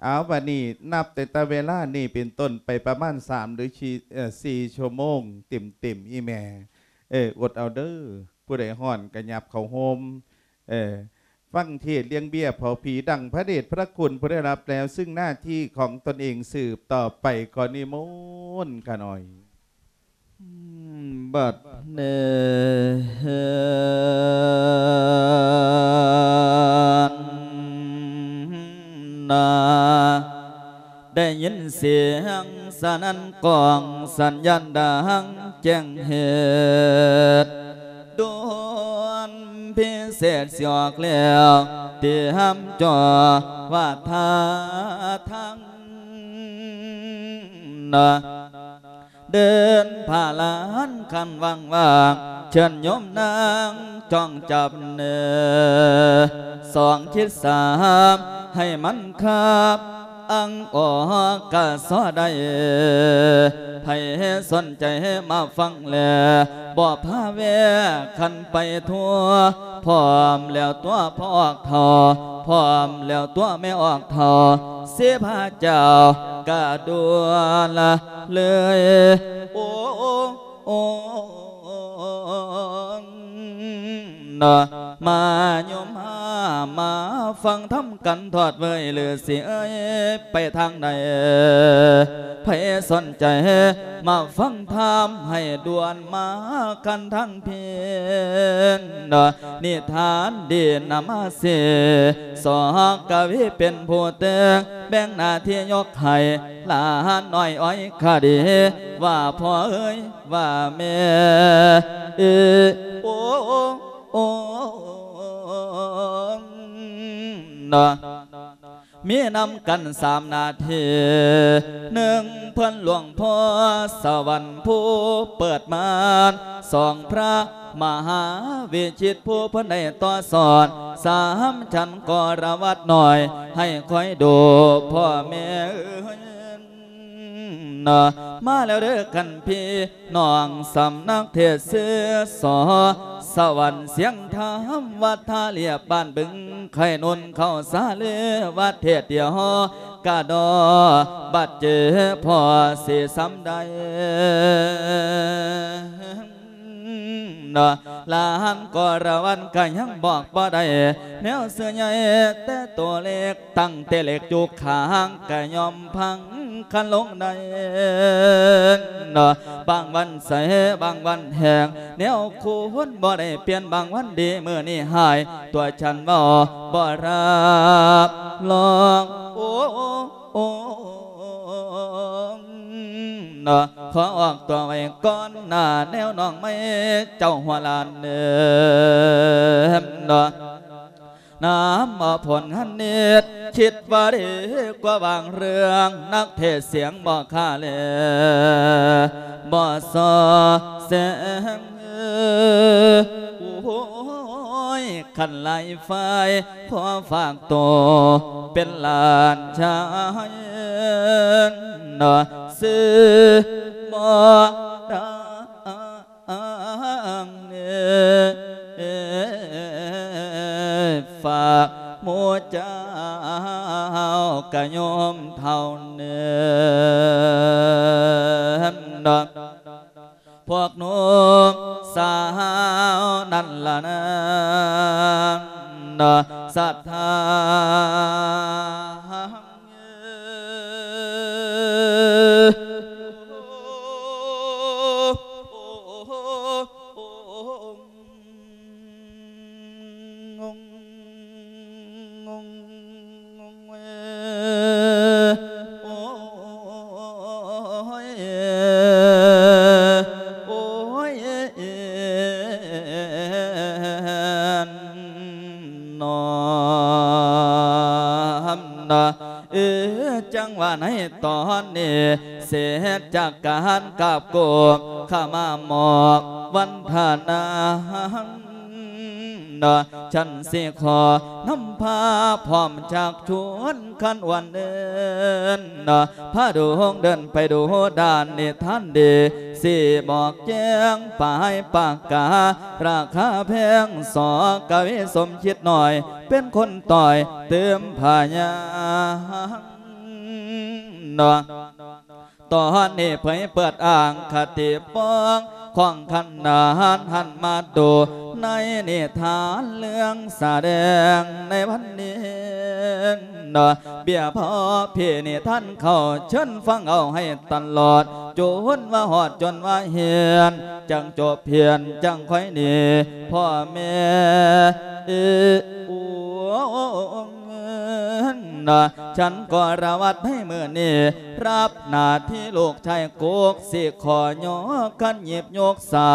ເອົາ ບັດນີ້ນັບຕັ້ງແຕ່ເວລານີ້ເປັນຕົ້ນໄປປະມານສາມ ຫຼື ສີ່ ເອີ ສີ່ຊົ່ວໂມງເຕັມໆ ອີ່ແມ່. ເອີ ອົດເອົາເດີ ຜູ້ໃດຮ້ອນກະຫຍັບເຂົ້າໂຮມ. ເອີ ຟັງເທດລ້ຽງເບ້ຍເຜົາຜີ ດັ່ງພະເດດພະຄຸນຜູ້ໄດ້ຮັບແລ້ວ ຊຶ່ງໜ້າທີ່ຂອງຕົນເອງສືບຕໍ່ໄປ. ຂໍນິມົນຂ້ານ້ອຍ. ບັດນີ້ນະ ໄດ້ຍິນສຽງສະໜັ່ນກ້ອງ ສັນຍານດັງແຈ້ງເຫດ ດວນພິເສດຊິອອກແລ້ວ ຕຽມຈໍວ່າທ່າທາງນະ ເດີນຜ່າລານຄັນວ່າງໆ ເຊີນໂຍມນາງຈ້ອງຈັບເນີ ສອງຄິດສາມໃຫ້ມັນຄັບ ອັງອອກກະຊໍໄດ້ ໃຜສົນໃຈມາຟັງແລ ບໍ່ພາແວະຄັນໄປທົ່ວ ພ້ອມແລ້ວຕົວະພໍ່ອອກເຖົ້າ ພ້ອມແລ້ວຕົວະແມ່ອອກເຖົ້າ ສິພາເຈົ້າກະດ່ວນເລີຍ ໂອ ໂອ ນະ ມາໂຍມມາ ມາຟັງທຳກັນທອດເວີຍ ຫຼືຊິເອີຍໄປທາງໃດ ໃຜສົນໃຈມາຟັງທຳໃຫ້ດ່ວນມາກັນທາງພີ້ນະ ນິທານດີນຳມາເສ ສອກກະວີເປັນຜູ້ແຕ່ງ ແບ່ງໜ້າທີ່ຍົກໃຫ້ ຫຼານນ້ອຍອ້ອຍຄະດີ ວ່າພໍ່ເອີຍ ວ່າແມ່ເອີຍ ໂອ ໂອ ນະ ມີນຳກັນສາມໜ້າທີ່ ໜຶ່ງ ເພິ່ນຫຼວງພໍ່ສະຫວັນຜູ້ເປີດມານ ສອງ ພະມະຫາວິຈິດຜູ້ເພິ່ນໄດ້ຕໍ່ສອນ ສາມ ຈັນກໍລະວັດນ້ອຍ ໃຫ້ຄອຍດູພໍ່ແມ່ເອີຍ ນະ ມາແລ້ວເດີກັນພີ່ນ້ອງ ສຳນັກເທດຊື່ ສ ສະຫວັນສຽງທຳ ວັດທ່າລຽບ ບ້ານບຶງໄຄໜຸ່ນ ເຂົ້າສາເລ ວັດເທດດຽວ ກະດໍ ບັດເຈີພໍ່ຊິສຳໃດ ເນາະ ຫຼານກໍລະວັນກະຍັງບອກບໍ່ໄດ້ ແນວຊື່ໃຫຍ່ແຕ່ໂຕເລັກ ຕັ້ງແຕ່ເລັກຢູ່ຂ້າງກະຍອມພັງຄັນລົງໄດ້ ເນາະ ບາງວັນໃສ ບາງວັນແຫ້ງ ແນວຄູນບໍ່ໄດ້ປ່ຽນ ບາງວັນດີ ມື້ນີ້ຮ້າຍ ຕົວະສັນເວົ້າບໍ່ຮັບຮອງ ໂອ ໂອ ເນາະ ຂໍອອກຕົວໄວ້ກ່ອນໜ້າແນວນ້ອງໃໝ່ເຈົ້າຫົວຫຼານເນີເນາະ ນຳເອົາຜົນງານນິດ ຄິດວ່າດີກວ່າບາງເລື່ອງ ນັກເທດສຽງບໍ່ຄ່າແລ ບໍ່ຊໍແສງ ໂອ້ຍ ຄັນຫຼາຍຝ່າຍ ຂໍຝາກໂຕເປັນຫຼານຊາຍ ເນາະ ຊື່ບໍ່ໄດ້ ຝາກໝູ່ເຈົ້າກະໂຍມເທົ່າເນີ ເນາະ ພວກໜຸ່ມສາວນັ້ນລະນາ ເນາະ ສັດທາ ໂອ້ຍ ໂອ້ຍ ເນາະ ເອີ ຈັ່ງວ່າໃນຕອນນີ້ ເສດຈາກການກາບໂກບ ຂ້າມາມອບວັນທະນາ ເນາະ ສັນຊິຂໍນຳພາ ພ້ອມຈາກຊວນຄັນອວນເດີນ ເນາະ ພາດົງເດີນໄປດູດ້ານນິທານດີ ຊິບອກແຈ້ງປາຍປາກກາ ລາຄາແພງ ສ ກະວີ ສົມຄິດໜ້ອຍ ເປັນຄົນຕ່ອຍຕື່ມພະຍາ ເນາະ ຕອນນີ້ເຜີຍເປີດອ້າງຄະຕິປອງຂອງຂັນນານ ຫັນມາດູໃນນິທານເລື່ອງສະແດງໃນວັນນີ້ເນາະ ເບ້ຍພໍ່ພີ່ນິທານເຂົາ ເຊີນຟັງເອົາໃຫ້ຕະຫຼອດ ຈົນວ່າຮອດ ຈົນວ່າຮຽນ ຈັ່ງຈົບຮຽນ ຈັ່ງຄ່ອຍໜີພໍ່ແມ່ ເອີ ໂອ ເນາະ ສັນກໍລະວັດໃນມື້ນີ້ ຮັບໜ້າທີ່ລູກຊາຍກົກ ຊິຂໍຍໍຂັນຫຍິບຍົກສາ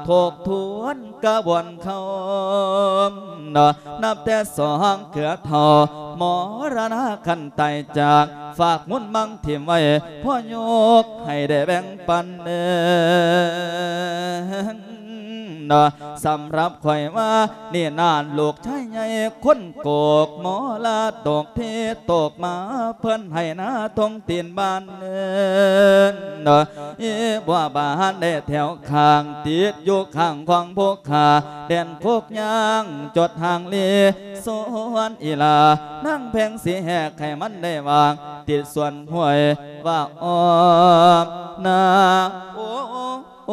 ທົບທວນກະບວນເຂົາເນາະ ນັບແຕ່ສອງເຄືອເຖົ້າ ມໍລະນະຄັນຕາຍຈາກ ຝາກມູນມັງຖິ້ມໄວ້ ພໍ່ຍົກໃຫ້ໄດ້ແບ່ງປັນເອີ ເນາະ ສຳລັບຂ້ອຍວ່າ ນີ້ນານລູກຊາຍໃຫຍ່ຄົນໂກກ ມໍລະຕົກທີ່ຕົກມາ ເພິ່ນໃຫ້ນາຕົງຕີນບ້ານເນີນເນາະ ອີບົວບານໄດ້ແຖວຂ້າງ ຕິດຢູ່ຂ້າງຂອງຜູ້ຂ້າ ແດນໂຄກຍ່າງຈົດຫ່າງລີ ສ່ວນອີຫຼານາງແພງສີແຫກໃຫ້ມັນໄດ້ວາງ ຕິດສວນຫ້ວຍວ່າອ້ອມນາ ໂອ ໂອ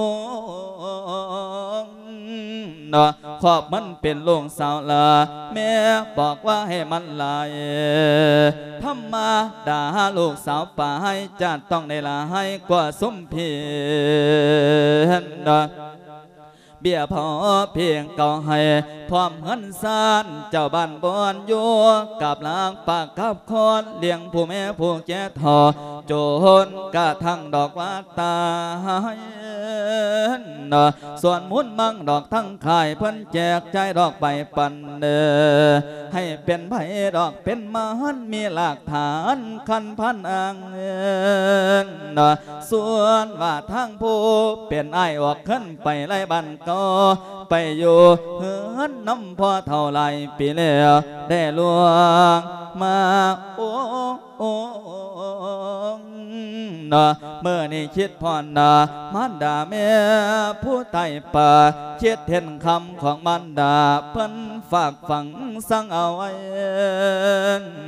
ເນາະ ຄອບມັນເປັນລູກສາວຫຼ້າ ແມ່ບອກວ່າໃຫ້ມັນຫຼາຍ ທຳມະດາລູກສາວປາຍຈາດຕ້ອງໄດ້ຫຼາຍກວ່າຊຸມພີ່ເນາະ ເບ້ຍພໍ່ພີ່ເຂົາໃຫ້ ພ້ອມເຮືອນຊານເຈົ້າບ້ານບ່ອນຢູ່ ກັບລາກປາກກັບຄອນ ລ້ຽງຜູ້ແມ່ຜູ້ແກ່ເຖົ້າ ຈົນກະທັ້ງດອກວ່າຕາຍເນາະ ສ່ວນມູນມັງດອກທັງຂາຍ ເພິ່ນແຈກຈ່າຍດອກໄປປັນເດີ ໃຫ້ເປັນໃຜດອກເປັນມານ ມີລາກຖານຄັນພັນອ້າງເອີນເນາະ ສ່ວນວ່າທາງຜູ້ເປັນອ້າຍອອກເຮືອນໄປໄລ່ບ້ານເກົ່າ ໄປຢູ່ເຮືອນນຳພໍ່ເຖົ້າຫຼາຍປີແລ້ວ ໄດ້ລ່ວງມາ ໂອ ໂອ ເນາະ ມື້ນີ້ຄິດພໍ້ໜ້າມານດາແມ່ຜູ້ຕາຍໄປ ຄິດເຫັນຄຳຂອງມານດາ ເພິ່ນຝາກຝັງສັ່ງເອົາໄວ້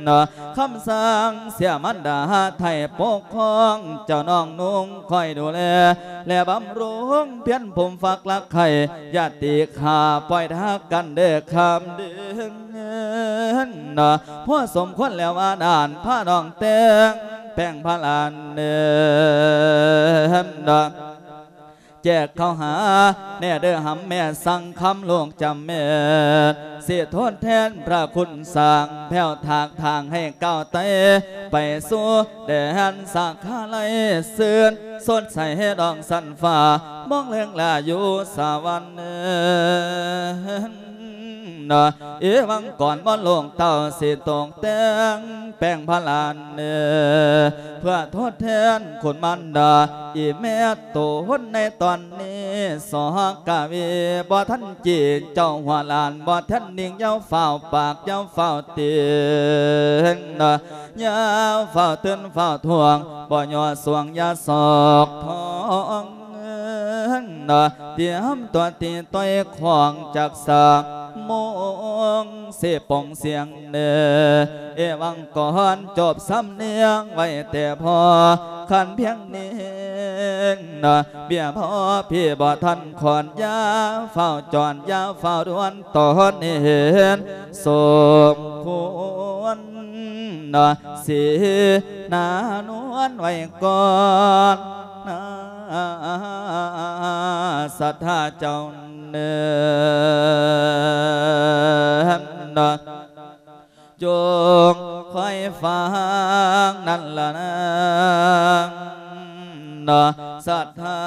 ເນາະ ຄຳສັ່ງເສຍມານດາ ໃຫ້ປົກຄອງເຈົ້ານ້ອງນຸ່ງ ຄອຍດູແລ ແລະບຳລຸງ ພຽນພູມຝາກລັກໃຫ້ ຢ່າຕີຂ້າປ່ອຍທາກັນເດີຄຳເດີ ເນາະ ພໍສົມຄວນແລ້ວວ່ານານ ພານ້ອງແຕ່ງແປງພາລານເນີນເນາະ ແຈກເຂົ້າຫາແດ່ເດີຫຳແມ່ ສັ່ງຄຳລູກຈຳແມ່ນ ຊິທົດແທນພະຄຸນສ້າງ ແພ້ວຖາກທາງໃຫ້ກ້າວໄຕ່ ໄປສູ່ແດນສາຂາໄລ ຊື່ນສົດໃສດອງສັນຟ້າ ມອງເລິງລາຢູ່ສະຫວັນເນີນ ເນາະ ເອວັງກອນບ່ອນລູກເຕົ້າ ຊິຕົກແຕ່ງແປງພາລານເນີ ເພື່ອທົດແທນຄຸນມານດາ ອີແມ່ໂຕນໃນຕອນນີ້ ສອກກະວີບໍ່ທັນຈີ້ ເຈົ້າຫົວຫຼານບໍ່ທັນນິ່ງ ຢ່າຟ້າວປາກ ຢ່າຟ້າວຕີງ ເນາະ ຢ່າຟ້າວຕື່ນຟ້າວທວງ ບໍ່ຍໍ່ສວງຢ່າຊອກທອງ ເນາະ ຕຽມຕົວຕີຕ່ອຍຂອງຈັກສາໂມງ ຊິປົງສຽງເນີ ເອວັງກອນຈົບສຳນຽງໄວ້ແຕ່ພໍ ຄັນພຽງນີ້ເນາະ ເບ້ຍພໍ່ພີ່ບໍ່ທັນຄອນ ຢ່າຟ້າວຈອນ ຢ່າຟ້າວດ່ວນ ຕອນນີ້ເຫັນສົມຄວນ ເນາະ ສີໜ້ານວນໄວ້ກ່ອນນາ ສັດທາເຈົ້າເນີນ ເນາະ ຈົ່ງຄອຍຟັງນັ້ນລະນາ ເນາະ ສັດທາ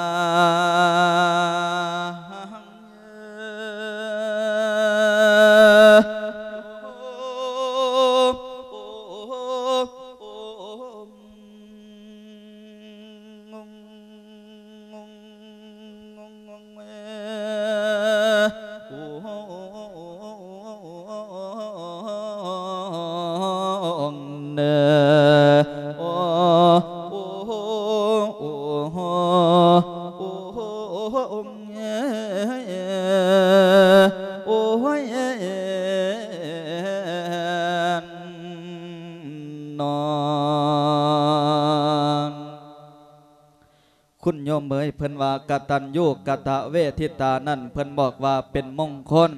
ຄຸນໂຍມເອີຍ ເພິ່ນວ່າກະຕັນຍູກະຕະເວທິຕານັ້ນ ເພິ່ນບອກວ່າເປັນມົງຄົນ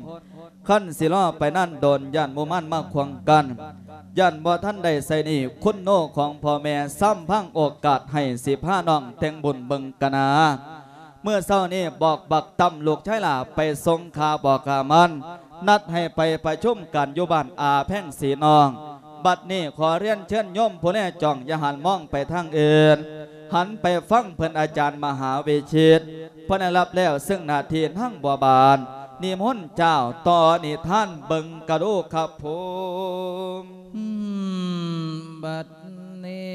ຄັນຊິລໍໄປນານດົນ ຢ້ານໝູ່ມານມາຂວາງກັນ ຢ້ານບໍ່ທັນໄດ້ໃຊ້ໜີ້ຄຸນໂນຂອງພໍ່ແມ່ ຊ້ຳພັງໂອກາດໃຫ້ຊິພານ້ອງແຕ່ງບຸນເບິ່ງກະນາ. ມື້ເຊົ້ານີ້ບອກບັກຕຳລູກຊາຍຫຼ້າໄປສົ່ງຂ້າບອກຂ້າມັນ ນັດໃຫ້ໄປປະຊຸມກັນຢູ່ບ້ານອາແພງສີນ້ອງ. ບັດນີ້ຂໍລຽນເຊີນໂຍມຜູ້ແລຈ້ອງ ຢ່າຫັນມອງໄປທາງອື່ນ ຫັນໄປຟັງເພິ່ນອາຈານມະຫາວິຊິດ ເພິ່ນໄດ້ຮັບແລ້ວເຊິ່ງໜ້າທີ່ນາງບົວບານ ນິມົນເຈົ້າຕໍ່ນິທານເບິ່ງກະດູຄັບຜົມ. ບັດນີ້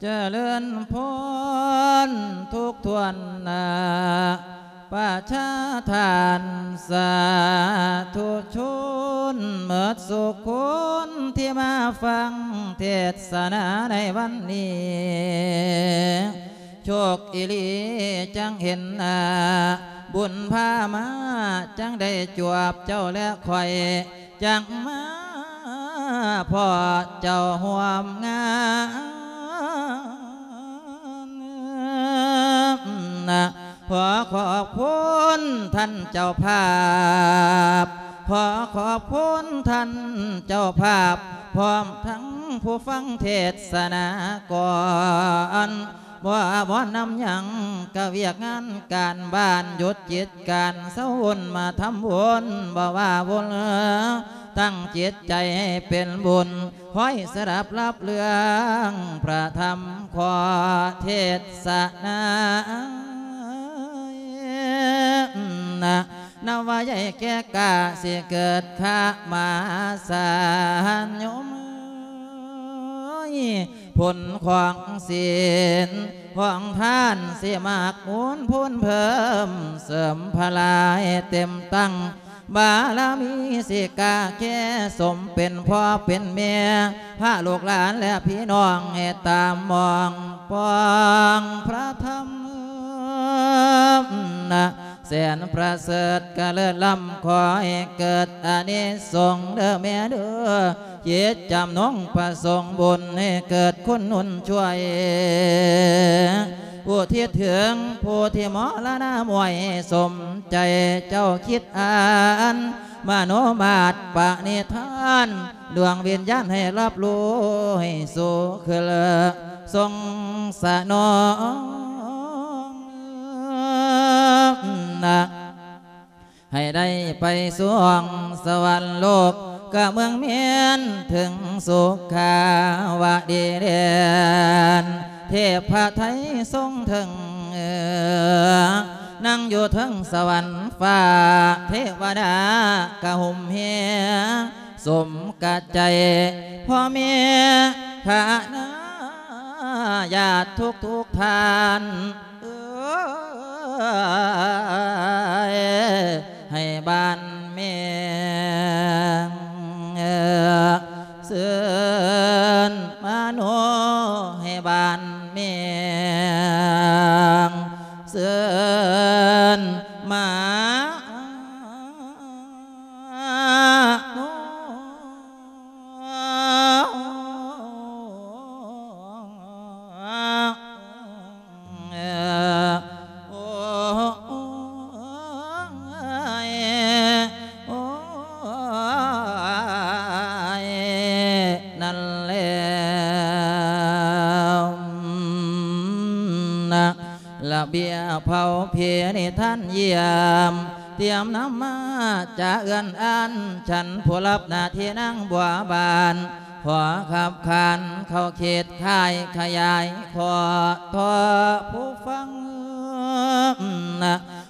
ຈະເລີນພອນທຸກທ່ວນນາ ປະຊາທ່ານສາທຸຊົນໝົດສູ່ຄົນທີ່ມາຟັງເທດສະນາໃນວັນນີ້ ໂຊກອີ່ຫຼີຈັ່ງເຫັນໜ້າ ບຸນພາມາຈັ່ງໄດ້ຈວບເຈົ້າແລະຂ້ອຍ ຈັ່ງມາພໍ້ເຈົ້າຮ່ວມງານ. ຂໍຂອບຄຸນທ່ານເຈົ້າພາບ ຂໍຂອບຄຸນທ່ານເຈົ້າພາບ ພ້ອມທັງຜູ້ຟັງເທດສະນາກ່ອນ. ບໍ່ວ່າບໍ່ນຳຫຍັງ ກະວຽກງານການບ້ານ ຢຸດກິດການເຊົາວຸນມາທຳບຸນ ບໍ່ວ່າວຸນ ຕັ້ງຈິດໃຈໃຫ້ເປັນບຸນ ຄອຍສະດັບຮັບເລື່ອງພະທຳ ຂໍເທດສະນາ ນຳວ່າໃຫຍ່ແກ່ກ້າ ຊິເກີດຄະມາສານໂຍມເອີຍ ຜົນຂອງສິນຂອງທານ ຊິໝາກມູນພູນເພີ່ມ ເສີມພະລາໃຫ້ເຕັມຕັ້ງ ບາລະມີ ຊິກະແກ່ສົມເປັນພໍ່ເປັນແມ່ ພາລູກຫຼານ ແລະ ພີ່ນ້ອງ ໃຫ້ຕາມມອງປອງພະທຳນະ ແສນປະເສີດກະເລີດລ້ຳ ຂໍໃຫ້ເກີດອານິສົງເດີ້ແມ່ເດີ້ ຈິດຈຳນົງປະສົງບຸນ ໃຫ້ເກີດຄຸນໜູນຊ່ວຍ ອຸທິດເຖິງຜູ້ທີ່ມໍລະນະມວຍ ສົມໃຈເຈົ້າຄິດອ່ານ ມະໂນມາດປະນິທານ ດວງວິນຍານໃຫ້ຮັບຮູ້ ໃຫ້ສູ່ຄືເລີ ຊົງສະໜອງນະ ໃຫ້ໄດ້ໄປສວງສະຫວັນໂລກ ກະເມືອງແມ່ນເຖິງສຸຂາວະດີແດນ ເທບພະໄທຊົງເທິງ ນັ່ງຢູ່ເທິງສະຫວັນຟ້າ ເທວະດາກະຫຸ້ມແຮ ສົມກະໃຈພໍ່ແມ່ຄະນະຍາດທຸກໆທ່ານເອີຍ ໃຫ້ບ້ານແມ່ງເຊີນມາໂນ ໃຫ້ບ້ານແມ່ງເຊີນມາ ນັ້ນແລ້ວ ລະເບຍເຜົາເພນິທານຢ້ຽມ ຕຽມນຳມາຈາເອື້ອນອານ ສັນຜູ້ຮັບໜ້າທີ່ນາງບົວບານ ຂໍຂັບຂານເຂົ້າເຂດຄ້າຍຂະຫຍາຍ ຂໍຕໍ່ຜູ້ຟັງ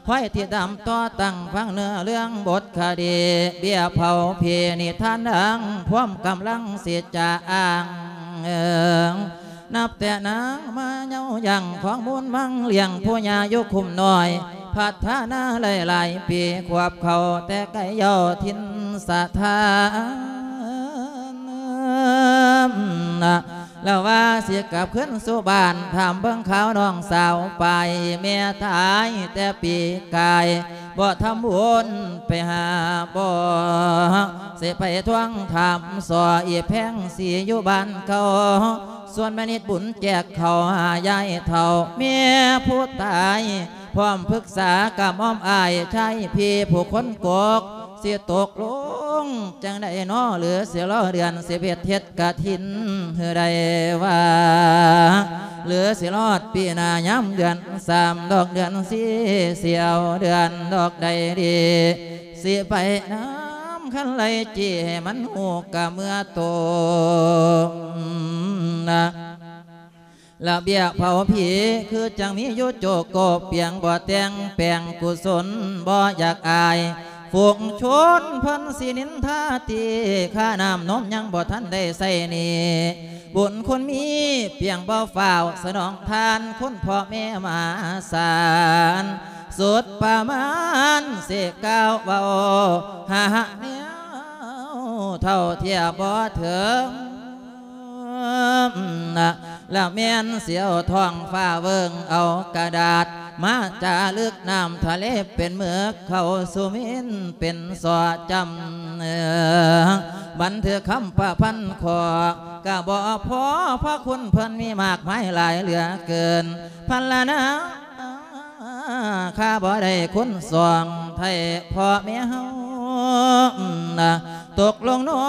ຄອຍຕິດຕາມຕໍ່ຕັ້ງຟັງເນື້ອເລື່ອງບົດຄະດີ ເບຍເຜົາເພນິທານ ດັ່ງພວມກຳລັງສິຈະອ້າງເອີງ ນັບແຕ່ນາງມາເຍົາຍັງ ຂອງມູນວັງລ້ຽງຜູ້ຍ່າຢູ່ຄຸ້ມນ້ອຍ ພັດທະນາຫຼາຍໆປີ ຂວບເຂົ້າແຕ່ໄກເຍົາຖິ່ນສະຖານນະ ລະວ່າຊິກັບຄືນສູ່ບ້ານ ຖາມເບິ່ງຂ່າວນ້ອງສາວໄປ ແມ່ຕາຍແຕ່ປີກາຍ ບໍ່ທຳບຸນໄປຫາບໍ່ ຊິໄປທວງຖາມສໍ້ ອີແພງສີຢູ່ບ້ານເກົ່າ ສ່ວນແມ່ນິດບຸນແຈກເຂົ້າຫາຍາຍເຖົ້າ ແມ່ຜູ້ຕາຍ ພ້ອມປຶກສາກັບອ້ອມອ້າຍຊາຍພີ່ຜູ້ຄົນກົກ ຊິຕົກລົງຈັ່ງໃດນໍ ຫຼືຊິລໍເດືອນສິບເອັດເຮັດກະຖິນ ຫຼືໄດ້ວ່າ ຫຼືຊິຮອດປີໜ້າຍາມເດືອນສາມ ດອກເດືອນສີ່ ຊິເອົາເດືອນດອກໃດດີ ຊິໄປນຳຄັນໄລ່ຈີ້ໃຫ້ມັນຮູ້ກະເມື່ອໂຕນະ. ລະເບ້ຍເຜົາຜີ ຄືຈັ່ງມີຢູ່ໂຈໂກປຽງ ບໍ່ແຕ່ງແປງກຸສົນ ບໍ່ຢາກອາຍ ຝູງຊົນເພິ່ນຊິນິນທາຕິ ຄ່ານ້ຳນົມຍັງບໍ່ທັນໄດ້ໃຊ້ໜີ້ ບຸນຄຸນມີປຽງບໍ່ຟ້າວ ສະໜອງທານຄຸນພໍ່ແມ່ມະຫາສານ ສຸດປະມານຊິກ່າວເວົ້າ ຫາແນວເທົ່າທຽບບໍ່ເຖິງ. ລະແມ່ນສຽວທ້ອງຟ້າເວີງເອົາກະດາດ ມາຈາລຶກນ້ຳທະເລເປັນເໝິກ ເຂົ້າສູ່ເມັນເປັນສໍ້ຈຳ ບັນທຶກຄຳປະພັນຂໍ້ ກະບໍ່ພໍພະຄຸນເພິ່ນມີມາກມາຍຫຼາຍເຫຼືອເກີນ ພັນລະນາ ຂ້າບໍ່ໄດ້ຄຸນສອງໄທພໍ່ແມ່ເຮົາ ຕົກລົງໜໍ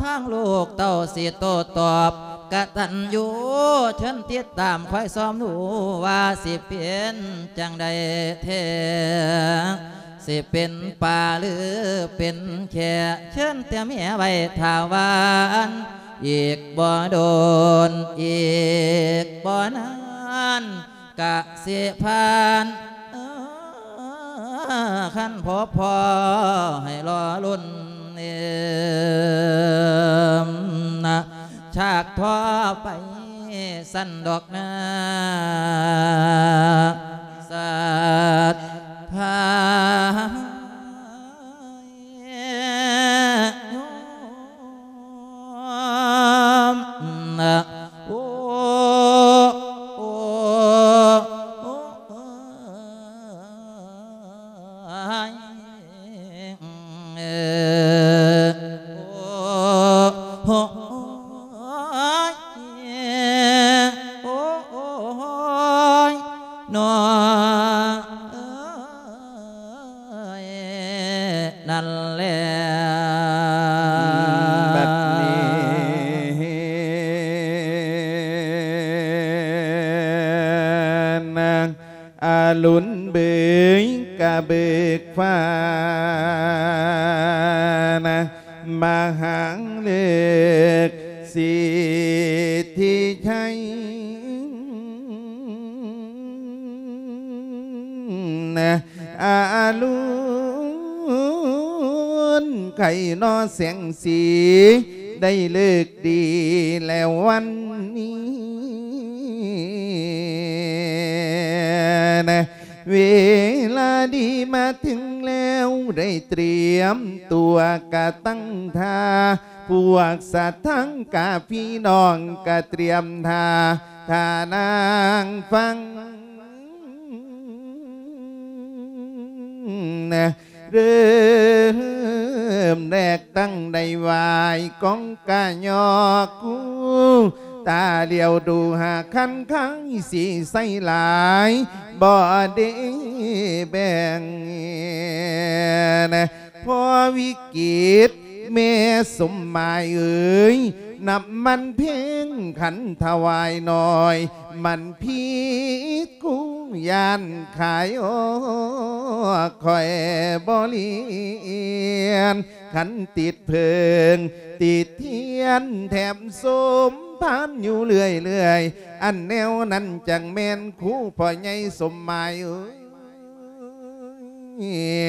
ທາງລູກເຕົ້າຊິໂຕ້ຕອບ ກະຕັນຍູເຊີນຕິດຕາມຄອຍຊອມດູວ່າຊິເປັນຈັ່ງໃດແທ້ ຊິເປັນປ່າຫຼືເປັນແຂ້ ເຊີນແຕ່ແມ່ໄວ້ຖ້າຫວານ ອີກບໍ່ດົນ ອີກບໍ່ນານ ກະຊິຜ່ານ ຄັນພົບພໍໃຫ້ລໍລຸນ ເອີມ ຊາກທໍ່ໄປຊັ້ນດອກນາ ສັດທາຍອມ ໂອ້ ໂອ້ ໂອ້ ໂອ້ຍ ໂອ້ ໂອ້ຍ ໂອ້ຍ ໂອ້ຍ ເນາະ ເອີຍ ນັ້ນແຫຼະ ບັດນີ້ນາງອາລຸນເບີຍກະເບີກຟ້ານະ ມະຫາເລີກສິດທິໄຊ ອາລຸນໄຄນໍແສງສີ ໄດ້ເລີກດີແລ້ວວັນນີ້ນະ ເວລາດີມາເຖິງແລ້ວ ໄດ້ຕຽມຕົວກະຕັ້ງທ່າ ພວກສັດທາກະພີ່ນ້ອງກະຕຽມທ່າ ຖ້ານາງຟັງ ເລີ່ມແລກຕັ້ງໄດ້ຫວາຍກອງກະຍອກກູ ຕາຫຼຽວດູຫາຄັນຄາຍສີໃສຫຼາຍ ບໍ່ໄດ້ແບ່ງ ພໍວິກິດ ແມ່ສົມໝາຍເອີຍ ນັບມັນເພງຂັນຖະຫວາຍໜ້ອຍ ມັນຜິດກູ ຢ້ານຂາຍອອກ ຂ້ອຍບໍ່ລຽນ ຄັນຕິດເພີງ ຕິດທຽນ ແຖມສົມພານຢູ່ເລື້ອຍໆ ອັນແນວນັ້ນຈັ່ງແມ່ນຄູພໍ່ໃຫຍ່ສົມໝາຍເອີ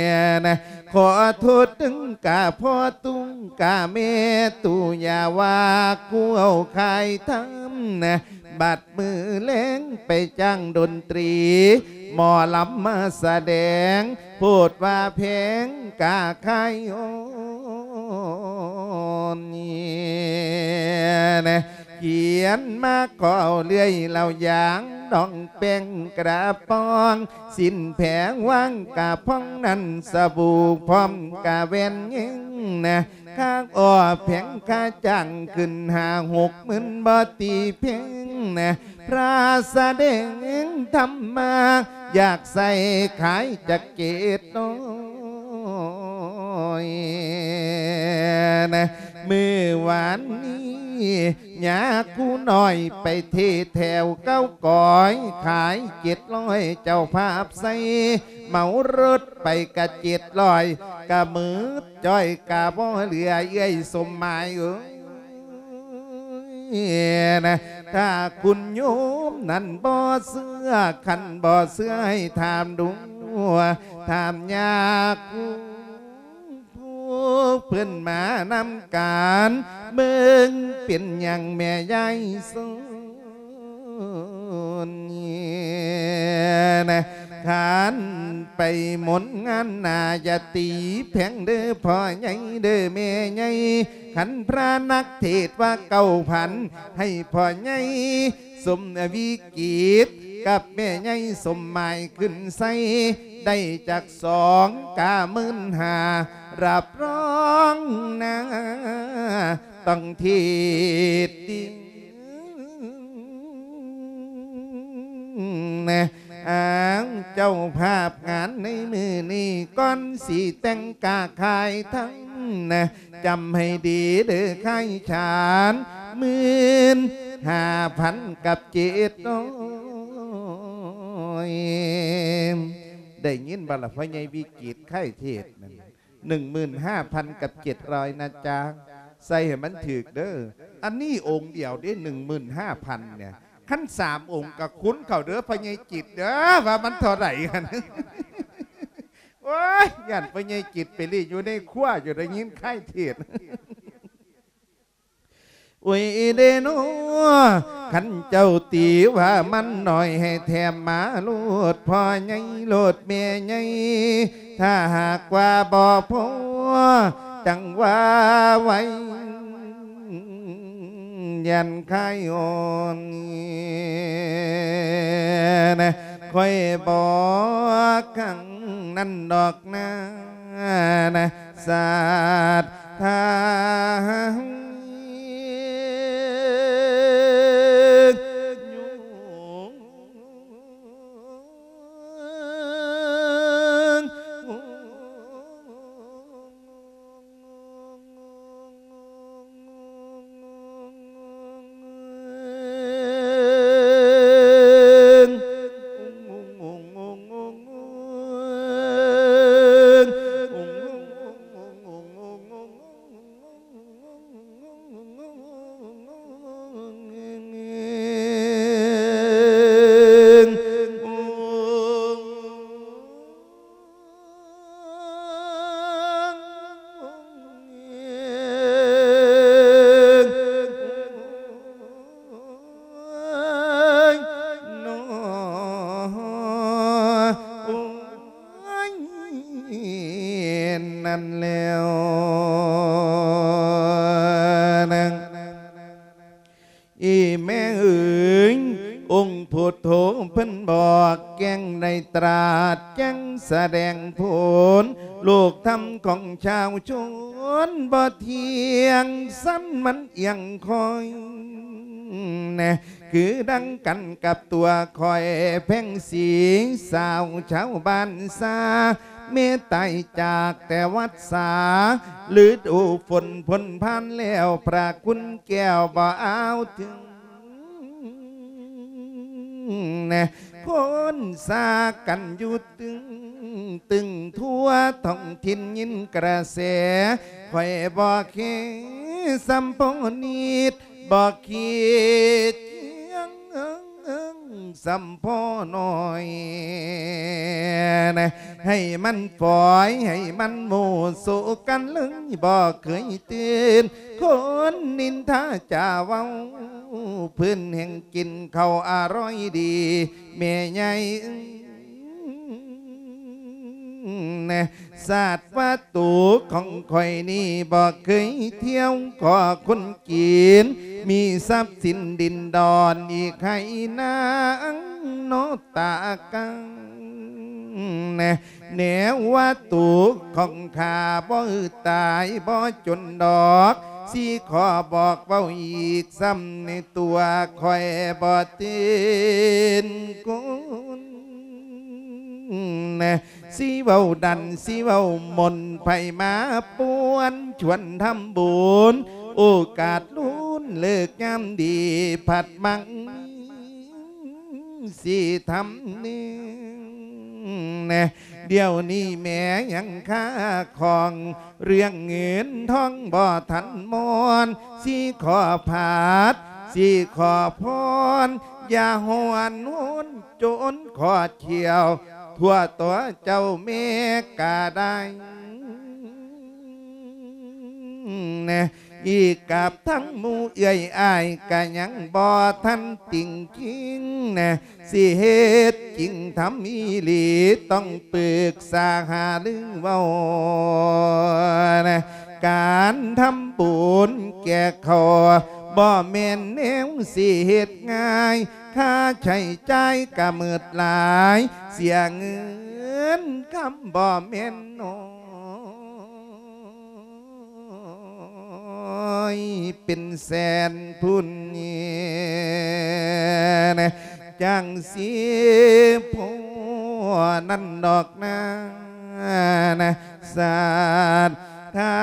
ຍ ນະ ຂໍໂທດເຖິງກະພໍ່ຕຸງກະແມ່ຕູ້ ຢ່າວ່າກູເອົາຂາຍທຳນະ ບັດມື້ແລງໄປຈ້າງດົນຕຣີ ໝໍລຳມາສະແດງ ໂພດວ່າແພງກະຂາຍອ່ອນ ນະ ຂຽນມາກໍເລື່ອຍ ເຫຼົ້າຢາງດອງແປ້ງກະປອງ ສິ້ນແຜງວາງກະພອງນັ້ນ ສະບູພ້ອມກະແວ່ນຍິງນະ ຄ່າອໍແຜງຄ່າຈ້າງຂຶ້ນຫ້າຫົກໝື່ນບໍ່ຕີເພງນະ ພະສະແດງທຳມາ ຢາກໃສ່ຂາຍຈັກເຈັດຮ້ອຍນະ ມື້ວານນີ້ ຍາຄູນ້ອຍໄປເທແຖວເກົ້າກອຍ ຂາຍເຈັດຮ້ອຍ ເຈົ້າພາບໃສ່ ເໝົາລົດໄປກະເຈັດຮ້ອຍ ກະໝົດຈ້ອຍ ກະບໍ່ເຫຼືອ ເອື້ອຍສົມໝາຍເອີຍນະ ຖ້າຄຸນໂຍມນັ້ນບໍ່ເຊື່ອ ຄັນບໍ່ເຊື່ອໃຫ້ຖາມດູ ຖາມຍາຄູ ຜູ້ເພິ່ນມານຳການ ເບິ່ງເປັນຫຍັງແມ່ຍາຍສົນນະ ຄັນໄປມົນງານໜ້າ ຢ່າຕີແພງເດີ້ພໍ່ໃຫຍ່ເດີ້ແມ່ໃຫຍ່ ຄັນພະນັກເທດວ່າເກົ້າພັນ ໃຫ້ພໍ່ໃຫຍ່ ສົມວິກິດກັບແມ່ໃຫຍ່ສົມໝາຍຂຶ້ນໃສ່ ໄດ້ຈັກສອງກະໝື່ນຫ້າ ຮັບຮອງນາຕ້ອງເທດດິນນະ ອ້າງເຈົ້າພາບງານໃນມື້ນີ້ ກ່ອນຊິແຕ່ງກະຂາຍທັງນະ ຈຳໃຫ້ດີເດີ້ ຂາຍຊານ ໝື່ນຫ້າພັນກັບເຈັດຮ້ອຍ ໄດ້ຍິນບໍ່ລະ ພໍ່ໃຫຍ່ວິກິດ ຂາຍເທດນັ້ນ ໜຶ່ງໝື່ນຫ້າພັນກັບເຈັດຮ້ອຍນະຈ໊ະ ໃສ່ໃຫ້ມັນຖືກເດີ້ ອັນນີ້ອົງດຽວເດ້ ໜຶ່ງໝື່ນຫ້າພັນເນຍ ຄັນສາມອົງກະຄູນເຂົ້າເດີ້ ພໍ່ໃຫຍ່ຈິດເດີ້ ວ່າມັນເທົ່າໃດຫັ້ນ ໂອ້ຍ ຢ້ານພໍ່ໃຫຍ່ຈິດໄປລີ້ຢູ່ໃນຄົວຢູ່ ໄດ້ຍິນຂາຍເທດ ໂອ້ຍເດໂນ ຄັນເຈົ້າຕີວ່າມັນໜ້ອຍ ໃຫ້ແຖມມາໂລດ ພໍ່ໃຫຍ່ໂລດ ແມ່ໃຫຍ່ ຖ້າຫາກວ່າບໍ່ພໍ ຈັ່ງວ່າໄວ້ ຢ້ານຄາຍອ່ອນ ຂ້ອຍບໍ່ຄັງນັ້ນດອກນາ ນະ ສາດທາງນັ້ນແລ້ວນະ ອີແມ່ເອີຍ ອົງພຸດໂທເພິ່ນບອກ ແຈ້ງໃນຕຣາດ ແຈ້ງສະແດງຜົນ ໂລກທຳຂອງຊາວຊົນ ບໍ່ທ່ຽງສັນມັນອຽງຄ່ອຍ ຄືດັ່ງກັນກັບຕົວຂ້ອຍແພງສີ ສາວຊາວບ້ານຊາ ແມ່ຕາຍຈາກແຕ່ວັດສາ ລະດູຝົນພົ້ນຜ່ານແລ້ວ ພະຄຸນແກ້ວບໍ່ອ້າວເຖິງ ຄົນສາກັນຢູ່ຕຶງ ຕຶງທົ່ວທ້ອງຖິ່ນຍິນກະແສ ຂ້ອຍບໍ່ເຄສຳພໍນິດ ບໍ່ຄິດຄຽງສຳພໍໜ້ອຍ ໃຫ້ມັນຟອຍ ໃຫ້ມັນໂມໂສກັນເລີຍ ບໍ່ເຄີຍຕື່ນ ຄົນນິນທາຈາເວົ້າ ເພິ່ນແຮ່ງກິນເຂົ້າອະຮ່ອຍດີ ແມ່ໃຫຍ່ ຊາດວ່າໂຕຂອງຂ້ອຍນີ້ ບໍ່ເຄີຍທ່ຽວຂໍຄົນຈີນ ມີຊັບສິນດິນດອນອີກໃຫ້ນາງໂນຕາກັງ ແນວວ່າໂຕຂອງຂ້າບໍ່ຕາຍບໍ່ຈົນດອກ ຊິຂໍບອກເວົ້າອີກຊ້ຳໃນຕົວຂ້ອຍບໍ່ຕື່ນກຸນ ຊິເວົ້າດັນ ຊິເວົ້າມົນ ໃຜມາປວນຊວນທຳບຸນ ໂອກາດລຸນເລີກຍາມດີ ພັດມັງມີຊິທຳໜຶ່ງແນ ດຽວນີ້ແມ່ຍັງຄາຄອງ ເລື່ອງເງິນທອງບໍ່ທັນມອນ ຊິຂໍພາດ ຊິຂໍພອນ ຢ່າຮ້ອນໂຫນໂຈນ ຂໍທ່ຽວທົ່ວຕົວເຈົ້າແມ່ກະໄດ້ ແນ ອີກກັບທັງໝູ່ເອື້ອຍອ້າຍກະຍັງບໍ່ທັນຕິງກິງແນ ຊິເຮັດຈິງທຳອີ່ຫຼີ ຕ້ອງປຶກສາຫາລືເວົ້ານະ ການທຳບຸນແຈກເຂົ້າ ບໍ່ແມ່ນແນວຊິເຮັດງ່າຍ ຄ່າໃຊ້ຈ່າຍກະເໝິດຫຼາຍ ເສຍເງິນຄຳບໍ່ແມ່ນນ້ອຍ ເປັນແສນພຸ້ນ ຈັ່ງຊິພໍນັ້ນດອກນາ ສັດທາ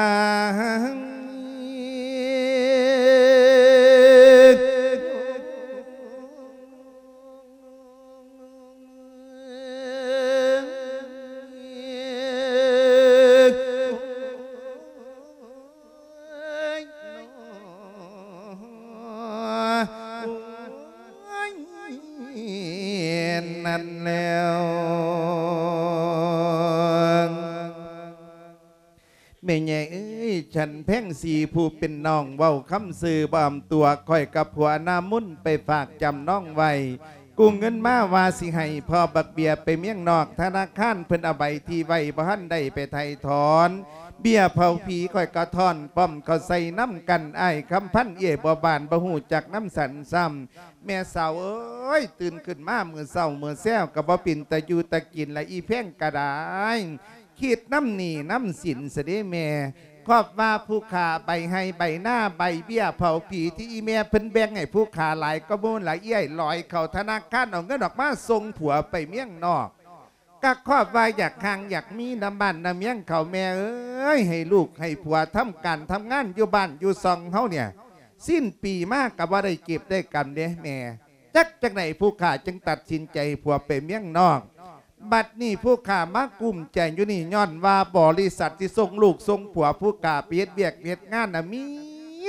ນັ້ນແລ້ວ ແມ່ໃຫຍ່ເອີຍ ສັນແພງສີຜູ້ເປັນນ້ອງ ເວົ້າຄຳຊື່ບອມຕົວ ຂ້ອຍກັບຜົວນາມຸນໄປຝາກຈຳນອງໄວ້ ກູ້ເງິນມາວ່າຊິໃຫ້ພໍ່ບັກເບ້ຍໄປເມືອງນອກ ທະນາຄານເພິ່ນເອົາໃບທີ່ໄວ້ ບໍ່ທັນໄດ້ໄປໄຖ່ຖອນ ເບ້ຍເຜົາຜີຂ້ອຍກໍທ້ອນປ້ອມເຂົ້າໃສ່ນຳກັນ ອ້າຍຄຳພັນ ເອື້ອຍບົວບານ ບໍ່ຮູ້ຈັກນຳສັນຊ້ຳ ແມ່ສາວເອີຍ ຕື່ນຂຶ້ນມາມື້ເຊົ້າມື້ແຊວກໍບໍ່ເປັນຕາຢູ່ຕາກິນລະ ອີ່ແພງກໍໄດ້ ຄິດນຳໜີ້ນຳສິນຊະເດແມ່ ຄອບວ່າຜູ້ຂ້າໃບໄຮ່ໃບນາ ໃບເບ້ຍເຜົາຜີທີ່ອີ່ແມ່ເພິ່ນແບ່ງໃຫ້ຜູ້ຂ້າຫຼາຍກວ່າໝູ່ລະ ເອື້ອຍລອຍເຂົ້າທະນາຄານເອົາເງິນອອກມາສົ່ງຜົວໄປເມືອງນອກ ກະຄອບວ່າຢາກຮັ່ງຢາກມີນຳບ້ານນຳເມືອງເຂົາ ແມ່ເອີຍ ໃຫ້ລູກໃຫ້ຜົວທຳການທຳງານຢູ່ບ້ານຢູ່ຊ່ອງເຮົາເນຍ ສິ້ນປີມາກະບໍ່ໄດ້ເກັບໄດ້ກຳເດ້ແມ່ ຈັກຈັ່ງໃດຜູ້ຂ້າຈຶ່ງຕັດສິນໃຈໃຫ້ຜົວໄປເມືອງນອກ ບັດນີ້ຜູ້ຂ້າມາກຸ້ມໃຈຢູ່ນີ້ ຍ້ອນວ່າບໍລິສັດທີ່ສົ່ງລູກສົ່ງຜົວຜູ້ຂ້າໄປເຮັດວຽກເຮັດງານນະ ມິ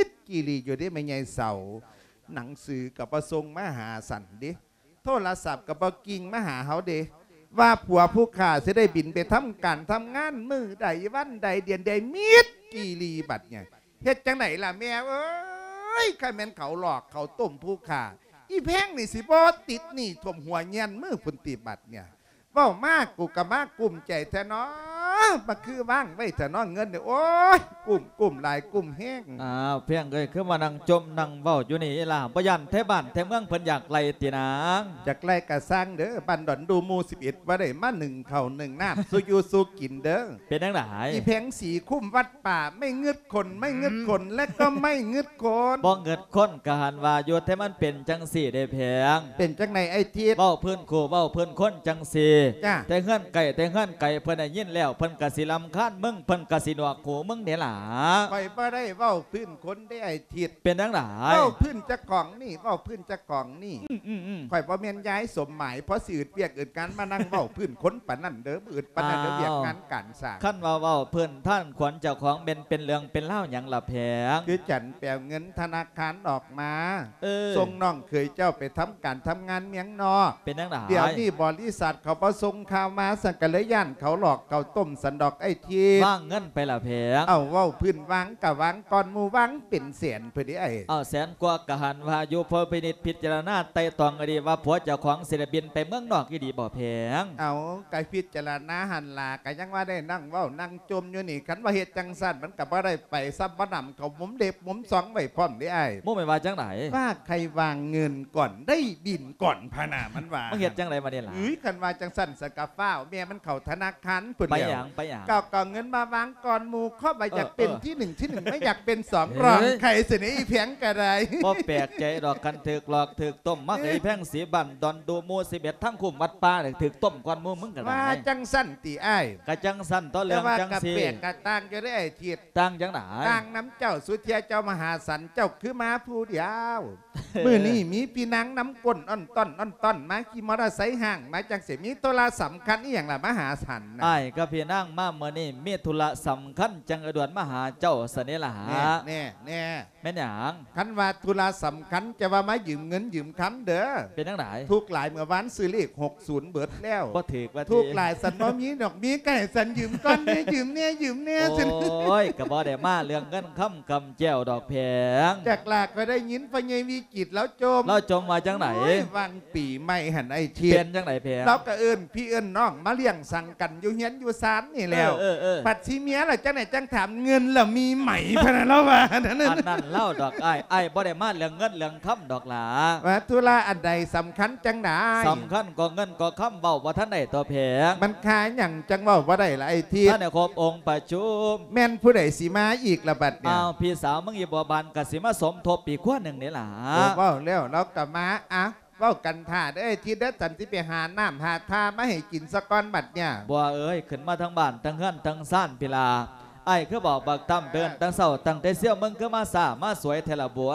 ດຈີ່ຫຼີ່ຢູ່ເດ້ແມ່ໃຫຍ່ເສົາ ໜັງສືກໍບໍ່ສົ່ງມາຫາສັນເດ້ ໂທລະສັບກໍບໍ່ກິ່ງມາຫາເຮົາເດ້ ວ່າຜົວຜູ້ຂ້າຊິໄດ້ບິນໄປທຳການທຳງານມື້ໃດວັນໃດເດືອນໃດ ມິດຈີ່ຫຼີ່ບັດນີ້ ເຮັດຈັ່ງໃດລະແມ່ເອີຍ ຄັນແມ່ນເຂົາຫຼອກເຂົາຕົ້ມຜູ້ຂ້າ ອີ່ແພງນີ້ຊິບໍ່ຕິດໜີ້ຖ້ວມຫົວຍຽນມືພຸ້ນຕິບັດນີ້ ເວົ້າມາກູກໍມາກຸ້ມໃຈແທ້ນໍ ມາຄືວາງໄວ້ແທ້ນໍເງິນນີ້ ໂອ້ຍ ກຸ້ມ ກຸ້ມຫຼາຍກຸ້ມແຮງ. ອ້າວ ແພງເອີຍ ຄືມານັ່ງຈົ່ມນັ່ງເວົ້າຢູ່ນີ້ລະ ບໍ່ຢ້ານໄທບ້ານໄທເມືອງເພິ່ນຢາກໄລ່ຕິນາງ? ຢາກໄລ່ກະຊ່າງເດີ ບ້ານດອນດູໝູ່ສິບເອັດ ບໍ່ໄດ້ມາໜຶ້ງເຂົ້າໜຶ້ງນ້ຳສູ່ຢູ່ສູ່ກິນເດີ. ເປັນຈັ່ງໃດ? ອີ່ແພງສີຄຸ້ມວັດປ່າ ໄມ່ງຶດຄົນ ໄມ່ງຶດຄົນ ແລະກໍໄມ່ງຶດຄົນ. ບໍ່ງຶດຄົນກະຫັ້ນວ່າຢູ່ ແຕ່ມັນເປັນຈັ່ງຊີ້ເດ້ແພງ. ເປັນຈັ່ງໃດອ້າຍທິດ? ເວົ້າພື້ນຄູ່ເວົ້າພື້ນຄົນຈັ່ງຊີ້ ຈ້າ ແຕ່ເຮືອນໄກ ແຕ່ເຮືອນໄກ ເພິ່ນໄດ້ຍິນແລ້ວ ເພິ່ນກະຊິລຳຄານ ມຶງເພິ່ນກະຊິໜວກຫູມຶງເດ້ລະ. ຂ້ອຍບໍ່ໄດ້ເວົ້າພື້ນຄົນເດ້ອ້າຍທິດ. ເປັນຈັ່ງໃດ? ເວົ້າພື້ນເຈົ້າຂອງນີ້ ເວົ້າພື້ນເຈົ້າຂອງນີ້. ອືມໆໆ ຂ້ອຍບໍ່ແມ່ນຍາຍສົມໝາຍ ພໍຊິອຶດວຽກອຶດງານມານັ່ງເວົ້າພື້ນຄົນປານນັ້ນເດີ ບໍ່ອຶດປານນັ້ນເດີ ອ້າວ ວຽກງານການສ້າງ. ຄັນວ່າເວົ້າພື້ນທ່ານຂວັນເຈົ້າຂອງແມ່ນເປັນເລື່ອງເປັນລາວຫຍັງລະແພງ? ຄືຈັ່ງໄປເອົາເງິນທະນາຄານອອກມາ ເອີ ສົ່ງນ້ອງເຂີຍເຈົ້າໄປທຳການທຳງານເມືອງນອກ. ເປັນຈັ່ງໃດ? ດຽວນີ້ບໍລິສັດເຂົາບໍ່ສົ່ງຂ່າວມາ ສັນກະເລີຍຢ້ານເຂົາຫຼອກເຂົາຕົ້ມ ຊັ້ນດອກອ້າຍທິດ. ວາງເງິນໄປລະແພງ. ເອົາ ເວົ້າພື້ນວາງກະວາງກ່ອນໝູ່ ວາງເປັນແສນພຸ້ນເດອ້າຍ. ເອົາ ແສນກວ່າກະຫັນວ່າຢູ່ ພໍພິນິດພິຈາລະນາໄຕ່ຕອງໃຫ້ດີວ່າ ຜົວເຈົ້າຂອງຊິໄດ້ບິນໄປເມືອງນອກອີ່ຫຼີບໍ່ແພງ? ເອົາ ກະພິຈາລະນາຫັ້ນລະ ກະຍັງວ່າໄດ້ນັ່ງເວົ້ານັ່ງຈົ່ມຢູ່ນີ້. ຄັນວ່າເຮັດຈັ່ງຊັ້ນ ມັນກະບໍ່ໄດ້ໄປ ຊ້ຳບໍ່ນຳເຂົ້າມຸມເລັບມຸມຊ່ອງໄວ້ພ້ອມເດອ້າຍ. ໝູ່ແມ່ນວ່າຈັ່ງໃດ? ວ່າໃຄ່ວາງເງິນກ່ອນ ໄດ້ບິນກ່ອນພະນາ ມັນວ່າ. ມັນເຮັດຈັ່ງໃດບັດນີ້ລະ? ເອີຍ ຄັນວ່າຈັ່ງຊັ້ນ ສະກະຟ້າວ ແມ່ມັນເຂົ້າທະນາຄານພຸ້ນແລ້ວ. ໄປຫຍັງ? ໄປຫຍັງ? ເຂົາກໍເອົາເງິນມາວາງກ່ອນໝູ່ ເຂົາວ່າຢາກເປັນ ເອີ ເອີ ທີໜຶ່ງ ທີໜຶ່ງ ບໍ່ຢາກເປັນສອງ ເອີຍ ຮອງໃຜຊັ້ນນີ້ ອີ່ແພງກໍໄດ້. ບໍ່ແປກໃຈດອກ ຄັນຖືກຫຼອກຖືກຕົ້ມ ມັກ ເອີ ອີ່ແພງສີບ້ານດອນດູໝູ່ສິບເອັດ ທາງຄຸ້ມວັດປ່າ ຖືກຕົ້ມກ່ອນໝູ່ ມຶງກໍໄດ້. ວ່າຈັ່ງຊັ້ນຕິອ້າຍ? ກະຈັ່ງຊັ້ນຕົວະ ເລື່ອງຈັ່ງຊີ້. ແຕ່ວ່າກະແປກກະຕ່າງຢູ່ເດ້ອ້າຍທິດ. ຕ່າງຈັ່ງໃດ? ຕ່າງນຳເຈົ້າສຸເທຍເຈົ້າມະຫາສັນ ເຈົ້າຄືມາຜູ້ດຽວ. ມື້ນີ້ມີພີ່ນາງນຳກົ້ນ ອອນຕອນ ອອນຕອນ ມາຂີ່ມໍເຕີໄຊຫ້າງມາ ຈັ່ງຊິມີທຸລະສຳຄັນອີ່ຫຍັງລະມາຫາສັນນະ? ອ້າຍກັບພີ່ນາງມາມື້ນີ້ ມີທຸລະສຳຄັນ ຈັ່ງເອື້ອນດ່ວນມາຫາເຈົ້າຊັ້ນເດລະ. ແນ່ ແນ່ ແນ່. ແມ່ນຫຍັງ? ຄັນວ່າທຸລະສຳຄັນ ຈະວ່າມາຢືມເງິນຢືມຄຳເດີ. ເປັນຈັ່ງໃດ? ຖືກຫຼາຍ ເມື່ອວານຊື້ເລກຫົກສູນເບິດແລ້ວ. ບໍ່ຖືກວ່າຕິ? ຖືກຫຼາຍ ສັນບໍ່ມີດອກ ມີກໍໃຫ້ສັນຢືມກ່ອນແນ່ ຢືມແນ່ ຢືມແນ່. ໂອ້ຍ ກະບໍ່ໄດ້ມາເລື່ອງເງິນຄຳ ກຳແຈວດອກແພງ. ຈັກລະ ຂ້ອຍໄດ້ຍິນພໍ່ໃຫຍ່ວິຈິດລາວຈົ່ມ. ລາວຈົ່ມວ່າຈັ່ງໃດ? ໂອ້ຍ ຫວ່າງປີໃໝ່ຫັ້ນໄອ້ທິດ. ເປັນຈັ່ງໃດແພງ? ລາວກໍເອີ້ນພີ່ເອີ້ນນ້ອງມາລ້ຽງສັງກັນຢູ່ເຮືອນຢູ່ຊານນີ້ແລ້ວ. ເອີ ເອີ ເອີ. ບັດຊິເມຍລະຈັ່ງໃດຈັ່ງຖາມ ເງິນລະມີໄໝ ພະນະ ລາວວ່າ. ອັນນັ້ນລາວດອກອ້າຍ ອ້າຍບໍ່ໄດ້ມາເລື່ອງເງິນເລື່ອງຄຳດອກຫຼາ. ວ່າທຸລະອັນໃດ ສຳຄັນຈັ່ງໃດ? ສຳຄັນກໍເງິນກໍຄຳ ເວົ້າບໍ່ທັນໄດ້ຕົວະແພງ. ມັນຄາຫຍັງຈັ່ງເວົ້າບໍ່ໄດ້ລະໄອ້ທິດ? ທັນໄດ້ຄົບອົງປະຊຸມ. ແມ່ນຜູ້ໃດຊິມາອີກລະບັດນີ້? ອ້າວ ພີ່ສາວເມືອງອີບົວບານ ກະຊິມາສົມທົບອີກຄົນໜຶ່ງນີ້ລະ. ໂອ້ ເວົ້າແລ້ວລາວກະມາ. ອະ ເວົ້າກັນຖ້າເດີໄອ້ທິດເດີ ສັນຊິໄປຫານ້ຳຫາທ່າມາໃຫ້ກິນສາກ່ອນບັດນີ້. ບົວເອີຍ ຂຶ້ນມາທາງບ້ານທາງເຮືອນທາງຊານພີ້ລະ. ອ້າຍຄືບອກບັກຕຳເດີນແຕ່ເຊົ້າ ຕັ້ງແຕ່ຊຽວ ມຶງຄືມາຊ້າມາສວຍແທ້ລະບົວ?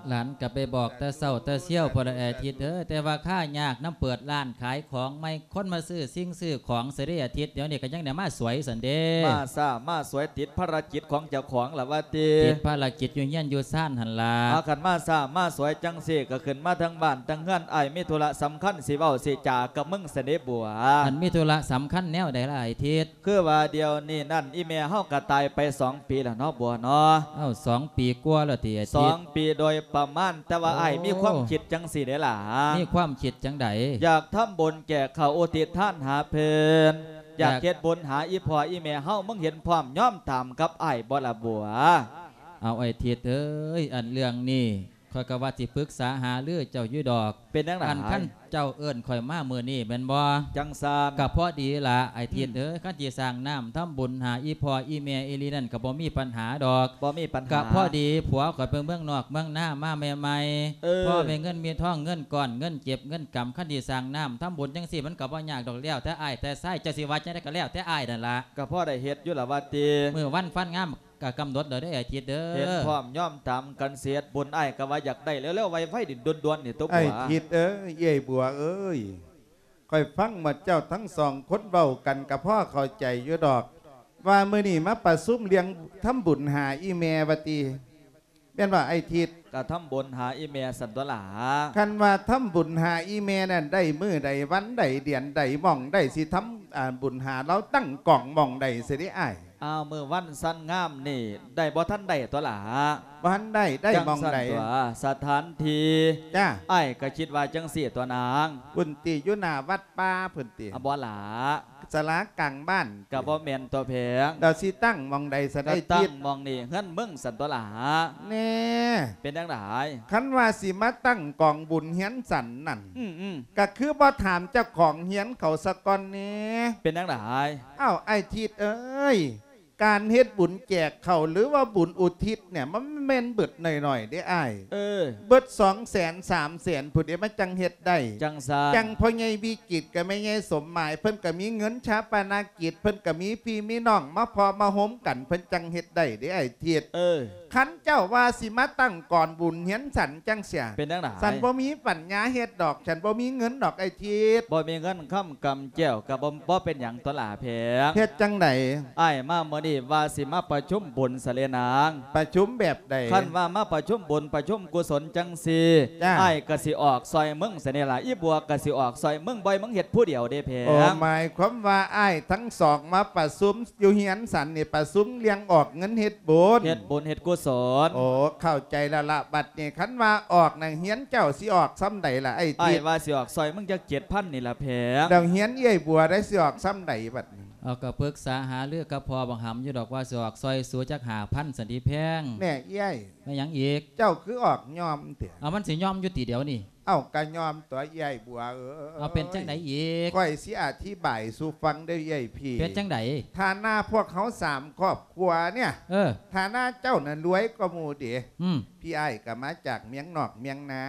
ຫຼານກະໄປບອກແຕ່ເຊົ້າແຕ່ຊຽວພຸ້ນລະໄອ້ທິດເອີຍ ແຕ່ວ່າຄາຍາກນຳເປີດຮ້ານຂາຍຂອງໃໝ່ ຄົນມາຊື້ສິ່ງຊື້ຂອງຊະເດໄອ້ທິດ ດຽວນີ້ກໍຍັງໄດ້ມາສວຍຊັ້ນເດ. ມາຊ້າມາສວຍ ຕິດພາລະກິດຂອງເຈົ້າຂອງລະວ່າຕິ? ຕິດພາລະກິດຢູ່ເຮືອນຢູ່ຊານຫັ້ນລະ. ອາ ຄັນມາຊ້າມາສວຍຈັ່ງຊີ້ ກໍຂຶ້ນມາທາງບ້ານທາງເຮືອນ ອ້າຍມີທຸລະສຳຄັນຊິເວົ້າຊິຈາກັບມຶງຊັ້ນເດບົວ. ອັນມີທຸລະສຳຄັນແນວໃດລະໄອ້ທິດ? ຄືວ່າດຽວນີ້ນັ້ນ ອີ່ແມ່ເຮົາກໍຕາຍໄປສອງປີແລ້ວເນາະບົວເນາະ. ເອົ້າ ສອງປີກວ່າແລ້ວຕິໄອ້ທິດ? ສອງປີໂດຍປະມານ ແຕ່ວ່າ ໂອ້ ອ້າຍມີຄວາມຄິດຈັ່ງຊີ້ເດ້ລະ. ມີຄວາມຄິດຈັ່ງໃດ? ຢາກທຳບຸນແຈກເຂົ້າອຸທິດທານຫາເພິ່ນ ຢາກ ຢາກເຮັດບຸນຫາອີ່ພໍ່ອີ່ແມ່ເຮົາ ມຶງເຫັນພ້ອມຍອມຕາມກັບອ້າຍບໍ່ລະບົວ? ເອົາ ໄອ້ທິດເອີຍ ອັນເລື່ອງນີ້ ຂ້ອຍກໍວ່າຊິປຶກສາຫາລືເຈົ້າຢູ່ດອກ. ເປັນຈັ່ງໃດ? ອັນຄັນເຈົ້າເອີ້ນຂ້ອຍມາມື້ນີ້ແມ່ນບໍ່? ຈັ່ງຊັ້ນ. ກໍພໍດີລະໄອ້ທິດເອີຍ ອືມ ຄັນຊິສ້າງນ້ຳທຳບຸນຫາອີ່ພໍ່ອີ່ແມ່ອີ່ຫຼີນັ້ນ ກໍບໍ່ມີປັນຫາດອກ. ບໍ່ມີປັນຫາ. ກໍພໍດີຜົວຂ້ອຍໄປເມືອງນອກເມືອງນາມາໃໝ່ໆ ເອີ ພໍມີເງິນມີທອງ ເງິນກ້ອນ ເງິນເກັບເງິນກຳ ຄັນຊິສ້າງນ້ຳທຳບຸນຈັ່ງຊີ້ ມັນກໍບໍ່ຍາກດອກ ແລ້ວແຕ່ອ້າຍແຕ່ຊາຍ ເຈົ້າຊິວ່າຈັ່ງໃດກໍແລ້ວແຕ່ອ້າຍນັ້ນລະ. ກໍພໍໄດ້ເຮັດຢູ່ລະວ່າຕິ? ມື້ວັນຟັນງາມ ກະກຳນົດແລ້ວເດ້ອາທິດເດີ. ເຫັນພ້ອມຍອມຕາມກັນເສຍບຸນ ອ້າຍກະວ່າຢາກໄດ້ເລັວໆ ໄວໆ ດ່ວນໆ ນີ້ຕົວ ອ້າຍທິດເອີຍ ເອື້ອຍບົວເອີຍ ຂ້ອຍຟັງໝົດເຈົ້າທັງສອງຄົນເວົ້າກັນ ກະພໍເຂົ້າໃຈຢູ່ດອກ ວ່າມື້ນີ້ມາປະຊຸມເລື່ອງທຳບຸນຫາອີ່ແມ່ວ່າຕິ ແມ່ນບໍ່ອ້າຍທິດ? ກະທຳບຸນຫາອີ່ແມ່ຊັ້ນຕົວຫຼ້າ. ຄັນວ່າທຳບຸນຫາອີ່ແມ່ນັ້ນ ໄດ້ມື້ໃດ ວັນໃດ ເດືອນໃດ ໝ່ອງໃດ ຊິທຳ ອາ ບຸນຫາລາວ ຕັ້ງກອງໝ່ອງໃດ ຊິໄດ້ອ້າຍ? ອ້າວ ມື້ວັນສັນງາມນີ້ ໄດ້ ບໍ່ທັນໄດ້ຕົວຫຼ້າ. ບໍ່ທັນໄດ້ ໄດ້ໝ່ອງໃດ? ຈັ່ງຊັ້ນຕົວະ ສະຖານທີ່. ຈ້າ ອ້າຍກະຄິດວ່າຈັ່ງຊີ້ຕົວະນາງ. ພຸ້ນຕິ ຢູ່ໜ້າວັດປ່າພຸ້ນຕິ? ອາ ບໍ່ຫຼ້າ ສາລາກາງບ້ານ. ກະບໍ່ແມ່ນຕົວະແພງ. ແລ້ວຊິຕັ້ງໝ່ອງໃດຊັ້ນ? ກະຕັ້ງໝ່ອງນີ້ ເຮືອນເມືອງຊັ້ນຕົວະຫຼ້າ. ແນ່ ເປັນຈັ່ງໃດ? ຄັນວ່າຊິມາຕັ້ງກອງບຸນເຮືອນສັນນັ້ນ ອືມໆ ກະຄືບໍ່ຖາມເຈົ້າຂອງເຮືອນເຂົາສາກ່ອນແນ່? ເປັນຈັ່ງໃດ? ອ້າວ ອ້າຍທິດເອີຍ ການເຮັດບຸນແຈກເຂົ້າ ຫຼືວ່າບຸນອຸທິດເນ່ຍ ມັນແມ່ນເບິດໜ້ອຍໆເດ້ອ້າຍ. ເອີ ເບິດສອງແສນ ສາມແສນພຸ້ນເດ້ ມັນຈັ່ງເຮັດໄດ້. ຈັ່ງຊັ້ນ. ຈັ່ງພໍ່ໃຫຍ່ວິຈິດກັບແມ່ໃຫຍ່ສົມໝາຍ ເພິ່ນກະມີເງິນຊາປະນະກິດ ເພິ່ນກະມີພີ່ມີນ້ອງມາເພາະມາໂຮມກັນ ເພິ່ນຈັ່ງເຮັດໄດ້ເດ້ອ້າຍທິດ. ເອີ ຄັນເຈົ້າວ່າຊິມາຕັ້ງກອງບຸນເຮືອນສັນຈັ່ງຊີ້ ເປັນຈັ່ງໃດ? ສັນບໍ່ມີປັນຍາເຮັດດອກ ສັນບໍ່ມີເງິນດອກອ້າຍທິດ. ບໍ່ມີເງິນຄຳກຳແກ້ວ ກະບໍ່ ບໍ່ເປັນຫຍັງຕົວະຫຼ້າແພງ. ເຮັດຈັ່ງໃດ? ອ້າຍມາມື້ ນີ້ວ່າຊິມາປະຊຸມບຸນຊະເລນາງ. ປະຊຸມແບບໃດ? ຄັນວ່າມາປະຊຸມບຸນປະຊຸມກຸສົນຈັ່ງຊີ້ ຈ້າ ອ້າຍກໍຊິອອກຊ່ອຍມຶງຊະນີ້ລະ ອີບົວກໍຊິອອກຊ່ອຍມຶງ ບໍ່ໃຫ້ມຶງເຮັດຜູ້ດຽວເດ້ແພງ. ໂອ້ ໝາຍຄວາມວ່າອ້າຍທັງສອງມາປະຊຸມຢູ່ເຮືອນສັນນີ້ ປະຊຸມເລື່ອງອອກເງິນເຮັດບຸນ ເຮັດບຸນເຮັດກຸສົນ. ໂອ້ ເຂົ້າໃຈແລ້ວລະ ບັດນີ້ຄັນວ່າອອກນະ ເຮືອນເຈົ້າຊິອອກຊ່ຳໃດລະອ້າຍທິດ? ອ້າຍວ່າຊິອອກຊ່ອຍມຶງຈັກເຈັດພັນນີ້ລະແພງ. ແລ້ວເຮືອນເອື້ອຍບົວໄດ້ຊິອອກຊ່ຳໃດບັດນີ້? ເອົາ ກໍປຶກສາຫາລືກັບພໍ່ບັກຫຳຢູ່ດອກວ່າຊິອອກຊ່ອຍສູຈັກຫ້າພັນຊັ້ນຕິແພງ. ແນ່ເອື້ອຍ ແມ່ນຫຍັງອີກ? ເຈົ້າຄືອອກຍອມແທ້? ເອົາ ມັນຊິຍອມຢູ່ຕິດຽວນີ້? ເອົາ ກະຍອມຕົວະເອື້ອຍບົວເອີຍ. ເອົາ ເປັນຈັ່ງໃດອີກ? ຂ້ອຍຊິອະທິບາຍສູ່ຟັງເດີ້ເອື້ອຍພີ່. ເປັນຈັ່ງໃດ? ຖານະພວກເຮົາສາມຄອບຄົວເນຍ ເອີ ຖານະເຈົ້ານັ້ນລວຍກວ່າໝູ່ເດ. ອືມ ພີ່ອ້າຍກໍມາຈາກເມືອງນອກເມືອງນາ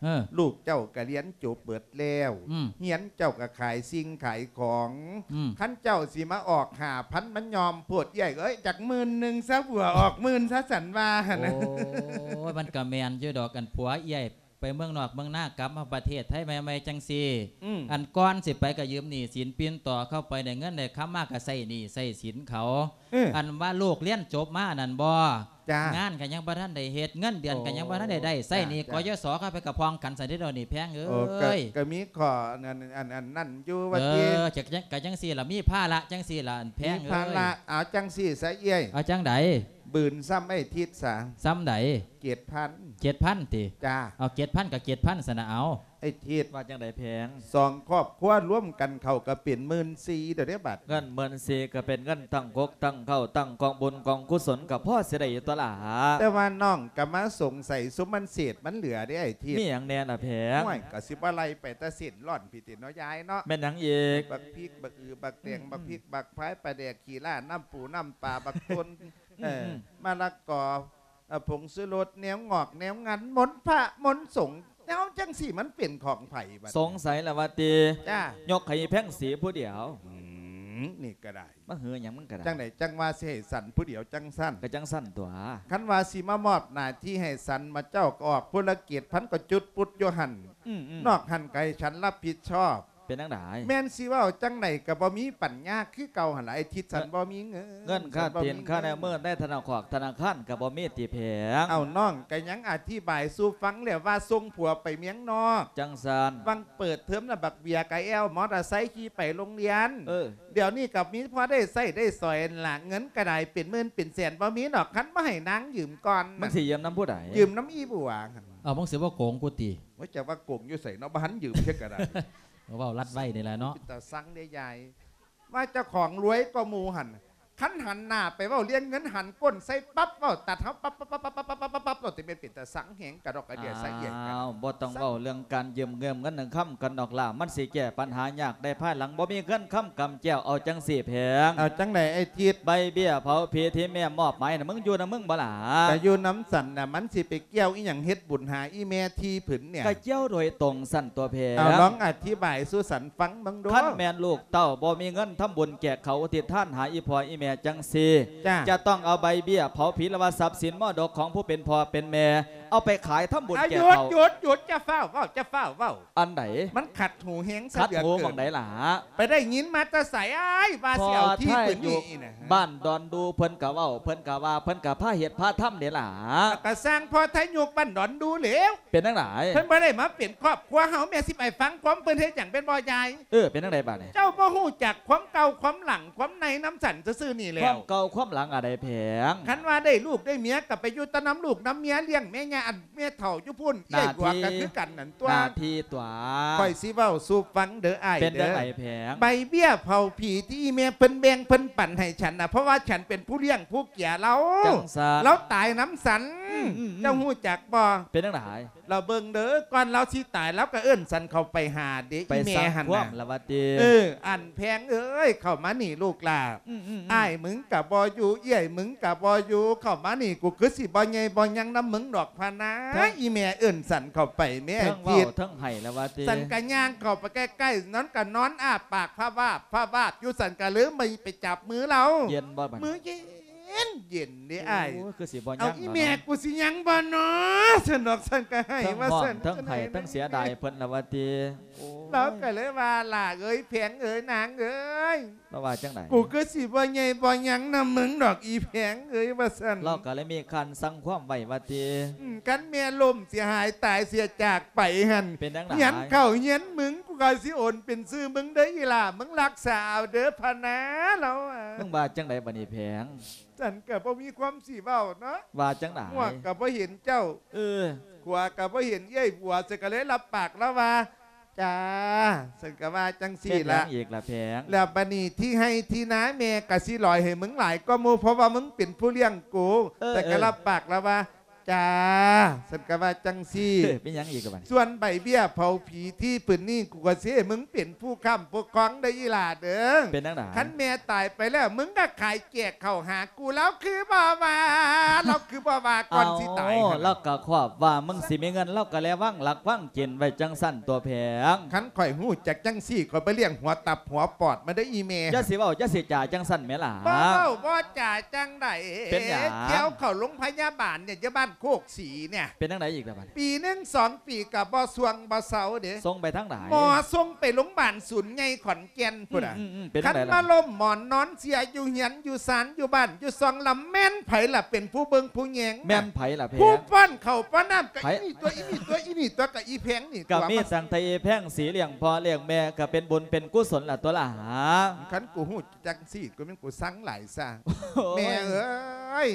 ເອີ ລູກເຈົ້າກໍຮຽນຈົບເບິດແລ້ວ ອືມ ເຮືອນເຈົ້າກໍຂາຍສິ່ງຂາຍຂອງ ອືມ ຄັນເຈົ້າຊິມາອອກຫ້າພັນມັນຍອມໂພດເອື້ອຍເອີຍ. ຈັກໝື່ນໜຶ່ງຊະ ຜົວອອກໝື່ນຊະ ສັນວ່າຫັ້ນນະ. ໂອ້ຍ ມັນກໍແມ່ນຢູ່ດອກ ອັນຜົວເອື້ອຍໄປເມືອງນອກເມືອງນາ ກັບມາປະເທດໄທໃໝ່ໆ ຈັ່ງຊີ້ ອືມ ອັນກ່ອນຊິໄປກໍຢືມໜີ້ສິນປິ່ນຕໍ່ເຂົາໄປ ໄດ້ເງິນໄດ້ຄຳມາກໍໃຊ້ໜີ້ໃຊ້ສິນເຂົາ ເອີ ອັນວ່າລູກຮຽນຈົບມານັ້ນບໍ ຈ້າ ງານກໍຍັງບໍ່ທັນໄດ້ເຮັດ ເງິນເດືອນກໍຍັງບໍ່ທັນໄດ້ໄດ້ ໂອ້ ໃຊ້ໜີ້ ຈ້າ ກຍສ ເຂົາໄປກະພອງກັນຊັ້ນເດດຽວນີ້ແພງເອີຍ. ໂອ້ ກໍ ກໍມີຂໍ້ອັນ ອັນ ອັນ ອັນນັ້ນຢູ່ວ່າຕິ ເອີ ຈະ ຈະ ກະຈັ່ງຊີ້ລະ ມີພາລະຈັ່ງຊີ້ລະແພງເອີຍ. ມີພາລະ ເອົາຈັ່ງຊີ້ຊະເອື້ອຍ ເອົາຈັ່ງໃດ? ບືນຊ່ຳໄອ້ທິດຊະ ຊ່ຳໃດ? ເຈັດພັນ ເຈັດພັນຕິ? ຈ້າ ເອົາ ເຈັດພັນກໍເຈັດພັນຊັ້ນນະ ເອົາ. ໄອ້ທິດ ວ່າຈັ່ງໃດແພງ? ສອງຄອບຄົວລວມກັນເຂົ້າກໍເປັນໝື່ນສີ່ແລ້ວເດ້ບັດ. ເງິນໝື່ນສີ່ກໍເປັນເງິນຕັ້ງກົກຕັ້ງເຄົ້າ ຕັ້ງກອງບຸນກອງກຸສົນ ກໍພໍຊິໄດ້ຢູ່ຕົວະຫຼ້າ. ແຕ່ວ່ານ້ອງກໍມາສົງໄສຊຸມມັນເສດມັນເຫຼືອເດ້ໄອ້ທິດ. ມີຫຍັງແດ່ລະແພງ? ໂອ້ຍ ກໍຊິບໍ່ໄລ່ໄປແຕ່ເສັ້ນລ້ອນພີ້ຕິເນາະຍາຍເນາະ. ແມ່ນຫຍັງອີກ? ບັກພິກ ບັກອື ບັກແຕງ ອືມໆ ບັກພິກ ບັກພາຍ ປາແດກ ຂີ້ຫຼ້າ ນ້ຳປູນ້ຳປາ ບັກຕົ້ນ ອືມໆ ເອີ ມະລະກອ ເອີ ຜົງຊູລົດ ແນວງອກແນວງັນ ມົນພະມົນສົງ ແນວຈັ່ງຊີ້ມັນເປັນຂອງໃຜບັດນີ້? ສົງໄສລະວ່າຕິ? ຈ້າ ຍົກໃຫ້ອີແພງສີຜູ້ດຽວ. ອືມ ນີ້ກໍໄດ້ ມາເຫີຫຍັງມຶງກໍໄດ້. ຈັ່ງໃດຈັ່ງວ່າຊິໃຫ້ສັນຜູ້ດຽວຈັ່ງຊັ້ນ? ກໍຈັ່ງຊັ້ນຕົວະ. ຄັນວ່າຊິມາມອບໜ້າທີ່ໃຫ້ສັນ ມາເຈົ້າກໍອອກຜູ້ລະເຈັດພັນ ກໍຈຸດປຸດຢູ່ຫັ້ນ. ອືມໆ ນອກຫັ້ນກໍໃຫ້ສັນຮັບຜິດຊອບ. ເປັນຈັ່ງໃດ? ແມ່ນຊິເວົ້າຈັ່ງໃດກໍບໍ່ມີປັນຍາຄືເກົ່າຫັ້ນລະ ໄອ້ທິດ. ສັນ ເອີ ບໍ່ມີເງິນ ເງິນຄ່າຕີນຄ່າແນວມືໃນທະນາຄອກທະນາຄານກໍບໍ່ມີຕິແພງ. ເອົາ ນ້ອງກໍຍັງອະທິບາຍສູ່ຟັງແລ້ວວ່າສົ່ງຜົວໄປເມືອງນອກ ຈັ່ງຊັ້ນ ຫວ່າງເປີດເທີມນະ ບັກເບຍກໍແອວມໍເຕີໄຊຂີ່ໄປໂຮງຮຽນ. ເອີ ດຽວນີ້ກໍມີພໍໄດ້ໃຊ້ໄດ້ສອຍຫັ້ນລະ ເງິນກໍໄດ້ເປັນໝື່ນເປັນແສນບໍ່ມີດອກ ຄັນບໍ່ໃຫ້ນາງຢືມກ່ອນ. ມັນຊິຢືມນຳຜູ້ໃດ? ຢືມນຳອີບົວຫັ້ນ. ເອົາ ມຶງຊິບໍ່ໂກງກູຕິ? ໂອ້ຍ ຈັກວ່າໂກງຢູ່ໃສເນາະ ບໍ່ທັນຢືມເທື່ອກໍໄດ້. ເວົ້າລັດໄວ້ນີ້ແຫຼະເນາະ. ເປັນຕາຊັງເດ້ຍາຍ ວ່າເຈົ້າຂອງລວຍກວ່າໝູ່ຫັ້ນ ຄັນຫັນໜ້າໄປເວົ້າເລື່ອງເງິນ ຫັນກົ້ນໃສ່ປັບ ເວົ້າຕັດເຮົາປັບໆ ໂລດ ຊິແມ່ນເປັນຕາຊັງແຮງກະດອກກະເດຍສະອຽນກັນ. ອ້າວ ບໍ່ຕ້ອງເວົ້າເລື່ອງການຢືມເງິນເງິນຄຳກັນດອກຫຼ້າ ມັນຊິແກ້ປັນຫາຍາກໄດ້ພາຍຫຼັງ ບໍ່ມີເງິນຄຳກຳແກ້ວ. ເອົາຈັ່ງຊີ້ແພງ ເອົາຈັ່ງໃດໄອ້ທິດ? ໃບເບ້ຍເຜົາຜີທີ່ແມ່ມອບໝາຍນະ ມຶງຢູ່ນຳມຶງບໍ່ຫຼ້າ? ກະຢູ່ນຳສັນນະ ມັນຊິໄປ ກ່ຽວອີ່ຫຍັງເຮັດບຸນຫາອີ່ແມ່ທີ່ຜືນເນຍ? ກະກ່ຽວໂດຍຕົງຊັ້ນຕົວະແພງ. ເອົາ ລອງອະທິບາຍສູ່ສັນຟັງເບິ່ງດູ. ຄັນແມ່ນລູກເຕົ້າບໍ່ມີເງິນທຳບຸນແຈກເຂົ້າອຸທິດທານຫາອີ່ພໍ່ອີ່ແມ່ຈັ່ງຊີ້ ຈ້າ ຈະຕ້ອງເອົາໃບເບ້ຍເຜົາຜີ ຫຼືວ່າຊັບສິນມໍລະດົກຂອງຜູ້ເປັນພໍ່ເປັນແມ່ ເອົາໄປຂາຍທຳບຸນແຈກເຂົ້າ. ຢຸດ ຢຸດ ຢຸດ ຢ່າຟ້າວເວົ້າ ຢ່າຟ້າວເວົ້າ. ອັນໃດ? ມັນຂັດຫູແຮງຊະເຫຼືອເກີນ. ຂັດຫູໝ່ອງໃດລະ? ໄປໄດ້ຍິນມາແຕ່ໃສອ້າຍ ວ່າຊິເອົາທີ່ ພໍ່ໄທ ພື້ນ ຢູ່ ນີ້ນະ? ບ້ານດອນດູ ເພິ່ນກະເວົ້າ ເພິ່ນກະວ່າ ເພິ່ນກະພາເຮັດພາທຳເດ້ລະ. ກະຊ່າງພໍ່ໄທຍົກບ້ານດອນດູແລ້ວ. ເປັນຈັ່ງໃດ? ເພິ່ນບໍ່ໄດ້ມາເປັນຄອບຄົວເຮົາ ແມ່ຊິໄປຟັງຄວາມເພິ່ນເຮັດຫຍັງ ເປັນບໍ່ຍາຍ? ເອີ ເປັນຈັ່ງໃດບາດນີ້? ເຈົ້າບໍ່ຮູ້ຈັກຄວາມເກົ່າຄວາມຫຼັງຄວາມໃນນຳສັນຊື່ໆນີ້ແລ້ວ. ຄວາມເກົ່າຄວາມຫຼັງອັນໃດແພງ? ຄັນວ່າໄດ້ລູກໄດ້ເມຍ ກະໄປຢູ່ແຕ່ນຳລູກນຳເມຍ ລ້ຽງແມ່ຍ່າ ອັນ ແມ່ເຖົ້າຢູ່ພຸ້ນ. ໜ້າທີ່ ເອື້ອຍບົວກໍຄືກັນນັ້ນຕົວະ. ໜ້າທີ່ຕົວະ. ຂ້ອຍຊິເວົ້າສູ່ຟັງເດີອ້າຍເດີ. ເປັນຈັ່ງໃດແພງ? ໃບເບ້ຍເຜົາຜີທີ່ອີ່ແມ່ເພິ່ນແບ່ງເພິ່ນປັນໃຫ້ສັນນະ ເພາະວ່າສັນເປັນຜູ້ລ້ຽງຜູ້ເກຍລາວ. ຈັ່ງຊັ້ນ ລາວຕາຍນຳສັນ. ອືມໆໆ. ເຈົ້າຮູ້ຈັກບໍ່? ເປັນຈັ່ງໃດ? ລາວເບິ່ງເດີ ກ່ອນລາວຊິຕາຍ ລາວກໍເອີ້ນສັນເຂົ້າໄປຫາເດ ອີ່ແມ່ຫັ້ນນະ. ໄປສັ່ງຄວາມລະວ່າຕິ? ເອີ ອັນແພງເອີຍ ເຂົ້າມານີ້ລູກຫຼ້າ. ອືມໆໆ. ອ້າຍມຶງກະບໍ່ຢູ່ ເອື້ອຍມຶງກະບໍ່ຢູ່ ເຂົ້າມານີ້ ກູຄືຊິບໍ່ໃຫຍ່ບໍ່ຍັງນຳມຶງດອກພະນາ. ເຖິງ ອີ່ແມ່ເອີ້ນສັນເຂົ້າໄປແມ່ ເຖິງເວົ້າ ເທັງໄຫ້ລະວ່າຕິ? ສັນກະຍ່າງເຂົ້າໄປໃກ້ໆ ນັ້ນກະນອນອ້າປາກພະວາບພະວາບຢູ່ ສັນກະເລີມໄປຈັບມືລາວ. ເຢັນບໍ່ບາດ? ມືເຢັນ ເຢັນເດ້ອ້າຍ. ໂອ້ຍ ຄືຊິບໍ່ຍັງ. ເອົາ ອີ່ແມ່ ເນາະ ກູຊິຍັງບໍ່ນໍ? ຊັ້ນດອກ ສັນກະໄຫ້ວ່າຊັ້ນ. ເຖິງຮ້ອງ ເຖິງໄຫ້ ເຖິງເສຍດາຍເພິ່ນລະວ່າຕິ? ໂອ້ຍ ລາວກະເລີຍວ່າ ຫຼ້າເອີຍ ແພງເອີຍ ນາງເອີຍ ລາວວ່າຈັ່ງໃດ? ກູຄືຊິບໍ່ໃຫຍ່ບໍ່ຫຍັງນຳມຶງດອກອີແພງເອີຍ ວ່າຊັ້ນ. ລາວກໍເລີຍມີຄັນສັ່ງຄວາມໄວ້ວ່າຕິ? ອືມ ຄັນແມ່ລົ້ມເສຍຫາຍຕາຍເສຍຈາກໄປຫັ້ນ ເປັນຈັ່ງໃດ? ເຮືອນເຂົ້າເຮືອນມຶງ ກູກໍຊິໂອນເປັນຊື່ມຶງເດີອີຫຼ້າ ມຶງລັກສາເອົາເດີພະນາ ລາວວ່າ. ມຶງວ່າຈັ່ງໃດບັດນີ້ແພງ? ສັນກໍບໍ່ມີຄວາມຊິເວົ້າເນາະ. ວ່າຈັ່ງໃດ? ຫົວກໍບໍ່ເຫັນເຈົ້າ ເອີ ຂົວກໍບໍ່ເຫັນເອື້ອຍບົວ ສັນກໍເລີຍຮັບປາກລາວວ່າ ຈ້າ ສັນກໍວ່າຈັ່ງຊີ້ລະ. ເປັນຫຍັງອີກລະແພງ? ແລ້ວບັດນີ້ທີ່ໄຮ່ທີ່ນາແມ່ກໍຊິຫຼອຍໃຫ້ມຶງຫຼາຍກວ່າໝູ່ ເພາະວ່າມຶງເປັນຜູ້ລ້ຽງກູ. ເອີ ແຕ່ກໍ ເອີ ຮັບປາກລາວວ່າ ຈ້າ ສັນກໍວ່າຈັ່ງຊີ້. ເປັນຫຍັງອີກບັດນີ້? ສ່ວນໃບເບ້ຍເຜົາຜີທີ່ປຶ້ນນີ້ ກູກໍຊິໃຫ້ມຶງເປັນຜູ້ຄ້ຳຜູ້ຄອງເດີອີຫຼ້າເດີ. ເປັນຈັ່ງໃດ? ຄັນແມ່ຕາຍໄປແລ້ວ ມຶງກໍຂາຍແຈກເຂົ້າຫາ ກູ ລາວຄືບໍ່ວ່າ ລາວຄືບໍ່ວ່າກ່ອນຊິຕາຍ. ເອົ້າ ລາວກໍຄວບວ່າມຶງຊິມີເງິນ ລາວກໍແລວາງຫຼັກວາງເກນໄວ້ຈັ່ງຊັ້ນຕົວະແພງ. ຄັນຂ້ອຍຮູ້ຈັກຈັ່ງຊີ້ ຂ້ອຍບໍ່ລ້ຽງຫົວຕັບຫົວປອດມາເດີອີແມ່. ຢ່າຊິເວົ້າຢ່າຊິຈາຈັ່ງຊັ້ນແໝລະ. ບໍ່ເວົ້າບໍ່ຈາຈັ່ງໃດ? ເປັນຫຍັງ? ແຖວເຂົ້າໂລງພະຍາບານເນຍ ຢູ່ບ້ານໂຄກສີເນຍ. ເປັນຈັ່ງໃດອີກລະບັດ? ປີໜຶ່ງສອງປີກໍບໍ່ສ່ວງບໍ່ເຊົາເດ້. ສົ່ງໄປທາງໃດ? ໝໍສົ່ງໄປໂລງບານສູນໃຫຍ່ຂອນ ແກ່ນພຸ້ນນະ. ອືມໆໆ ເປັນຈັ່ງໃດລະ? ຄັນມາລົ້ມໝອນນອນເສຍຢູ່ເຮືອນຢູ່ຊານຢູ່ບ້ານຢູ່ຊ່ອງລະ ແມ່ນໃຜລະເປັນຜູ້ເບິ່ງຜູ້ແຍງ? ແມ່ນໃຜລະແພງ? ຜູ້ປ້ອນເຂົ້າປ້ອນນ້ຳກໍ ໃຜ? ອີນີ້ຕົວະ ອີນີ້ຕົວະ ອີນີ້ຕົວະ ກໍອີແພງນີ້ຕົວະ. ກໍມີຕັ້ງແຕ່ອີແພງສີລ້ຽງພໍ່ລ້ຽງແມ່ ກໍເປັນບຸນເປັນກຸສົນລະຕົວະລະຫາ. ຄັນກູຮູ້ ຈັ່ງຊີ້ ກູແມ່ນກູສັງຫຼາຍຊະ. ໂອ້ຍ ແມ່ເອີຍ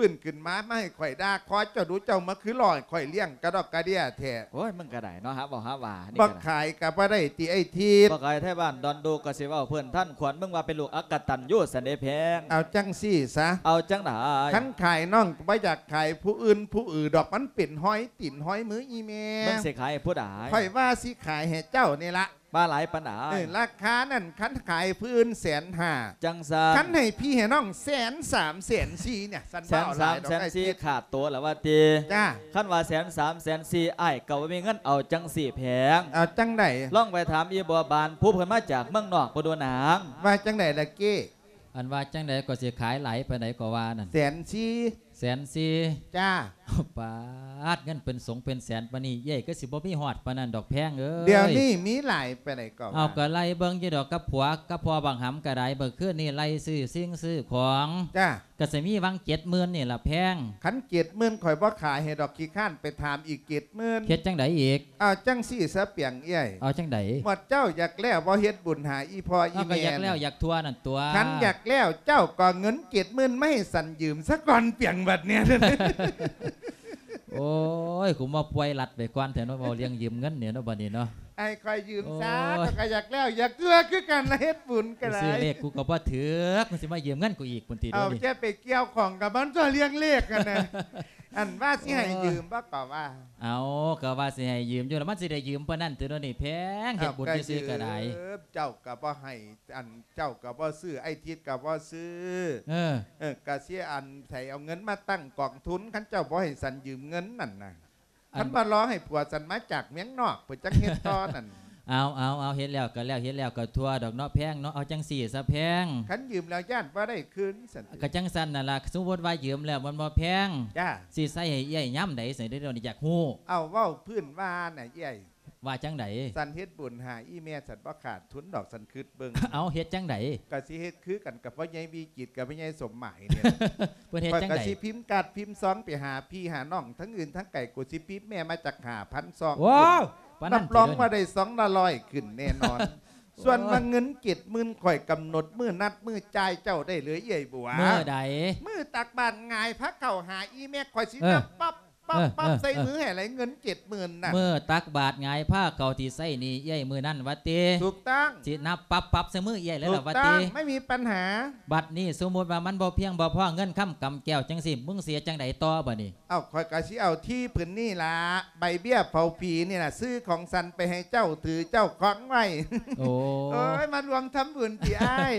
ຟື້ນຂຶ້ນມາ ມາໃຫ້ຂ້ອຍດ່າຄໍເຈົ້າດູ ເຈົ້າມາຄືລ້ອຍຂ້ອຍລ້ຽງກະດອກກະເດຍແທ້. ໂອ້ຍ ມຶງກໍໄດ້ເນາະ ຫາເວົ້າຫາວ່ານີ້. ບໍ່ຂາຍກໍບໍ່ໄດ້ຕິໄອ້ທິດ? ບໍ່ຂາຍໄທບ້ານດອນດູ ກໍຊິເວົ້າເພິ່ນທັນຂວັນ ມຶງວ່າເປັນລູກອັກກະຕັນຍູຊັ້ນເດ້ແພງ. ເອົາຈັ່ງຊີ້ຊະ. ເອົາຈັ່ງໃດ? ຄັນຂາຍນ້ອງກໍບໍ່ຢາກຂາຍຜູ້ອື່ນຜູ້ອື່ນດອກ ມັນເປັນຮອຍຕີນຮອຍມືອີແມ່. ມຶງຊິຂາຍໃຫ້ຜູ້ໃດ? ຂ້ອຍວ່າຊິຂາຍໃຫ້ເຈົ້ານີ້ລະ. ວ່າຫຼາຍປານໃດ? ເອີ ລາຄານັ້ນຄັນຂາຍພື້ນແສນຫ້າ ຈັ່ງຊັ້ນ ຄັນໃຫ້ພີ່ໃຫ້ນ້ອງແສນສາມແສນສີ່ເນຍ ສັນ ແສນສາມແສນສີ່ ຂາດໂຕລະວ່າຕິ? ຈ້າ ຄັນວ່າແສນສາມແສນສີ່ ອ້າຍກໍບໍ່ມີເງິນເອົາຈັ່ງຊີ້ແພງ. ເອົາຈັ່ງໃດ? ລອງໄປຖາມອີບົວບານ ຜູ້ເພິ່ນມາຈາກເມືອງນອກບໍ່ດູນາງ. ວ່າຈັ່ງໃດລະເກ້? ອັນວ່າຈັ່ງໃດກໍຊິຂາຍຫຼາຍປານໃດກໍວ່ານັ້ນ? ແສນສີ່. ແສນສີ່. ຈ້າ. ປາດ ເງິນເປັນສົງເປັນແສນປານນີ້ ເອື້ອຍກໍຊິບໍ່ມີຮອດປານນັ້ນດອກແພງເອີຍ. ດຽວນີ້ມີຫຼາຍປານໃດກໍວ່າ? ເອົາ ກໍໄລ່ເບິ່ງຢູ່ດອກ ກັບຜົວກັບພໍ່ບັກຫຳກໍໄດ້ ເມື່ອຄືນນີ້ໄລ່ຊື້ສິ່ງຊື້ຂອງ. ຈ້າ. ກໍຊິມີຫວ່າງເຈັດໝື່ນນີ້ລະແພງ. ຄັນເຈັດໝື່ນຂ້ອຍບໍ່ຂາຍໃຫ້ດອກ ຂີ້ຄ້ານໄປຖາມອີກເຈັດໝື່ນ. ເຮັດຈັ່ງໃດອີກ? ເອົາຈັ່ງຊີ້ຊະປຽງເອື້ອຍ. ເອົາຈັ່ງໃດ? ໝວດເຈົ້າຢາກແລ້ວບໍ່ເຮັດບຸນຫາອີ່ພໍ່ອີ່ແມ່? ເອົາ ກໍຢາກແລ້ວຢາກທົ່ວນັ້ນຕົວະ. ຄັນຢາກແລ້ວເຈົ້າກໍເອົາເງິນເຈັດໝື່ນມາໃຫ້ສັນຢືມສາກ່ອນປຽງບັດນີ້. ໂອ້ຍ ກູມາປ່ອຍລັດໄປກ່ອນແທ້ເນາະ ເວົ້າເລື່ອງຢືມເງິນນີ້ເນາະ ບັດນີ້ເນາະ. ໃຫ້ຂ້ອຍຢືມຊາ ໂອ້ຍ ຂ້ອຍກໍຢາກແລ້ວຢາກທົ່ວຄືກັນລະ ເຮັດບຸນກໍໄດ້. ຊື້ເລກກູກໍບໍ່ຖືກ ມັນຊິມາຢືມເງິນກູອີກພຸ້ນຕິ. ເອົາ ດຽວນີ້ ແກໄປກ່ຽວຂ້ອງກັບມັນຕົວະ ເລື່ອງເລກຫັ້ນນະ. ອັນວ່າຊິໃຫ້ຢືມບໍ່ກໍວ່າ. ເອົາ ກໍວ່າຊິໃຫ້ຢືມຢູ່ລະ ມັນຊິໄດ້ຢືມປານນັ້ນຕິດຽວນີ້ແພງ. ເຮັດບຸນຊື່ໆກໍໄດ້. ເຈົ້າກໍບໍ່ໃຫ້ ອັນ ເຈົ້າກໍບໍ່ຊື້ ໄອ້ທິດກໍບໍ່ຊື້. ເອີ ເອີ ກໍຊິອັນໃສເອົາເງິນມາຕັ້ງກອງທຶນ ຄັນເຈົ້າບໍ່ໃຫ້ສັນຢືມເງິນນັ້ນນະ. ຄັນບໍ່ລໍໃຫ້ຜົວສັນມາຈາກເມືອງນອກ ເພິ່ນຈັ່ງເຮັດຕໍ່ນັ້ນ. ເອົາ ເອົາ ເອົາ ເຮັດແລ້ວກໍແລ້ວ ເຮັດແລ້ວກໍທົ່ວດອກເນາະແພງເນາະ. ເອົາຈັ່ງຊີ້ຊະແພງ ຄັນຢືມແລ້ວຢ້ານບໍ່ໄດ້ຄືນຊັ້ນ. ກໍຈັ່ງຊັ້ນນັ້ນລະ ສົມມຸດວ່າຢືມແລ້ວແມ່ນບໍ່ແພງ? ຈ້າ. ຊິໃຊ້ໃຫ້ເອື້ອຍຍາມໃດຊັ້ນ ດຽວນີ້ຢາກຮູ້. ເອົາ ເວົ້າພື້ນວ່ານະເອື້ອຍ. ວ່າຈັ່ງໃດ? ສັນເຮັດບຸນຫາອີ່ແມ່ສັນບໍ່ຂາດທຶນດອກ ສັນຄຶດເບິ່ງ. ເອົາ ເຮັດຈັ່ງໃດ? ກໍຊິເຮັດຄືກັນກັບພໍ່ໃຫຍ່ວິຈິດກັບພໍ່ໃຫຍ່ສົມໝາຍນີ້. ເພິ່ນເຮັດຈັ່ງໃດ? ຂ້ອຍກໍຊິພິມກາດພິມຊອງໄປຫາພີ່ຫານ້ອງທັງອື່ນທັງໄກ ກູຊິປິດແມ່ມາຈັກຫ້າພັນຊອງ. ໂອ້ ປານນັ້ນ. ຮັບຮອງວ່າໄດ້ຊອງລະຮ້ອຍຂຶ້ນແນ່ນອນ. ສ່ວນວ່າເງິນເຈັດໝື່ນ ຂ້ອຍກຳນົດມື້ນັດມື້ຈ່າຍເຈົ້າໄດ້ເລີຍເອື້ອຍບົວ. ມື້ໃດ? ມື້ຕັກບາດຫງາຍພາເຂົ້າຫາອີ່ແມ່ ຂ້ອຍຊິນັບປັບ ປັບ ເອີ ປັບ ເອີ ໃສ່ມືໃຫ້ຫຼາຍ ເງິນເຈັດໝື່ນນັ້ນ. ມື້ຕັກບາດຫງາຍພາເຂົ້າທີ່ໃຊ້ໜີ້ເອື້ອຍມື້ນັ້ນວ່າຕິ? ຖືກຕ້ອງ. ຊິນັບປັບ ປັບໃສ່ມືເອື້ອຍເລີຍລະວ່າຕິ? ຖືກຕ້ອງ ໄມ່ມີປັນຫາ. ບັດນີ້ສົມມຸດວ່າມັນບໍ່ພຽງບໍ່ພໍເງິນຄຳກຳແກ້ວຈັ່ງຊີ້ ມຶງຊິເຮັດຈັ່ງໃດຕໍ່ບັດນີ້? ເອົ້າ ຂ້ອຍກໍຊິເອົາທີ່ຜືນນີ້ລະ ໃບເບ້ຍເຜົາຜີນີ້ລະ ຊື່ຂອງສັນໄປໃຫ້ເຈົ້າຖືເຈົ້າຄອງໄວ້. ໂອ້ ໂອ້ຍ ມາລວມທຳບຸນຕິອ້າຍ.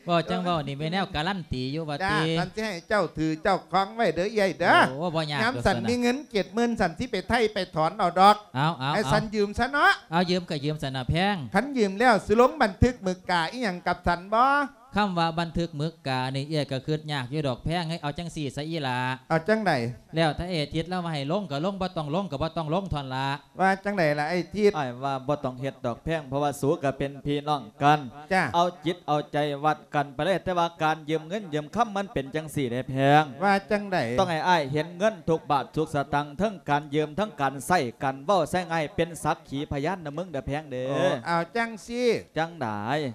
ເວົ້າຈັ່ງເວົ້ານີ້ແມ່ນແນວກາລັນຕີຢູ່ວ່າຕິ? ສັນຊິໃຫ້ເຈົ້າຖືເຈົ້າຄອງໄວ້ເດີເອື້ອຍເດີ. ໂອ້ ບໍ່ຍາກ. ຍາມສັນມີເງິນເຈັດໝື່ນ ສັນຊິໄປໄຖ່ໄປຖອນເອົາດອກ. ເອົາ ເອົາ ໃຫ້ສັນຢືມຊະເນາະ. ເອົາ ຢືມກໍຢືມຊັ້ນນະແພງ. ຄັນຢືມແລ້ວຊິລົງບັນທຶກໝຶກກາອີ່ຫຍັງກັບສັນບໍ່? ຄຳວ່າບັນທຶກໝຶກການີ້ ເອື້ອຍກໍຄິດຍາກຢູ່ດອກແພງເອີຍ. ເອົາຈັ່ງຊີ້ຊະອີ່ຫຼ້າ ເອົາຈັ່ງໃດ? ແລ້ວຖ້າເອື້ອຍທິດລາວວ່າໃຫ້ລົງກໍລົງ ບໍ່ຕ້ອງລົງກໍບໍ່ຕ້ອງລົງທ່ອນລະ. ວ່າຈັ່ງໃດລະອ້າຍທິດ? ອ້າຍວ່າບໍ່ຕ້ອງເຮັດດອກແພງ ເພາະວ່າສູກໍເປັນພີ່ນ້ອງກັນ. ຈ້າ. ເອົາຈິດເອົາໃຈວັດກັນໄປເລີຍ. ແຕ່ວ່າການຢືມເງິນຢືມຄຳມັນເປັນຈັ່ງຊີ້ເດ້ແພງ. ວ່າຈັ່ງໃດ? ຕ້ອງໃຫ້ອ້າຍເຫັນເງິນທຸກບາດທຸກສະຕາງ ເຖິງການຢືມ ເຖິງການໃຊ້ກັນ. ເວົ້າໃສ່ງ່າຍ ເປັນສັກຂີພະຍານນຳມຶງເດີແພງເດີ. ໂອ້ ເອົາຈັ່ງຊີ້. ຈັ່ງໃດ?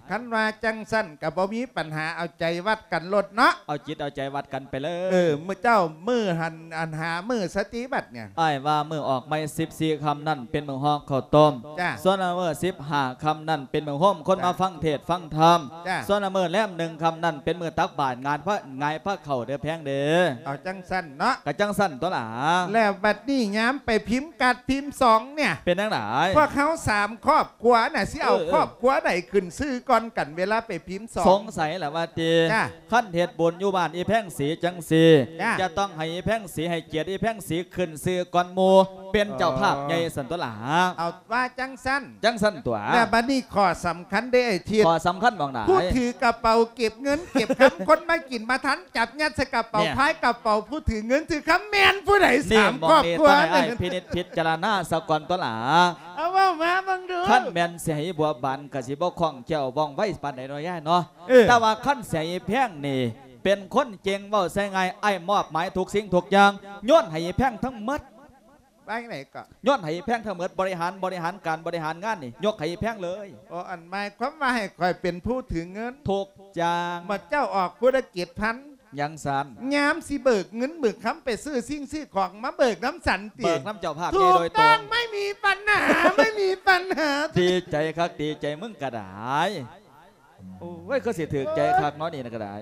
ຄັນວ່າຈັ່ງຊັ້ນກໍບໍ່ມີປັນຫາ ເອົາໃຈວັດກັນໂລດເນາະ. ເອົາຈິດເອົາໃຈວັດກັນໄປເລີຍ. ເອີ ມື້ເຈົ້າ ມື້ຫັ້ນ ອັນຫາມື້ສະຕິບັດເນຍ. ອ້າຍວ່າມື້ອອກໃໝ່ສິບສີ່ຄ່ຳນັ້ນ ເປັນມື້ຫໍ່ເຂົ້າຕົ້ມ. ຈ້າ. ສ່ວນມື້ສິບຫ້າຄ່ຳນັ້ນ ເປັນມື້ໂຮມຄົນ ຈ້າ ມາຟັງເທດຟັງທຳ. ຈ້າ. ສ່ວນມື້ແລມໜຶ່ງຄ່ຳນັ້ນ ເປັນມື້ຕັກບາດ ງານພະ ຫງາຍພະເຂົ້າເດີແພງເດີ. ເອົາຈັ່ງຊັ້ນເນາະ. ກໍຈັ່ງຊັ້ນຕົວຫຼ້າ. ແລ້ວບັດນີ້ຍາມໄປພິມກາດພິມຊອງເນຍ ເປັນຈັ່ງໃດ? ພວກເຮົາສາມຄອບຄົວນະ ຊິເອົາ ເອີ ເອີ ຄອບຄົວໃດຂຶ້ນຊື່ກ່ອນກັນ ເວລາໄປພິມຊອງ? ສົງໄສລະວ່າຕິ? ຈ້າ. ຄັນເຮັດບຸນຢູ່ບ້ານອີ່ແພງສີຈັ່ງຊີ້ ຈ້າ ຈະຕ້ອງໃຫ້ອີ່ແພງສີ ໃຫ້ກຽດອີ່ແພງສີຂຶ້ນຊື່ກ່ອນໝູ່ ເປັນເຈົ້າພາບໃຫຍ່ ອໍ ຊັ້ນຕົວຫຼ້າ. ເອົາ ວ່າຈັ່ງຊັ້ນ. ຈັ່ງຊັ້ນຕົວະ. ແລ້ວບັດນີ້ຂໍ້ສຳຄັນເດ້ອ້າຍທິດ. ຂໍ້ສຳຄັນໝ່ອງໃດ? ຜູ້ຖືກະເປົາເກັບເງິນເກັບຄຳ ຄົນມາກິນມາທານ ຈັບຍັດໃສ່ກະເປົາ ແມ່ນ ພາຍກະເປົາ ຜູ້ຖືເງິນຖືຄຳ ແມ່ນຜູ້ໃດ? ນີ້ ສາມຄອບຄົວນັ້ນ ອ້າຍພິນິດພິຈາລະນາສາກ່ອນຕົວະຫຼ້າ. ເອົາເວົ້າມາເບິ່ງດູ. ຄັນແມ່ນຊິໃຫ້ບົວບານ ກະຊິບໍ່ຄ່ອງແຄ້ວວ່ອງໄວປານໃດເນາະຍາຍເນາະ. ເອີ ແຕ່ວ່າຄັນຊິໃຫ້ແພງນີ້ ເປັນຄົນເກັ່ງ ເວົ້າໃສ່ງ່າຍ ອ້າຍມອບໝາຍທຸກສິ່ງທຸກຢ່າງ ໂຍນໃຫ້ແພງທັງໝົດ. ວ່າຈັ່ງໃດເກາະ? ໂຍນໃຫ້ແພງທັງໝົດ ບໍລິຫານ ບໍລິຫານການ ບໍລິຫານງານນີ້ ຍົກໃຫ້ແພງເລີຍ. ໂອ້ ອັນໝາຍຄວາມວ່າໃຫ້ຂ້ອຍເປັນຜູ້ຖືເງິນ ທຸກຢ່າງ. ບັດເຈົ້າອອກທຸລະກິດພັນ ຈັ່ງຊັ້ນ. ຍາມຊິເບີກເງິນເບີກຄຳໄປຊື້ສິ່ງຊື້ຂອງ ມາເບີກນຳສັນຕິ? ເບີກນຳເຈົ້າພາບໃຫຍ່ໂດຍຕົງ. ຖືກຕ້ອງ ໄມ່ມີປັນຫາ ໄມ່ມີປັນຫາ. ດີໃຈຄັກ ດີໃຈມຶງກະດາຍ. ໂອ້ຍ ຄືຊິຖືກໃຈຄັກເນາະນີ້ນະກະດາຍ.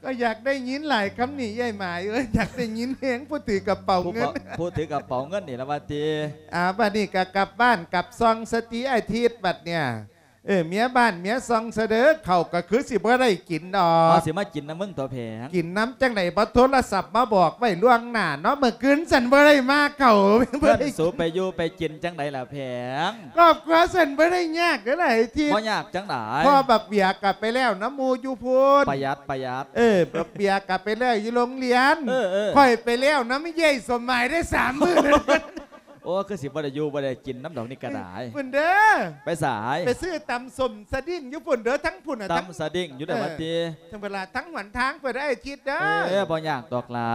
ກໍຢາກໄດ້ຍິນຫຼາຍຄຳນີ້ ເອື້ອຍໝາຍເອີຍ ຢາກໄດ້ຍິນແຮງ ຜູ້ຖືກະເປົາເງິນ ຜູ້ ຜູ້ຖືກະເປົາເງິນນີ້ລະວ່າຕິ. ອ່າ ບັດນີ້ກໍກັບບ້ານກັບຊ່ອງສະຕິອາທິດບັດເນຍ. ເອີ ເມຍບ້ານເມຍຊ່ອງຊະເດີ ເຂົ້າກໍຄືຊິບໍ່ໄດ້ກິນດອກ. ເຮົາຊິມາກິນນຳມຶງຕົວະແພງ. ກິນນຳຈັ່ງໃດ ບໍ່ໂທລະສັບມາບອກໄວ້ລ່ວງໜ້າເນາະ ມື້ຄືນຊັ້ນບໍ່ໄດ້ມາເຂົ້າ. ເພິ່ນ ສູໄປຢູ່ໄປກິນຈັ່ງໃດລະແພງ? ຄອບຄົວຊັ້ນບໍ່ໄດ້ຍາກເດີຫຼາຍທີ່. ບໍ່ຍາກຈັ່ງໃດ? ພໍ່ບັກເບຍກໍໄປແລ້ວນຳໝູ່ຢູ່ພຸ້ນ. ປະຢັດ ປະຢັດ. ເອີ ບັກເບຍກໍໄປແລ້ວຢູ່ໂຮງຮຽນ. ເອີ ເອີ ຂ້ອຍໄປແລ້ວນຳເອື້ອຍສົມໝາຍໄດ້ສາມມື້ແລ້ວ. ໂອ້ ຄືຊິບໍ່ໄດ້ຢູ່ບໍ່ໄດ້ກິນນຳດອກນີ້ກໍໄດ້ ພຸ້ນເດີ. ໄປໃສ? ໄປຊື້ຕຳສົ້ມສະດິ້ງຢູ່ພຸ້ນເດີ ທັງພຸ້ນນະ. ຕຳສະດິ້ງຢູ່ໃດວ່າຕິ? ເອີ ທັງເວລາທັງຫົນທາງພຸ້ນເດີ ອ້າຍທິດເດີ. ເອີ ບໍ່ຍາກດອກຫຼ້າ.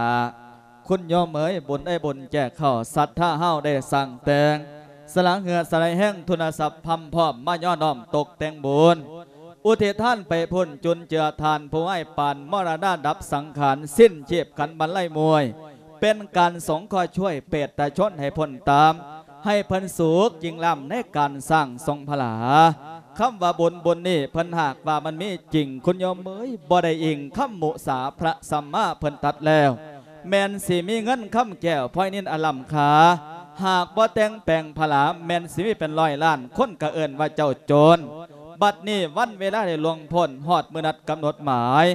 ຄຸນໂຍມເອີຍ ບຸນເອີຍບຸນແຈກເຂົ້າ ສັດທາເຮົາໄດ້ສ້າງແຕ່ງ ສະຫຼະເຫື່ອສະຫຼະແຮງ ທຶນຊັບພຳພ້ອມ ມາຍໍນ້ອມຕົກແຕ່ງບຸນ ອຸທິດທານໄປພຸ້ນ ຈຸນເຈືອທ່ານຜູ້ຮ້າຍປານ ມໍລະນະດັບສັງຂານ ສິ້ນຊີບຂັນບັນໄລມວຍ ເປັນການສົງເຄາະຊ່ວຍເປດຕະຊົນໃຫ້ພົ້ນຕາມ ໃຫ້ເພິ່ນສຸກຍິ່ງລ້ຳໃນການສ້າງຊົງພະລາ. ຄຳວ່າບຸນ ບຸນນີ້ເພິ່ນຫາກວ່າມັນມີຈິງ ຄຸນໂຍມເອີຍ ບໍ່ໄດ້ອີງຄຳມຸສາ ພະສຳມາເພິ່ນຕັດແລ້ວ ແມ່ນຊິມີເງິນຄຳແກ້ວພອຍນິນອັນລ້ຳຄ່າ ຫາກບໍ່ແຕ່ງແປງພະລາ ແມ່ນຊິມີເປັນຮ້ອຍລ້ານ ຄົນກໍເອີ້ນວ່າເຈົ້າໂຈນ. ບັດນີ້ວັນເວລາໄດ້ລ່ວງພົ້ນ ຮອດມື້ນັດກຳນົດໝາຍ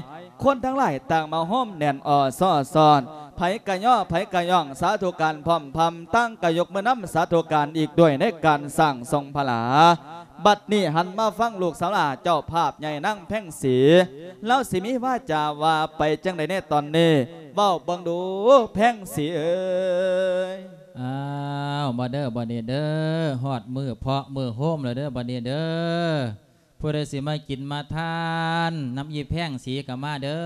ຄົນທັງຫຼາຍຕ່າງມາໂຮມແໜ້ນ ອອຊໍຊອນ ໃຜກະຍໍ ໃຜກະຍ້ອງ ສາທຸການພ້ອມພຳ ຕ່າງກະຍົກມືນຳສາທຸການອີກດ້ວຍ ໃນການສ້າງຊົງພະລາ. ບັດນີ້ຫັນມາຟັງລູກສາວຫຼ້າເຈົ້າພາບໃຫຍ່ນາງແພງສີ ລາວຊິມີວາຈາວ່າໄປຈັ່ງໃດໃນຕອນນີ້ ເວົ້າເບິ່ງດູແພງສີເອີຍ. ອ້າວ ມາເດີ ບັດນີ້ເດີ ຮອດມື້ເພາະມື້ໂຮມແລ້ວເດີ ບັດນີ້ເດີ ຜູ້ໃດຊິມາກິນມາທານນຳອີ່ແພງສີກໍມາເດີ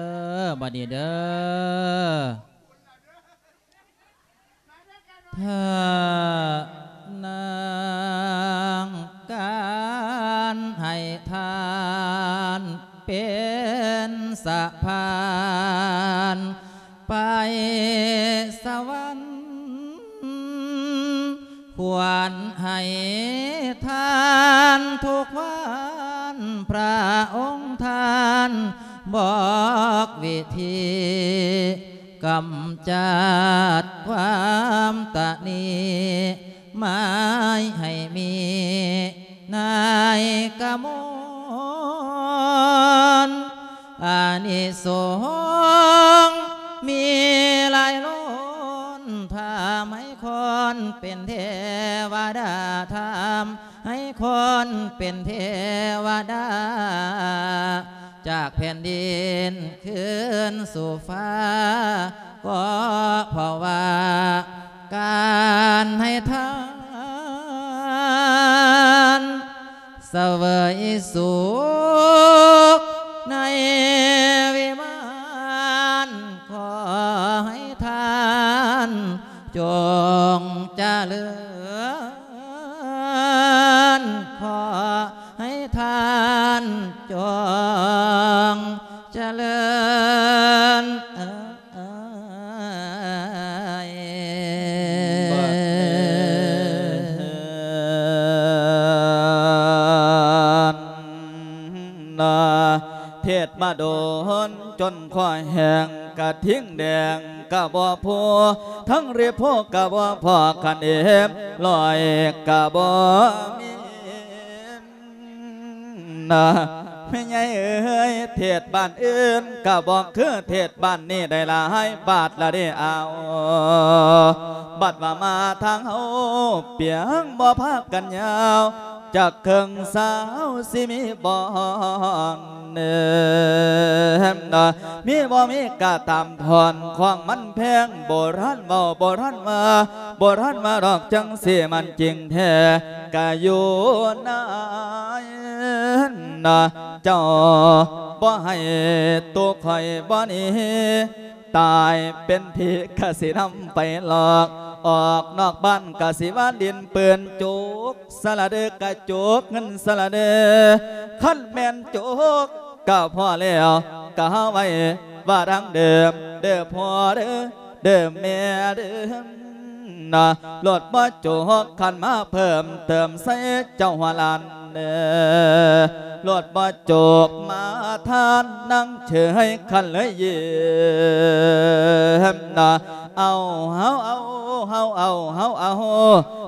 ບັດນີ້ເດີ. ທະນາງການໃຫ້ທານເປັນສະພານໄປສະຫວັນ ຄວນໃຫ້ທານທຸກວັນ ພະອົງທ່ານບອກວິທີ ກຳຈັດຄວາມຕະໜີ ໝາຍໃຫ້ມີນາຍກະມວນ ອານິສົງມີຫຼາຍລົ້ນ ທຳໃຫ້ຄົນເປັນເທວະດາ ທຳໃຫ້ຄົນເປັນເທວະດາ. ຈາກແຜ່ນດິນຄືນສູ່ຟ້າ ກໍເພາະວ່າການໃຫ້ທານ ສະເຫວີຍສຸກໃນວິມານ ຂໍໃຫ້ທ່ານຈົ່ງຈະເລີນ ຂໍໃຫ້ທ່ານຈົ່ງຈະເລີນ ເອີຍ ບັດນີ້ນາ ເທດມາດົນຈົນຄໍແຫ້ງ ກະທິງແດງກະບໍ່ພໍ ທັງເຣໂພກະບໍ່ພໍ ຄັນເອັມຮ້ອຍກະບໍ່ມີ ນະ ແມ່ໃຫຍ່ເອີຍ ເທດບ້ານອື່ນກະບໍ່ຄືເທດບ້ານນີ້ ໄດ້ຫຼາຍບາດລະເດ້ອາວ ບັດວ່າມາທາງເຮົາ ປຽງບໍ່ພາກັນຍາວ ຈັກເຄິ່ງສາວຊິມີບໍ່ ເນີມນະ ມີບໍ່ມີກະຕາມທ່ອນຂອງມັນແພງ ໂບລານເວົ້າ ໂບລານວ່າ ໂບລານວ່າດອກຈັ່ງຊີ້ມັນຈິງແທ້ ກະຢູ່ນານນະ ເຈົ້າບໍ່ໃຫ້ໂຕຂ້ອຍບໍ່ໜີ ຕາຍເປັນຜີກະຊິນຳໄປຫຼອກ ອອກນອກບ້ານກະຊິວ່າຫຼິ້ນປືນ ໂຈກສະລະເດີ ກະໂຈກເງິນສະລະເດີ ຄັນແມ່ນໂຈກກະພໍແລ້ວ ກະຫາໄວ້ວ່າດັ່ງເດີມ ເດີພໍ່ເດີ ເດີແມ່ເດີ ນະ ໂລດບໍ່ໂຈກຄັນມາເພີ່ມເຕີມໃສ່ເຈົ້າຫົວຫຼານເດີ ໂລດບໍ່ໂຈກມາທ່ານນາງເຊີຍຄັນເລີຍເຢີມນະ ເອົາ ເຮົາເອົາ ເຮົາເອົາ ເຮົາເອົາ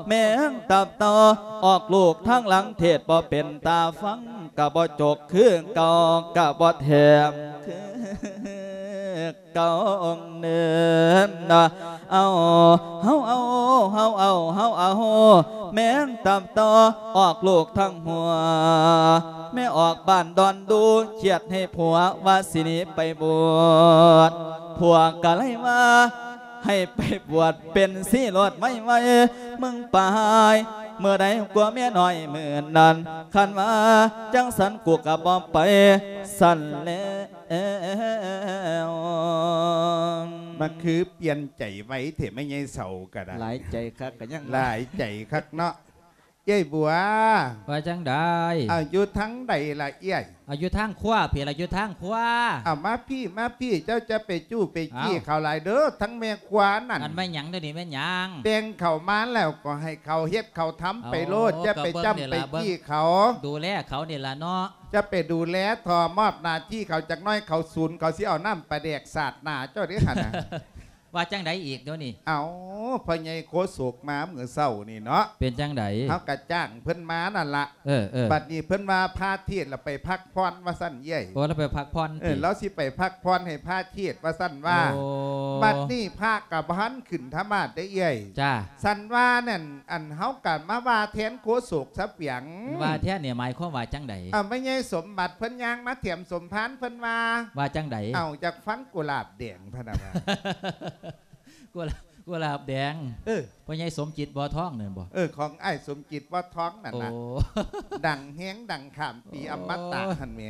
ແມງຕັບເຕົ່າອອກລູກທາງຫຼັງ ເທດບໍ່ເປັນຕາຟັງ ກະບໍ່ໂຈກຄືເກົ່າ ກະບໍ່ແຖມຄື ເກົ່າເນີນນະ ເອົາ ເຮົາເອົາ ເຮົາເອົາ ເຮົາເອົາ ແມງຕັບເຕົ່າອອກລູກທັງຫົວ ແມ່ອອກບ້ານດອນດູ ຄຽດໃຫ້ຜົວວ່າຊິໜີໄປບວດ ຜົວກະເລີຍວ່າ ໃຫ້ໄປບວດເປັນຊີໂລດໄວໆ ມຶງໄປ ເມື່ອໃດກວ່າເມຍນ້ອຍມື້ນັ້ນ ຄັນວ່າຈັ່ງຊັ້ນກູກະບໍ່ໄປ ຊັ້ນແລ້ວ ມັນຄືປ່ຽນໃຈໄວແທ້ ແມ່ໃຫຍ່ເສົາກະໄດ້ ຫຼາຍໃຈຄັກກະຍັງ ຫຼາຍໃຈຄັກເນາະ ເອື້ອຍບົວ ວ່າຈັ່ງໃດ ເອົາ ຢູ່ທາງໃດລະເອື້ອຍ ເອົາ ຢູ່ທາງຂວາພີ້ລະ ຢູ່ທາງຂວາ ເອົາ ມາພີ້ ມາພີ້ ເຈົ້າຈະໄປຈູ້ໄປຈີ້ເຂົາຫຼາຍເດີ ທັງແມ່ຂວານັ້ນ ອັນແມ່ນຫຍັງດຽວນີ້ແມ່ນຫຍັງ ແຕ່ງເຂົາມາແລ້ວກໍໃຫ້ເຂົາເຮັດເຂົາທຳໄປໂລດ ເອົາ ຢ່າໄປຈ້ຳໄປຈີ້ເຂົາ ກໍເບິ່ງນີ້ລະເບິ່ງ ດູແລເຂົານີ້ລະເນາະ ຈະໄປດູແລ ທໍ່ມອບໜ້າທີ່ເຂົາຈັກໜ້ອຍ ເຂົາສູນ ເຂົາຊິເອົານ້ຳປາແດກສາດໜ້າເຈົ້າເດ້ຫັ້ນນະ ວ່າຈັ່ງໃດອີກດຽວນີ້ ເອົ້າ ພໍ່ໃຫຍ່ໂຄສົກມາມື້ເຊົ້ານີ້ເນາະ ເປັນຈັ່ງໃດ ເຮົາກະຈ້າງເພິ່ນມານັ້ນລະ ເອີໆ ບັດນີ້ເພິ່ນວ່າພາເທດລະໄປພັກຜ່ອນວ່າຊັ້ນເອື້ອຍ ໂອ້ ລາວໄປພັກຜ່ອນ ເອີ ຕິ ລາວຊິໄປພັກຜ່ອນໃຫ້ພາເທດວ່າຊັ້ນວ່າ ໂອ້ ບັດນີ້ພະກະບໍ່ທັນຂຶ້ນທຳມາດເດ້ເອື້ອຍ ຈ້າ ຊັ້ນວ່ານັ້ນ ອັນເຮົາກະມາວ່າແທນໂຄສົກຊະປຽງ ວ່າແທນນີ້ໝາຍຄວາມວ່າຈັ່ງໃດ ເອົາ ແມ່ໃຫຍ່ສົມບັດເພິ່ນຍ່າງມາຖຽມສົມພານເພິ່ນວ່າ ວ່າຈັ່ງໃດ ເອົາ ຢາກຟັງກຸຫຼາບແດງ ພະນະວ່າ ກຸຫຼາ ກຸຫຼາບແດງ ເອີ ພໍ່ໃຫຍ່ສົມຈິດບໍ່ທອງນັ້ນບໍ່ ເອີ ຂອງອ້າຍສົມຈິດບໍ່ທອງນັ້ນລະ ໂອ້ ດັງແຮງດັງຂ້າມປີ ໂອ້ ອະມະຕະຫັ້ນແໝ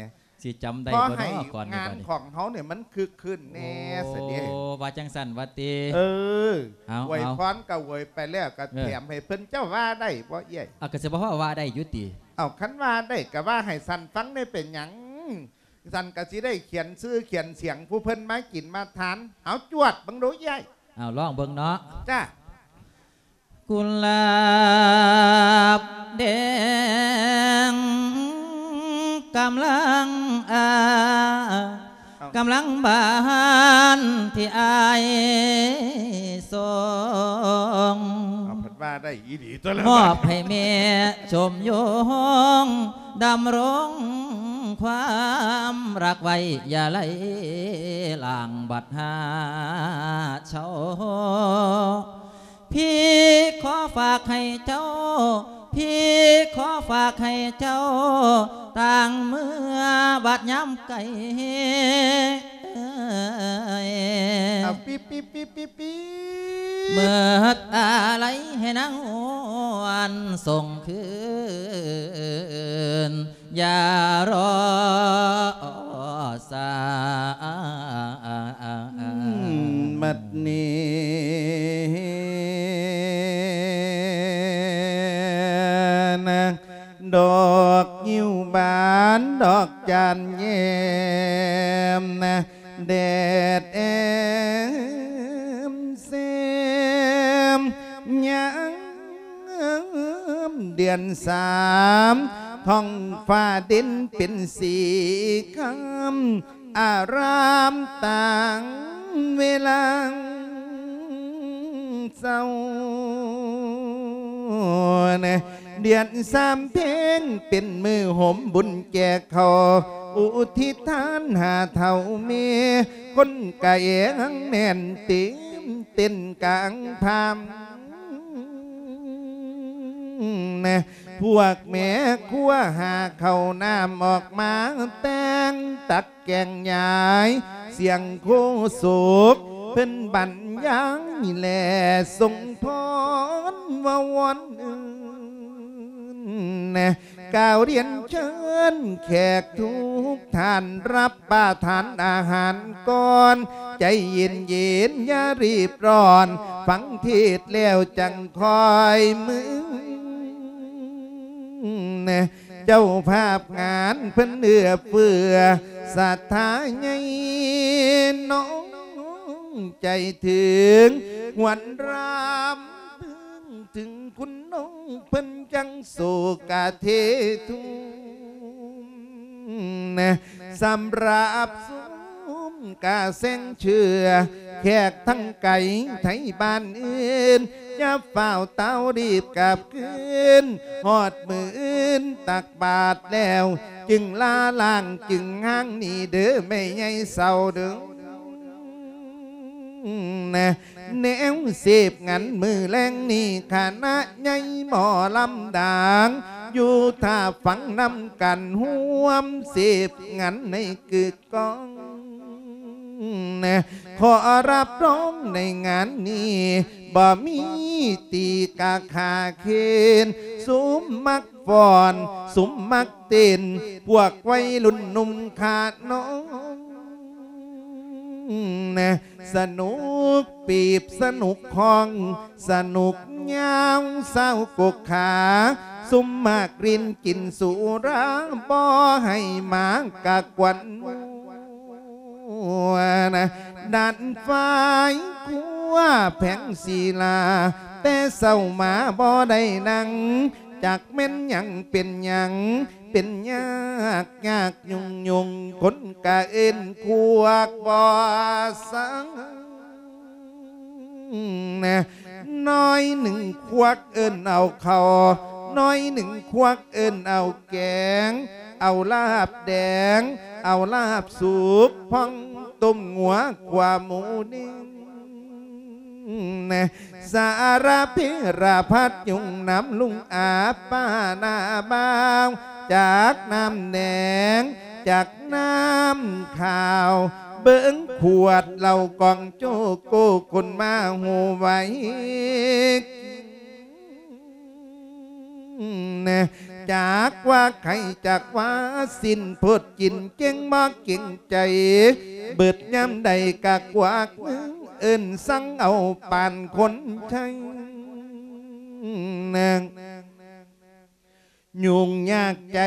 ຊິຈຳໄດ້ບໍ່ເນາະ ກ່ອນນີ້ ຂໍໃຫ້ງານຂອງເຮົານີ້ມັນຄຶກຄື້ນແດ່ ໂອ້ ຊະເດ ວ່າຈັ່ງຊັ້ນວ່າຕິ ເອີ ເອົາ ອວຍພອນກະອວຍໄປແລ້ວ ກະ ເອີ ແຖມໃຫ້ເພິ່ນ ເຈົ້າວ່າໄດ້ບໍ່ເອື້ອຍ ອາ ກະຊິບໍ່ວ່າໄດ້ຢູ່ຕິ ເອົາ ຄັນວ່າໄດ້ກະວ່າໃຫ້ສັນຟັງແດ່ ເປັນຫຍັງ ສັນກະຊິໄດ້ຂຽນຊື່ຂຽນສຽງຜູ້ເພິ່ນມາກິນມາທານ ເອົາ ຈວດເບິ່ງດູເອື້ອຍ ເອົາ ລອງເບິ່ງເນາະ ຈ້າ ກຸຫຼາບແດງກຳລັງ ອາ ເອົ້າ ກຳລັງບານທີ່ອ້າຍສົ່ງ ເອົາ ເພິ່ນວ່າໄດ້ອີ່ຫຼີຕົວະລະ ມອບໃຫ້ແມ່ຊົມຍົງ ດຳລົງຄວາມຮັກໄວ້ ຢ່າໄຫຼລ້າງບັດຫາເຊົາ ພີ່ຂໍຝາກໃຫ້ເຈົ້າ ພີ່ຂໍຝາກໃຫ້ເຈົ້າຕ່າງເມືອບາດຍາມໄກ. ເອົາ ປິບ ປິບ ປິບ ປິບ ປິບ. ເໝິດອາໄລໃຫ້ນາງຫວນ ສົ່ງຄືນຢ່າລໍຊ້າ. ບັດນີ້ນະ ດອກງິ້ວບານ ດອກຈານແຍ້ມນະ ແດດແອ້ມແຊມຍາມເດືອນສາມ ທ້ອງຟ້າເດັ່ນເປັນສີຄຳ ອາຣາມຕ່າງເວລາເຊົ້ານະ ເດືອນສາມເພັງເປັນມື້ໂຮມບຸນແຈກເຂົ້າ ອຸທິດທານຫາເຖົ້າແມ່ ຄົນກະແອງແໜ້ນເຕັມເຕັ້ນກາງພາມນະ ພວກແມ່ຄົວຫາເຂົ້ານ້ຳອອກມາແຕ່ງຕັກ ແກ່ງຍາຍ ສຽງໂຄສົກເພິ່ນບັນຍາຍ ແລະ ສົ່ງພອນວ່າວອນເອີນ ກ່າວລຽນເຊີນແຂກທຸກທ່ານ ຮັບປະທານອາຫານກ່ອນ ໃຈເຢັນໆ ຢ່າຣີບຮ້ອນ ຟັງເທດແລ້ວຈັ່ງຄ່ອຍມື້ ເຈົ້າພາບງານເພິ່ນເອື້ອເຟື້ອສັດທາໃຫຍ່ ນ້ອງໃຈເຖິງຫວນລຳເພິ່ງ ເຖິງຄຸນນ້ອງເພິ່ນຈັ່ງໂສກະເທທຸມ ສຳລັບຊຸມກະແສງເຊື່ອ ແຂກທັງໄກໄທບ້ານອື່ນ ຢ່າຟ້າວຕ່າວລີບກັບຄືນ ຮອດມື້ອື່ນຕັກບາດແລ້ວ ຈຶ່ງລາລ້າງຈຶ່ງຮ່າງນີ້ເດີແມ່ໃຫຍ່ເຊົາເດີ. ແນວເສບງານມື້ແລງນີ້ ຄະນະໃຫຍ່ໝໍລຳດັງ ຢູ່ຖ້າຟັງນຳກັນ ຮ່ວມເສບງານໃນກຶກ ກອງ ຂໍຮັບຮອງໃນງານນີ້ ບໍ່ມີຕີກາຂາເຂນ ສຸມມັກຟ້ອນ ສຸມມັກເຕັ້ນ ພວກໄວລຸ້ນໜຸ່ມຂະນ້ອງ ສະໜຸກປີບ ສະໜຸກຮ້ອງ ສະໜຸກຍາວຊາວກົກຂາ ສຸມໝາກລິນກິນສຸລາ ບໍ່ໃຫ້ໝາກະກວັນ ນະ ດ້ານຝ່າຍຄົວແພງສີລາ ແຕ່ເຊົ້າມາບໍ່ໄດ້ນັ່ງ ຈັກແມ່ນຫຍັງເປັນຫຍັງ ເປັນຍາກຍາກຫຍຸ້ງຫຍຸ້ງ ຄົນກະເອີ້ນຄວັກບໍ່ສັງ ນະ ໜ້ອຍໜຶ່ງຄວັກເອີ້ນເອົາເຂົ້າ ໜ້ອຍໜຶ່ງຄວັກເອີ້ນເອົາແກງ ເອົາລາບແດງ ເອົາລາບສຸກ ພ້ອມຕົ້ມງົວຂົ້ວໝູໜຶ່ງ ສາລະເພລະພັດຍຸງນຳລຸງອາປ້ານ້າບ່າວ ຈັກນ້ຳແດງ ຈັກນ້ຳຂາວ ເບິ່ງຂວດເຫຼົ້າກອງໂຈໂກ ຄົນມາຮູ້ໄວ ຈັກວ່າໄຂ່ ຈັກວ່າສິ້ນ ໂພດກິນເກັ່ງບໍ່ເກັງໃຈ ເບິດຍາມໃດກະກວັກມື ເອີ້ນສັ່ງເອົາປານຄົນໄທ ຫຍຸ້ງຍາກໃຈ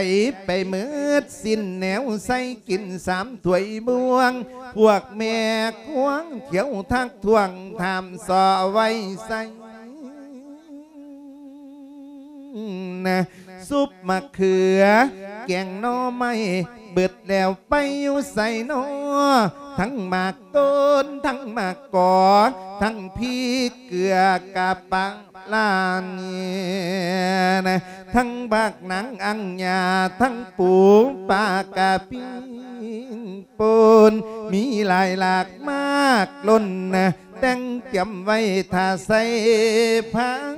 ໄປເໝິດ ສິ້ນແນວໃສ່ກິນສາມຖ້ວຍບ່ວງ ພວກແມ່ຄວງຂຽວທັກທ້ວງ ຖາມສໍ້ໄວ້ໃສ່ ນະ ຊຸບໝາກເຂືອ ແກງໜໍ່ໄມ້ ເບິດແລ້ວໄປຢູ່ໃສນໍ ທັງໝາກຕົ້ນ ທັງໝາກກໍ ທັງພິກເກືອກະປາລານ ນະ ທັງບັກໜັງອັງຍາ ທັງປູປາກະປິງປົ່ນ ມີຫຼາຍຫຼາກມາກລົ້ນ ນະ ແຕ່ງກຽມໄວ້ຖ້າໃສ່ພັງ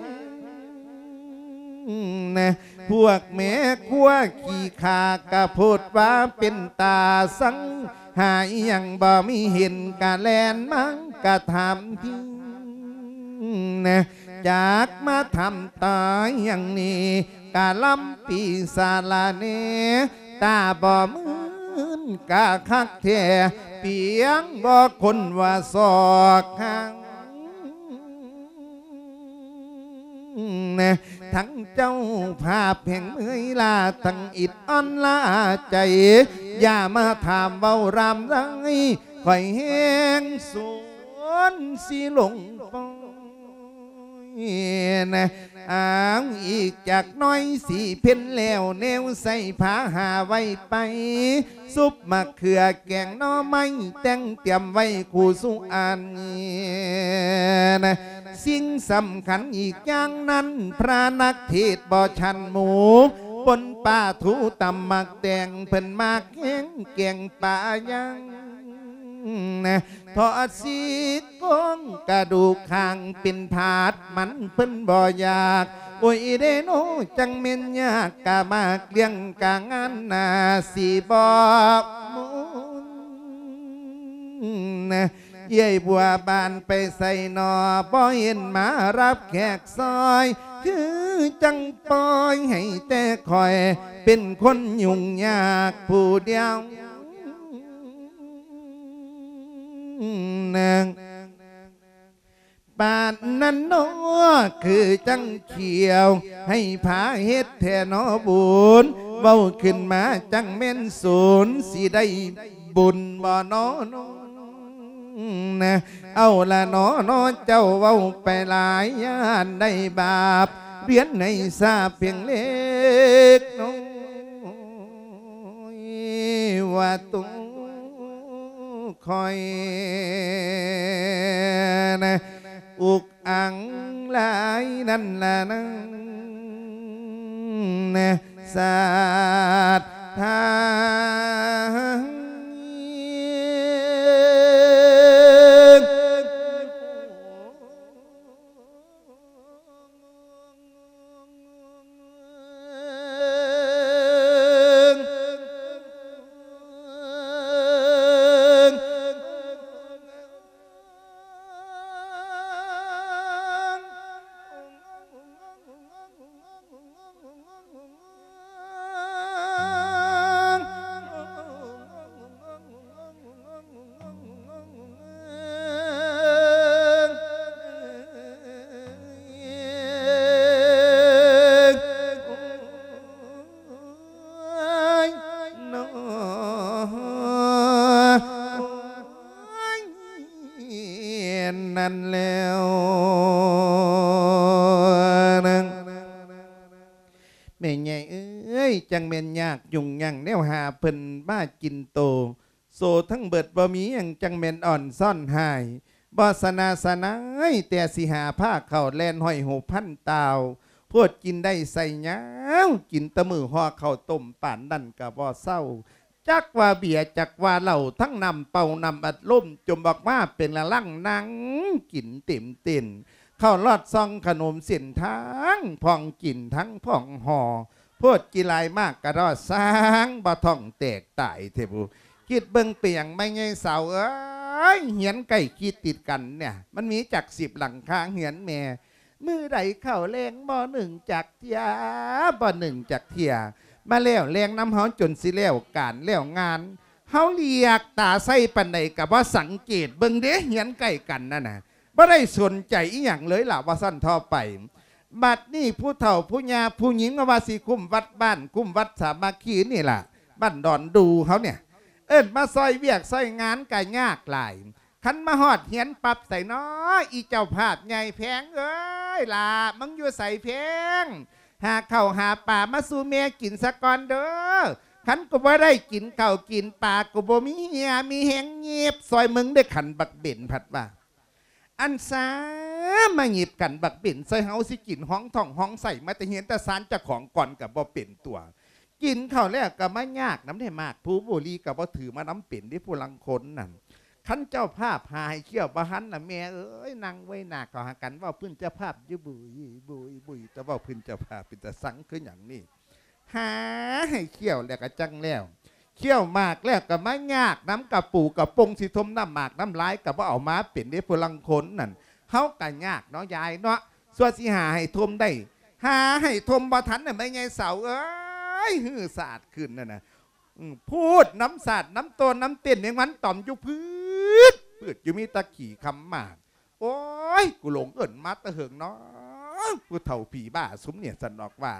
ນະ ພວກແມ່ຄົວຂີ້ຂ້າກະໂພດວ່າເປັນຕາສັງ ຫາອີ່ຫຍັງບໍ່ມີເຫັນກະແລ່ນມາກະຖາມພິງນະ ຈັກມາຖາມຕາຫຍັງນີ້ ກະລຳປີສາລະເນ ຕາບໍ່ມື່ນກະຄັກແທ້ ປຽງບໍ່ຄົນວ່າຊອກຫາ ທັງເຈົ້າພາບແຫ່ງເມື່ອຍລ້າ ທັງອິດອ່ອນລ້າໃຈ ຢ່າມາຖາມເວົ້າລຳໄລ ຂ້ອຍແຮງສວນຊິລົງປ່ອຍນະ ອ້າງອີກຈັກໜ້ອຍຊິເພັນແລ້ວ ແນວໃສ່ຜ້າຫາໄວ້ໄປ ຊຸບໝາກເຂືອແກງໜໍ່ໄມ້ ແຕ່ງຕຽມໄວ້ຄູ່ສຸອັນນະ ສິ່ງສຳຄັນອີກຢ່າງນັ້ນ ພະນັກເທດບໍ່ຊັ້ນໝູ ປົ່ນປາທູຕຳໝາກແຕງ ເພິ່ນມັກແຮງແກງປາຍ່າງນະ ທອດຊີ້ໂຄງກະດູກຂ້າງເປັນພາດ ມັນເພິ່ນບໍ່ຢາກ ໂອ້ຍເດໂນ ຈັ່ງແມ່ນຍາກ ກະມາກລ້ຽງກະງານໜ້າຊິບໍ່ມ່ວນນະ ເອື້ອຍບົວບານໄປໃສນໍ ບໍ່ເຫັນມາຮັບແຂກຊອຍ ຄືຈັ່ງປ່ອຍໃຫ້ແຕ່ຂ້ອຍ ເປັນຄົນຫຍຸ້ງຍາກຜູ້ດຽວນາງ ປານນັ້ນເນາະ ຄືຈັ່ງຂຽວ ໃຫ້ພາເຮັດແທ້ເນາະບຸນ ເວົ້າຂຶ້ນມາຈັ່ງແມ່ນສູນ ຊິໄດ້ບຸນບໍ່ເນາະ ເອົາລະເນາະ ເນາະ ເຈົ້າເວົ້າໄປຫຼາຍ ຢ້ານໄດ້ບາບ ຮຽນໃຫ້ຊາບພຽງເລັກນ້ອຍ ວ່າໂຕຂ້ອຍນະ ອຸກອັ່ງຫຼາຍນັ້ນລະນາງນະ ສາດທາງ. ນັ້ນແລ້ວນະ ແມ່ໃຫຍ່ເອີຍ ຈັ່ງແມ່ນຍາກຫຍຸ້ງຫຍັງແນວຫາເພິ່ນມາກິນໂຕ ໂສທັງເບິດບໍ່ມີຫຍັງ ຈັ່ງແມ່ນອ່ອນຊ້ອນຫາຍ ບໍ່ສະໜາສະໜາຍ ແຕ່ຊິຫາພາເຂົ້າແລ່ນຮ້ອຍຫູພັນຕ່າວ ໂພດກິນໄດ້ໃສ່ຍາວ ກິນແຕ່ມື້ຫໍ່ເຂົ້າຕົ້ມປານນັ້ນກະບໍ່ເຊົາ ຈັກວ່າເບຍ ຈັກວ່າເຫຼົ້າ ທັງນ້ຳເປົ່າ ນ້ຳອັດລົມ ຈົມອອກມາເປັນລະລັງ ນັ່ງກິນເຕັມເຕັ້ນ ເຂົ້າລອດຊ່ອງຂະໜົມເສັ້ນທາງ ພ້ອງກິນທັງພ້ອງຫໍ່ ໂພດກິນຫຼາຍມາກກະດອດຊ່າງ ບໍ່ທ້ອງແຕກຕາຍແທ້ບຸ ຄິດເບິ່ງເປັນຫຍັງແມ່ໃຫຍ່ສາວເອີຍ ເຮືອນໃກ້ຄິດຕິດກັນເນຍ ມັນມີຈັກສິບຫຼັງຄາເຮືອນແມ່ ມື້ໃດເຂົ້າແລງບໍ່ໜຶ້ງຈັກເທື່ອ ບໍ່ໜຶ້ງຈັກເທື່ອ ມາແລ້ວແລງນຳເຮົາຈົນຊິແລ້ວການແລ້ວງານ ເຮົາຫຼຽກຕາໃສ່ປານໃດກະບໍ່ສັງເກດເບິ່ງເດ້ ເຮືອນໃກ້ກັນນັ້ນນະ ບໍ່ໄດ້ສົນໃຈອີ່ຫຍັງເລີຍລະ ວ່າຊັ້ນເທາະໄປ. ບັດນີ້ຜູ້ເຖົ້າຜູ້ຍ່າຜູ້ຍິງ ບໍ່ວ່າຊິຄຸ້ມວັດບ້ານ ຄຸ້ມວັດສາມັກຄີນີ້ລະ ບ້ານດອນດູເຮົາເນຍ ເອີ້ນມາຊ່ອຍວຽກຊ່ອຍງານກະຍາກຫຼາຍ. ຄັນມາຮອດເຮືອນປັບໃສນໍ ອີເຈົ້າພາບໃຫຍ່ແພງເອີຍ ຫຼ້າ ມຶງຢູ່ໃສແພງ? ຫາເຂົ້າຫາປາມາສູ່ແມ່ກິນສາກ່ອນເດີ ຄັນກູບໍ່ໄດ້ກິນເຂົ້າກິນປາ ກູບໍ່ມີເຫື່ອມີແຮງຫຍິບຊ່ອຍມຶງເດ້. ຄັນບັກເບັນພັດວ່າ ອັນຊາ ມາຫຍິບກັນບັກເບັນຊ່ອຍເຮົາ ຊິກິນຮອງທ້ອງຮອງໄສ້ ມາແຕ່ເຮືອນແຕ່ຊານເຈົ້າຂອງກ່ອນກະບໍ່ເປັນຕົວ ກິນເຂົ້າແລ້ວກະມາຍາກນຳເດ້. ໝາກພູບູລີກະບໍ່ຖືມານຳເປັນເດ້ ຜູ້ລາງຄົນນັ້ນ ຄັນເຈົ້າພາບຫາໃຫ້ຄ້ຽວບໍ່ທັນນະ ແມ່ເອີຍ ນັ່ງເວີຍໜ້າເຂົ້າຫາກັນ ເວົ້າພື້ນເຈົ້າພາບຢູ່ບຸຍ ບຸຍ ບຸຍ ແຕ່ເວົ້າພື້ນເຈົ້າພາບເປັນຕາຊັງຄືຫຍັງນີ້ ຫາໃຫ້ຄ້ຽວແລ້ວກໍຈັ່ງແລ້ວ ຄ້ຽວໝາກແລ້ວກໍມາຍາກນຳກະປູກະປົງ ຊິຖົມນ້ຳໝາກນ້ຳລາຍກໍບໍ່ເອົາມາເປັນເດ້ ຜູ້ລາງຄົນນັ້ນ ເຮົາກໍຍາກເນາະຍາຍເນາະ ຊົ່ວຊິຫາໃຫ້ຖົມໄດ້ ຫາໃຫ້ຖົມບໍ່ທັນນະ ແມ່ໃຫຍ່ເສົາເອີຍ ຮືສາດຂຶ້ນນັ້ນນະ ອືມ ພູດນຳສາດນຳໂຕນນຳເຕັ້ນແມງວັນຕອມຢູ່ພືດ ພືດຢູ່ ມີແຕ່ຂີ້ຄຳໝາກ ໂອ້ຍ ກູຫຼົງເອີ້ນມາແຕ່ເຫິງເນາະ ຜູ້ເຖົ້າຜີບ້າຊຸມນີ້ ຊັ້ນດອກວ່າ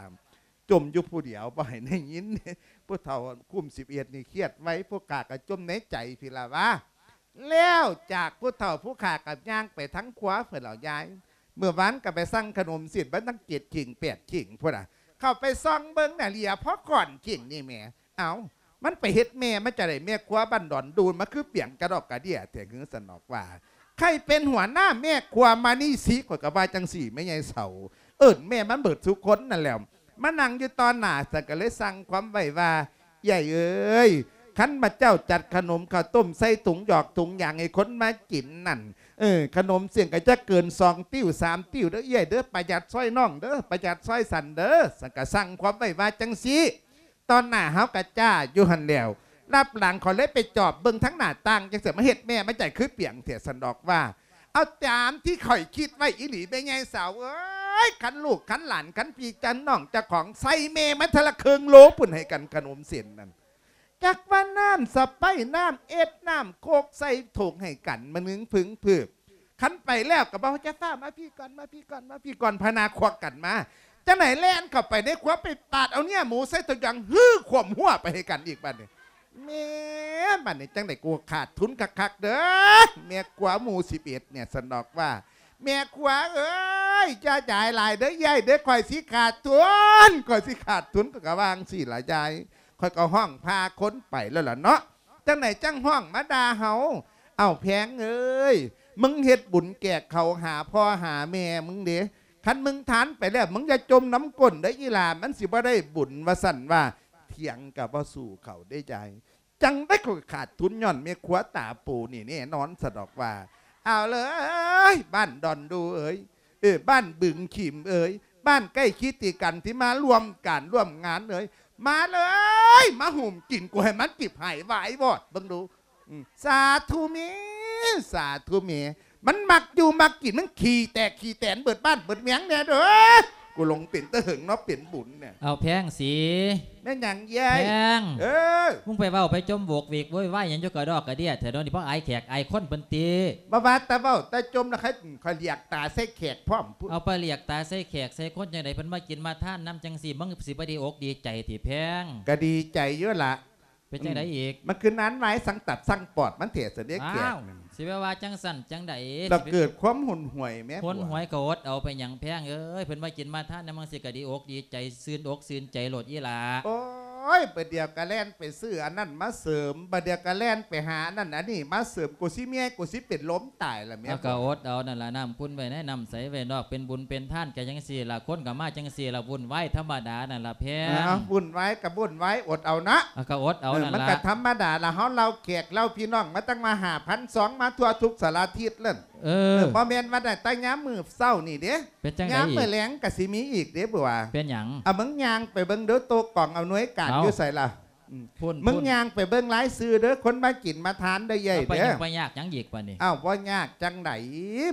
ຈົ່ມຢູ່ຜູ້ດຽວ ບໍ່ໃຫ້ໄດ້ຍິນ ຜູ້ເຖົ້າຄຸ້ມສິບເອັດນີ້ຄຽດໄວ ພວກຂ້າກໍຈົ່ມໃນໃຈພີ້ລະວ່າ ແລ້ວຈາກຜູ້ເຖົ້າ ຜູ້ຂ້າກໍຍ່າງໄປທາງຂວາເພິ່ນເອົາຍາຍ ມື້ວານກໍໄປສັ່ງຂະໜົມເສັ້ນມາຕັ້ງເຈັດຂີງແປດຂີງພຸ້ນນະ ເຂົ້າໄປສ່ອງເບິ່ງນະ ເຫຼືອພໍກ້ອນຂີງນີ້ແໝ ເອົ້າ ມັນໄປເຮັດແມ່ມາຈາກໃດ ແມ່ຄົວບ້ານດອນດູນ ມາຄືປຽງກະດອກກະເດຍແທ້ ຄືຊັ້ນດອກວ່າ ໃຜເປັນຫົວໜ້າແມ່ຄົວມານີ້ຊິ ຂ້ອຍກໍວ່າຈັ່ງຊີ້ ແມ່ໃຫຍ່ເສົາ ເອີ້ນແມ່ມັນເບິດສູ່ຄົນນັ້ນແຫຼ້ວ ມານັ່ງຢູ່ຕໍ່ໜ້າ ຊັ້ນກໍເລີຍສັ່ງຄວາມໄວ້ວ່າ ເອື້ອຍເອີຍ ຄັນວ່າເຈົ້າຈັດຂະໜົມເຂົ້າຕົ້ມໃສ່ຖົງຢອກຖົງຢາງໃຫ້ຄົນມາກິນນັ້ນ ເອີ ຂະໜົມເສັ້ນກໍຈະເກີນສອງຕິ້ວສາມຕິ້ວເດີ້ເອື້ອຍເດີ້ ປະຢັດຊ່ອຍນ້ອງເດີ້ ປະຢັດຊ່ອຍສັນເດີ້ ຊັ້ນກໍສັ່ງຄວາມໄວ້ວ່າຈັ່ງຊີ້ ຕອນໜ້າເຮົາກະຈ້າຢູ່ຫັ້ນແລ້ວ ລັບຫຼັງຂ້ອຍເລີຍໄປຈອບເບິ່ງທາງໜ້າຕ່າງ ຈັ່ງຊີ້ມາເຮັດແມ່ມາໃຈຄືປຽງແທ້ ຊັ້ນດອກວ່າ ເອົາຕາມທີ່ຂ້ອຍຄິດໄວ້ອີ່ຫຼີ ແມ່ໃຫຍ່ສາວເອີຍ ຄັນລູກຄັນຫຼານ ຄັນພີ່ຄັນນ້ອງເຈົ້າຂອງ ໃສ່ແມ່ມາເທື່ອລະເຄິ່ງໂລພຸ້ນ ໃຫ້ກັນຂະໜົມເສັ້ນນັ້ນ ຈັກວ່ານ້ຳສະໄປ ນ້ຳເອັດ ນ້ຳໂຄກ ໃສ່ຖົງໃຫ້ກັນ ມາໜຶ່ງຜຶງຜຶກ ຄັນໄປແລ້ວກໍບອກ ຈະຟ້າວມາພີ້ກ່ອນ ມາພີ້ກ່ອນ ມາພີ້ກ່ອນ ພານາຄວັກກັນມາ ຈັ່ງໃດແລ່ນເຂົ້າໄປໃນຄົວ ໄປປາດເອົາເນື້ອໝູໃສ່ຖົງຢາງ ຮື້ຂວ້ຳຫົວໄປໃຫ້ກັນອີກບາດນີ້ ແມ່ ບາດນີ້ຈັ່ງໃດ ກູຂາດທຶນຄັກໆເດີ້ ແມ່ຄົວໝູສິບເອັດນີ້ ຊັ້ນດອກວ່າ ແມ່ຄົວເອີຍ ຢ່າຢາຍຫຼາຍເດີ້ ເອື້ອຍເດີ້ ຂ້ອຍຊິຂາດທຶນ ຂ້ອຍຊິຂາດທຶນ ຂ້ອຍກໍວ່າຈັ່ງຊີ້ລະຍາຍ ຂ້ອຍກໍຮ້ອງພາຄົນໄປແລ້ວລະເນາະ ຈັ່ງໃດຈັ່ງຮ້ອງມາດ່າເຮົາ ເອົ້າແພງເອີຍ ມຶງເຮັດບຸນແຈກເຂົ້າຫາພໍ່ຫາແມ່ມຶງເດ ຄັນມຶງທານໄປແລ້ວ ມຶງຢ່າຈົ່ມນ້ຳກົ້ນເດີ້ອີ່ຫຼ້າ ມັນຊິບໍ່ໄດ້ບຸນ ວ່າຊັ້ນວ່າ ຖຽງກໍບໍ່ສູ້ເຂົາເດ້ຍາຍ ຈັ່ງໃດຂ້ອຍຂາດທຶນຍ້ອນແມ່ຄົວຕາໂປນີ້ແນ່ນອນ ສະດອກວ່າ ເອົາເລີຍ ບ້ານດອນດູເອີຍ ເອີ ບ້ານບຶງຂີມເອີຍ ບ້ານໃກ້ຄິດຕິກັນທີ່ມາຮ່ວມການຮ່ວມງານເອີຍ ມາເລີຍ ມາຫຸ້ມກິນກູໃຫ້ມັນຈິບຫາຍວາຍວອດເບິ່ງດູ ອືມ ສາທຸເມ ສາທຸເມ ມັນມັກຢູ່ມັກກິນ ມັນຂີ້ແຕກຂີ້ແຕນເບິດບ້ານເບິດເມືອງແນ່ເດີ ກູຫຼົງເປັນແຕ່ເຫິງເນາະ ເປັນບຸນ ເອົາແພງສີ ແມ່ນຫຍັງເອື້ອຍ ແພງ ເອີ ມຶງໄປເວົ້າໄປຈົ່ມໂຫວກເວກໂວຍວາຍຫຍັງຢູ່ກະດອກກະເດຍແທ້ດອກນີ້ ບໍ່ອາຍແຂກອາຍຄົນເພິ່ນຕິ ບໍ່ວ່າແຕ່ເວົ້າແຕ່ຈົ່ມລະ ຂ້ອຍລຽກຕາໃສ່ແຂກພ້ອມພຸ້ນ ເອົາໄປລຽກຕາໃສ່ແຂກໃສ່ຄົນຈັ່ງໃດ ເພິ່ນມາກິນມາທານນຳຈັ່ງຊີ້ ມຶງຊິບໍ່ດີອົກດີໃຈຕິແພງ ກະດີໃຈຢູ່ລະ ເປັນຈັ່ງໃດອີກ ອືມ ມັນຄືນານວາຍສັງຕັບສັງປອດມັນແທ້ຊັ້ນເດ້ແຂກນັ້ນ ຊິໄປວ່າຈັ່ງຊັ້ນຈັ່ງໃດ ລະເກີດຄວາມຮຸນຫວຍແມ້ ຮຸນຫວຍກໍອົດເອົາ ເປັນຫຍັງແພງເອີຍ ເພິ່ນມາກິນມາທານນຳຈັ່ງຊີ້ກໍດີອົກດີໃຈ ຊື່ນອົກຊື່ນໃຈໂລດອີ່ຫຼ້າ ໂອ້ຍ ບາດດຽວກໍແລ່ນໄປຊື້ອັນນັ້ນມາເສີມ ບາດດຽວກໍແລ່ນໄປຫາອັນນັ້ນອັນນີ້ມາເສີມ ກູຊິເມື່ອຍ ກູຊິເປັນລົມຕາຍລະແມ້ ເອົາ ກໍອົດເອົານັ້ນລະ ນ້ຳຂຸ່ນໄວ້ໃນ ນ້ຳໃສໄວ້ນອກ ເປັນບຸນເປັນທານກໍຈັ່ງຊີ້ລະ ຄົນກໍມາຈັ່ງຊີ້ລະ ວຸ່ນວາຍທຳມະດານັ້ນລະແພງ ເອົາ ວຸ່ນວາຍກໍວຸ່ນວາຍ ອົດເອົາເນາະ ເອົາ ກໍອົດເອົາ ເອີ ນັ້ນລະ ມັນກໍທຳມະດາລະ ເຮົາເລົ່າແຂກເລົ່າພີ່ນ້ອງມາຕັ້ງມາຫ້າພັນສອງ ມາທົ່ວທຸກສາລະທິດເລີຍ ເອີ ເອີ ບໍ່ແມ່ນວ່າໄດ້ ແຕ່ຍາມມື້ເຊົ້ານີ້ເດ້ ເປັນຈັ່ງໃດອີກ ຍາມມື້ແລງກໍຊິມີອີກເດ້ບົວ ເປັນຫຍັງ ເອົາ ມຶງຍ່າງໄປເບິ່ງເດີ້ ໂຕະກອງອຳນວຍການ ເອົ້າ ຢູ່ໃສລະ ອືມ ພຸ້ນ ມຶງ ພຸ້ນ ຍ່າງໄປເບິ່ງລາຍຊື່ເດີ້ ຄົນມາກິນມາທານເດີ້ເອື້ອຍເດີ້ ໄປຫຍັງ ໄປຍາກຫຍັງອີກບາດນີ້ ເອົ້າ ບໍ່ຍາກຈັ່ງໃດ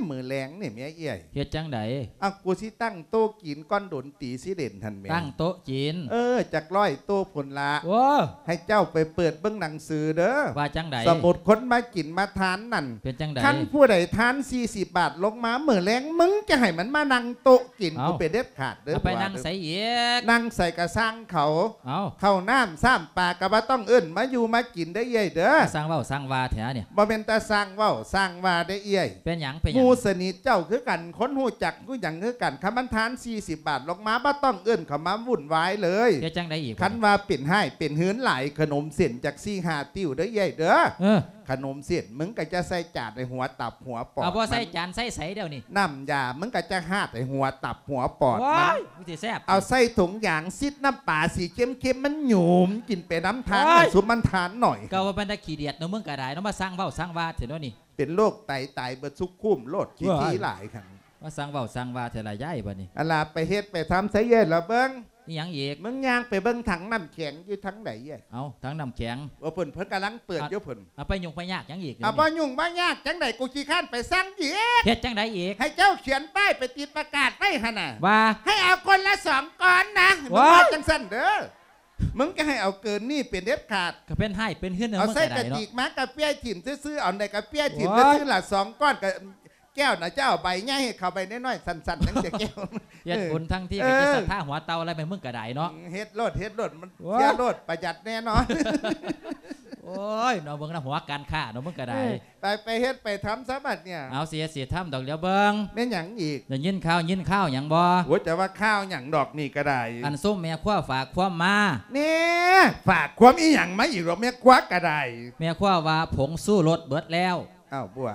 ມື້ແລງນີ້ແມ້ເອື້ອຍ ເຮັດຈັ່ງໃດ ເອົ້າ ກູຊິຕັ້ງໂຕະກິນກ່ອນ ດົນຕີຊິເຫຼັ້ນຫັ້ນແມ້ ຕັ້ງໂຕະກິນ ເອີ ຈັກຮ້ອຍໂຕະພຸ້ນລະ ໂອ້ ໃຫ້ເຈົ້າໄປເປີດເບິ່ງໜັງສືເດີ້ ວ່າຈັ່ງໃດ ສະໝຸດຄົນມາກິນມາທານນັ້ນ ເປັນຈັ່ງໃດ ຄັນຜູ້ໃດທານສີ່ສິບບາດລົງມາ ມື້ແລງມຶງຈະໃຫ້ມັນມານັ່ງໂຕະກິນ ເອົ້າ ກູເປັນເດັດຂາດເດີ້ ເອົາໄປນັ່ງໃສອີກ ນັ່ງໃສກໍຊ່າງເຂົາ ເອົ້າ ເຂົ້ານ້ຳຊ້ຳປາກໍບໍ່ຕ້ອງເອີ້ນມາຢູ່ມາກິນເດີ້ເອື້ອຍເດີ້ ຊ່າງເວົ້າຊ່າງວ່າແທ້ນີ້ ບໍ່ແມ່ນແຕ່ຊ່າງເວົ້າຊ່າງວ່າເດ້ເອື້ອຍ ເປັນຫຍັງ ເປັນຫຍັງ ໝູ່ສະໜິດເຈົ້າຄືກັນ ຄົນຮູ້ຈັກຮູ້ຫຍັງຄືກັນ ຄັນມັນທານສີ່ສິບບາດລົງມາ ບໍ່ຕ້ອງເອີ້ນເຂົາມາວຸ່ນວາຍເລີຍ ເຮັດຈັ່ງໃດອີກ ຄັນວ່າເປັນຮ້າຍເປັນເຮືອນຫຼາຍ ຂະໜົມເສັ້ນຈັກສີ່ຫ້າຕິ້ວເດີ້ເອື້ອຍເດີ້ ເອີ ຂະໜົມເສັ້ນ ມຶງກໍຈະໃສ່ຈານໃຫ້ຫົວຕັບຫົວປອດ ເອົາ ບໍ່ໃສ່ ມັນ ຈານໃສ່ໃສດຽວນີ້? ນ້ຳຢາ ມຶງກໍຈະຫາດໃຫ້ຫົວຕັບຫົວປອດ ໂອ້ຍ ມັນ ມັນຊິແຊບ ເອົາໃສ່ຖົງຢາງ ຊິດນ້ຳປາສີເຄັມໆ ມັນຫຍຸມກິນໄປນຳທາງ ໂອ້ຍ ໃຫ້ສຸມມັນທານໜ້ອຍ ກໍວ່າແມ່ນຕາຂີ້ດຽດເນາະ ມຶງກໍໄດ້ເນາະ ມາສ້າງເວົ້າສ້າງວ່າແທ້ເນາະນີ້ ເປັນໂລກໄຕຕາຍເບິດຊຸກຄຸ້ມໂລດ ໂອ້ຍ ຂີ້ທີ່ຫຼາຍຄັນ ມາສ້າງເວົ້າສ້າງວ່າແທ້ລະຍາຍບັດນີ້ ອັນລະ ໄປເຮັດໄປທຳໃສ່ເອີຍລະເບິ່ງ ອີຫຍັງອີກ? ມຶງຍ່າງໄປເບິ່ງຖັງນ້ຳແຂງຢູ່ທາງໃດເອີຍ? ເອົາ ຖັງນ້ຳແຂງ ໂອ້ ເພິ່ນ ເພິ່ນກຳລັງເປີດຢູ່ເພິ່ນ ເອົາ ໄປຫຍຸ້ງໄປຍາກຫຍັງອີກ? ເອົາ ບໍ່ຫຍຸ້ງບໍ່ຍາກຈັ່ງໃດ ກູຂີ້ຄ້ານໄປສັ່ງອີກ ເຮັດຈັ່ງໃດອີກ? ໃຫ້ເຈົ້າຂຽນປ້າຍໄປຕິດປະກາດໄວ້ຫັ້ນນະ ວ່າ ໃຫ້ເອົາຄົນລະສອງກ້ອນນະ ໂອ້ຍ ມຶງວ່າຈັ່ງຊັ້ນເດີ ມຶງຈະໃຫ້ເອົາເກີນນີ້ເປັນເດັດຂາດ ກໍເປັນຮ້າຍເປັນເຮືອນ ເອົາໃສ່ກະຕິກມາກະເປ່ຍຖິ້ມຊື່ໆ ເອົາໃນກະເປ່ຍຖິ້ມຊື່ໆລະ ສອງກ້ອນກະ ແກ້ວນະ ເຈົ້າເອົາໃບໃຫຍ່ໃຫ້ເຂົາໃບນ້ອຍໆ ສັ້ນໆ ຈັ່ງຈະແກ້ວ ເຮັດບຸນທັງທີ ເອີ ກໍຈະສັດທາຫົວເຕົ່າແລ້ວແມ່ນ ມຶງກໍໄດ້ເນາະ ເຮັດໂລດ ເຮັດໂລດ ມັນ ໂອ້ຍ ເສຍໂລດ ປະຢັດແນ່ນອນ ໂອ້ຍ ເນາະ ເບິ່ງນຳຫົວການຄ້າເນາະ ມຶງກໍໄດ້ ເອີ ໄປ ໄປເຮັດໄປທຳຊະບັດເນີ້ຍ ເອົາ ຊິເຮັດຊິທຳດອກ ດຽວເບິ່ງ ແມ່ນຫຍັງອີກ? ໄດ້ຍິນຂ່າວ ຍິນຂ່າວຫຍັງບໍ່? ໂອ້ຍ ຈະວ່າຂ່າວຫຍັງດອກ ນີ້ກໍໄດ້ ອັນຊຸມແມ່ຄົວຝາກຄວາມມາ ແນ່ ຝາກຄວາມອີຫຍັງມາອີກດອກ ແມ່ຄົວກໍໄດ້ ແມ່ຄົວວ່າຜົງຊູລົດເບິດແລ້ວ ອ້າວ ບົວ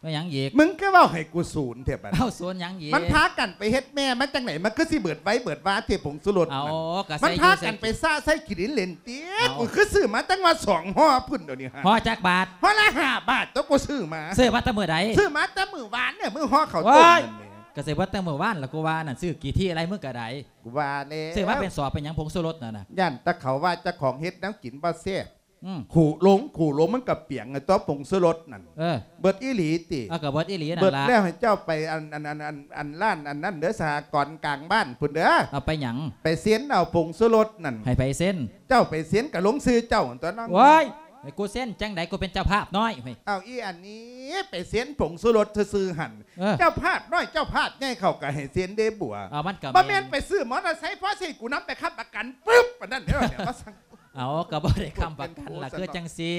ແມ່ນຫຍັງອີກ? ມຶງຄືເວົ້າໃຫ້ກູສູນແທ້ບັດ ເອົາສູນຫຍັງອີກ? ມັນພາກັນໄປເຮັດແມ່ມາຈັ່ງໃດ ມັນຄືຊິເບິດໄວເບິດວາແທ້ ຜົງຊູລົດ ເອົາ ມັນ ກໍໃສ່ ມັນພາກັນໄປສະໃສ່ຂີ້ດິນເຫຼັ້ນຕິ ເອົາ ກູຄືຊື້ມາຕັ້ງວ່າສອງຫໍ່ພຸ້ນ ດຽວນີ້ຫາ ຫໍ່ຈັກບາດ? ຫໍ່ລະຫ້າບາດຕົວະ ກູຊື້ມາ ຊື້ມາແຕ່ມື້ໃດ? ຊື້ມາແຕ່ມື້ວານນີ້ ມື້ຫໍ່ເຂົ້າຕົ້ມນັ້ນແຫຼະ ໂອ້ຍ ກໍຊື້ມາແຕ່ມື້ວານລະ ກູວ່ານັ້ນ ຊື້ຂີ້ຖີ່ອະໄລ ມຶງກໍໄດ້ ກູວ່າແລ້ວ ຊື້ມາເປັນສອບເປັນຫຍັງ ຜົງຊູລົດນັ້ນນະ? ຢ້ານແຕ່ເຂົາວ່າເຈົ້າຂອງເຮັດແນວກິນບໍ່ແຊບ ອືມ ຂູລົງຂູລົງ ມັນກະປຽງ ໄອ້ຕົວະ ຜົງຊູລົດນັ້ນ ເອີ ເບິດອີ່ຫຼີຕິ? ເອີ ກໍເບິດອີ່ຫຼີນັ້ນລະ ເບິດແລ້ວໃຫ້ເຈົ້າໄປ ອັນ ອັນ ອັນ ອັນ ອັນ ຮ້ານອັນນັ້ນເດີ ສະຫະກອນກາງບ້ານພຸ້ນເດີ ເອົາໄປຫຍັງ? ໄປເຊັນເອົາຜົງຊູລົດນັ້ນ ໃຫ້ໃຜເຊັນ? ເຈົ້າໄປເຊັນ ກະລົງຊື່ເຈົ້າຕົວະເນາະ ໂອ້ຍ ໃຫ້ກູເຊັນຈັ່ງໃດ? ກູເປັນເຈົ້າພາບນ້ອຍ ເອີ ເອົາ ອີ່ອັນນີ້ ໄປເຊັນຜົງຊູລົດຊື່ໆຫັ້ນ ເອີ ເຈົ້າພາບນ້ອຍເຈົ້າພາບໃຫຍ່ ເຂົາກະໃຫ້ເຊັນເດ້ບົວ ເອົາ ມັນກະ ບໍ່ແມ່ນ ແມ່ນ ໄປຊື້ມໍເຕີໄຊພໍຊິໃຫ້ກູນຳໄປຄ້ຳປະກັນ ປຶບ ອັນນັ້ນເດີ ວ່າຊັ້ນ ເອົາ ກໍບໍ່ໄດ້ຄ້ຳປະກັນລະ ຄືຈັ່ງຊີ້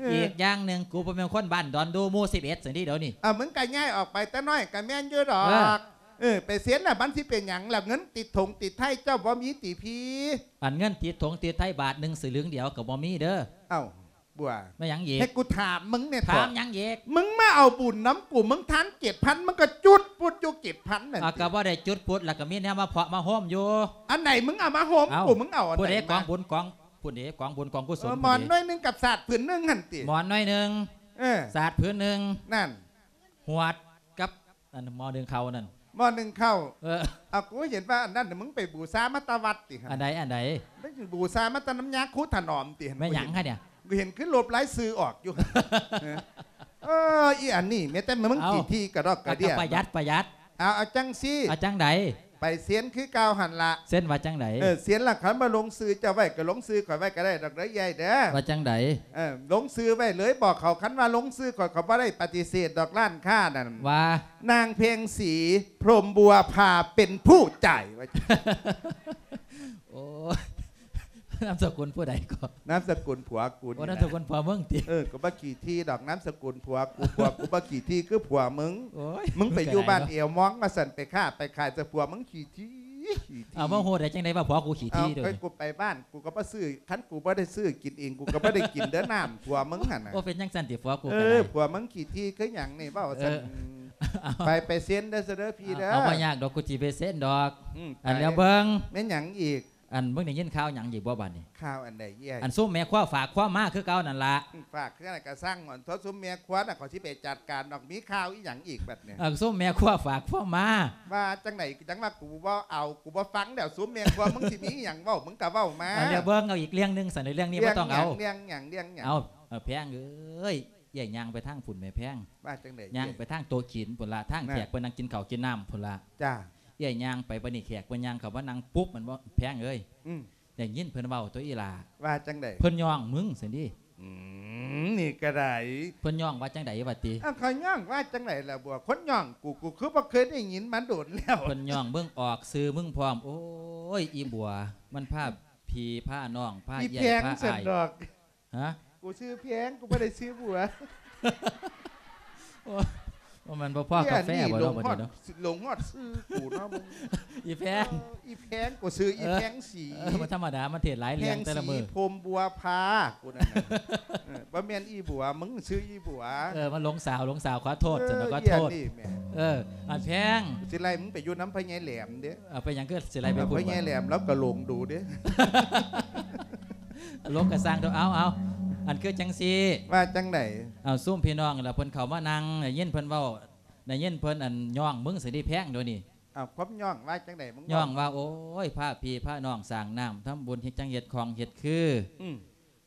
ເອີ ອີກຢ່າງໜຶ່ງ ກູບໍ່ແມ່ນຄົນບ້ານດອນດູ ໝູ່ສິບເອັດ ຊັ້ນຕິ ດຽວນີ້ ເອົາ ມຶງກໍຍ້າຍອອກໄປແຕ່ນ້ອຍກໍແມ່ນຢູ່ດອກ ເອີ ເອີ ໄປເຊັນລະ ມັນຊິເປັນຫຍັງລະ? ເງິນຕິດຖົງຕິດໄທເຈົ້າບໍ່ມີຕິພີ? ອັນເງິນຕິດຖົງຕິດໄທບາດໜຶ່ງສະລຶງດຽວກໍບໍ່ມີເດີ ເອົ້າ ບົວ ແມ່ນຫຍັງອີກ? ໃຫ້ກູຖາມມຶງແດ່ເຖາະ ຖາມຫຍັງອີກ? ມຶງມາເອົາບຸນນຳກູ ມຶງທານເຈັດພັນ ມຶງກໍຈຸດປຸດຢູ່ເຈັດພັນນັ້ນ ອ່າ ຕິ ກໍບໍ່ໄດ້ຈຸດປຸດ ແລ້ວກໍມີແນວມາເພາະມາໂຮມຢູ່ ອັນໃດມຶງເອົາມາໂຮມ ເອົ້າ ກູ ມຶງເອົາອັນໃດມາ? ພຸ້ນເດ້ ກອງບຸນກອງ ພຸ້ນເດ້ ກອງບຸນກອງກຸສົນ ເອີ ໝອນໜ້ອຍໜຶ່ງກັບສາດຜືນໜຶ່ງຫັ້ນຕິ ໝອນໜ້ອຍໜຶ່ງ ເອີ ສາດຜືນໜຶ່ງ ນັ້ນ ຫວດກັບອັນໝໍ້ໜຶ້ງເຂົ້ານັ້ນ ໝໍ້ໜຶ້ງເຂົ້າ ເອີ ເອົາ ກູເຫັນວ່າອັນນັ້ນນະ ມຶງໄປບູຊາມາແຕ່ວັດຕິຫັ້ນ? ອັນໃດ ອັນໃດ? ໄປບູຊາມາແຕ່ນ້ຳຍາຄູຖະໜອມຕິຫັ້ນ? ແມ່ນຫຍັງຄະເນຍ? ກູເຫັນຄືລົບລາຍຊື່ອອກຢູ່ ເອີ ອີ່ອັນນີ້ແມ້ແຕ່ມຶງ ເອົ້າ ຂີ້ຖີ່ກະດອກກະເດຍ ປະຢັດ ປະຢັດ ເອົາ ເອົາຈັ່ງຊີ້ ເອົາຈັ່ງໃດ? ໄປເຊັນຄືເກົ່າຫັ້ນລະ ເຊັນວ່າຈັ່ງໃດ? ເອີ ເຊັນລະ ຄັນບໍ່ລົງຊື່ເຈົ້າໄວ້ ກໍລົງຊື່ຂ້ອຍໄວ້ກໍໄດ້ດອກເດີ ເອື້ອຍເດີ ວ່າຈັ່ງໃດ? ເອີ ລົງຊື່ໄວ້ເລີຍ ບອກເຂົາ ຄັນວ່າລົງຊື່ຂ້ອຍ ເຂົາບໍ່ໄດ້ປະຕິເສດດອກ ຮ້ານຄ້ານັ້ນ ວ່າ ນາງເພັງສີ ພົມບົວພາ ເປັນຜູ້ຈ່າຍ ວ່າ ໂອ້ຍ ນາມສະກຸນຜູ້ໃດກໍ? ນາມສະກຸນຜົວກູນີ້ແຫຼະ ໂອ້ ນາມສະກຸນຜົວມຶງຕິ? ເອີ ກູບໍ່ຂີ້ຖີ່ດອກ ນາມສະກຸນຜົວກູ ຜົວກູບໍ່ຂີ້ຖີ່ຄືຜົວມຶງ ໂອ້ຍ ມຶງໄປຢູ່ບ້ານແອວມອງວ່າຊັ້ນ ໄປຄ້າໄປຂາຍ ແຕ່ຜົວມຶງຂີ້ຖີ່ ຂີ້ຖີ່ ເອົາ ມາຮູ້ໄດ້ຈັ່ງໃດວ່າຜົວກູຂີ້ຖີ່? ເອົ້າ ໂດຍ ກູໄປບ້ານ ກູກໍບໍ່ຊື້ ຄັນກູບໍ່ໄດ້ຊື້ກິນເອງ ກູກໍບໍ່ໄດ້ກິນເດີ ນ້ຳຜົວມຶງຫັ້ນນະ ໂອ້ ເປັນຈັ່ງຊັ້ນຕິ ຜົວກູ ເອີ ກໍໄດ້ ຜົວມຶງຂີ້ຖີ່ຄືຫຍັງນີ້ ເວົ້າຊັ້ນ ເອີ ໄປ ໄປເຊັນເດີ ຊະເດີ ພີ່ເດີ ເອົາ ບໍ່ຍາກດອກ ກູຊິໄປເຊັນດອກ ອືມ ອັນ ແລ້ວເບິ່ງ ແມ່ນຫຍັງອີກ? ອັນ ມຶງໄດ້ຍິນຂ່າວຫຍັງອີກບໍ່ບາດນີ້? ຂ່າວອັນໃດເອື້ອຍ? ອັນຊຸມແມ່ຄົວຝາກຄວາມມາຄືເກົ່ານັ້ນລະ ອືມ ຝາກຄືໃດກະຊ່າງມັນເຖາະ ຊຸມແມ່ຄົວນະ ເຂົາຊິໄປຈັດການດອກ ມີຂ່າວອີ່ຫຍັງອີກບາດນີ້? ເອີ ຊຸມແມ່ຄົວຝາກຄວາມມາ ວ່າຈັ່ງໃດ? ຈັ່ງວ່າກູບໍ່ເອົາ ກູບໍ່ຟັງແລ້ວ ຊຸມແມ່ຄົວ ມຶງຊິມີອີ່ຫຍັງເວົ້າ ມຶງກະເວົ້າມາ ອັນ ດຽວເບິ່ງເອົາອີກເລື່ອງໜຶ່ງຊັ້ນ ເລື່ອງນີ້ບໍ່ຕ້ອງເອົາ ເລື່ອງຫຍັງ? ເລື່ອງຫຍັງ? ເອົາ ເອີ ແພງເອີຍ ເອື້ອຍຍ່າງໄປທາງພຸ້ນແມ່ແພງ ວ່າຈັ່ງໃດ? ຍ່າງໄປທາງໂຕະກິນພຸ້ນລະ ທາງແຂກເພິ່ນນັ່ງກິນເຂົ້າກິນນ້ຳພຸ້ນລະ ຈ້າ ເອື້ອຍຍ່າງໄປ ບາດນີ້ແຂກເພິ່ນຍ່າງເຂົ້າມານັ່ງປຸບ ແມ່ນບໍ່ແພງເອີຍ? ອືມ ໄດ້ຍິນເພິ່ນເວົ້າຕົວະອີ່ຫຼ້າ ວ່າຈັ່ງໃດ? ເພິ່ນຍ້ອງມຶງຊັ້ນຕິ ອືມ ນີ້ກະໄດ້ ເພິ່ນຍ້ອງວ່າຈັ່ງໃດຫວາຕິ? ເອົ້າ ເຂົາຍ້ອງວ່າຈັ່ງໃດລະບົວ? ຄົນຍ້ອງກູ ກູຄືບໍ່ເຄີຍໄດ້ຍິນມາດົນແລ້ວ ເພິ່ນຍ້ອງມຶງ ອອກຊື່ມຶງພ້ອມ ໂອ້ຍ ອີ່ບົວ ມັນພາຜີພານ້ອງ ພາເອື້ອຍ ພາອ້າຍ ຮະ? ກູຊື່ແພງ ກູບໍ່ໄດ້ຊື່ບົວ ໂອ້ຍ ວ່າມັນບໍ່ພໍກາແຟບໍ່ເນາະ ບັດນີ້ເນາະ ຫຼງຮອດຊື່ກູເນາະ ອີແພງ ເອີ ອີແພງ ກູຊື່ອີແພງສີ ເອີ ມັນທຳມະດາ ມັນເທດຫຼາຍເລື່ອງແຕ່ລະມື້ ແພງສີ ພົມບົວພາ ກູນັ້ນນະ ເອີ ບໍ່ແມ່ນອີບົວ ມຶງຊື່ອີບົວ ເອີ ມັນຫຼົງສາວ ຫຼົງສາວ ຂໍໂທດ ເອີ ຊັ້ນນະ ຂໍໂທດ ເອີ ອັນແພງ ຊິໄລ່ມຶງໄປຢູ່ນຳພໍ່ໃຫຍ່ແຫຼມເດ້ ເອົາ ເປັນຫຍັງຄືຊິໄລ່ໄປພຸ້ນ ພໍ່ໃຫຍ່ແຫຼມລາວກໍຫຼົງດູເດ້ ຫຼົງກໍຊ່າງເຖາະ ເອົາ ເອົາ ອັນຄືຈັ່ງຊີ້ ວ່າຈັ່ງໃດ ເອົາ ຊຸມພີ່ນ້ອງລະເພິ່ນເຂົ້າມານັ່ງ ໄດ້ຍິນເພິ່ນເວົ້າ ໄດ້ຍິນເພິ່ນອັນຍ້ອງມຶງຊິໄດ້ແພງໂດຍນີ້ ອ້າວ ຄວາມຍ້ອງວ່າຈັ່ງໃດ ມຶງ ຍ້ອງວ່າ ໂອ້ຍ ພາພີ່ພານ້ອງສ້າງນ້ຳທຳບຸນ ເຮັດຈັ່ງເຮັດຂອງເຮັດຄື ອືມ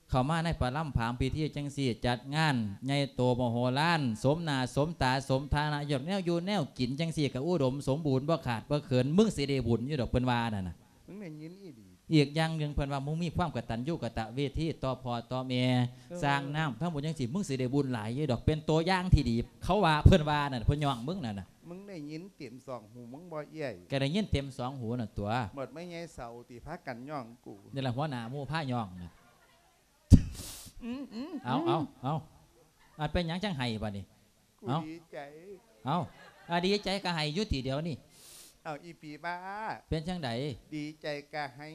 ເຂົ້າມາໃນປະລຳຜາງພິທີຈັ່ງຊີ້ ຈັດງານໃຫຍ່ໂຕມະໂຫລານ ສົມໜ້າສົມຕາ ສົມຖານະ ຢາກແນວຢູ່ແນວກິນຈັ່ງຊີ້ ກະອຸດົມສົມບູນ ບໍ່ຂາດບໍ່ເຂີນ ມຶງຊິໄດ້ບຸນຢູ່ດອກ ເພິ່ນວ່ານັ້ນນະ ມຶງໄດ້ຍິນອີ່ຫຼີ ອີກຢ່າງໜຶ່ງເພິ່ນວ່າ ມຶງມີຄວາມກະຕັນຍູກະຕະເວທີຕໍ່ພໍ່ຕໍ່ແມ່ ເອີ ສ້າງນ້ຳທຳບຸນຈັ່ງຊີ້ ມຶງຊິໄດ້ບຸນຫຼາຍຢູ່ດອກ ເປັນຕົວຢ່າງທີ່ດີ ເຂົາວ່າ ເພິ່ນວ່ານັ້ນ ເພິ່ນຍ້ອງມຶງນັ້ນນະ ມຶງໄດ້ຍິນເຕັມສອງຫູມຶງບໍ່ເອື້ອຍ ກະໄດ້ຍິນເຕັມສອງຫູນັ້ນຕົວະ ໝົດມາໃຫຍ່ເສົາຕິພາກັນຍ້ອງກູ ນີ້ລະຫົວໜ້າໝູ່ພາຍ້ອງນະ ອືມໆໆ ເອົາ ເອົາ ເອົາ ອັນເປັນຫຍັງຈັ່ງໄຫ້ບາດນີ້ ກູ ເອົ້າ ດີໃຈ ເອົ້າ ອາ ດີໃຈກໍໄຫ້ຢູ່ຕິດຽວນີ້ ເອົ້າ ອີປີບ້າ ເປັນຈັ່ງໃດ ດີໃຈກໍໄຫ້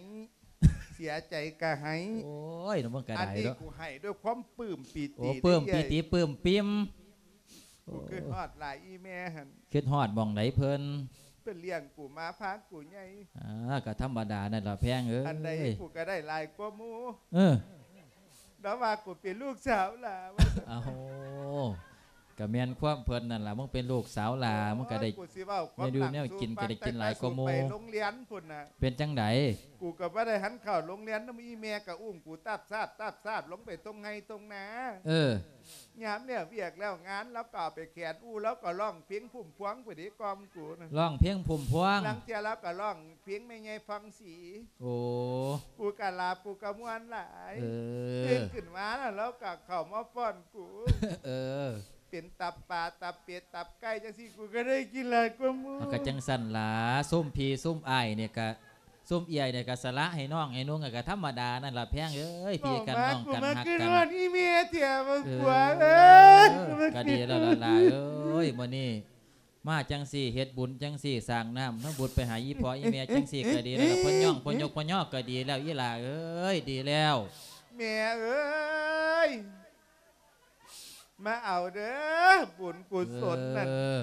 ເສຍໃຈກໍໄຫ້ ໂອ້ຍ ນະ ມຶງກໍໄດ້ເນາະ ອັນນີ້ກູໄຫ້ດ້ວຍຄວາມປຶ້ມປີຕິ ໂອ້ ເອີ ປຶ້ມປີຕິ ເອີຍ ປຶ້ມປິ່ມ ກູຄິດຮອດຫຼາຍອີ່ແມ່ຫັ້ນ ຄິດຮອດໝ່ອງໃດເພິ່ນ ເພິ່ນລ້ຽງກູມາພາກູໃຫຍ່ ອາ ກໍທຳມະດານັ້ນລະແພງເອີຍ ອັນໃດກູກໍໄດ້ຫຼາຍກວ່າໝູ່ ເອີ ລາວວ່າກູເປັນລູກສາວຫຼ້າ ວ່າຊັ້ນ ເອົ້າ ກະແມ່ນຄວາມເພິ່ນນັ້ນລະ ມຶງເປັນລູກສາວຫຼ້າ ມຶງກະໄດ້ ໂອ້ຍ ກູຊິເວົ້າຄວາມຫຼັງ ແນວຢູ່ແນວກິນ ກະໄດ້ກິນຫຼາຍກວ່າໝູ່ ໄປໂຮງຮຽນພຸ້ນນະ ເປັນຈັ່ງໃດ ກູກະບໍ່ໄດ້ຫັນເຂົ້າໂຮງຮຽນນຳ ອີ່ແມ່ກະອຸ້ມກູຕາບຊາບຕາບຊາບລົງໄປຕົງໄຮ່ຕົງນາ ເອີ ຍາມແລ້ວວຽກແລ້ວງານ ລາວກໍເອົາໄປແຂນອູ້ ລາວກໍຮ້ອງເພງພຸ້ມພວງພຸ້ນເດ້ ກ່ອມກູນະ ຮ້ອງເພງພຸ້ມພວງ ລາງເທື່ອລາວກໍຮ້ອງເພງແມ່ໃຫຍ່ຜ່ອງສີ ໂອ້ ກູກະຫຼາບ ກູກະມ່ວນຫຼາຍ ເອີ ຕື່ນຂຶ້ນມາລະ ລາວກໍເຂົ້າມາປ້ອນກູ ເອີ ເປັນຕັບປາ ຕັບເປັດ ຕັບໄກ່ຈັ່ງຊີ້ ກູກໍໄດ້ກິນຫຼາຍກວ່າໝູ່ ມັນກໍຈັ່ງຊັ້ນລະ ຊຸມພີ່ຊຸມອ້າຍນີ້ກະ ຊຸມເອື້ອຍນີ້ກະສະຫຼະໃຫ້ນ້ອງໃຫ້ນຸ່ງ ກະທຳມະດານັ້ນລະແພງເອີຍ ພີ່ກັນນ້ອງກັນ ເວົ້າມາ ຮັກກັນ ກູມາຂຶ້ນຮອດອີ່ແມ່ເທື່ອ ເອີ ເອີຍ ກະດີແລ້ວລະຫຼ້າເອີຍ ມື້ນີ້ ມາຈັ່ງຊີ້ ເຮັດບຸນຈັ່ງຊີ້ ສ້າງນ້ຳທຳບຸນໄປຫາອີ່ພໍ່ອີ່ແມ່ຈັ່ງຊີ້ກະດີແລ້ວ ເພິ່ນຍ້ອງເພິ່ນຍົກເພິ່ນຍໍກະດີແລ້ວ ອີ່ຫຼ້າເອີຍ ດີແລ້ວ ແມ່ເອີຍ ມາເອົາເດີ ບຸນກຸສົນນັ້ນ ເອີ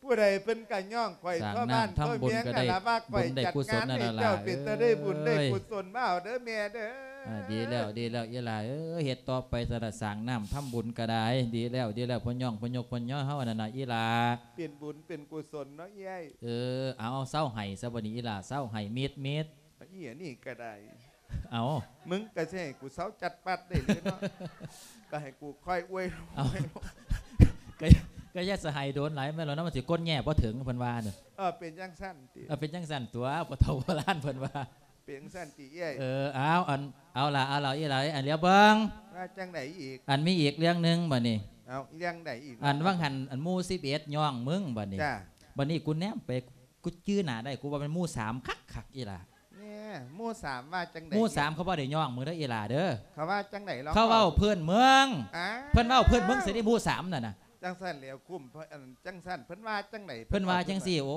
ຜູ້ໃດເພິ່ນກະຍ້ອງຂ້ອຍ ທົ່ວບ້ານທົ່ວເມືອງ ກະລະວ່າຂ້ອຍຈັດງານໃຫ້ເຈົ້າ ເປັນຕາໄດ້ບຸນໄດ້ກຸສົນ ມາເອົາເດີແມ່ເດີ ອາ ດີແລ້ວ ດີແລ້ວ ອີ່ຫຼ້າເອີຍ ເຮັດຕໍ່ໄປຊະລະ ສ້າງນ້ຳທຳບຸນກະໄດ້ ດີແລ້ວ ດີແລ້ວ ເພິ່ນຍ້ອງເພິ່ນຍົກເພິ່ນຍໍເຮົາຫັ້ນນະ ອີ່ຫຼ້າ ເປັນບຸນເປັນກຸສົນເນາະເອື້ອຍ ເອີ ເອົາ ເອົາ ເຊົາໄຫ້ຊະບັດນີ້ ອີ່ຫຼ້າ ເຊົາໄຫ້ມິດໆ ອີ່ອັນນີ້ກະໄດ້ ເອົາ ມຶງກະຊິໃຫ້ກູເຊົາຈັດປັດໄດ້ເລີຍເນາະ ກະໃຫ້ກູຄອຍອວຍ ເອົາ ກະ ກະຢ່າສະໄຫ້ໂດນຫຼາຍ ແມ່ນແລ້ວເນາະ ມັນຊິກົ້ນແຍ່ບໍ່ເຖິງ ເພິ່ນວ່າເນາະ ເອີ ເປັນຈັ່ງຊັ້ນຕິ ເອີ ເປັນຈັ່ງຊັ້ນຕົວະ ພໍ່ເຖົ້າໂບລານເພິ່ນວ່າ ເປັນຈັ່ງຊັ້ນຕິເອື້ອຍ ເອີ ເອົາ ອັນ ເອົາລະ ເອົາລະ ອີ່ຫຼ້າ ອັນ ລຽວເບິ່ງ ວ່າຈັ່ງໃດອີກ ອັນມີອີກເລື່ອງໜຶ່ງບັດນີ້ ເອົາ ເລື່ອງໃດອີກ ອັນວ່າງຫັ້ນ ອັນໝູ່ສິບເອັດຍ້ອງມຶງບັດນີ້ ຈ້າ ບັດນີ້ກູແນມໄປ ກູຈື່ໜ້າໄດ້ ກູວ່າແມ່ນໝູ່ສາມຄັກໆ ອີ່ຫຼ້າ ແນ່ ໝູ່ສາມວ່າຈັ່ງໃດ ໝູ່ສາມເຂົາບໍ່ໄດ້ຍ້ອງມຶງເດີ ອີ່ຫຼ້າເດີ ເຂົາວ່າຈັ່ງໃດ ລອງ ເຂົາເວົ້າພື້ນເມືອງ ເພິ່ນເວົ້າພື້ນເມືອງໃສ່ໃນໝູ່ສາມນັ້ນນະ ຈັ່ງຊັ້ນແລ້ວ ຄຸ້ມ ອັນ ຈັ່ງຊັ້ນເພິ່ນວ່າຈັ່ງໃດ ເພິ່ນວ່າຈັ່ງຊີ້ ໂອ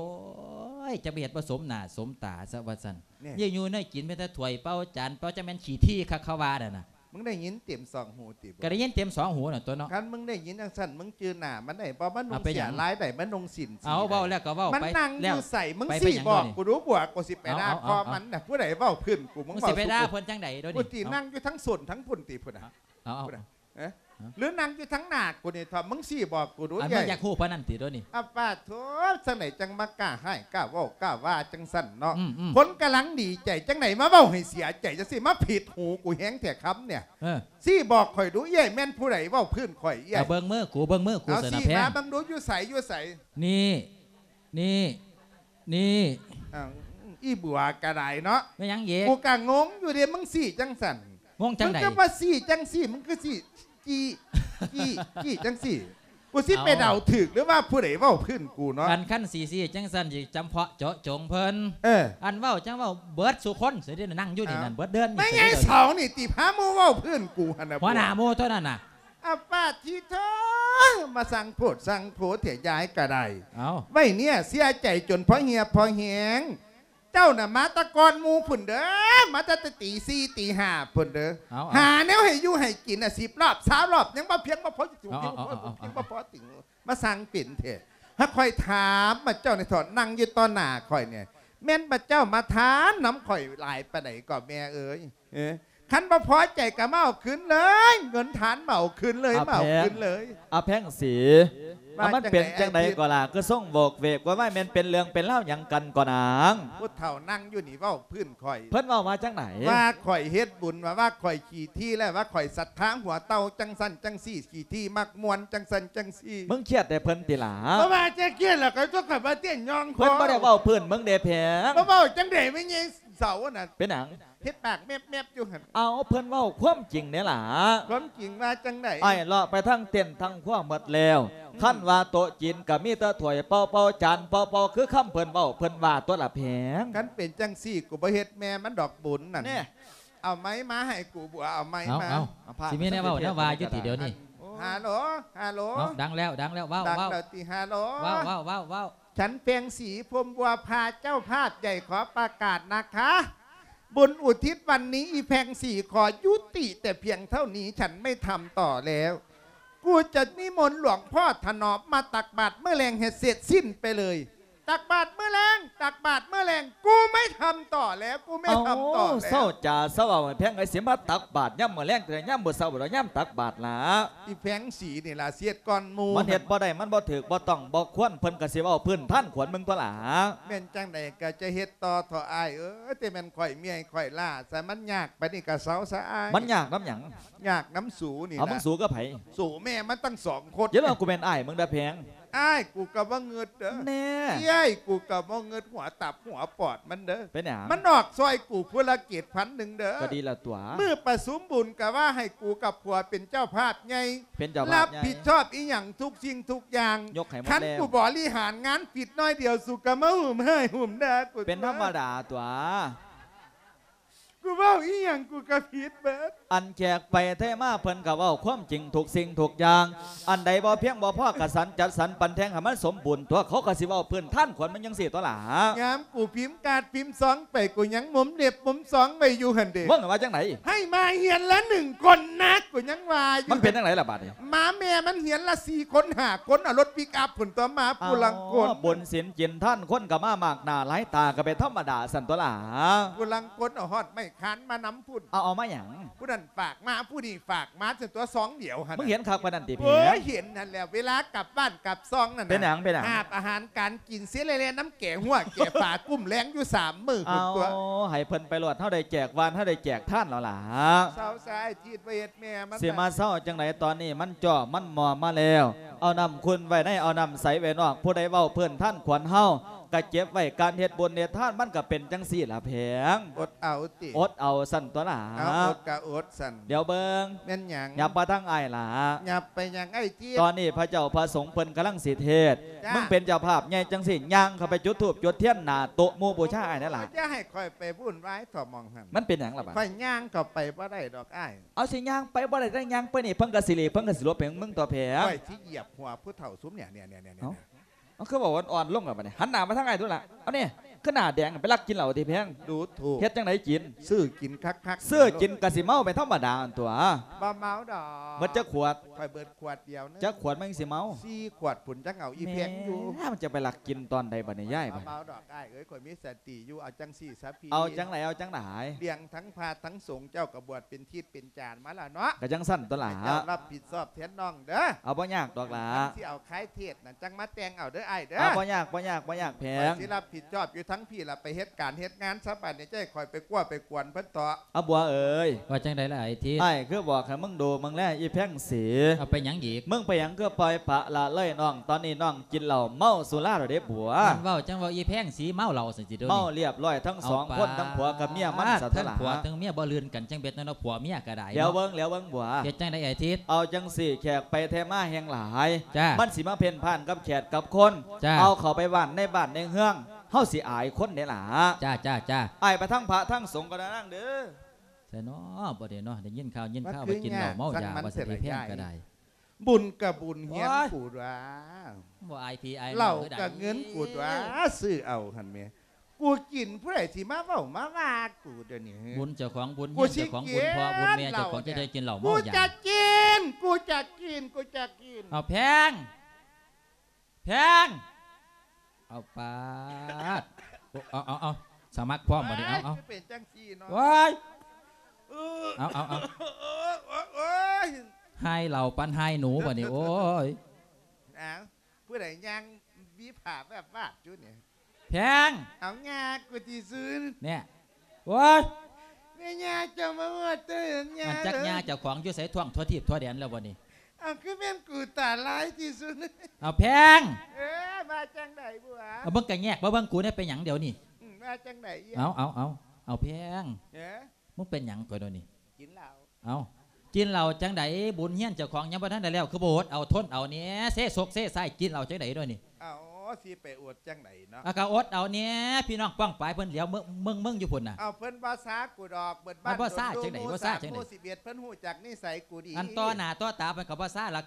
້ຍ ຈະໄປເຮັດບໍ່ສົມໜ້າສົມຕາຊະວ່າຊັ້ນ ແນ່ ຢູ່ໃນກິນເປັນແຕ່ຖ້ວຍເປົ່າຈານເປົ່າ ຈັກແມ່ນຂີ້ຖີ່ຄັກ ເຂົາວ່ານັ້ນນະ ມຶງໄດ້ຍິນເຕັມສອງຫູຕິ ກະໄດ້ຍິນເຕັມສອງຫູນັ້ນຕົວະເນາະ ຄັນມຶງໄດ້ຍິນຈັ່ງຊັ້ນ ມຶງຈື່ໜ້າມັນໄດ້ບໍ່ ມັນນຸ່ງເສື້ອລາຍໄດ້ ມັນນຸ່ງສິ້ນສີ ເອົາ ເວົ້າແລ້ວກໍເວົ້າໄປ ມັນນັ່ງຢູ່ໃສ ມຶງຊີ້ບອກກູດູ ບົວກູຊິໄປດ່າພໍ່ມັນນະ ຜູ້ໃດເວົ້າພື້ນກູ ມຶງຊິໄປດ່າເພິ່ນຈັ່ງໃດໂດຍນີ້ ກູຕິນັ່ງຢູ່ທັງສົນທັງພຸ້ນຕິພຸ້ນນະ ເອົາ ເອົາ ເອີ ຫຼືນັ່ງຢູ່ທາງໜ້າກູນີ້ ຖ້າມຶງຊີ້ບອກກູດູ ອັນມັນຢາກຮູ້ປານນັ້ນຕິໂດຍນີ້ ອາປາໂທ ຈັ່ງໃດຈັ່ງມາກ້າຮ້າຍກ້າເວົ້າກ້າວ່າຈັ່ງຊັ້ນເນາະ ອືມໆ ຄົນກຳລັງດີໃຈ ຈັ່ງໃດມາເວົ້າໃຫ້ເສຍໃຈຈັ່ງຊີ້ ມາຜິດຫູກູແຮງແທ້ຄຳນີ້ ເອີ ຊີ້ບອກຂ້ອຍດູເອື້ອຍ ແມ່ນຜູ້ໃດເວົ້າພື້ນຂ້ອຍເອື້ອຍ ເອົາເບິ່ງມືກູ ເບິ່ງມືກູ ເອົາຊີ້ມາເບິ່ງດູ ຢູ່ໃສ ຢູ່ໃສ ນີ້ ນີ້ ນີ້ ອ້າວ ອີ່ບົວກະໄດ້ເນາະ ແມ່ນຫຍັງອີກ ກູກະງົງຢູ່ເດ້ ມຶງຊີ້ຈັ່ງຊັ້ນ ງົງຈັ່ງໃດ ມຶງກະວ່າຊີ້ຈັ່ງຊີ້ ມຶງຄືຊີ້ ຈີ້ ຈີ້ ຈີ້ຈັ່ງຊີ້ ກູຊິໄປເດົາຖືກ ຫຼືວ່າຜູ້ໃດເວົ້າພື້ນກູເນາະ ອັນຄັນຊີ້ຊີ້ຈັ່ງຊັ້ນ ຊິຈຳເພາະເຈາະຈົງເພິ່ນ ເອີ ອັນເວົ້າຈັ່ງເວົ້າເບິດສູ່ຄົນ ຊິໄດ້ນັ່ງຢູ່ນີ້ນັ້ນ ເອົາ ເບິດເດີ່ນນີ້ ແມ່ນຍາຍເສົານີ້ຕິພາໝູ່ເວົ້າພື້ນກູຫັ້ນນະ ຫົວໜ້າໝູ່ໂຕນັ້ນນະ ອາປາດທິໂທ ອ້າ ມາສັ່ງໂພດສັ່ງໂພແທ້ ຍາຍກໍໄດ້ ເອົ້າ ໄວ້ເນຍ ເສຍໃຈຈົນພໍເຫຍພໍແຮງ. ເຈົ້ານະມາແຕ່ກ່ອນໝູ່ພຸ້ນເດີ ມາແຕ່ ແຕ່ຕີສີ່ຕີຫ້າພຸ້ນເດີ ເອົ້າ ຫາແນວໃຫ້ຢູ່ໃຫ້ກິນນະ ສິບລອບຊາວລອບ ຍັງບໍ່ພຽງບໍ່ພໍ ເອົ້າ ບໍ່ພໍ ເອົ້າ ບໍ່ພໍຕິງ ມາສັ່ງເປັນແທ້. ຫາຂ້ອຍຖາມມາເຈົ້ານີ້ເຖາະ ນັ່ງຢູ່ຕໍ່ໜ້າຂ້ອຍນີ້ ແມ່ນວ່າເຈົ້າມາທານນຳຂ້ອຍຫຼາຍປານໃດກໍແມ່ເອີຍ? ເອີ ຄັນບໍ່ພໍໃຈກໍມາເອົາຄືນເລີຍ ເງິນທານມາເອົາຄືນເລີຍ ມາເອົາຄືນເລີຍ. ອາແພງສີ ວ່າ ມັນເປັນຈັ່ງໃດກໍລະ ຄືຊົງໂຫວກເວກໂວຍວາຍ ແມ່ນເປັນເລື່ອງເປັນລາວຫຍັງກັນກໍນາງ? ຜູ້ເຖົ້ານັ່ງຢູ່ນີ້ເວົ້າພື້ນຂ້ອຍ ເພິ່ນເວົ້າວ່າຈັ່ງໃດ? ວ່າຂ້ອຍເຮັດບຸນ ວ່າ ວ່າຂ້ອຍຂີ້ຖີ່ແລ້ວ ວ່າຂ້ອຍສັດທາຫົວເຕົ່າ ຈັ່ງຊັ້ນຈັ່ງຊີ້ ຂີ້ຖີ່ມັກມ່ວນ ຈັ່ງຊັ້ນຈັ່ງຊີ້. ມຶງຄຽດໃຫ້ເພິ່ນຕິລະ? ບໍ່ວ່າຈະຄຽດລະ ກໍຕົວະຂ້ອຍບໍ່ເຕັ້ນຍ້ອງ ເພິ່ນບໍ່ໄດ້ເວົ້າພື້ນມຶງເດ້ແພງ. ບໍ່ເວົ້າຈັ່ງໃດ ແມ່ນໃຫຍ່ເສົານັ້ນ ເປັນຫຍັງ? ເຮັດປາກແມບໆຢູ່ຫັ້ນ. ເອົາ ເພິ່ນເວົ້າຄວາມຈິງເດ້ລະ. ຄວາມຈິງວ່າຈັ່ງໃດ? ອ້າຍເລາະໄປທັງເຕັນທັງຄົວໝົດແລ້ວ. ອືມ ຄັນວ່າໂຕະຈີນກໍມີແຕ່ຖ້ວຍເປົ່າໆ ຈານເປົ່າໆ ຄືຄຳເພິ່ນເວົ້າ ເພິ່ນວ່າຕົວະລະແພງ. ຄັນເປັນຈັ່ງຊີ້ ກູບໍ່ເຮັດແມ່ມັນດອກບຸນນັ້ນ. ແນ່ ເອົາໄມມາໃຫ້ກູບົວ ເອົາໄມມາ. ເອົາ ເອົາ ຊິມີແນວເວົ້າແນວວ່າຢູ່ຕິດຽວນີ້? ຮາໂຫຼ ຮາໂຫຼ. ເອົາ ດັງແລ້ວ ດັງແລ້ວ ເວົ້າ ເວົ້າ ດັງແລ້ວຕິ ຮາໂຫຼ. ເວົ້າ ເວົ້າ ເວົ້າ ເວົ້າ. ສັນແພງສີ ພົມບົວພາ ເຈົ້າພາບໃຫຍ່ ຂໍປະກາດນະຄະ ບຸນອຸທິດວັນນີ້ ອີແພງສີຂໍຍຸຕິແຕ່ພຽງເທົ່ານີ້ ສັນໄມ່ທຳຕໍ່ແລ້ວ. ກູຈະນິມົນຫຼວງພໍ່ຖະໜອມມາຕັກບາດມື້ແລງໃຫ້ເສັດສິ້ນໄປເລີຍ. ຕັກບາດມື້ແລງ ຕັກບາດມື້ແລງ ກູໄມ່ທຳຕໍ່ແລ້ວ ກູໄມ່ທຳຕໍ່ແລ້ວ. ເອົ້າ ເຊົາຈາ ເຊົາເວົ້າ ແພງເອີຍ ຊິມາຕັກບາດຍາມມື້ແລງ ແຕ່ຍາມມື້ເຊົ້າ ແລ້ວຍາມຕັກບາດລະ. ອີແພງສີນີ້ລະ ຊິເຮັດກ່ອນໝູ່ ມັນເຮັດບໍ່ໄດ້ ມັນບໍ່ຖືກ ບໍ່ຕ້ອງ ບໍ່ຄວນ ເພິ່ນກໍຊິເວົ້າພື້ນທ່ານຂວັນເບິ່ງຕົວະລະ. ແມ່ນຈັ່ງໃດກໍຈະເຮັດຕໍ່ເຖາະອ້າຍເອີຍ ແຕ່ແມ່ນຂ້ອຍເມື່ອຍຂ້ອຍລ້າຊະ ມັນຍາກປານນີ້ກໍເຊົາຊະອ້າຍ. ມັນຍາກນຳຫຍັງ? ຍາກນຳສູນີ້ລະ. ເອົາ ມຶງສູກັບໃຜ? ສູແມ່ມັນຕັ້ງສອງຄົນ. ຢ່າວ່າກູແມ່ນອ້າຍມຶງເດີແພງ. ອ້າຍກູກໍບໍ່ງຶດເດີ. ແນ່ ເອື້ອຍກູກໍບໍ່ງຶດຫົວຕັບຫົວປອດມັນເດີ. ເປັນຫຍັງ? ມັນອອກຊ່ອຍກູຜູ້ລະເຈັດພັນໜຶ່ງເດີ. ກໍດີລະຕົວະ. ມື້ປະຊຸມບຸນກໍວ່າໃຫ້ກູກັບຜົວເປັນເຈົ້າພາບໃຫຍ່ ເປັນເຈົ້າພາບໃຫຍ່ ຮັບຜິດຊອບອີ່ຫຍັງທຸກສິ່ງທຸກຢ່າງ. ຍົກໃຫ້ໝົດແລ້ວ. ຄັນກູບໍລິຫານງານຜິດໜ້ອຍດຽວ ສູກໍມາຮຸມຮ້າຍຮຸມດ່າກູ. ເປັນທຳມະດາຕົວະ. ກູເວົ້າອີ່ຫຍັງກູກໍຜິດເບິດ. ອັນແຂກໄປໄທມາເພິ່ນກໍເວົ້າຄວາມຈິງທຸກສິ່ງທຸກຢ່າງ. ອັນໃດບໍ່ພຽງບໍ່ພໍກໍສັນຈັດສັນປັນແທງໃຫ້ມັນສົມບູນຕົວະ. ເຂົາກໍຊິເວົ້າພື້ນທ່ານຂວັນມັນຈັ່ງຊີ້ຕົວະລະ. ຍາມກູພິມກາດພິມຊອງໄປ ກູຍັງໝົມເລັບໝົມຊອງໄວ້ຢູ່ຫັ້ນເດ. ເບິ່ງວ່າຈັ່ງໃດ? ໃຫ້ມາເຮືອນລະໜຶ່ງຄົນນະ ກູຍັງວ່າຢູ່. ມັນເປັນຈັ່ງໃດລະບາດນີ້? ມາແມ່ມັນເຮືອນລະສີ່ຄົນຫ້າຄົນ ເອົາລົດປິກອັບພຸ້ນຕົວະ ມາຜູ້ລາງຄົນ. ອໍ ບຸນສິນກິນທານ ຄົນກໍມາມາກໜ້າຫຼາຍຕາ ກໍເປັນທຳມະດາຊັ້ນຕົວະລະ. ຜູ້ລາງຄົນເອົາຮອດໄມ້ຄານມານຳພຸ້ນ. ເອົາ ເອົາມາຫຍັງ? ຜູ້ນັ້ນຝາກມາ ຜູ້ນີ້ຝາກມາ ຊັ້ນຕົວະ ຊອງດຽວຫັ້ນ. ມຶງເຫັນຄັກປານນັ້ນຕິແພງ? ໂອ້ຍ ເຫັນຫັ້ນແຫຼະ ເວລາກັບບ້ານກັບຊ່ອງນັ້ນນະ. ເປັນຫຍັງ? ເປັນຫຍັງ? ຫາບອາຫານການກິນເສຍແລ້ວ ແລ່ນນຳແກ່ຫົວແກ່ຝາ ກຸ້ມແລງຢູ່ສາມມື້ພຸ້ນຕົວະ. ເອົາ ໃຫ້ເພິ່ນໄປໂລດ ເຮົາໄດ້ແຈກຫວານ ເຮົາໄດ້ແຈກທານແລ້ວລະ. ເຊົາຊະອ້າຍ ທີ່ບໍ່ເຮັດ ແມ່ມັນ ຊິມາເຊົາຈັ່ງໃດ? ຕອນນີ້ມັນຈ້ອ ມັນມໍ່ມາແລ້ວ. ເອົານ້ຳຂຸ່ນໄວ້ໃນ ເອົານ້ຳໃສໄວ້ນອກ. ຜູ້ໃດເວົ້າພື້ນທ່ານຂວັນເຮົາ ກະເກັບໄວ້. ການເຮັດບຸນເຮັດທານມັນກະເປັນຈັ່ງຊີ້ລະແພງ. ອົດເອົາຕິ? ອົດເອົາຊັ້ນຕົວະລະ. ເອົາ ອົດກະອົດຊັ້ນ. ດຽວເບິ່ງ. ແມ່ນຫຍັງ? ຫຍັບມາທາງອ້າຍລະ. ຫຍັບໄປຫຍັງອ້າຍຕິ? ຕອນນີ້ພະເຈົ້າພະສົງເພິ່ນກຳລັງຊິເທດ. ຈ້າ. ມຶງເປັນເຈົ້າພາບໃຫຍ່ຈັ່ງຊີ້ ຍ່າງເຂົ້າໄປຈຸດທູບຈຸດທຽນໜ້າໂຕະໝູ່ບູຊາອ້າຍນັ້ນລະ. ຢ່າໃຫ້ຂ້ອຍໄປວຸ່ນວາຍເຖາະໝ່ອງຫັ້ນ. ມັນເປັນຫຍັງລະບາດ? ຂ້ອຍຍ່າງເຂົ້າໄປບໍ່ໄດ້ດອກອ້າຍ. ເອົາ ຊິຍ່າງໄປບໍ່ໄດ້ ແຕ່ຍ່າງໄປນີ້ເພິ່ນກໍຊິຫຼີກ ເພິ່ນກໍຊິຫຼົບໃຫ້ມຶງຕົວະແພງ. ຂ້ອຍຊິຢຽບຫົວຜູ້ເຖົ້າຊຸມນີ້ ເອົາ ມັນຄືເວົ້າອ່ອນໆລົງລະບາດນີ້. ຫັນໜ້າມາທາງອ້າຍດູລະ. ເອົານີ້ ຄືໜ້າແດງ ໄປລັກກິນເຫຼົ້າຕິແພງ? ດູຖູກ. ເຮັດຈັ່ງໃດກິນ? ຊື້ກິນຄັກໆ. ຊື້ກິນກະຊິເມົາເປັນທຳມະດາຫັ້ນຕົວະ. ບໍ່ເມົາດອກ. ເບິດຈັກຂວດ? ຂ້ອຍເບິດຂວດດຽວນະ. ຈັກຂວດມັນຊິເມົາ? ສີ່ຂວດພຸ້ນ ຈັ່ງເອົາອີ່ແພງຢູ່. ແມ່ ມັນຈະໄປລັກກິນຕອນໃດບາດນີ້ຍາຍ? ບໍ່ເມົາດອກອ້າຍເອີຍ ຂ້ອຍມີສະຕິຢູ່. ເອົາຈັ່ງຊີ້ຊະພີ່. ເອົາຈັ່ງໃດ? ເອົາຈັ່ງໃດ? ລ້ຽງທັງພະທັງສົງ ເຈົ້າກໍບວດເປັນທິດເປັນຈານມາລະເນາະ. ກະຈັ່ງຊັ້ນຕົວະລະ. ໃຫ້ເຈົ້າຮັບຜິດຊອບແທນນ້ອງເດີ. ເອົາ ບໍ່ຍາກດອກລະ. ຄັນຊິເອົາຄາຍເທດນັ້ນ ຈັ່ງມາແຕ່ງເອົາເດີອ້າຍເດີ. ເອົາ ບໍ່ຍາກ ບໍ່ຍາກ ບໍ່ຍາກແພງ. ຂ້ອຍຊິຮັບຜິດຊອບຢູ່ທັງພີ້ລະ ໄປເຮັດການເຮັດງານຊະບາດນີ້ ຈະໃຫ້ຂ້ອຍໄປກົວໄປກວນເພິ່ນເຖາະ. ອາບົວເອີຍ. ວ່າຈັ່ງໃດລະອ້າຍທິດ? ອ້າຍຄືບອກໃຫ້ມຶງດູເບິ່ງແລ ອີ່ແພງສີ. ເອົາ ເປັນຫຍັງອີກ? ມຶງໄປຫຍັງຄືປ່ອຍປະລະເລີຍນ້ອງ? ຕອນນີ້ນ້ອງກິນເຫຼົ້າເມົາສຸລາແລ້ວເດ້ບົວ. ມັນເວົ້າຈັ່ງເວົ້າ ອີ່ແພງສີເມົາເຫຼົ້າຊັ້ນຕິໂດນີ້. ເມົາລຽບຮ້ອຍທັງສອງຄົນ ທັງຜົວກັບເມຍມັນ ເອົາ ສະຕະຫຼະ. ທັງຜົວທັງເມຍບໍ່ລື່ນກັນ ຈັ່ງເປັນເນາະ ຜົວເມຍກໍໄດ້ເນາະ. ດຽວເບິ່ງ ດຽວເບິ່ງບົວ. ເຮັດຈັ່ງໃດອ້າຍທິດ? ເອົາຈັ່ງຊີ້ ແຂກໄປແທ້ມາແຮ່ງຫຼາຍ. ຈ້າ. ມັນຊິມາເພ້ນພ້ານກັບແຂກກັບຄົນ. ຈ້າ. ເອົາເຂົ້າໄປບ້ານໃນບ້ານໃນເຮືອນ ເຮົາຊິອາຍຄົນເດ້ລະ. ຈ້າ ຈ້າ ຈ້າ. ອ້າຍໄປທາງພະທາງສົງກໍໄດ້ນາງເດີ. ໃສເນາະ ບໍ່ໄດ້ເນາະ ໄດ້ຍິນຂ່າວຍິນຄາວວ່າກິນເຫຼົ້າເມົາຢາວ່າຊັ້ນ ອີ່ແພງກໍໄດ້. ບຸນກະບຸນຮຽນ ໂອ້ຍ ກູດວ່າ ບໍ່ອາຍພີ່ອາຍນ້ອງ ເຫຼົ້າກະເງິນກູດວ່າ ເອີ ຊື້ເອົາຫັ້ນແໝ່ ກູກິນ ຜູ້ໃດຊິມາເວົ້າມາວ່າກູດຽວນີ້ ບຸນເຈົ້າຂອງບຸນ ເຮືອນເຈົ້າຂອງບຸນ ພໍ່ບຸນແມ່ເຈົ້າຂອງຈະໄດ້ກິນເຫຼົ້າເມົາຢາ ກູຈະກິນ ກູຈະກິນ ກູຈະກິນ ເອົາແພງ ແພງ ເອົາປາດ ເອົາ ເອົາ ເອົາ ສະໝັກພ້ອມບັດນີ້ ເອົາ ເອົາ ຄືເປັນຈັ່ງຊີ້ເນາະ ໂອ້ຍ ເອົາ ເອົາ ເອົາ ໂອ້ຍ ຫາຍເຫຼົ້າປານຫາຍໜູບັດນີ້ ໂອ້ຍ ອ້າວ ຜູ້ໃດຍ່າງມີຜ້າແວບວາບຢູ່ນີ້ ແພງ ເອົາຍາກູຕິຊືນ ແນ່ ໂອ້ຍ ແມ່ຍ່າເຈົ້າມາຮອດເຕີຍ ຍ່າ ອັນຈັກຍ່າເຈົ້າຂອງຢູ່ໃສ ທ້ວງທົ່ວທີບທົ່ວແດນແລ້ວບໍ່ນີ້ ເອົາ ຄືແມ່ນກູຕາລາຍທີ່ສຸດ ເອົາແພງ ເອີ ວ່າຈັ່ງໃດບົວ ເອົາ ມຶງກະແຍກມາເບິ່ງກູແດ່ ເປັນຫຍັງດຽວນີ້ ອືມ ວ່າຈັ່ງໃດ ເອົາ ເອົາ ເອົາ ເອົາແພງ ເອີ ມຶງເປັນຫຍັງກ່ອນດຽວນີ້ ກິນເຫຼົ້າ ເອົາ ກິນເຫຼົ້າຈັ່ງໃດ ບຸນຮຽນເຈົ້າຂອງຍັງບໍ່ທັນໄດ້ແລ້ວ ຄືບໍ່ອົດເອົາທົນເອົາແດ່ ເຊສົກເຊຊາຍ ກິນເຫຼົ້າຈັ່ງໃດດຽວນີ້ ເອົາ ຊິໄປອົດຈັ່ງໃດເນາະ ອາ ກະອົດເອົາແດ່ ພີ່ນ້ອງປ້ອງປາຍເພິ່ນຫຼຽວເບິ່ງເບິ່ງຢູ່ພຸ້ນນະ ເອົາ ເພິ່ນບໍ່ຊາກູດອກ ເບິດບ້ານ ມັນບໍ່ຊາຈັ່ງໃດ ບໍ່ຊາຈັ່ງໃດ ເພິ່ນຮູ້ຈັກນິໄສກູດີ ອັນຕໍ່ໜ້າຕໍ່ຕາເພິ່ນກະບໍ່ຊາລະ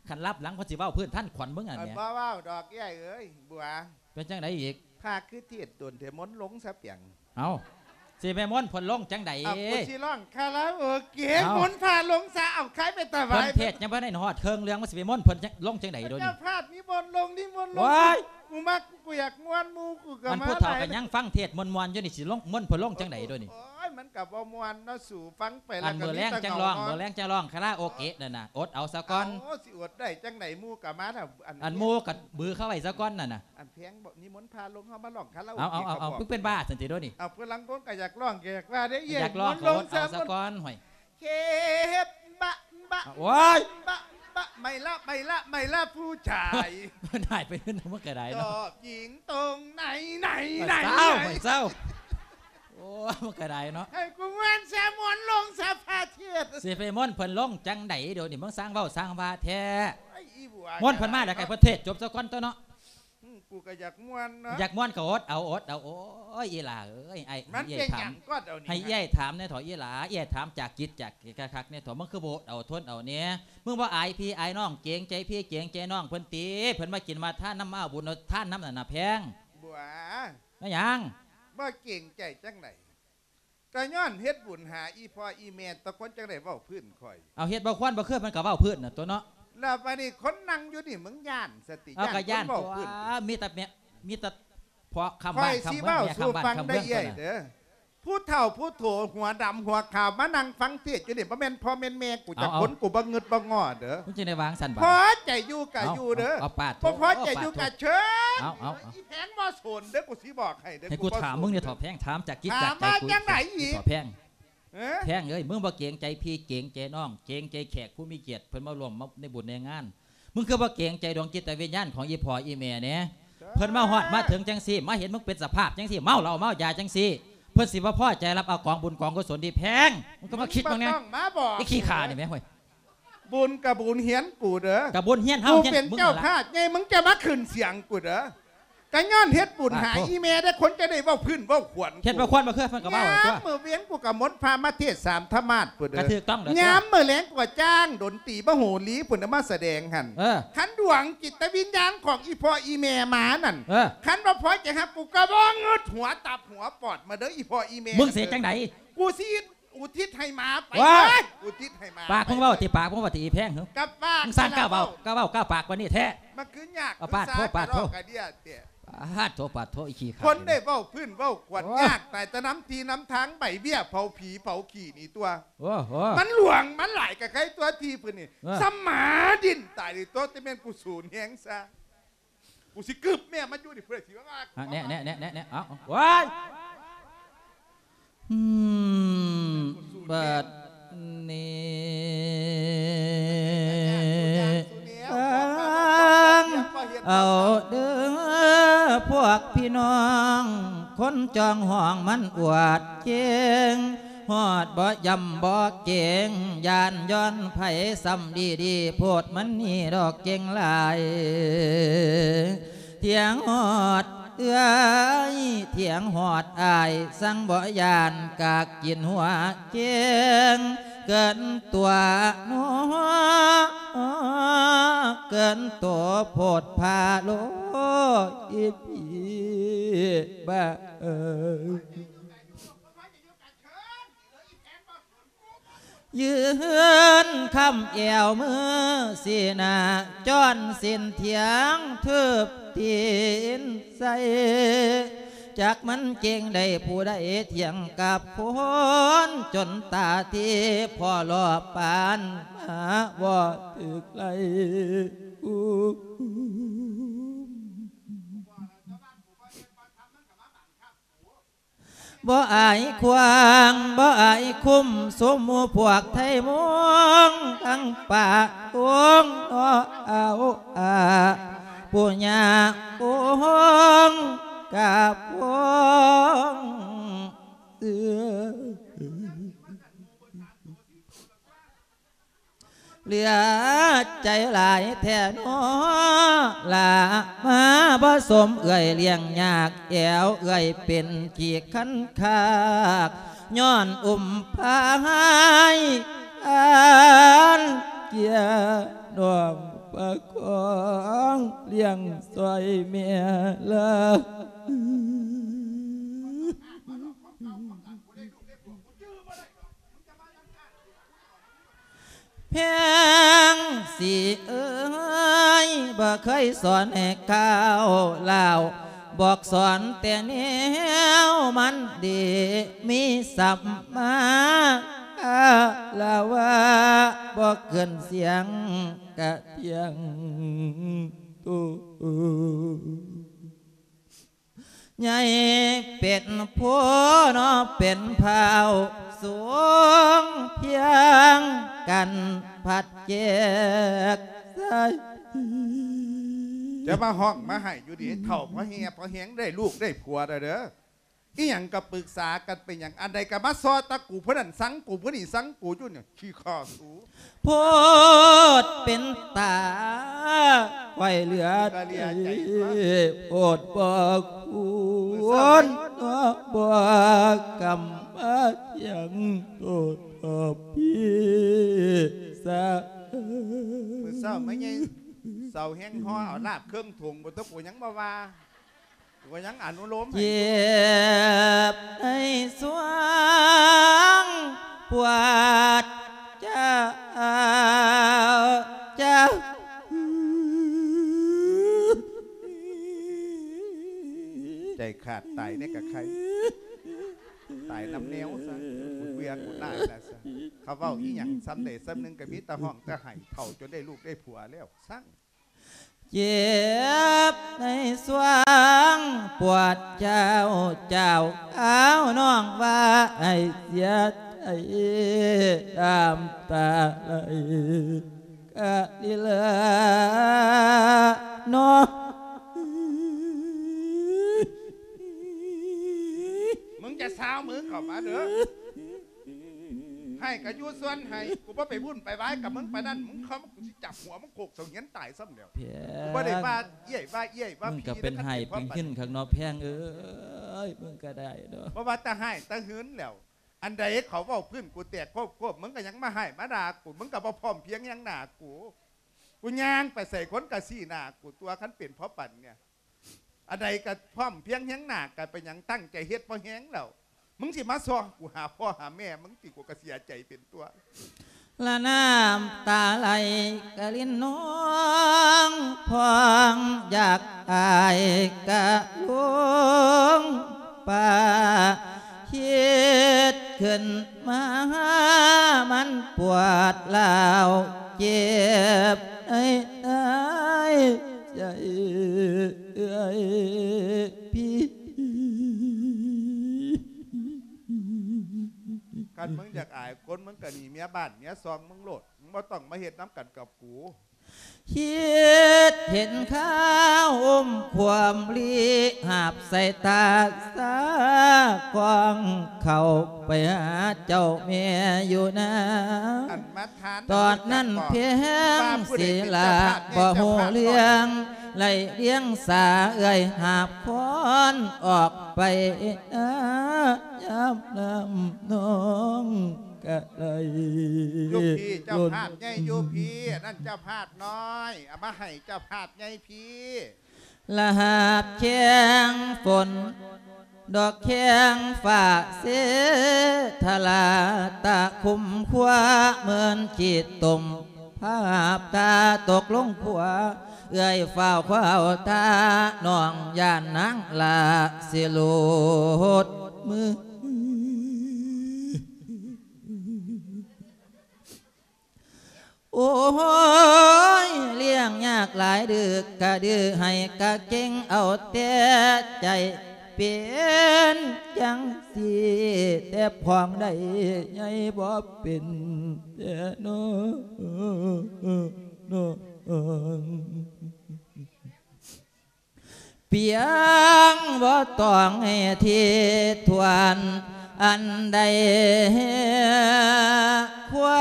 ຄັນລັບຫຼັງເພິ່ນຊິເວົ້າພື້ນທັນຂວັນມຶງຫັ້ນແຫຼະ ບໍ່ເວົ້າດອກເອື້ອຍເອີຍ ບົວ ເປັນຈັ່ງໃດອີກ ພະຄືເທດດົນແທ້ ມົນລົງຊະປຽງ ເອົ້າ ຊິໄປມົນເພິ່ນລົງຈັ່ງໃດ ເອົ້າ ກູຊິຮ້ອງຄາຣາໂອເກະ ເອົ້າ ມົນພະລົງຊະ ເອົາ ຂາຍໄປຖວາຍ ເພິ່ນເທດຍັງບໍ່ໄດ້ຮອດເຄິ່ງເລື່ອງ ມັນຊິໄປມົນເພິ່ນລົງຈັ່ງໃດໂດຍນີ້ ເຈົ້າພາບນິມົນລົງ ນິມົນລົງ ໂອ້ຍ ກູມັກ ກູຢາກມ່ວນ ໝູ່ກູກະມາ ອັນຜູ້ເຖົ້າກະຍັງຟັງເທດມ່ວນໆຢູ່ນີ້ ຊິລົງ ມົນເພິ່ນລົງຈັ່ງໃດໂດຍນີ້ ໂອ້ຍ ມັນກະບໍ່ມ່ວນເນາະ ສູຟັງໄປແລ້ວ ອັນມື້ແລງຈັ່ງຮ້ອງ ມື້ແລງຈັ່ງຮ້ອງຄາຣາໂອເກະນັ້ນນະ ອົດເອົາຊະກ່ອນ ໂອ້ ຊິອົດໄດ້ຈັ່ງໃດ ໝູ່ກະມາ ອັນ ອັນໝູ່ກະບືເຂົາໄວ້ຊະກ່ອນນັ້ນນະ ອັນແພງບໍ່ ນິມົນພະລົງ ເຮົາມາຮ້ອງຄາຣາໂອເກະ ເອົາ ເອົາ ເອົາ ຄືເປັນບ້າຊັ້ນຕິໂດຍນີ້ ເອົາ ຜູ້ລາງຄົນກະຢາກຮ້ອງ ກະຢາກວ່າໄດ້ ຢາກຮ້ອງ ກະອົດເອົາຊະກ່ອນ ຫ້ວຍ ເຂບ ບະ ບະ ໂອ້ຍ ບະ ບະ ໄມລະ ໄມລະ ໄມລະຜູ້ຊາຍ ໄດ້ໄປເຮືອນ ມັນກະໄດ້ເນາະ ຊອບຍິງຕົງໄນ ໄນ ໄນ ເຊົາ ເຊົາ ໂອ້ຍ ມັນກະໄດ້ເນາະ ໃຫ້ກູມ່ວນຊະ ມ່ວນລົງຊະ ພະເທດ ຊິໄປມ່ວນເພິ່ນລົງຈັ່ງໃດ ດຽວນີ້ ມຶງຊ່າງເວົ້າຊ່າງວ່າແທ້ ໂອ້ຍ ອີບົວ ມ່ວນເພິ່ນມາແລ້ວ ໃຫ້ເພິ່ນເທດຈົບຊະກ່ອນຕົວະເນາະ ອືມ ກູກະຢາກມ່ວນເນາະ ຢາກມ່ວນກະອົດເອົາ ອົດເອົາ ໂອ້ຍ ອີຫຼ້າເອີຍ ອ້າຍ ມັນເປັນຫຍັງກອດເອົານີ້ ໃຫ້ເອື້ອຍຖາມແດ່ເຖາະ ອີຫຼ້າ ເອື້ອຍຖາມຈາກຈິດຈາກກະຄັກແດ່ເຖາະ ມຶງຄືບໍ່ອົດເອົາທົນເອົາແດ່ ມຶງບໍ່ອາຍພີ່ອາຍນ້ອງ ເກງໃຈພີ່ເກງໃຈນ້ອງເພິ່ນຕິ ເພິ່ນມາກິນມາທານນຳ ມາເອົາບຸນເອົາທານນຳນັ້ນນະແພງ ບົວ ແມ່ນຫຍັງ ບໍ່ເກງໃຈຈັ່ງໃດ ກະຍ້ອນເຮັດບຸນຫາອີ່ພໍ່ອີ່ແມ່ ຕະຄົນຈັ່ງໄດ້ເວົ້າພື້ນຂ້ອຍ ເອົາ ເຮັດບໍ່ຄວນບໍ່ຄື ມັນກະເວົ້າພື້ນນະຕົວະເນາະ ແລ້ວບາດນີ້ຄົນນັ່ງຢູ່ນີ້ ມຶງຢ້ານຊະຕິ ເອົາ ຢ້ານ ກະຢ້ານ ຄົນເວົ້າພື້ນ ຕົວະ ມີແຕ່ແມ່ ມີແຕ່ພໍ່ຄ້ຳບ້ານຄ້ຳເມືອງ ແມ່ຄ້ຳບ້ານຄ້ຳເມືອງ ເອີ ຜູ້ເຖົ້າຜູ້ໂຖ ຫົວດຳຫົວຂາວ ມານັ່ງຟັງເທດຢູ່ນີ້ ບໍ່ແມ່ນພໍ່ແມ່ນແມ່ກູ ຈັກຄົນ ເອົາ ເອົາ ກູບໍ່ງຶດບໍ່ງໍ້ເດີ ມຶງຈັ່ງໄດ້ວ່າຈັ່ງຊັ້ນບາດ ພໍໃຈຢູ່ກະຢູ່ເດີ ເອົາ ເອົາ ປາດໂທ ບໍ່ພໍໃຈຢູ່ກະເຊີນ ເອົາ ເອົາ ເອົາ ອີແພງບໍ່ສົນເດີ ກູຊິບອກໃຫ້ເດີ ໃຫ້ກູຖາມມຶງແດ່ເຖາະແພງ ຖາມຈາກຈິດຈາກໃຈກູ ເຖາະແພງ ເອີ ແພງເອີຍ ມຶງບໍ່ເກງໃຈພີ່ເກງໃຈນ້ອງ ເກງໃຈແຂກຜູ້ມີກຽດ ເພິ່ນມາຮ່ວມໃນບຸນໃນງານ ມຶງຄືບໍ່ເກງໃຈດວງຈິດຕະວິນຍານຂອງອີ່ພໍ່ອີ່ແມ່ແດ່ ເພິ່ນມາຮອດມາເຖິງຈັ່ງຊີ້ ມາເຫັນມຶງເປັນສະພາບຈັ່ງຊີ້ ເມົາເຫຼົ້າເມົາຢາຈັ່ງຊີ້ ເພິ່ນຊິບໍ່ພໍໃຈຮັບເອົາກອງບຸນກອງກຸສົນທີ່ແພງ ມຶງກະມາຄິດເບິ່ງແດ່ ອີຂີ້ຂ້ານີ້ແໝ່ ໂອ້ຍ ບຸນກະບຸນຮຽນກູເດີ ກະບຸນຮຽນເຮົາ ກູເປັນເຈົ້າພາບໃຫຍ່ ມຶງຈະມາຂຶ້ນສຽງກູເດີ ກະຍ້ອນເຮັດບຸນຫາອີ່ແມ່ເດ້ ຄົນຈະໄດ້ເວົ້າພື້ນເວົ້າຂວັນ ເຮັດບໍ່ຄວນບໍ່ຄື ມັນກະເວົ້າຕົວະ ຍາມມື້ເວັນກູກະມົນພະມາເທດສາມທຳມາດພຸ້ນເດີ ກະຖືກຕ້ອງແລ້ວ ຍາມມື້ແລງກູກະຈ້າງດົນຕີມະໂຫລີພຸ້ນມາສະແດງຫັ້ນ ເອີ ຄັນດວງຈິດຕະວິນຍານຂອງອີ່ພໍ່ອີ່ແມ່ມານັ້ນ ເອີ ຄັນບໍ່ພໍໃຈຮັບ ກູກະບໍ່ງຶດຫົວຕັບຫົວປອດມາເດີ ອີ່ພໍ່ອີ່ແມ່ ມຶງຊິຈັ່ງໃດ ກູຊິ ອຸທິດໃຫ້ໝາໄປ ວ້າຍ ເອີຍ ອຸທິດໃຫ້ໝາ ປາກມຶງເວົ້າຕິ ປາກມຶງເວົ້າຕິ ອີ່ແພງ ຫື ກັບປາກ ມຶງຊ່າງກ້າເວົ້າ ກ້າເວົ້າກ້າປາກປານນີ້ແທ້ ມັນຄືຍາກ ປາດໂທ ປາດໂທ ກະເດຍແທ້ ປາດໂທ ປາດໂທ ອີຂີ້ຂ້າ ຄົນໄດ້ເວົ້າພື້ນເວົ້າຂວັນ ໂອ້ຍ ຍາກຕາຍແຕ່ນຳທີ່ນຳທາງ ໃບເບ້ຍເຜົາຜີເຜົາຂີ້ນີ້ຕົວະ ໂອ້ໂຫ ມັນຫຼວງມັນຫຼາຍກະໄຄຕົວະ ທີ່ພື້ນນີ້ ເອີ ສະໝາດິນຕາຍນີ້ຕົວະ ແຕ່ແມ່ນກູສູນແຮງຊະ ກູຊິກຶບແມ່ມັນຢູ່ນີ້ ຜູ້ໃດຊິວ່າ ແນ່ໆໆໆ ເອົາ ເອົາ ວ້າຍ ອືມ ບັດນີ້ ຟັງເອົາເດີພວກພີ່ນ້ອງ ຄົນຈອງຫ້ອງມັນອວດເກັ່ງ ຮອດບໍ່ຢ້ຳບໍ່ເກງ ຢ້ານຍ້ອນໃຜຊ້ຳດີໆ ໂພດມັນນີ້ດອກເກັ່ງຫຼາຍ ຖຽງຮອດເອື້ອຍ ຖຽງຮອດອ້າຍ ສັງບໍ່ຢ້ານກາກກິນຫົວເກັ່ງ ເກີນຕົວເນາະ ເກີນໂຕໂພດພາໂລ ອີພີ່ບ້າເອີຍ. ຢືນຄ້ຳແອວມືຊີ້ໜ້າ ຈ້ອນເສັ້ນຖຽງ ທຶບຕີນໃສ່ ຈັກມັນເກັ່ງໄດ້ຜູ້ໃດຖຽງກັບຄົນ ຈົນຕາທີ່ພໍ່ຫຼໍ່ປານມາບໍ່ຖືກໄລ່. ບໍ່ອາຍຂວາງ ບໍ່ອາຍຄຸ້ມ ຊຸມໝູ່ພວກໄທມົງ ທັງປະໂກງເນາະ ອາວອາ ປູ່ຍ່າໂກງກະໂປງເສືອ. ເຫຼືອໃຈຫຼາຍແທ້ເນາະ ຫຼ້າມາບໍ່ສົມເອື້ອຍລ້ຽງຍາກ ແອວເອື້ອຍເປັນຂີ້ຄັນຄາກ ຍ້ອນອຸ້ມພາຍ ອານເກຍນ້ອງປະຄອງ ລ້ຽງຊ່ອຍແມ່ລະ. ແພງສີເອີຍ ບໍ່ເຄີຍສອນໃຫ້ກ້າວລ້າວ ບອກສອນແຕ່ແນວມັນດີ ມີສັມມາອາລະວະ ບໍ່ເກີນສຽງກະທ່ຽງໂຕ. ໃຫຍ່ເປັນໂພເນາະ ເປັນພ້າວສູງພຽງກັນ ພັດແຈກໃສ່. ຈະມາຮ້ອງມາໄຫ້ຢູ່ດີ ເຖົ້າພໍແຮ່ພໍແຮງ ໄດ້ລູກໄດ້ຜົວແລ້ວເດີ. ອີ່ຫຍັງກໍປຶກສາກັນ ເປັນຫຍັງ ອັນໃດກໍມາຊໍຕະກູ ຜູ້ນັ້ນສັງກູ ຜູ້ນີ້ສັງກູຢູ່ນີ້ ຂີ້ຂ້າສູ. ໂພດເປັນຕາຂ້ອຍເຫຼືອໃຈ ໂພດບໍ່ຄວນບໍ່ກຳມາທຽງໂຕທອບພີ່ສາ. ມື້ເຊົ້າມາໃຫຍ່ເສົາແຮງຫໍ່ ເອົາລາບເຄິ່ງຖົງບໍ່ຕົກ ກູຍັງບໍ່ວ່າ ກໍຍັງອະນຸໂລມໃຫ້ ເຈັບໃນສວງ ປວດຈາວ ຈາວ ໃຈຂາດຕາຍໃນກະໄຄ ຕາຍນຳແນວຊະ ກູເບື່ອກູໜ່າຍລະຊະ. ເຂົາເວົ້າອີ່ຫຍັງສ່ຳໃດສ່ຳໜຶ່ງ ກະມີແຕ່ຮ້ອງແຕ່ໄຫ້ ເຖົ້າຈົນໄດ້ລູກໄດ້ຜົວແລ້ວ ສັງ. ເຈັບໃນສວງປວດຈາວ ຈາວອ້າວນ້ອງວ່າໃຫ້ເສຍໃຈ ນ້ຳຕາໄຫຼກະລິນລາເນາະ. ມຶງຈະຊາວມືເຂົ້າມາເດີ້. ໄຫ້ກະຢູ່ສ່ວນໄຫ້ ກູບໍ່ໄປວຸ້ນໄປວາຍກັບມຶງປານນັ້ນ. ມຶງເຂົ້າມາ ກູຊິຈັບຫົວມຶງໂຂກເສົາຮຽນຕາຍຊ້ຳແລ້ວ. ແພງ ກູບໍ່ໄດ້ວ່າເອື້ອຍວ່າເອື້ອຍວ່າ ມຶງກະເປັນໄຫ້ເປັນຂຶ້ນຄັກເນາະແພງເອີຍ ມຶງກະໄດ້ເນາະ. ບໍ່ວ່າແຕ່ໄຫ້ແຕ່ຫຶນແລ້ວ ອັນໃດເຂົາເວົ້າພື້ນກູແຕກໂຄບໆ ມຶງກະຍັງມາໄຫ້ມາດ່າກູ ມຶງກະບໍ່ພ້ອມພຽງຫຍັງໜ້າກູ. ກູຍ່າງໄປໃສຄົນກະຊີ້ໜ້າກູຕົວະ ຄັນເປັນພໍ່ປັນເນຍ. ອັນໃດກະພ້ອມພຽງຫຍັງໜ້າກະ ເປັນຫຍັງຕັ້ງໃຈເຮັດບໍ່ແຮງແລ້ວ. ມຶງຊິມາຊອກກູຫາພໍ່ຫາແມ່ມຶງຕິ ກູກະເສຍໃຈເປັນຕົວະ. ລະນ້ຳຕາໄຫຼກະລິນນອງ ພ້ອງຢາກອາຍກະຫຼົງປ່າ ຄິດຂຶ້ນມາມັນປວດຮ້າວ ເຈັບໃນໃນໃຈເອື້ອຍພີ່. ຄັນມຶງຢາກອາຍຄົນ ມຶງກະໜີເມຍບ້ານເມຍຊ່ອງມຶງໂລດ ມຶງບໍ່ຕ້ອງມາເຮັດນຳກັນກັບກູ. ຄິດເຫັນຄາວອົມຄວາມລີ ຫາບໃສ່ຕາສາກອງ ເຂົ້າໄປຫາເຈົ້າແມ່ຢູ່ນາ. ອັນມາທານ ຕອນນັ້ນເພິ່ນ ວ່າຜູ້ໃດເປັນເຈົ້າພາບ ເຈົ້າພາບ ເພງສີລາດບໍ່ຮູ້ເລື່ອງ ໄລ່ລຽງສາເອື້ອຍຫາບຄອນອອກໄປນາ ຍາມນ້ຳນອງ ກະໄດ້ ຢູ່ພີ້ ເຈົ້າພາບໃຫຍ່ຢູ່ພີ້ ອັນນັ້ນເຈົ້າພາບນ້ອຍ ເອົາມາໃຫ້ເຈົ້າພາບໃຫຍ່ພີ້. ລະຫາບແຄງຝົນ ດອກແຄງຟ້າເຊທະລາ ຕະຄຸມຄົວເໝືອນຂີ້ຕົມ ພາບຕາຕົກລົງຂົວ ເອື້ອຍຟ້າວຄວ້າວທ່າ ນ້ອງຢ້ານນາງຫຼ້າຊິຫຼຸດມື. ໂອ້ຍ ລ້ຽງຍາກຫຼາຍດື້ກະດື້ ໃຫ້ກະເກັ່ງເອົາແຕ່ໃຈ ເປັນຈັ່ງຊີ້ແຕ່ພ້ອງໄດ້ໃຫຍ່ບໍ່ເປັນແຕ່ນ້ອງ ປຽງບໍ່ຕ້ອງໃຫ້ທີ່ຖ້ວນອັນໃດຄວາ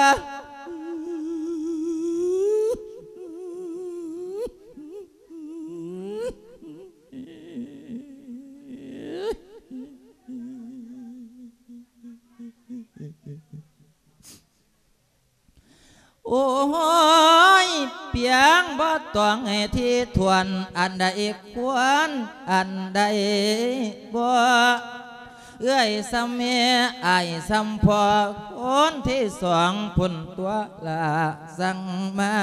ໂອ້ຍ ປຽງບໍ່ຕ້ອງໃຫ້ທີ່ຖ້ວນ ອັນໃດຄວນ ອັນໃດບໍ່ ເອື້ອຍສ່ຳແມ່ ອ້າຍສ່ຳພໍ່ ຄົນທີສອງພຸ້ນຕົວະລະ ສັ່ງມາ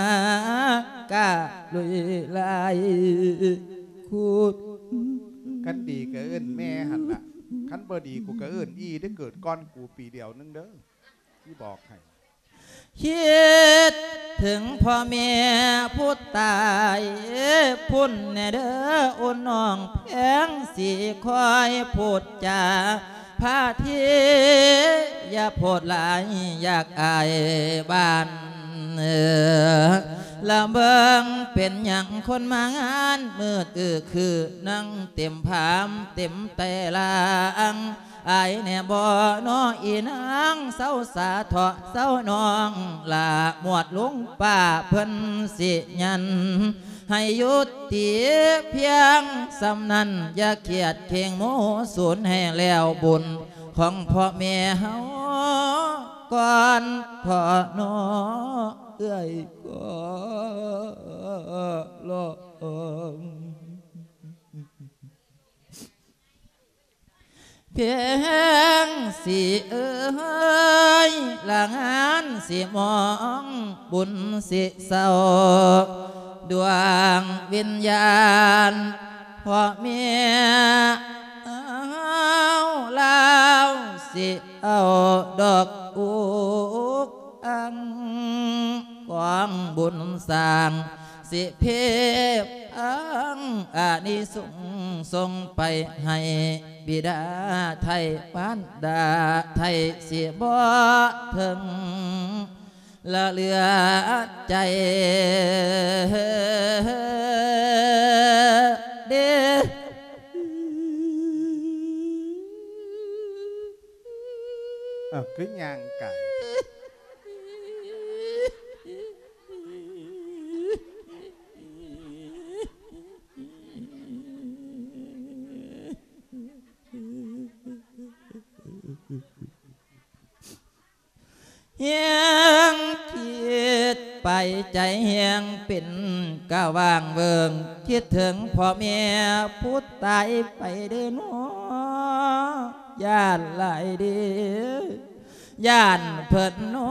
ກະລຸຍລາຍຄຸດ. ຄັນດີກະເອີ້ນແມ່ຫັ້ນລະ ຄັນບໍ່ດີກູກະເອີ້ນອີ່ເດີ້ ເກີດກ່ອນກູປີດຽວໜຶ່ງເດີ້ ຊິບອກໃຫ້. ຄິດເຖິງພໍ່ແມ່ຜູ້ຕາຍພຸ້ນແດ່ເດີ້ ໂອນ້ອງແພງ ຊິຄອຍພູດຈາພາທີ ຢ່າໂພດຫຼາຍ ຢາກອາຍບ້ານ ລະເບິ່ງເປັນຫຍັງຄົນມາງານ ມືດອືຄືນັ່ງເຕັມຜາມເຕັມແຕ່ລາງ ອາຍແດ່ບໍ່ນໍອີນາງ ເຊົາສາເຖາະເຊົານ້ອງຫຼ້າ ໝວດລຸງປ້າເພິ່ນຊິຍັນໃຫ້ຢຸດຕິພຽງສ່ຳນັ້ນ ຢ່າຄຽດເຄັ່ງໂມສູນ ໃຫ້ແລ້ວບຸນຂອງພໍ່ແມ່ເຮົາກ່ອນເຖາະນໍ ເອື້ອຍກໍລອງ. ແພງສີເອີຍ ລະງານຊິມອງ ບຸນຊິເສົ້າ ດວງວິນຍານພໍ່ແມ່ເຮົາ ລາວຊິເອົາດອກອຸກອັງ ກອງບຸນສ້າງ ຊິເພບອັງອານິສົງ ສົ່ງໄປໃຫ້ບິດາໄທມານດາໄທ ຊິບໍ່ເຖິງລະເຫຼືອໃຈເດ. ອ້າວ ຄືຍ່າງໄກ. ແຮງຄິດໄປໃຈແຮງເປັນກະຫວ່າງເວີງ ຄິດເຖິງພໍ່ແມ່ຜູ້ຕາຍໄປເດ້ນໍ ຢ້ານຫຼາຍເດ້ ຢ້ານເພິ່ນນໍ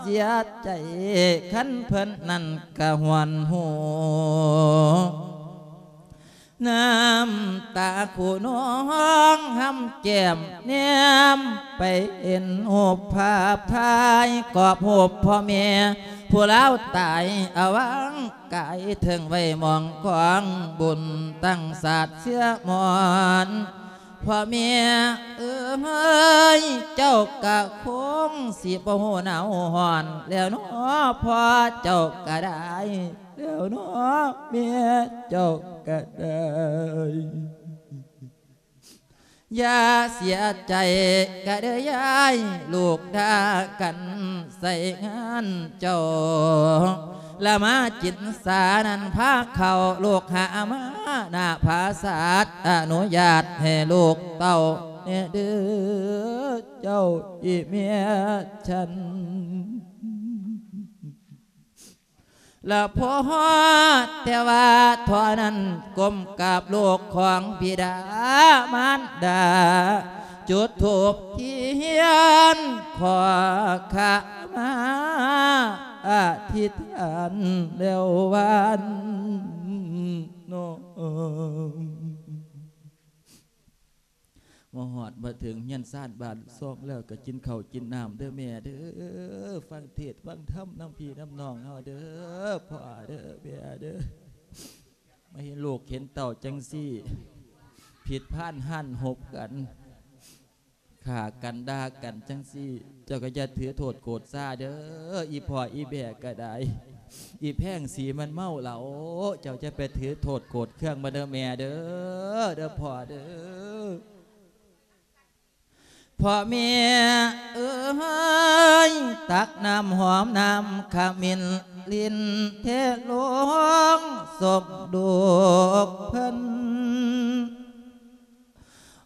ເສຍໃຈ ຄັນເພິ່ນນັ້ນກະຫວນຫູ ນ້ຳຕາຄູ່ນອງຫຳແກ້ມ ແນມໄປເຫັນຮູບພາບຖ່າຍ ກອບຮູບພໍ່ແມ່ຜູ້ລາວຕາຍ ອາວັງກາຍເທິງໄວ້ໝອງກອງບຸນ ຕັ້ງສາດເຊືອມອນ. ພໍ່ແມ່ເອີຍ ເຈົ້າກະຄົງຊິບໍ່ຮູ້ໜາວຮ້ອນແລ້ວນໍ ພໍ່ເຈົ້າກະໄດ້ ແລ້ວນໍ ແມ່ເຈົ້າກະໄດ້ ຢ່າເສຍໃຈກະເດີຍາຍ ລູກດ່າກັນໃສ່ງານເຈົ້າ ລະມາຈິນສານັ້ນພາເຂົ້າ ລູກຫາມາໜ້າຜາສາດ ອະນຸຍາດໃຫ້ລູກເຕົ້າ ແນ່ເດີເຈົ້າອີ່ແມ່ສັນ. ລະພໍຮອດແຕ່ວ່າທໍ່ນັ້ນ ກົ້ມກາບລູກຂອງບິດາມານດາ ຈຸດທູບທຽນຂໍຂະມາອະທິຖານແລ້ວຫວານນ້ອງ. ມາຮອດມາເຖິງເຮືອນຊານບ້ານຊ່ອງແລ້ວ ກໍກິນເຂົ້າກິນນ້ຳເດີແມ່ເດີ ຟັງເທດຟັງທຳນຳພີ່ນຳນ້ອງເຮົາເດີ ພໍ່ເດີແມ່ເດີ. ມາເຫັນລູກເຫັນເຕົ້າຈັ່ງຊີ້ ຜິດພານຮ້ານຮົບກັນ ຂ້າກັນດ່າກັນຈັ່ງຊີ້ ເຈົ້າກໍຢ່າຖືໂທດໂກດຊາເດີ ອີ່ພໍ່ອີ່ແມ່ກໍໄດ້ ອີ່ແພງສີມັນເມົາເຫຼົ້າ ເຈົ້າຢ່າໄປຖືໂທດໂກດເຄືອງມັນເດີແມ່ເດີ ເດີພໍ່ເດີ. ພໍ່ແມ່ເອີຍ ຕັກນ້ຳຫອມນ້ຳຂະມິນ ລິນເທລົງສົບດູກເພິ່ນ.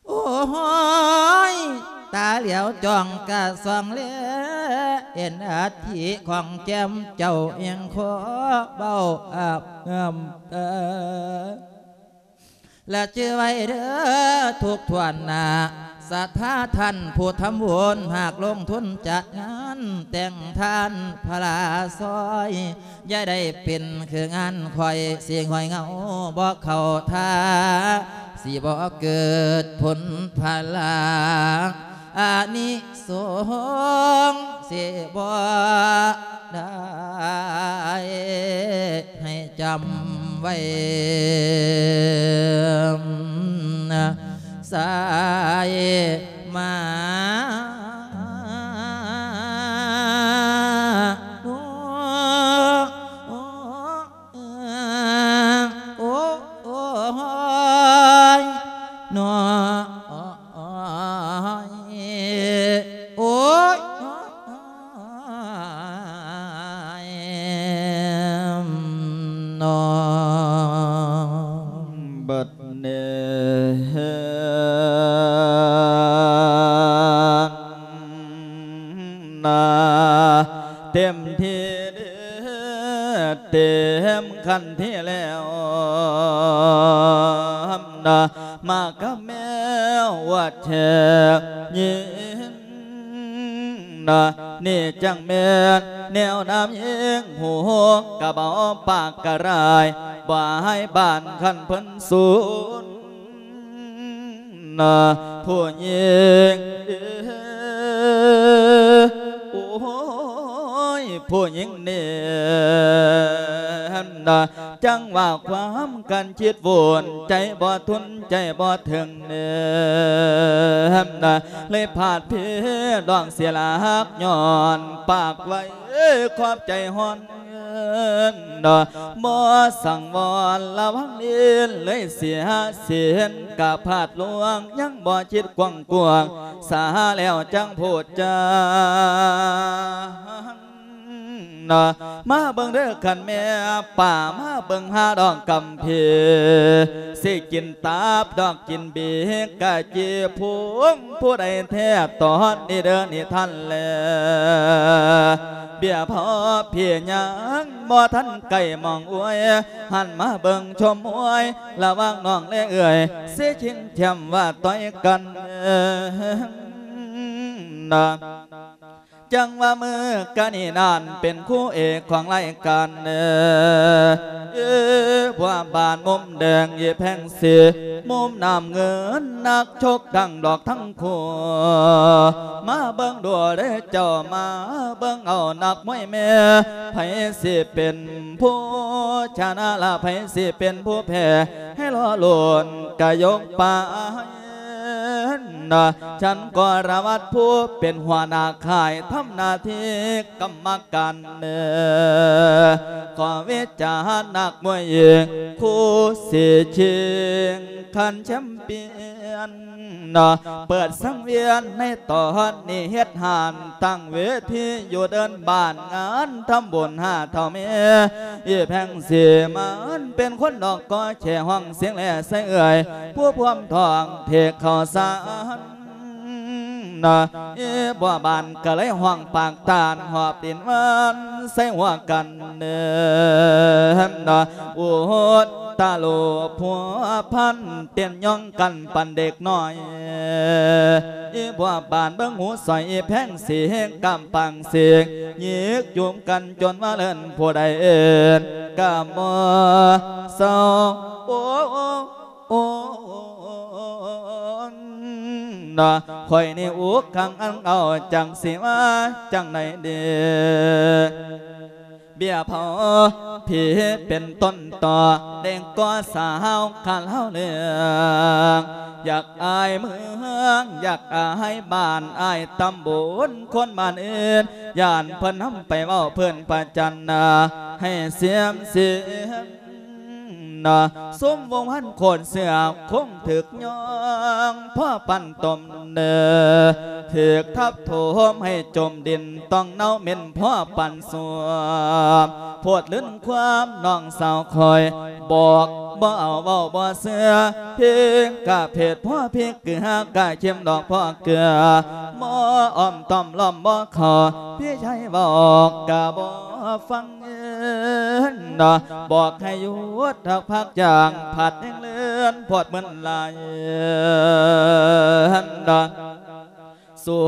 ໂອ້ຍ ຕາຫຼຽວຈ້ອງກະສ່ອງແລ ເຫັນອັດຖິຂອງແກ້ມເຈົ້າ ຍັງຂໍເບົາອາບນ້ຳຕາ. ລະຈື່ໄວ້ເດີທຸກຖ້ວນໜ້າ ສັດທາທ່ານຜູ້ທຳບຸນ ຫາກລົງທຶນຈັດງານແຕ່ງທ່ານພະລາຊອຍ ຢ່າໄດ້ເປັນຄືງານຂ້ອຍ ຊິຫ້ອຍເຫງົາບໍ່ເຂົ້າທ່າ ຊິບໍ່ເກີດຜົນພະລາ ອານິສົງຊິບໍ່ໄດ້ ໃຫ້ຈຳໄວ້ ສາຍມາໂນ. ໂອ້ຍ ໂອ້ຍ ໂອ້ຍ ໂອ້ຍ ໂອ້ຍ ໂອ້ຍ ໂອ້ຍ ໂອ້ຍ ເນາະ ບັດນີ້ນະ ເຕັມທີ່ເດີ ເຕັມຂັ້ນທີ່ແລ້ວນະ ມາກັບແມວວັດແຈກຍິງນະ ນີ້ຈັ່ງແມ່ນແນວນຳຍິງ ຫູກະເບົາປາກກະລາຍ ບໍ່ໃຫ້ບ້ານຄັນເພິ່ນສູນ ນະ ຜູ້ຍິງ ໂອ້ຍ ຜູ້ຍິງນີ້ນະ ຈັ່ງວ່າຄວາມກັນຄິດວຸ່ນ ໃຈບໍ່ທົນ ໃຈບໍ່ເຖິງແນມນະ ເລີຍພາດພີດລອງເສຍຫຼັກ ຍ້ອນປາກໄວ້ ຂອບໃຈຮ້ອນ ເນາະ ບໍ່ສັງວອນລະວັງລີນ ເລີຍເສຍສິນກະພາດລ່ວງ ຍັງບໍ່ຄິດກວ້າງໆ ສາແລ້ວຈັ່ງໂພດຈາ ເນາະ ມາເບິ່ງເດີຄັນແມ່ປ້າ ມາເບິ່ງຫາດອກກຳພີ ຊິກິນຕັບດອກກິນບີກະຈີ່ພຸງ ຜູ້ໃດແທບຕອນນີ້ເດີນິທັນແລ ເບຍພໍ່ພີ່ຍັງບໍ່ທັນໃກ້ມອງອວຍ ຫັນມາເບິ່ງຊົມອວຍ ລະຫວ່າງນ້ອງແລເອື້ອຍ ຊິຊິງແຄມວ່າຕ່ອຍກັນນະ. ຈັ່ງວ່າມື້ກະນີ້ນັ້ນ ເປັນຄູ່ເອກຂອງລາຍການເອີ ເອີ ບົວບານມຸມແດງ ອີແພງສີ ມຸມນ້ຳເງິນ ນັກຊົກທັງດອກທັງຄູ່ ມາເບິ່ງດູເດີເຈົ້າ ມາເບິ່ງເອົານັກມວຍແມ່ ໃຜຊິເປັນຜູ້ຊະນະລະ ໃຜຊິເປັນຜູ້ແພ້ ໃຫ້ລໍລຸ້ນກະຍົກປາຍ ນະ ສັນກໍລະວັດຜູ້ເປັນຫົວໜ້າຄ້າຍ ທຳໜ້າທີ່ກຳມະການເນີ ຂໍວິຈານນັກມວຍຍິງ ຄູ່ຊິຊິງຂັນແຊມປຽນ ນະ ເປີດສັງວຽນໃນຕອນນີ້ ເຮັດຮ້ານຕັ້ງເວທີຢູ່ເດີ່ນບ້ານ ງານທຳບຸນຫາເຖົ້າແມ່ ອີແພງສີມັນເປັນຄົນດອກກໍແຄ່ຮ້ອງສຽງແລໃສ່ເອື້ອຍ ຜູ້ພວມທ້ອງເທກເຂົ້າສານ ນະ ເອ ບົວບານກະເລີຍຮ້ອງປາກຕານ ຫອບດິນຫວານໃສ່ຫົວກັນເນີນະ ອຸດຕະໂລພົວພັນ ເຕັ້ນຍ່ອງກັນປານເດັກນ້ອຍ ເອ ບົວບານເບິ່ງຫູສອຍ ເອ ແພງສີ ກຳປາງສີ ຍິກຍຸມກັນຈົນວ່າເລີນ ຜູ້ໃດເອີ້ນກະບໍ່ເຊົາ ໂອ ໂອ ນະ ຂ້ອຍນີ້ອຸກຄັງອັງເອົາ ຈັກຊິວ່າຈັ່ງໃດດີ ເບ້ຍເຜົາຜີເປັນຕົ້ນຕໍ ແດງກໍສາວຂາລາວເຫຼືອງ ຢາກອາຍເມືອງ ຢາກອາຍບ້ານ ອາຍຕຳບົນ ຄົນບ້ານອື່ນ ຢ້ານເພິ່ນນຳໄປເວົ້າ ເພິ່ນປະຈັນນາ ໃຫ້ເສຍມເສຍມ ນະ ສົມວົງພັນໂຄດເສືອ ຄົງຖືກຍ່ອງພໍປັນຕົມເນີ ຖືກທັບໂຖມໃຫ້ຈົມດິນ ຕ້ອງເນົ່າເໝັນພໍປັນສວມ ໂພດລຶນຄວາມນ້ອງສາວຂ້ອຍ ບອກບໍ່ເອົາເວົ້າບໍ່ເຊື່ອ ເພງກະເພດພໍພິກ ເກືອກະເຄັມດອກພໍເກືອ ບໍ່ອ້ອມຕ້ອມລ້ອມບໍ່ເຂົ້າ ພີ່ຊາຍເວົ້າກະບໍ່ຟັງ ເອີນ ບອກໃຫ້ຢຸດພັກຈ້າງ ພັດຍັງເລື່ອນພອດເມີນຫຼາຍ ສູ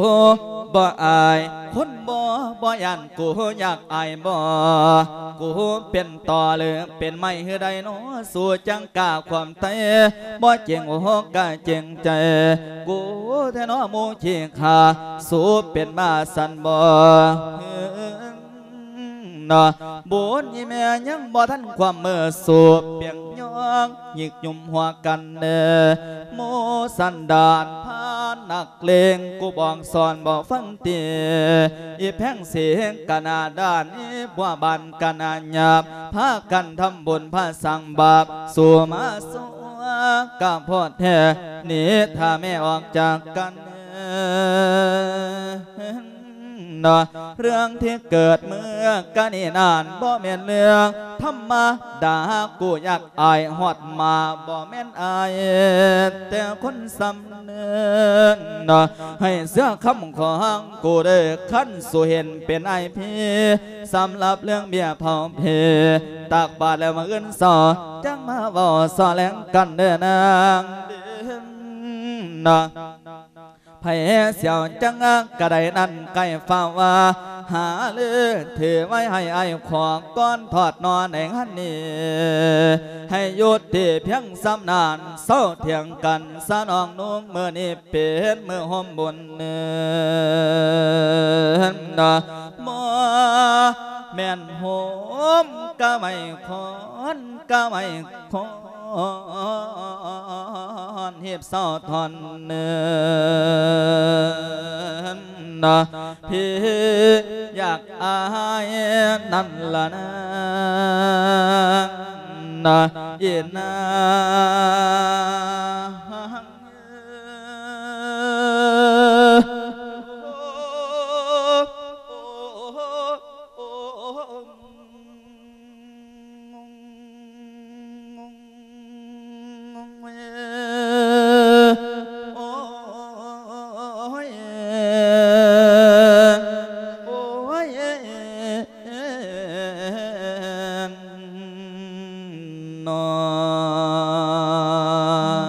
ບໍ່ອາຍຄົນບໍ່ ບໍ່ຢ້ານກູຢາກອາຍບໍ່ ກູເປັນຕໍຫຼືເປັນໄມ້ຄືໃດນໍ ສູຈັ່ງກ້າຄວາມໄຕ ບໍ່ເຈັງອົກກະເຈັງໃຈ ກູແທ້ນໍໝູ່ຂີ້ຂ້າ ສູເປັນບ້າຊັ້ນບໍ່ ນະ ບຸນອີ່ແມ່ຍັງບໍ່ທັນຄວາມ ເມີສູບປຽງຍອງ ຍິກຍຸມຫົວກັນເດີ ໝູ່ສັນດານພານນັກເລງ ກູບອກສອນບໍ່ຟັງຕິ ອີແພງເສງກະໜ້າດ້ານ ອີບົວບານກະໜ້າຫຍາບ ພາກັນທຳບຸນພາສ້າງບາບ ສູ່ມາຊົ່ວກະໂພດແທ້ ໜີຖ້າແມ່ອອກຈາກກັນ ເນາະ ເລື່ອງທີ່ເກີດເມື່ອກະນີ້ນັ້ນ ບໍ່ແມ່ນເລື່ອງທຳມະດາ ກູຢາກອາຍຮອດໝາ ບໍ່ແມ່ນອາຍແຕ່ຄົນສ່ຳເນີນ ເນາະ ໃຫ້ເຊື່ອຄຳຂອງກູເດີ ຄັນສູ່ເຫັນເປັນອາຍພີ ສຳລັບເລື່ອງເບ້ຍເຜົາຜີ ຕັກບາດແລ້ວມື້ອື່ນເຊົ້າ ຈັ່ງມາເວົ້າສໍ່ແລງກັນເດີນາງ ເນາະ. ໃຜສຽວຈັງກະໄດ້ນັ້ນ ໃກ້ຟ້າວວ່າຫາລື ຖືໄວ້ໃຫ້ອ້າຍຂໍກ່ອນທອດໜໍ່ໃນງານນີ້ ໃຫ້ຢຸດທີ່ພຽງສ່ຳນັ້ນ ເຊົາຖຽງກັນຊະນ້ອງນຸ່ງ ມື້ນີ້ເປັນມື້ໂຮມບຸນ ບໍ່ແມ່ນໂຮມກະໄມ້ຂອນ ກະໄມ້ ຄອນຮີບເຊົາທ່ອນເນີນ ພີ່ຢາກອາຍນັ້ນລະນາ ອີນາ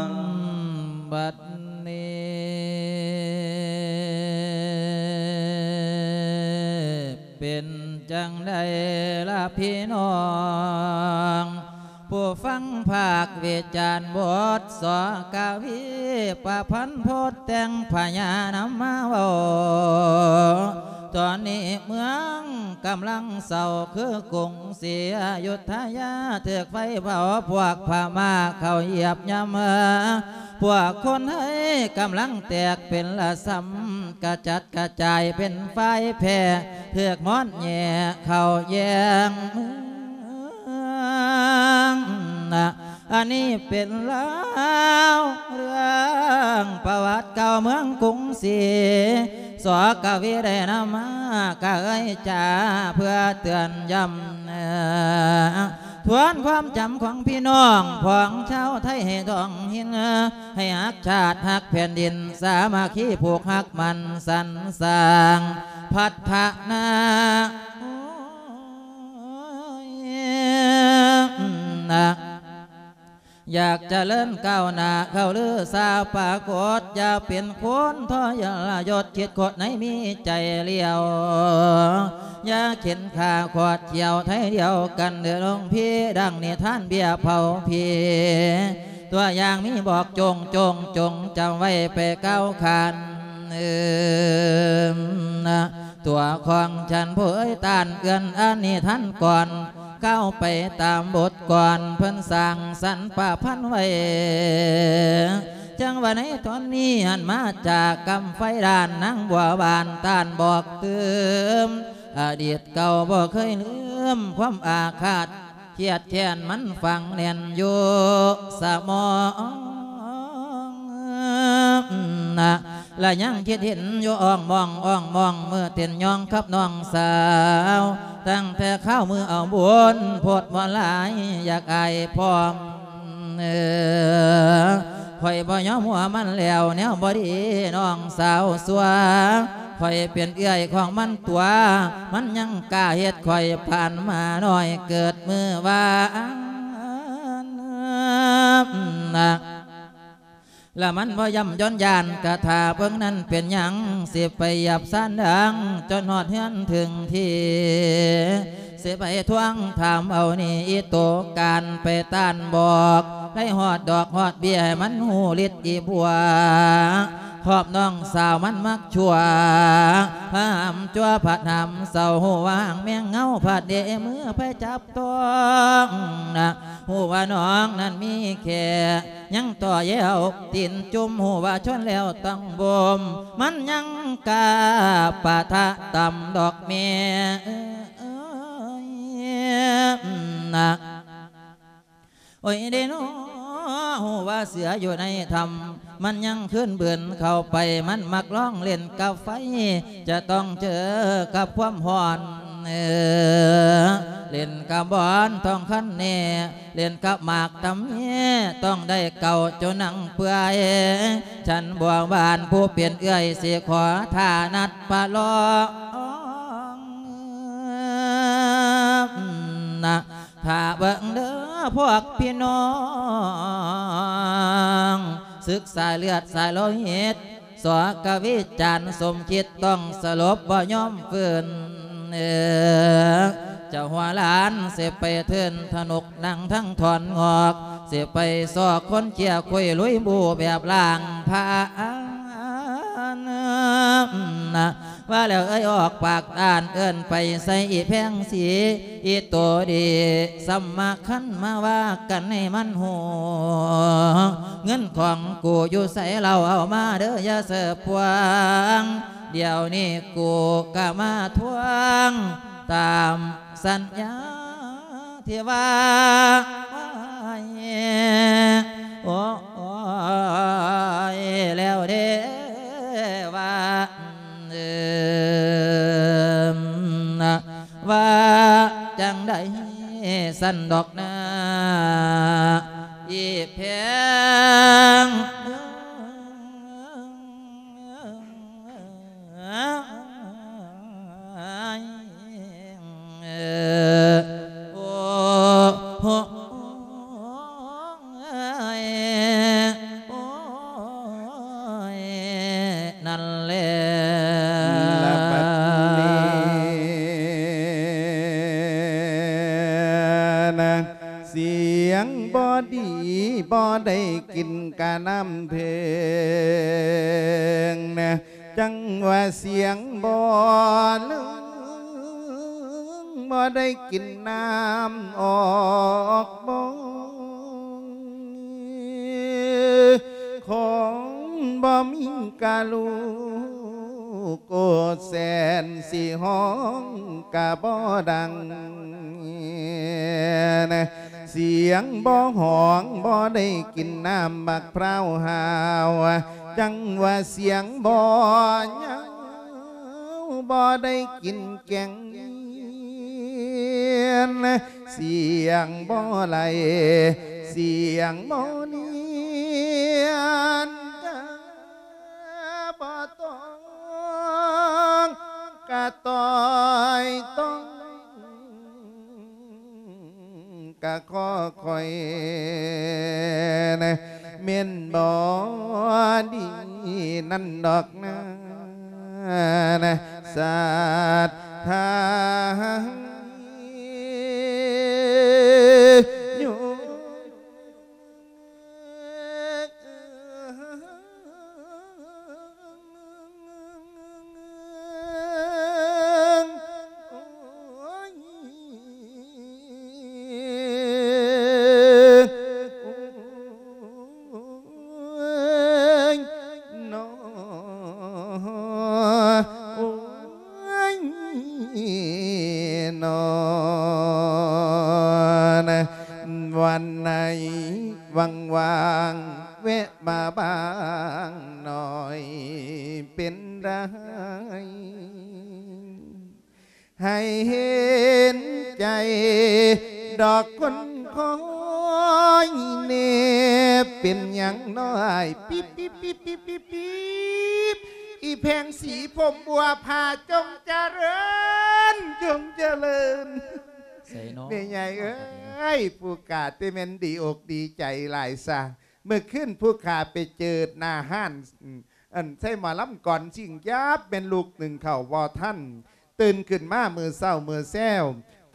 ງ. ບັດນີ້ເປັນຈັ່ງໃດລະພີ່ນ້ອງ ຜູ້ຟັງພາກວິຈານບົດ ສ ກະວີ ປະພັນໂພດແຕ່ງພະຍານຳມາເວົ້າ ຕອນນີ້ເມືອງກຳລັງເສົ້າ ຄືກຸງ ສີອະຍຸດທະຍາ ຖືກໄຟເຜົາ ພວກພະມ້າເຂົ້າຢຽບຢຳ ພວກຄົນໄທກຳລັງແຕກເປັນລະຊຳ ກະຈັດກະຈາຍເປັນຝ່າຍແຜ່ ຖືກມອນແຍ່ເຂົ້າແຍ່ງເມືອງ. ອັນນີ້ເປັນລາວເລື່ອງປະຫວັດເກົ່າເມືອງກຸງສີ ສ ກະວີ ໄດ້ນຳມາກະເອີຍຈາເພື່ອເຕືອນຢ້ຳ ທວນຄວາມຈຳຂອງພີ່ນ້ອງຂອງຊາວໄທໃຫ້ທ່ອງຮິງ ໃຫ້ຮັກຊາດຮັກແຜ່ນດິນ ສາມັກຄີຜູກຮັກໝັ້ນສັນສ້າງພັດທະນາ ໂອ້ຍນະ ຢາກຈະເລີນກ້າວໜ້າເຂົ້າລືສາປາກົດ ຢ່າເປັນຄົນທໍລະຍົດ ຄິດຄົດໃນມີໃຈຫຼຽວ ຢ່າເຂັນຂ້າຂອດຂຽວໄທດຽວກັນເດີ ລຸງພີ່ ດັ່ງນິທານເບ້ຍເຜົາຜີ ຕົວຢ່າງມີບອກ ຈົ່ງ ຈົ່ງ ຈົ່ງຈຳໄວ້ໄປກ້າວຂານ ເອີ ນະ ຕົວຂອງສັນຜູ້ເອີຍຕ້ານເອື້ອນ ອັນນີ້ທັນກ່ອນ ກ້າວໄປຕາມບົດກອນ ເພິ່ນສ້າງສັນປະພັນໄວ້ ຈັ່ງວ່າໃນຕອນນີ້ ຫັນມາຈາກກຳໄຟດ້ານນາງບົວບານ ຕ້ານບອກຕື່ມ ອະດີດເກົ່າບໍ່ເຄີຍລືມ ຄວາມອາຄາດຄຽດແຄ້ນມັນຝັງແໜ້ນຢູ່ສະໝອງນະ ລະຍັງຄິດເຫັນຢູ່ອ່ອງມອງອ່ອງມອງ ເມື່ອເຕັ້ນຍ້ອງກັບນ້ອງສາວ ຕັ້ງແຕ່ຄາວມື້ເອົາບຸນ ໂພດບໍ່ຫຼາຍ ຢາກອາຍພ້ອມ ເອີ ຂ້ອຍບໍ່ຍອມຫົວມັນແລ້ວ ແນວບໍ່ດີນ້ອງສາວຊົ່ວ ຂ້ອຍເປັນເອື້ອຍຂອງມັນຕົວະ ມັນຍັງກ້າເຮັດຂ້ອຍ ຜ່ານມານ້ອຍເກີດມື້ວານນະ ລະມັນບໍ່ຢ້ຳຢ່ອນຢ້ານ ກະຖ້າເບິ່ງນັ້ນເປັນຫຍັງ ຊິໄປຢາບຊານດັງ ຈົນຮອດເຮືອນເຖິງທີ່ ຊິໄປທວງຖາມເອົານີ້ອີໂຕ ການໄປຕ້ານບອກ ໄດ້ຮອດດອກຮອດເບ້ຍ ໃຫ້ມັນຮູ້ລິດອີບົວ ຄອບນ້ອງສາວມັນມັກຊົ່ວ ພາຫຳຊົ່ວພັດຫຳເສົ້າ ຮູ້ວ່າຫາງແມງເຫງົາ ພັດເດມືໄປຈັບ ຕ້ອງນະ ຮູ້ວ່ານ້ອງນັ້ນມີແຂ້ ຍັງຕໍ່ແຍວຕີນຈຸ່ມ ຮູ້ວ່າຊົນແລ້ວຕ້ອງບົ່ມ ມັນຍັງກ້າປະທະຕ່ຳດອກແມ່ເອີຍນະ ໂອ້ຍເດນໍ ຮູ້ວ່າເສືອຢູ່ໃນຖ້ຳ ມັນຍັງຄືນບືນເຂົ້າໄປ ມັນມັກລອງເລ່ນກັບໄຟ ຈະຕ້ອງເຈີກັບຄວາມຮ້ອນ ເອີ ເລ່ນກັບບ່ອນຕ້ອງຄັນແນ່ ເລ່ນກັບໝາກຕຳແຍ ຕ້ອງໄດ້ເກົາຈົນໜັງເປື່ອຍ ສັນບົວບານຜູ້ເປັນເອື້ອຍ ຊິຂໍທ່ານັດປະລອງນະ ຖ້າເບິ່ງເດີພວກພີ່ນ້ອງ ສຶກສາຍເລືອດສາຍໂລຫິດ ສອກະວິຈານສົມຄິດ ຕ້ອງສະຫຼົບບໍ່ຍອມຟື້ນ ເອີ ເຈົ້າຫົວຫຼານຊິໄປເທີນທະນົກ ນັ່ງທັງຖອນງອກ ຊິໄປຊອກຄົນເຈ້ຍຄຸຍລຸຍບູ້ແບບລ້າງຜານ ວ່າແລ້ວເອີຍອອກປາກດ້ານ ເອີ້ນໄປໃສ່ອີແພງສີ ອີໂຕດີ ສຳມາຄັນມາວ່າກັນໃຫ້ມັນຮູ້ ເງິນຂອງກູຢູ່ໃສເລົ່າ ເອົາມາເດີຢ່າເສີບພວງ ດຽວນີ້ກູກະມາທວງ ຕາມສັນຍາທີ່ວ່າໄວ້ ໂອ້ຍ ແລ້ວເດ້ວ່າ ເອີ ນະ ວ່າຈັ່ງໃດຊັ້ນດອກນາ ອີແພງ ໂອ້ ໂອ້ ໂອ້ຍ ໂອ້ຍ ນັ້ນແຫຼະ ລະບັດນີ້ນະ ສຽງບໍ່ດີ ບໍ່ໄດ້ກິນກະນ້ຳເພິງນະ ຈັ່ງວ່າສຽງບໍ່ເລິງ ບໍ່ໄດ້ກິນນ້ຳອອກບໍ່ ຂອງບໍ່ມີກະລູກ ໂອແສນຊິຮ້ອງກະບໍ່ດັງ ສຽງບໍ່ຮ້ອງ ບໍ່ໄດ້ກິນນ້ຳບັກພ້າວຫາວ ຈັ່ງວ່າສຽງບໍ່ຍາວ ບໍ່ໄດ້ກິນແກງເລນ ສຽງບໍ່ໄຫຼ ສຽງບໍ່ນຽນ ກະບໍ່ຕ້ອງ ກະຕ້ອຍຕ້ອງ ກະຂໍຂ້ອຍນະ ແມ່ນບໍ່ດີນັ້ນດອກນາ ນະ ສັດທາໂຍມ. ວັນໃດວ່າງໆ ແວະມາບ້າງໜ້ອຍເປັນໄດ້ ໃຫ້ເຫັນໃຈດອກຄົນຄອຍແນ່ ເປັນຫຍັງນ້ອຍ ປິບ ປິບ ປິບ ປິບ ປິບ ປິບ ອີ່ແພງສີຜົມບົວຜາ ຈົ່ງຈະເລີນ ຈົ່ງຈະເລີນ ໃສເນາະ ແມ່ໃຫຍ່ເອີຍ ຜູ້ຂ້າແຕ່ແມ່ນດີອົກດີໃຈຫຼາຍຊະ. ມື້ຄືນຜູ້ຂ້າໄປເຈີໜ້າຮ້ານ ອັນໃຊ້ໝໍລຳກອນຊິງຢາບ ແມ່ນລູກໜຶ້ງເຂົ້າບໍ່ທັນ ຕື່ນຂຶ້ນມາມື້ເຊົ້າມື້ແຊວ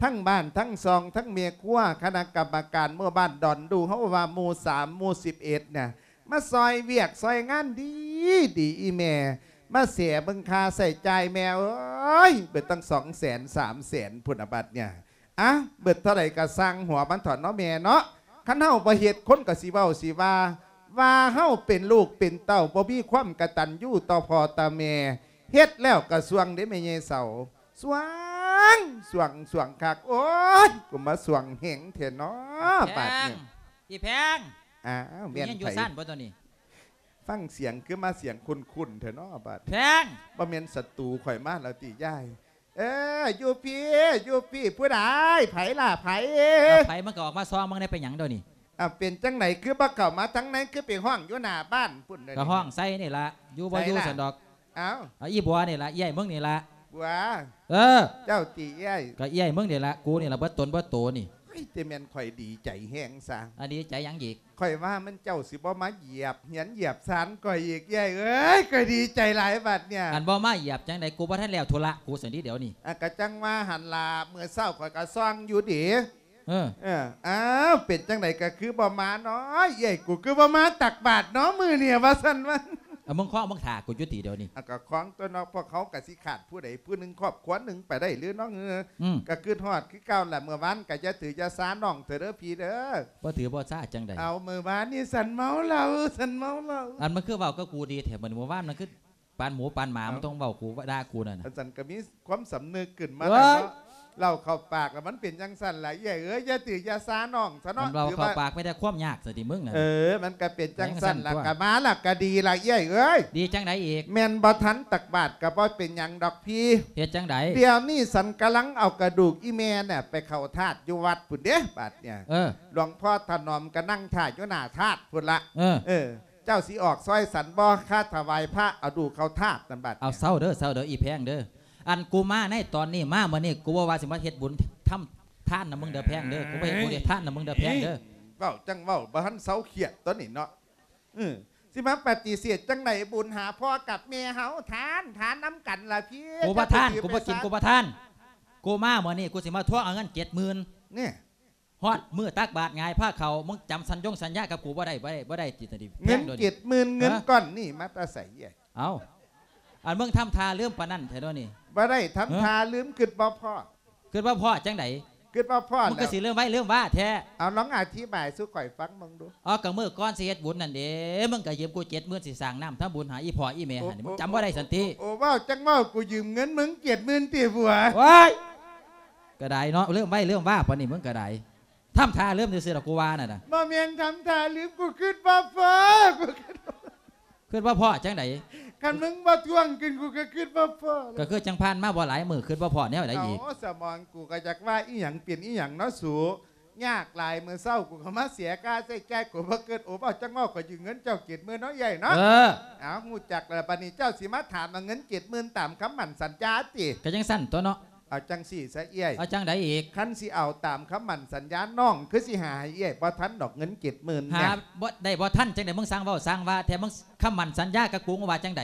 ທັງບ້ານທັງຊ່ອງ ທັງແມ່ຄົວ ຄະນະກຳມະການໝູ່ບ້ານດອນດູ ເຮົາວ່າໝູ່ສາມ ໝູ່ສິບເອັດນະ ມາຊ່ອຍວຽກຊ່ອຍງານດີດີ ອີ່ແມ່ ມາເສຍເບິ່ງຄ່າໃຊ້ຈ່າຍແມ່ເອີຍ ເບິດຕັ້ງສອງແສນ ສາມແສນພຸ້ນນະ ບັດເນີ້ຍ ອະ ເບິດເທົ່າໃດກະຊ່າງຫົວມັນເຖາະເນາະແມ່ເນາະ ຄັນເຮົາບໍ່ເຮັດ ຄົນກະຊິເວົ້າຊິວ່າ ວ່າເຮົາເປັນລູກເປັນເຕົ້າ ບໍ່ມີຄວາມກະຕັນຍູຕໍ່ພໍ່ຕໍ່ແມ່ ເຮັດແລ້ວກະສ່ວງເດ້ແມ່ໃຫຍ່ເຊົາ ສ່ວງ ສ່ວງ ສ່ວງຄັກ ໂອ້ຍ ກູມາສ່ວງແຮງແທ້ເນາະ ບາດນີ້ ອີ່ແພງ ອ້າວ ແມ່ນໃຜ ຢູ່ເຮືອນຢູ່ຊານບໍ່ຕົວນີ້ ຟັງສຽງຄືມາສຽງຄຸ້ນໆແທ້ເນາະ ບາດ ແພງ ບໍ່ແມ່ນສັດຕູຂ້ອຍມາແລ້ວຕິຍາຍ ເອີ ຢູ່ພີ້ ຢູ່ພີ້ ຜູ້ໃດ ໃຜລະ ໃຜ ເອົາ ໃຜມັນກໍອອກມາຊ່ອງເບິ່ງແດ່ ເປັນຫຍັງດຽວນີ້ ອ້າວ ເປັນຈັ່ງໃດ ຄືບໍ່ເຂົ້າມາທາງໃນ ຄືໄປຮ້ອງຢູ່ໜ້າບ້ານພຸ້ນເດ ກໍຮ້ອງໃສ່ນີ້ລະ ຢູ່ບໍ່ຢູ່ ໃສລະ ຊັ້ນດອກ ເອົ້າ ເອົາ ອີ່ບົວນີ້ລະ ເອື້ອຍມຶງນີ້ລະ ບົວ ເອີ ເຈົ້າຕິເອື້ອຍ ກໍເອື້ອຍມຶງນີ້ລະ ກູນີ້ລະ ເບິດຕົນເບິດໂຕນີ້ ເຮີ້ຍ ແຕ່ແມ່ນຂ້ອຍດີໃຈແຮງຊະ ອາ ດີໃຈຫຍັງອີກ ຂ້ອຍວ່າມັນເຈົ້າຊິບໍ່ມາຢຽບເຮືອນຢຽບຊານຂ້ອຍອີກ ເອື້ອຍເອີຍ ຂ້ອຍດີໃຈຫຼາຍບາດເນີ້ຍ ອັນບໍ່ມາຢຽບຈັ່ງໃດ ກູບໍ່ທັນແລ້ວທຸລະກູຊັ້ນຕິດຽວນີ້ ອາ ກະຈັ່ງວ່າຫັ້ນລະ ມື້ເຊົ້າຂ້ອຍກະສ່ອງຢູ່ເດ ເອີ ເອີ ອ້າວ ເປັນຈັ່ງໃດກະຄືບໍ່ມາເນາະ ເອື້ອຍ ກູຄືບໍ່ມາຕັກບາດເນາະມື້ນີ້ ວ່າຊັ້ນວ່າ ເອົາ ມຶງຄອງມຶງຖ້າກູຢູ່ຕິດຽວນີ້ ອາ ກະຄອງຕົວເນາະ ພວກເຮົາກະຊິຂາດຜູ້ໃດຜູ້ໜຶ່ງ ຄອບຄົວໜຶ່ງໄປໄດ້ຫຼືເນາະ ອືມ ກະຄຶດຮອດຄືເກົ່າລະ ມື້ວານກະຢ່າຖືຢ່າຊານ້ອງເທື່ອເດີພີ່ເດີ ບໍ່ຖືບໍ່ຊາຈັ່ງໃດ ເອົາ ມື້ວານນີ້ສັນເມົາເຫຼົ້າ ສັນເມົາເຫຼົ້າ ອັນມັນຄືເວົ້າກັບກູດີແທ້ ມື້ວານມັນຄື ປານໝູປານໝາ ເອົ້າ ມັນຕ້ອງເວົ້າກູ ດ່າກູນັ້ນນະ ອັນຊັ້ນກະມີຄວາມສຳນຶກຂຶ້ນມາ ເອີຍ ແລ້ວເນາະ ເຫຼົ້າເຂົ້າປາກລະມັນເປັນຈັ່ງຊັ້ນລະ ເອື້ອຍເອີຍ ຢ່າຖືຢ່າຊານ້ອງຊະເນາະ ມັນເວົ້າເຂົ້າປາກ ມີແຕ່ຄວາມຍາກຊະຕິມຶງນະ ເອີ ມັນກະເປັນຈັ່ງຊັ້ນລະ ກະມາລະກະດີລະ ເອື້ອຍເອີຍ ດີຈັ່ງໃດອີກ ແມ່ນບໍ່ທັນຕັກບາດກະບໍ່ເປັນຫຍັງດອກພີ່ ເຮັດຈັ່ງໃດ ດຽວນີ້ສັນກຳລັງເອົາກະດູກອີ່ແມ່ນະ ໄປເຂົ້າທາດຢູ່ວັດພຸ້ນເດ້ ບາດເນີ້ຍ ເອີ ຫຼວງພໍ່ຖະໜອມກະນັ່ງຖ້າຢູ່ໜ້າທາດພຸ້ນລະ ເອີ ເອີ ເຈົ້າຊິອອກຊ່ອຍສັນບໍ່ ຄ່າຖວາຍພະ ເອົາດູກເຂົ້າທາດນັ້ນບາດ ເອົາ ເຊົາເດີ ເຊົາເດີ ອີ່ແພງເດີ ອັນກູມາໃນຕອນນີ້ ມາມື້ນີ້ ກູບໍ່ວ່າຊິມາເຮັດບຸນທຳທານນຳມຶງເດີແພງເດີ ກູບໍ່ເຮັດບຸນເຮັດທານນຳມຶງເດີແພງເດີ ເວົ້າຈັ່ງເວົ້າ ບໍ່ທັນເຊົາຄຽດຕົວນີ້ເນາະ ເອີ ຊິມາປະຕິເສດຈັ່ງໃດ ບຸນຫາພໍ່ກັບແມ່ເຮົາ ທານ ທານນຳກັນລະພີ່ ກູບໍ່ທານ ກູບໍ່ກິນ ກູບໍ່ທານ ກູມາມື້ນີ້ ກູຊິມາທວງເອົາເງິນເຈັດໝື່ນ ນີ້ ຮອດມື້ຕັກບາດຫງາຍພາເຂົ້າ ມຶງຈຳສັນຢົງສັນຍາກັບກູບໍ່ໄດ້ ບໍ່ໄດ້ ບໍ່ໄດ້ຕິ ເງິນເຈັດໝື່ນ ເງິນກ້ອນນີ້ມາແຕ່ໃສ ເອົ້າ ອັນມຶງທຳທ່າລືມປານນັ້ນແທ້ດຽວນີ້ ບໍ່ໄດ້ທຳທ່າລືມ ຄຶດບໍ່ພໍ້ ຄຶດບໍ່ພໍ້ຈັ່ງໃດ ຄຶດບໍ່ພໍ້ ມຶງກໍຊິລືມໄວລືມວາແທ້ ເອົາ ລອງອະທິບາຍສູ່ຂ້ອຍຟັງເບິ່ງດູ ເອົາ ກໍມື້ກ່ອນຊິເຮັດບຸນນັ້ນເດ ມຶງກໍຢືມກູເຈັດໝື່ນ ຊິສ້າງນ້ຳທຳບຸນຫາອີ່ພໍ່ອີ່ແມ່ຫັ້ນ ມຶງຈຳບໍ່ໄດ້ຊັ້ນຕິ ໂອ້ ເວົ້າຈັ່ງເວົ້າ ກູຢືມເງິນມຶງເຈັດໝື່ນຕິ ຜົວ ໂອ້ຍ ກໍໄດ້ເນາະ ລືມໄວລືມວາປານນີ້ ມຶງກໍໄດ້ ທຳທ່າລືມຊື່ໆດອກ ກູວ່ານັ້ນນະ ບໍ່ແມ່ນທຳທ່າລືມ ກູຄຶດບໍ່ພໍ້ ກູຄຶດ ຄຶດບໍ່ພໍ້ຈັ່ງໃດ ຄັນມຶງບໍ່ທວງຂຶ້ນ ກູກໍຄິດບໍ່ພໍ. ກໍຄືຈັ່ງຜ່ານມາບໍ່ຫຼາຍມື້ ຄິດບໍ່ພໍແນວໃດອີກ? ເອົາ ສະໝອງກູກໍຢາກວ່າອີ່ຫຍັງເປັນອີ່ຫຍັງເນາະສູ. ຍາກຫຼາຍ ມື້ເຊົ້າກູກໍມາເສຍຄ່າໃຊ້ຈ່າຍ ກູບໍ່ເກີດໂອ ເວົ້າຈັ່ງເວົ້າ ຂ້ອຍຢືມເງິນເຈົ້າເຈັດໝື່ນເນາະ ເອື້ອຍເນາະ. ເອີ ເອົາ ຮູ້ຈັກແລ້ວ ບັດນີ້ເຈົ້າຊິມາຖາມເອົາເງິນເຈັດໝື່ນຕາມຄຳໝັ້ນສັນຍາຕິ? ກໍຈັ່ງຊັ້ນຕົວະເນາະ. ເອົາຈັ່ງຊີ້ຊະເອື້ອຍ. ເອົາຈັ່ງໃດອີກ? ຄັນຊິເອົາຕາມຄຳໝັ້ນສັນຍາ ນ້ອງຄືຊິຫາໃຫ້ເອື້ອຍບໍ່ທັນດອກ ເງິນເຈັດໝື່ນ ຫາ ເນຍ ບໍ່ໄດ້ບໍ່ທັນຈັ່ງໃດ? ມຶງຊ່າງເວົ້າຊ່າງວ່າແທ້ ມຶງຄຳໝັ້ນສັນຍາກັບກູ ມຶງວ່າຈັ່ງໃດ?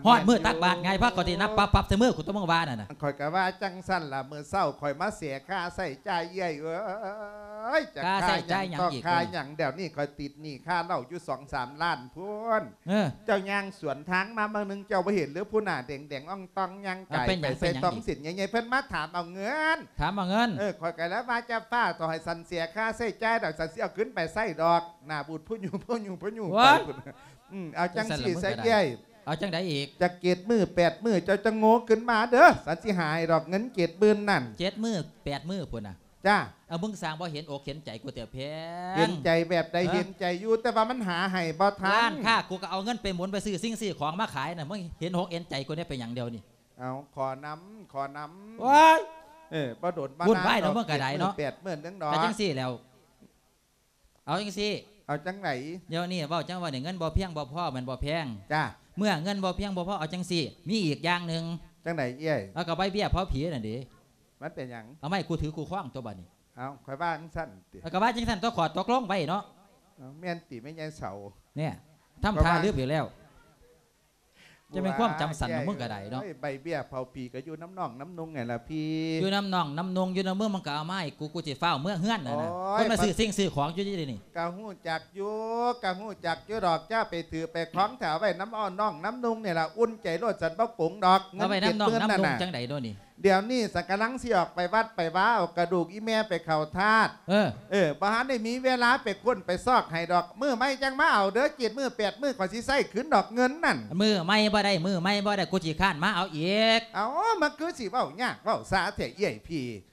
ຮອດມື້ຕັກບາດຫງາຍພາກ ຂ້ອຍຊິນັບປັບໆໃສ່ມືກູຕົວະ ມຶງວ່ານັ້ນນະ. ຂ້ອຍກໍວ່າຈັ່ງຊັ້ນລະ ມື້ເຊົ້າຂ້ອຍມາເສຍຄ່າໃຊ້ຈ່າຍເອື້ອຍເອີຍ. ຄ່າໃຊ້ຈ່າຍຫຍັງອີກ? ຄ່າຫຍັງ? ດຽວນີ້ຂ້ອຍຕິດໜີ້ຄ່າເຫຼົ້າຢູ່ສອງສາມລ້ານພຸ້ນ. ເອີ ເຈົ້າຍ່າງສວນທາງມາບາງໜຶ່ງ ເຈົ້າບໍ່ເຫັນຫຼື ຜູ້ໜ້າແດງໆ ອ່ອງຕ່ອງ ຍ່າງກາຍໄປໃສ່ຕ້ອງເສັ້ນໃຫຍ່ໆ ເພິ່ນມາຖາມເອົາເງິນ ຖາມເອົາເງິນ. ເອີ ຂ້ອຍກໍແລ້ວວ່າ ຈະຟ້າວ ຕໍ່ໃຫ້ສັນເສຍຄ່າໃຊ້ຈ່າຍດອກ ສັນຊິເອົາຂຶ້ນໄປໃຊ້ດອກ. ໜ້າບູດຜູ້ຫຍຸ້ງ ຜູ້ຫຍຸ້ງ ຜູ້ຫຍຸ້ງ ໄປພຸ້ນ. ເອີ ເອົາຈັ່ງຊີ້ຊະເອື້ອຍ. ເອົາຈັ່ງໃດອີກ? ຈັກເຈັດມື້ແປດມື້ ເຈົ້າຈະໂງ່ຂຶ້ນມາເດີ ສັນຊິຫາໃຫ້ດອກ ເງິນເຈັດໝື່ນນັ້ນ. ເຈັດມື້ແປດມື້ພຸ້ນນະ? ຈ້າ. ເອົາ ມຶງຊ່າງບໍ່ເຫັນອົກເຫັນໃຈກູແທ້ແພງ. ເຫັນໃຈແບບໃດ? ເຫັນໃຈຢູ່ ແຕ່ວ່າມັນຫາໃຫ້ບໍ່ທັນ. ຮ້ານຄ້າ ກູກໍເອົາເງິນໄປໝູນໄປຊື້ສິ່ງຊື້ຂອງມາຂາຍນະ ມຶງເຫັນອົກເຫັນໃຈກູແດ່ເປັນຫຍັງດຽວນີ້? ເອົາ ຂໍນຳ ຂໍນຳ. ໂອ້ຍ ເອີ ບໍ່ດົນບໍ່ນານ ວຸ້ນວາຍເນາະ ມຶງກໍໄດ້ເນາະ ແປດໝື່ນໜຶ່ງດອກ. ກໍຈັ່ງຊີ້ແລ້ວ. ເອົາຈັ່ງຊີ້. ເອົາຈັ່ງໃດ? ດຽວນີ້ເວົ້າຈັ່ງວ່ານີ້ ເງິນບໍ່ພຽງບໍ່ພໍແມ່ນບໍ່ແພງ? ຈ້າ. ເມື່ອເງິນບໍ່ພຽງບໍ່ພໍ ເອົາຈັ່ງຊີ້ ມີອີກຢ່າງໜຶ່ງ. ຈັ່ງໃດເອື້ອຍ? ເອົາ ກໍໃບເບ້ຍເຜົາຜີນັ້ນເດ. ມັນເປັນຫຍັງ? ເອົາມາໃຫ້ກູຖືກູຄອງຕົວະບາດນີ້. ເອົາ ຂ້ອຍວ່າຈັ່ງຊັ້ນຕິ? ເອົາ ກໍວ່າຈັ່ງຊັ້ນຕົວະ ຂໍ້ຕົກລົງໄວ້ເນາະ. ເອົາ ແມ່ນຕິແມ່ໃຫຍ່ເສົາ? ເນຍ ທຳທ່າລືມອີກແລ້ວ. ຈະແມ່ນຄວາມຈຳສັ້ນຂອງມຶງກໍໄດ້ເນາະ. ໂອ້ຍ ໃບເບ້ຍເຜົາຜີກໍຢູ່ນຳນ້ອງນຳນຸ່ງຫັ້ນລະພີ່. ຢູ່ນຳນ້ອງນຳນຸ່ງ ຢູ່ນຳມຶງ ມັນກໍເອົາມາໃຫ້ກູ ກູຊິຟ້າວເມືອເຮືອນຫັ້ນນະ. ໂອ້ຍ ຄົນມາຊື້ສິ່ງຊື້ຂອງຢູ່ເດນີ້. ກໍຮູ້ຈັກຢູ່ ກໍຮູ້ຈັກຢູ່ດອກ ຈະໄປຖືໄປຄອງ ຖ້າເອົາໄວ້ນຳອ້ອນນ້ອງນຳນຸ່ງນີ້ລະ ອຸ່ນໃຈໂລດ ສັນບໍ່ໂກງດອກ. ເອົາໄວ້ນຳນ້ອງນຳນຸ່ງຈັ່ງໃດໂດນີ້? ດຽວນີ້ສັນກຳລັງຊິອອກໄປວັດໄປວາ ເອົາກະດູກອີ່ແມ່ໄປເຂົ້າທາດ. ເອີ ເອີ ບໍ່ທັນໄດ້ມີເວລາໄປຄົ້ນໄປຊອກໃຫ້ດອກ. ມື້ໃໝ່ຈັ່ງມາເອົາເດີ ເຈັດມື້ແປດມື້ ຂ້ອຍຊິໃຊ້ຄືນດອກເງິນນັ້ນ. ມື້ໃໝ່ບໍ່ໄດ້ ມື້ໃໝ່ບໍ່ໄດ້ ກູຊິຄ້ານມາເອົາອີກ. ເອົາ ມັນຄືຊິເວົ້າຍາກເວົ້າຊ້າແທ້ເອື້ອຍພີ່.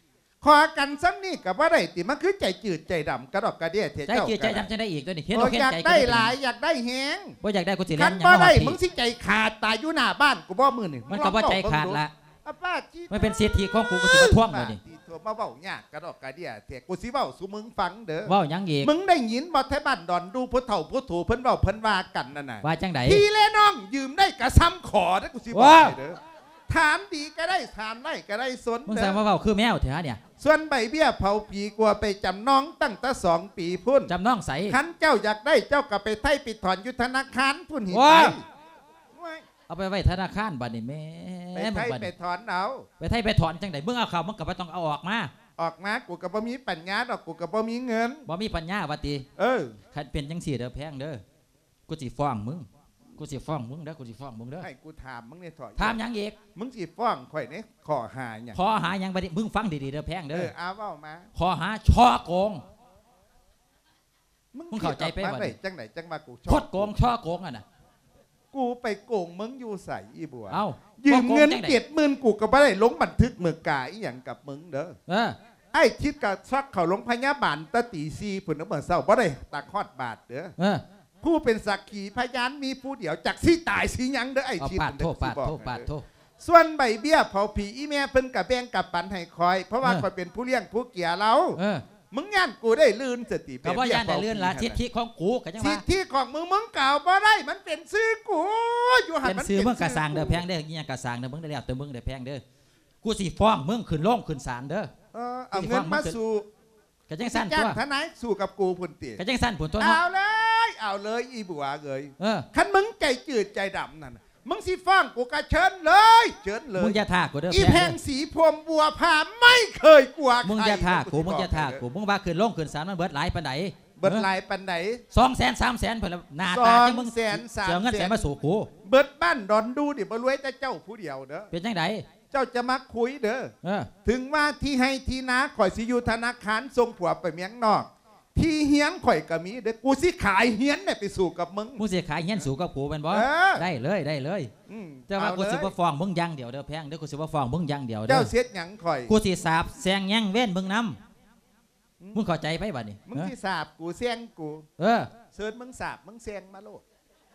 ຂໍກັນສ່ຳນີ້ກໍບໍ່ໄດ້ຕິ? ມັນຄືໃຈຈືດໃຈດຳກະດອກກະເດຍແທ້. ໃຈຈືດໃຈດຳຈັ່ງໃດອີກໂຕນີ້? ເຫັນ ໂອ້ ຢາກໄດ້ຫຼາຍ ຢາກໄດ້ແຮງ. ບໍ່ຢາກໄດ້ ກູຊິແລ່ນ. ຄັນບໍ່ໄດ້ ມຶງຊິໃຈຂາດຕາຍຢູ່ໜ້າບ້ານກູບໍ່ມື້ນີ້? ມັນກໍບໍ່ໃຈຂາດລະ. ອາປາດ ມັນເປັນສິດທິຂອງກູ ກູຊິບໍ່ທວງແລ້ວນີ້. ມາເວົ້າຍາກກະດອກກະເດຍແທ້ ກູຊິເວົ້າສູ່ມຶງຟັງເດີ. ເວົ້າຫຍັງອີກ? ມຶງໄດ້ຍິນບໍ່ ໄທບ້ານດອນດູ ຜູ້ເຖົ້າຜູ້ໂຖເພິ່ນເວົ້າເພິ່ນວ່າກັນນັ້ນນະ? ວ່າຈັ່ງໃດ? ພີ່ແລະນ້ອງຢືມໄດ້ກະຊ່ຳຂໍເດີ ກູຊິບອກໃຫ້ເດີ. ຖາມດີກໍໄດ້ ຖາມໄດ້ກໍໄດ້ ສົນເດີ. ມຶງຊ່າງມາເວົ້າຄືແມວແທ້ຫະນີ້. ສ່ວນໃບເບ້ຍເຜົາຜີ ກູເອົາໄປຈຳນອງຕັ້ງແຕ່ສອງປີພຸ້ນ. ຈຳນອງໃສ? ຄັນເຈົ້າຢາກໄດ້ ເຈົ້າກໍໄປໄຖ່ໄປຖອນຢູ່ທະນາຄານພຸ້ນ. ໂອ້ຍ ເອົາໄປໄວ້ທະນາຄານບາດນີ້ແມ່. ໄປໄຖ່ໄປຖອນເອົາ. ໄປໄຖ່ໄປຖອນຈັ່ງໃດ? ມຶງເອົາເຂົ້າ ມຶງກໍບໍ່ຕ້ອງເອົາອອກມາ. ອອກມາ ກູກໍບໍ່ມີປັນຍາດອກ ກູກໍບໍ່ມີເງິນ. ບໍ່ມີປັນຍາວ່າຕິ? ເອີ ຄັນເປັນຈັ່ງຊີ້ເດີແພງເດີ ກູຊິຟ້ອງມຶງ ກູຊິຟ້ອງມຶງເດີ ກູຊິຟ້ອງມຶງເດີ. ໃຫ້ກູຖາມມຶງແດ່ເຖາະ. ຖາມຫຍັງອີກ? ມຶງຊິຟ້ອງຂ້ອຍໃນຂໍ້ຫາຫຍັງ? ຂໍ້ຫາຫຍັງບາດນີ້? ມຶງຟັງດີໆເດີແພງເດີ. ເອີ ເອົາ ເວົ້າມາ. ຂໍ້ຫາສໍ້ໂກງ. ມຶງເຂົ້າໃຈໄປບາດນີ້? ຈັ່ງໃດຈັ່ງວ່າກູ ຄົດໂກງ ສໍ້ໂກງຫັ້ນນະ. ກູໄປໂກງມຶງຢູ່ໃສອີ່ບົວ? ເອົ້າ ຢືມເງິນເຈັດໝື່ນ ກູກໍບໍ່ໄດ້ລົງບັນທຶກເມີກາອີ່ຫຍັງກັບມຶງເດີ. ເອີ ອ້າຍທິດກໍຊັກເຂົ້າໂລງພະຍາບານແຕ່ຕີສີ່ພຸ້ນເດີ ມື້ເຊົ້າ ບໍ່ໄດ້ຕັກຮອດບາດເດີ. ເອີ ຜູ້ເປັນສັກຂີພະຍານມີຜູ້ດຽວ ຈັກຊິຕາຍຊິຫຍັງເດີ ອ້າຍທິດ. ປາດໂທ ປາດໂທ ປາດໂທ. ສ່ວນໃບເບ້ຍເຜົາຜີ ອີ່ແມ່ເພິ່ນກະແບ່ງກັນປັນໃຫ້ຂ້ອຍ ເພາະວ່າ ເອີ ຂ້ອຍເປັນຜູ້ລ້ຽງຜູ້ເກຍລາວ. ເອີ ມຶງຢ້ານກູໄດ້ລື່ນສະຕິ? ກໍບໍ່ຢ້ານໄດ້ລື່ນລະ ສິດທິຂອງກູ ກໍຍັງວ່າ ສິດທິຂອງມຶງ ມຶງກໍເອົາບໍ່ໄດ້ ມັນເປັນຊື່ກູຢູ່ຫັ້ນ. ເປັນຊື່ມຶງກະຊ່າງເດີແພງເດີ ອີ່ຫຍັງກະຊ່າງເດີ ມຶງໄດ້ແລ້ວແຕ່ມຶງເດີແພງເດີ. ກູຊິຟ້ອງມຶງຂຶ້ນໂລງຂຶ້ນສານເດີ. ເອີ ເອົາເງິນມາສູ້. ກໍຈັ່ງຊັ້ນຕົວະ ທະນາຍສູ້ກັບກູພຸ້ນຕິ? ກໍຈັ່ງຊັ້ນພຸ້ນຕົວະເນາະ. ເອົາເລີຍ ເອົາເລີຍ ອີ່ບົວເອີຍ. ເອີ ຄັນມຶງໃຈຈືດໃຈດຳນັ້ນ ມຶງຊິຟ້ອງກູກໍເຊີນເລີຍ ເຊີນເລີຍ. ມຶງຢ່າຖ້າກູເດີ ອີ່ແພງສີຜົມບົວ ຜ້າໄມ້ເຄີຍກົວໄຂ່. ມຶງຢ່າຖ້າກູ ມຶງຢ່າຖ້າກູ. ມຶງວ່າຂຶ້ນໂລງຂຶ້ນສານມັນເບິດຫຼາຍປານໃດ? ເບິດຫຼາຍປານໃດ? ສອງແສນ ສາມແສນພຸ້ນລະ. ໜ້າຕາຄືມຶງ ສອງແສນ ສາມແສນ ຊິເອົາເງິນໃສມາສູ້ກູ? ເບິດບ້ານດອນດູນີ້ບໍ່ລວຍແຕ່ເຈົ້າຜູ້ດຽວເດີ. ເປັນຈັ່ງໃດ? ເຈົ້າຈະມັກຄຸຍເດີ. ເອີ ເຖິງວ່າທີ່ໄຮ່ທີ່ນາຂ້ອຍຊິຢູ່ທະນາຄານ ສົ່ງຜົວໄປເມືອງນອກ ທີ່ຮຽນຂ້ອຍກໍມີເດ້. ກູຊິຂາຍຮຽນໄດ້ໄປສູ້ກັບມຶງ. ມຶງຊິຂາຍຮຽນສູ້ກັບກູແມ່ນບໍ່? ເອີ ໄດ້ເລີຍ ໄດ້ເລີຍ. ອືມ ແຕ່ວ່າ ເອົາເລີຍ ກູຊິບໍ່ຟ້ອງມຶງຢ່າງດຽວເດີແພງເດີ ກູຊິບໍ່ຟ້ອງມຶງຢ່າງດຽວເດີ. ເຈົ້າຊິເຮັດຫຍັງຂ້ອຍ? ກູຊິສາບແຊ່ງແຍງເວນມຶງນຳ. ອືມ ມຶງເຂົ້າໃຈໄປບາດນີ້? ມຶງຊິສາບກູແຊ່ງກູ? ເອີ ເຊີນມຶງສາບ ມຶງແຊ່ງມາໂລດ.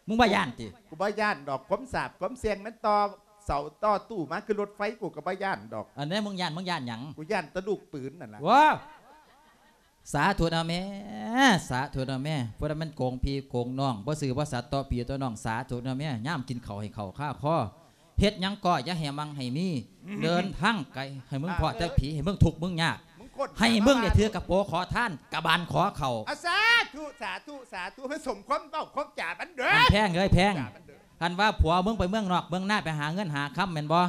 ມຶງບໍ່ຢ້ານຕິ? ກູບໍ່ຢ້ານດອກ ຄວາມສາບຄວາມສ່ຽງມັນຕໍ່ເສົາຕໍ່ຕູ້ມາຄືລົດໄຟ ກູກໍບໍ່ຢ້ານດອກ. ອັນໃດມຶງຢ້ານ ມຶງຢ້ານຫຍັງ? ກູຢ້ານແຕ່ລູກປືນນັ້ນລະ. ວ້າ ສາທຸເນາະແມ່ ສາທຸເນາະແມ່. ຜູ້ໃດມັນໂກງພີ່ໂກງນ້ອງ ບໍ່ຊື່ບໍ່ສັດຕໍ່ພີ່ຕໍ່ນ້ອງ ສາທຸເນາະແມ່. ຍາມກິນເຂົ້າໃຫ້ເຂົ້າຄາຄໍ ເຮັດຫຍັງກໍຢ່າໃຫ້ມັງໃຫ້ມີ ເດີນທາງໄກ ໃຫ້ມຶງພໍ້ແຕ່ຜີ ໃຫ້ມຶງທຸກມຶງຍາກ ໃຫ້ມຶງໄດ້ຖືກະໂປຂໍທານ ກະບານຂໍເຂົ້າ. ອາ ສາທຸ ສາທຸ ສາທຸ ໃຫ້ສົມຄວາມເວົ້າຄວາມຈາມັນເດີ. ອັນແພງເອີຍແພງ ຄັນວ່າຜົວມຶງໄປເມືອງນອກເມືອງນາ ໄປຫາເງິນຫາຄຳແມ່ນບໍ່?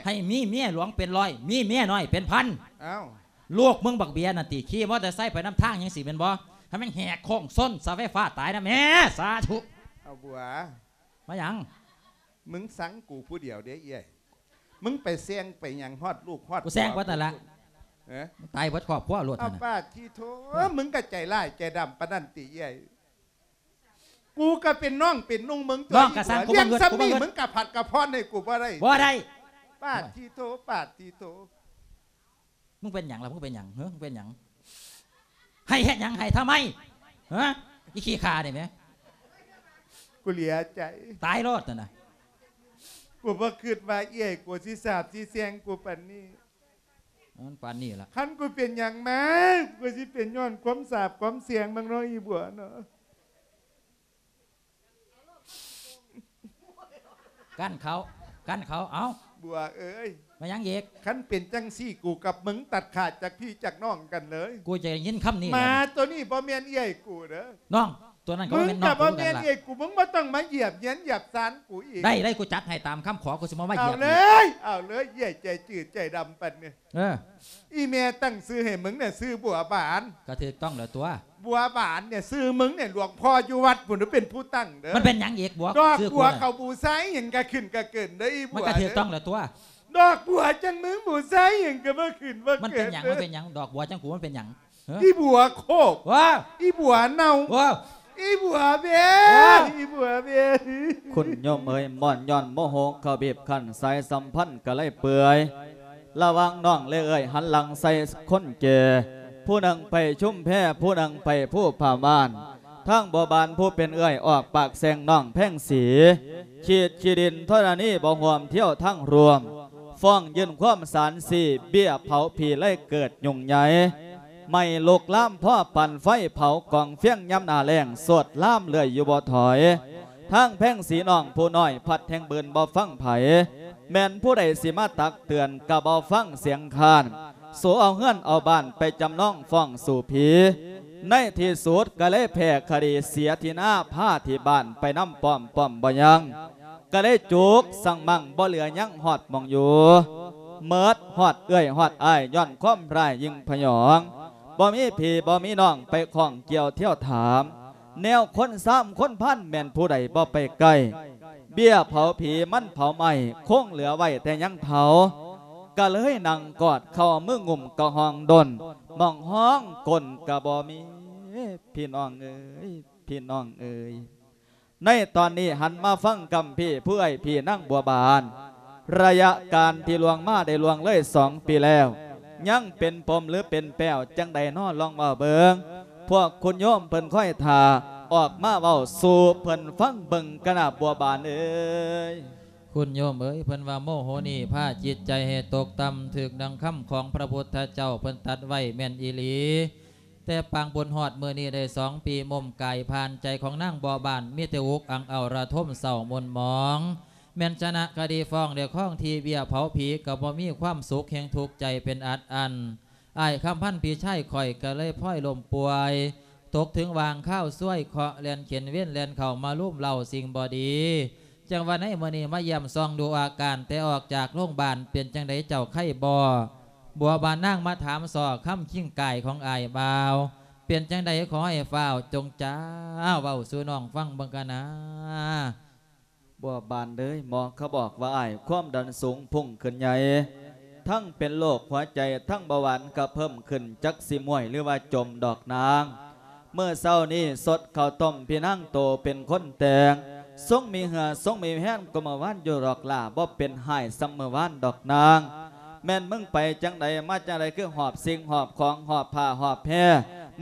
ໃຫ້ມີເມຍຫຼວງເປັນຮ້ອຍ ມີເມຍນ້ອຍເປັນພັນ. ອ້າວ ລູກມຶງບັກເບຍນັ້ນຕິ ຂີ່ມໍເຕີໄຊໄປນຳທາງຈັ່ງຊີ້ແມ່ນບໍ່? ໃຫ້ມັນແຫກໂຄ້ງຊົນເສົາໄຟຟ້າຕາຍນະແມ່. ສາທຸ. ເອົາບົວ ມາຫຍັງ? ມຶງຊັງກູຜູ້ດຽວເດ້ເອື້ອຍ ມຶງໄປແຊງໄປຫຍັງຮອດລູກຮອດຜົວ ກູແຊງເບິດນັ້ນລະ. ເອີ ຕາຍເບິດຄອບຄົວໂລດ. ເອົາ ຫັ້ນນະ ປາດທິໂທ ມຶງກໍໃຈຮ້າຍໃຈດຳປານນັ້ນຕິເອື້ອຍ? ກູກໍເປັນນ້ອງເປັນນຸ່ງມຶງຕົວະ ນ້ອງກໍຊ່າງ ອີ່ ກູບໍ່ເງິນ ກູບໍ່ເງິນ ມຶງກໍຜັດກະພອນໃຫ້ກູບໍ່ໄດ້ ບໍ່ໄດ້. ປາດທິໂທ ປາດທິໂທ. ມຶງເປັນຫຍັງລະ? ມຶງເປັນຫຍັງ? ເຮີ ມຶງເປັນຫຍັງ? ໃຫ້ເຮັດຫຍັງ? ໃຫ້ທຳໄມ? ຮະ ອີຂີ້ຂ້ານີ້ແມະ ກູເຫຼືອໃຈ ຕາຍໂລດຫັ້ນນະ. ກູບໍ່ຄິດວ່າເອື້ອຍກູຊິສາບຊິແຊ່ງກູປານນີ້. ມັນປານນີ້ລະ ຄັນກູເປັນຫຍັງມາ ກູຊິເປັນຍ້ອນຄວາມສາບຄວາມສ່ຽງມັງເນາະ ອີບົວເນາະ. ກັ້ນເຂົາ ກັ້ນເຂົາ. ເອົ້າ ບົວເອີຍ ມາຫຍັງອີກ? ຄັນເປັນຈັ່ງຊີ້ ກູກັບມຶງຕັດຂາດຈາກພີ່ຈາກນ້ອງກັນເລີຍ. ກູຢາກໄດ້ຍິນຄຳນີ້. ໝາໂຕນີ້ບໍ່ແມ່ນເອື້ອຍກູເດີ ນ້ອງ. ໂຕນັ້ນກໍບໍ່ແມ່ນນ້ອງກູຄືກັນລະ ມຶງກໍບໍ່ແມ່ນເອື້ອຍກູ ມຶງບໍ່ຕ້ອງມາຢຽບຫຍັນຢຽບຊານກູອີກ. ໄດ້ ໄດ້ ກູຈັດໃຫ້ຕາມຄຳຂໍ ກູຊິມາ ມາຢຽບ. ເອົາເລີຍ ເອົາເລີຍ ເອື້ອຍໃຈຈືດໃຈດຳປານນີ້. ເອີ ອີ່ແມ່ຕັ້ງຊື່ໃຫ້ມຶງນີ້ຊື່ບົວບານ ກໍຖືກຕ້ອງແລ້ວຕົວະ. ບົວບານນີ້ຊື່ມຶງນີ້ ຫຼວງພໍ່ຢູ່ວັດພຸ້ນເປັນຜູ້ຕັ້ງເດີ. ມັນເປັນຫຍັງອີກບົວ? ດອກບົວເຂົາບູຊາຫຍັງກະຂຶ້ນກະເກີນເດີ ອີບົວ. ມັນກໍຖືກຕ້ອງແລ້ວຕົວະ. ດອກບົວຈັ່ງມຶງບູຊາຫຍັງກະບໍ່ຂຶ້ນບໍ່ເກີນ. ມັນເປັນຫຍັງ? ມັນເປັນຫຍັງ? ດອກບົວຈັ່ງກູມັນເປັນຫຍັງ? ອີບົວໂຄກ ວ້າ ອີບົວເນົ່າ ວ້າ ອີບົວເບ ວ້າ ອີບົວເບ. ຄຸນໂຍມເອີຍ ຍ້ອນໂມໂຫເຂົາບີບຄັ້ນ ສາຍສຳພັນກໍເລີຍເປືອຍ ລະຫວ່າງນ້ອງແລະເອື້ອຍ ຫັນຫຼັງໃສ່ຄົນແກ່. ຜູ້ໜຶ່ງໄປຊຸມແພ ຜູ້ໜຶ່ງໄປພູຜາມ່ານ. ທາງບົວບານຜູ້ເປັນເອື້ອຍ ອອກປາກແຊ່ງນ້ອງແພງສີ ຂີດຂີ້ດິນທໍລະນີ ບໍ່ຮ່ວມທຽວທາງຮ່ວມ ຟ້ອງຍື່ນຄວາມສານສີ ເບ້ຍເຜົາຜີເລີຍເກີດຫຍຸ້ງໃຫຍ່ ໄໝ້ລຸກລາມພໍປານໄຟເຜົາກອງຟຽງ ຍາມໜ້າແລ້ງໂຊດລາມເລື້ອຍຢູ່ບໍ່ຖອຍ. ທາງແພງສີນ້ອງຜູ້ນ້ອຍ ພັດແຮງບືນບໍ່ຟັງໃຜ ແມ່ນຜູ້ໃດຊິມາຕັກເຕືອນ ກໍບໍ່ຟັງສຽງຄ້ານ. ໂສເອົາເຮືອນເອົາບ້ານໄປຈຳນອງຟ້ອງສູ້ຜີ ໃນທີ່ສຸດກໍເລີຍແພ້ຄະດີ ເສຍທີ່ນາພາທີ່ບ້ານໄປນຳປ້ອມປ້ອມບໍ່ຍັງ ກໍເລີຍຈຸກສັງມັງ ບໍ່ເຫຼືອຍັງຮອດໝ່ອງຢູ່ ເໝິດຮອດເອື້ອຍຮອດອ້າຍ ຍ້ອນຄວາມຮ້າຍຍິ່ງພະຍອງ ບໍ່ມີພີ່ບໍ່ມີນ້ອງໄປຂ້ອງກ່ຽວທຽວຖາມ ແນວຄົນຊາມຄົນພານ ແມ່ນຜູ້ໃດບໍ່ໄປໃກ້ ເບ້ຍເຜົາຜີມັນເຜົາໄໝ້ ຄົງເຫຼືອໄວ້ແຕ່ຍັງເຖົ້າ ກະເລີຍນັ່ງກອດເຂົ່າມືງຸ້ມກະຫ້ອງດົນ ໝ່ອງຫ້ອງກົ້ນກະບໍ່ມີ ພີ່ນ້ອງເອີຍ ພີ່ນ້ອງເອີຍ. ໃນຕອນນີ້ຫັນມາຟັງກຳພີ່ຜູ້ເອື້ອຍພີ່ນາງບົວບານ ໄລຍະການທີ່ລ່ວງມາໄດ້ລ່ວງເລີຍສອງປີແລ້ວ ຍັງເປັນປົມຫຼືເປັນແປ້ວຈັ່ງໃດນໍ ລອງເວົ້າເບິ່ງ ພວກຄຸນໂຍມເພິ່ນຄອຍຖ້າ ອອກມາເວົ້າສູ່ເພິ່ນຟັງເບິ່ງກະນະບົວບານເອີຍ. ຄຸນໂຍມເອີຍ ເພິ່ນວ່າໂມໂຫນີ້ພາຈິດໃຈໃຫ້ຕົກຕ່ຳ ຖືກດັ່ງຄຳຂອງພະພຸດທະເຈົ້າເພິ່ນຕັດໄວ້ແມ່ນອີ່ຫຼີ. ແຕ່ປາງບຸນຮອດມື້ນີ້ໄດ້ສອງປີ ໝົມກາຍຜ່ານໃຈຂອງນາງບໍ່ບານ ມີແຕ່ອຸກອັ່ງເອົາລະທົມເສົ້າໝົນໝອງ ແມ່ນຊະນະຄະດີຟ້ອງໄດ້ຄອງທີ່ເບ້ຍເຜົາຜີ ກໍບໍ່ມີຄວາມສຸກ ແຮ່ງທຸກໃຈເປັນອັດອັ່ນ. ອ້າຍຄຳພັນພີ່ຊາຍຂ້ອຍກໍເລີຍພອຍລົ້ມປ່ວຍ ຕົກເຖິງຫວ່າງຄາວຊວຍເຄາະ ແລ່ນເຂັນເວນແລ່ນເຂົ້າມາລຸມເລົ້າສິ່ງບໍ່ດີ. ຈັ່ງວ່າໃນມື້ນີ້ມາຢ້ຽມສ່ອງດູອາການ ແຕ່ອອກຈາກໂລງບານ ເປັນຈັ່ງໃດເຈົ້າໄຄບໍ່? ບົວບານນາງມາຖາມສໍ້ຄຳຄິງກາຍຂອງອ້າຍບ່າວ ເປັນຈັ່ງໃດຂໍໃຫ້ຟ້າວຈົ່ງຈ້າເວົ້າສູ່ນ້ອງຟັງເບິ່ງກະນາ. ບົວບານເອີຍ ໝໍເຂົາບອກວ່າອ້າຍຄວາມດັນສູງພຸ່ງຂຶ້ນໃຫຍ່ ທັງເປັນໂລກຫົວໃຈ ທັງເບົາຫວານກະເພີ່ມຂຶ້ນ ຈັກຊິມ້ວຍຫຼືວ່າຈົມດອກນາງ. ມື້ເຊົ້ານີ້ສົດເຂົ້າຕົ້ມ ພີ່ນາງໂຕເປັນຄົນແຕ່ງ ຊົງມີເຫື່ອຊົງມີແຮງກວ່າເມື່ອວານຢູ່ດອກຫຼ້າ ບໍ່ເປັນຮ້າຍສ່ຳເມື່ອວານດອກນາງ. ແມ່ນມຶງໄປຈັ່ງໃດມາຈັ່ງໃດ ຄືຫອບສິ່ງຫອບຂອງ ຫອບຜ້າຫອບແພ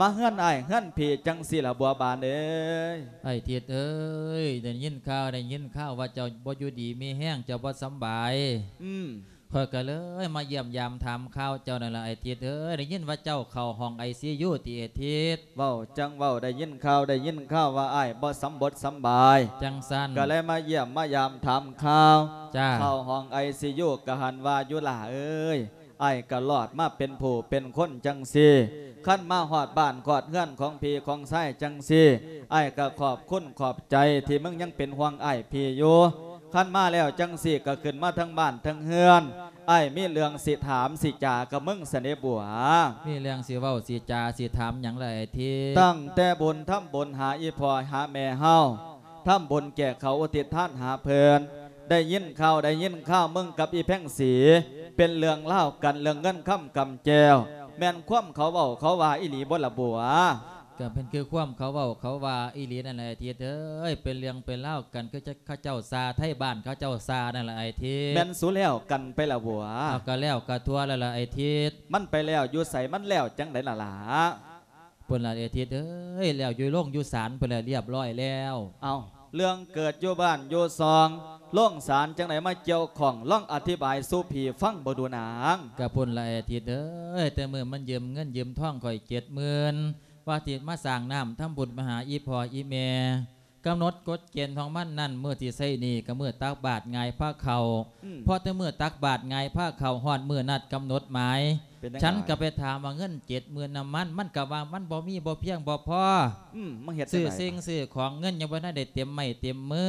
ມາເຮືອນອ້າຍເຮືອນພີ່ຈັ່ງຊີ້ລະບົວບານເອີຍ. ອ້າຍທິດເອີຍ ໄດ້ຍິນຂ່າວ ໄດ້ຍິນຂ່າວວ່າເຈົ້າບໍ່ຢູ່ດີມີແຮງ ເຈົ້າບໍ່ສຳບາຍ. ອືມ ຂ້ອຍກໍເລີຍມາຢ້ຽມຢາມຖາມຂ່າວເຈົ້ານັ້ນລະອ້າຍທິດເອີຍ. ໄດ້ຍິນວ່າເຈົ້າເຂົ້າຫ້ອງໄອຊີຢູຕິອ້າຍທິດ? ເວົ້າຈັ່ງເວົ້າ ໄດ້ຍິນຂ່າວ ໄດ້ຍິນຂ່າວວ່າອ້າຍບໍ່ສຳບົດສຳບາຍ. ຈັ່ງຊັ້ນ ກໍເລີຍມາຢ້ຽມມາຢາມຖາມຂ່າວ. ຈ້າ ເຂົ້າຫ້ອງໄອຊີຢູກໍຫັ້ນວ່າຢູ່ຫຼ້າເອີຍ. ອ້າຍກໍລອດມາເປັນຜູ້ເປັນຄົນຈັ່ງຊີ້ ຄັນມາຮອດບ້ານຮອດເຮືອນຂອງພີ່ຂອງຊາຍຈັ່ງຊີ້ ອ້າຍກໍຂອບຄຸນຂອບໃຈທີ່ມຶງຍັງເປັນຫ່ວງອ້າຍພີ່ຢູ່. ຄັນມາແລ້ວຈັ່ງຊີ້ກໍຂຶ້ນມາເທິງບ້ານເທິງເຮືອນ ອ້າຍມີເລື່ອງຊິຖາມຊິຈາກັບມຶງຊັ້ນເດບົວ. ມີເລື່ອງຊິເວົ້າຊິຈາຊິຖາມຫຍັງລະອ້າຍທິດ? ຕັ້ງແຕ່ບຸນທຳບຸນຫາອີ່ພໍ່ຫາແມ່ເຮົາ ທຳບຸນແກ່ເຂົາ ອຸທິດທານຫາເພິ່ນ. ໄດ້ຍິນຂ່າວ ໄດ້ຍິນຂ່າວ ມຶງກັບອີ່ແພງສີ ເປັນເລື່ອງລາວກັນ ເລື່ອງເງິນຄຳກຳແກ້ວ ແມ່ນຄວາມເຂົາເວົ້າເຂົາວ່າອີ່ຫຼີບໍ່ລະບົວ? ກໍເປັນຄືຄວາມເຂົາເວົ້າເຂົາວ່າອີ່ຫຼີນັ້ນແຫຼະອ້າຍທິດເອີຍ. ເປັນເລື່ອງເປັນລາວກັນ ຄືເຂົາເຈົ້າຊ່າ ໄທບ້ານເຂົາເຈົ້າຊ່ານັ້ນແຫຼະອ້າຍທິດ. ແມ່ນສູແລ້ວກັນໄປລະບົວ? ເອົາ ກໍແລ້ວກໍທົ່ວແລ້ວລະອ້າຍທິດ. ມັນໄປແລ້ວຢູ່ໃສ? ມັນແລ້ວຈັ່ງໃດລະຫຼ້າ? ພຸ້ນລະອ້າຍທິດເອີຍ ແລ້ວຢູ່ໂລງຢູ່ສານພຸ້ນລະ ລຽບຮ້ອຍແລ້ວ. ເອົ້າ ເລື່ອງເກີດຢູ່ບ້ານຢູ່ຊ່ອງ ໂລງສານຈັ່ງໃດມາກ່ຽວຂ້ອງ? ລອງອະທິບາຍສູ່ພີ່ຟັງເບິ່ງດູນາງ. ກະພຸ້ນລະອ້າຍທິດເອີຍ ແຕ່ມື້ມັນຢືມເງິນຢືມທອງຂ້ອຍເຈັດໝື່ນ ວ່າຊິມາສ້າງນ້ຳທຳບຸນມາຫາອີ່ພໍ່ອີ່ແມ່. ກຳນົດກົດເກນຂອງມັນນັ້ນ ມື້ທີ່ໃຊ້ໜີ້ກໍມື້ຕັກບາດຫງາຍພາເຂົ້າ. ອືມ ພໍແຕ່ມື້ຕັກບາດຫງາຍພາເຂົ້າ ຮອດມື້ນັດກຳນົດໝາຍ ເປັນຈັ່ງໃດ? ສັນກໍໄປຖາມວ່າເງິນເຈັດໝື່ນນຳມັນ ມັນກໍວ່າມັນບໍ່ມີ ບໍ່ພຽງ ບໍ່ພໍ. ອືມ ມັນເຮັດຈັ່ງໃດ? ຊື້ສິ່ງຊື້ຂອງ ເງິນຍັງບໍ່ທັນໄດ້ເຕັມໄມ້ເຕັມມື.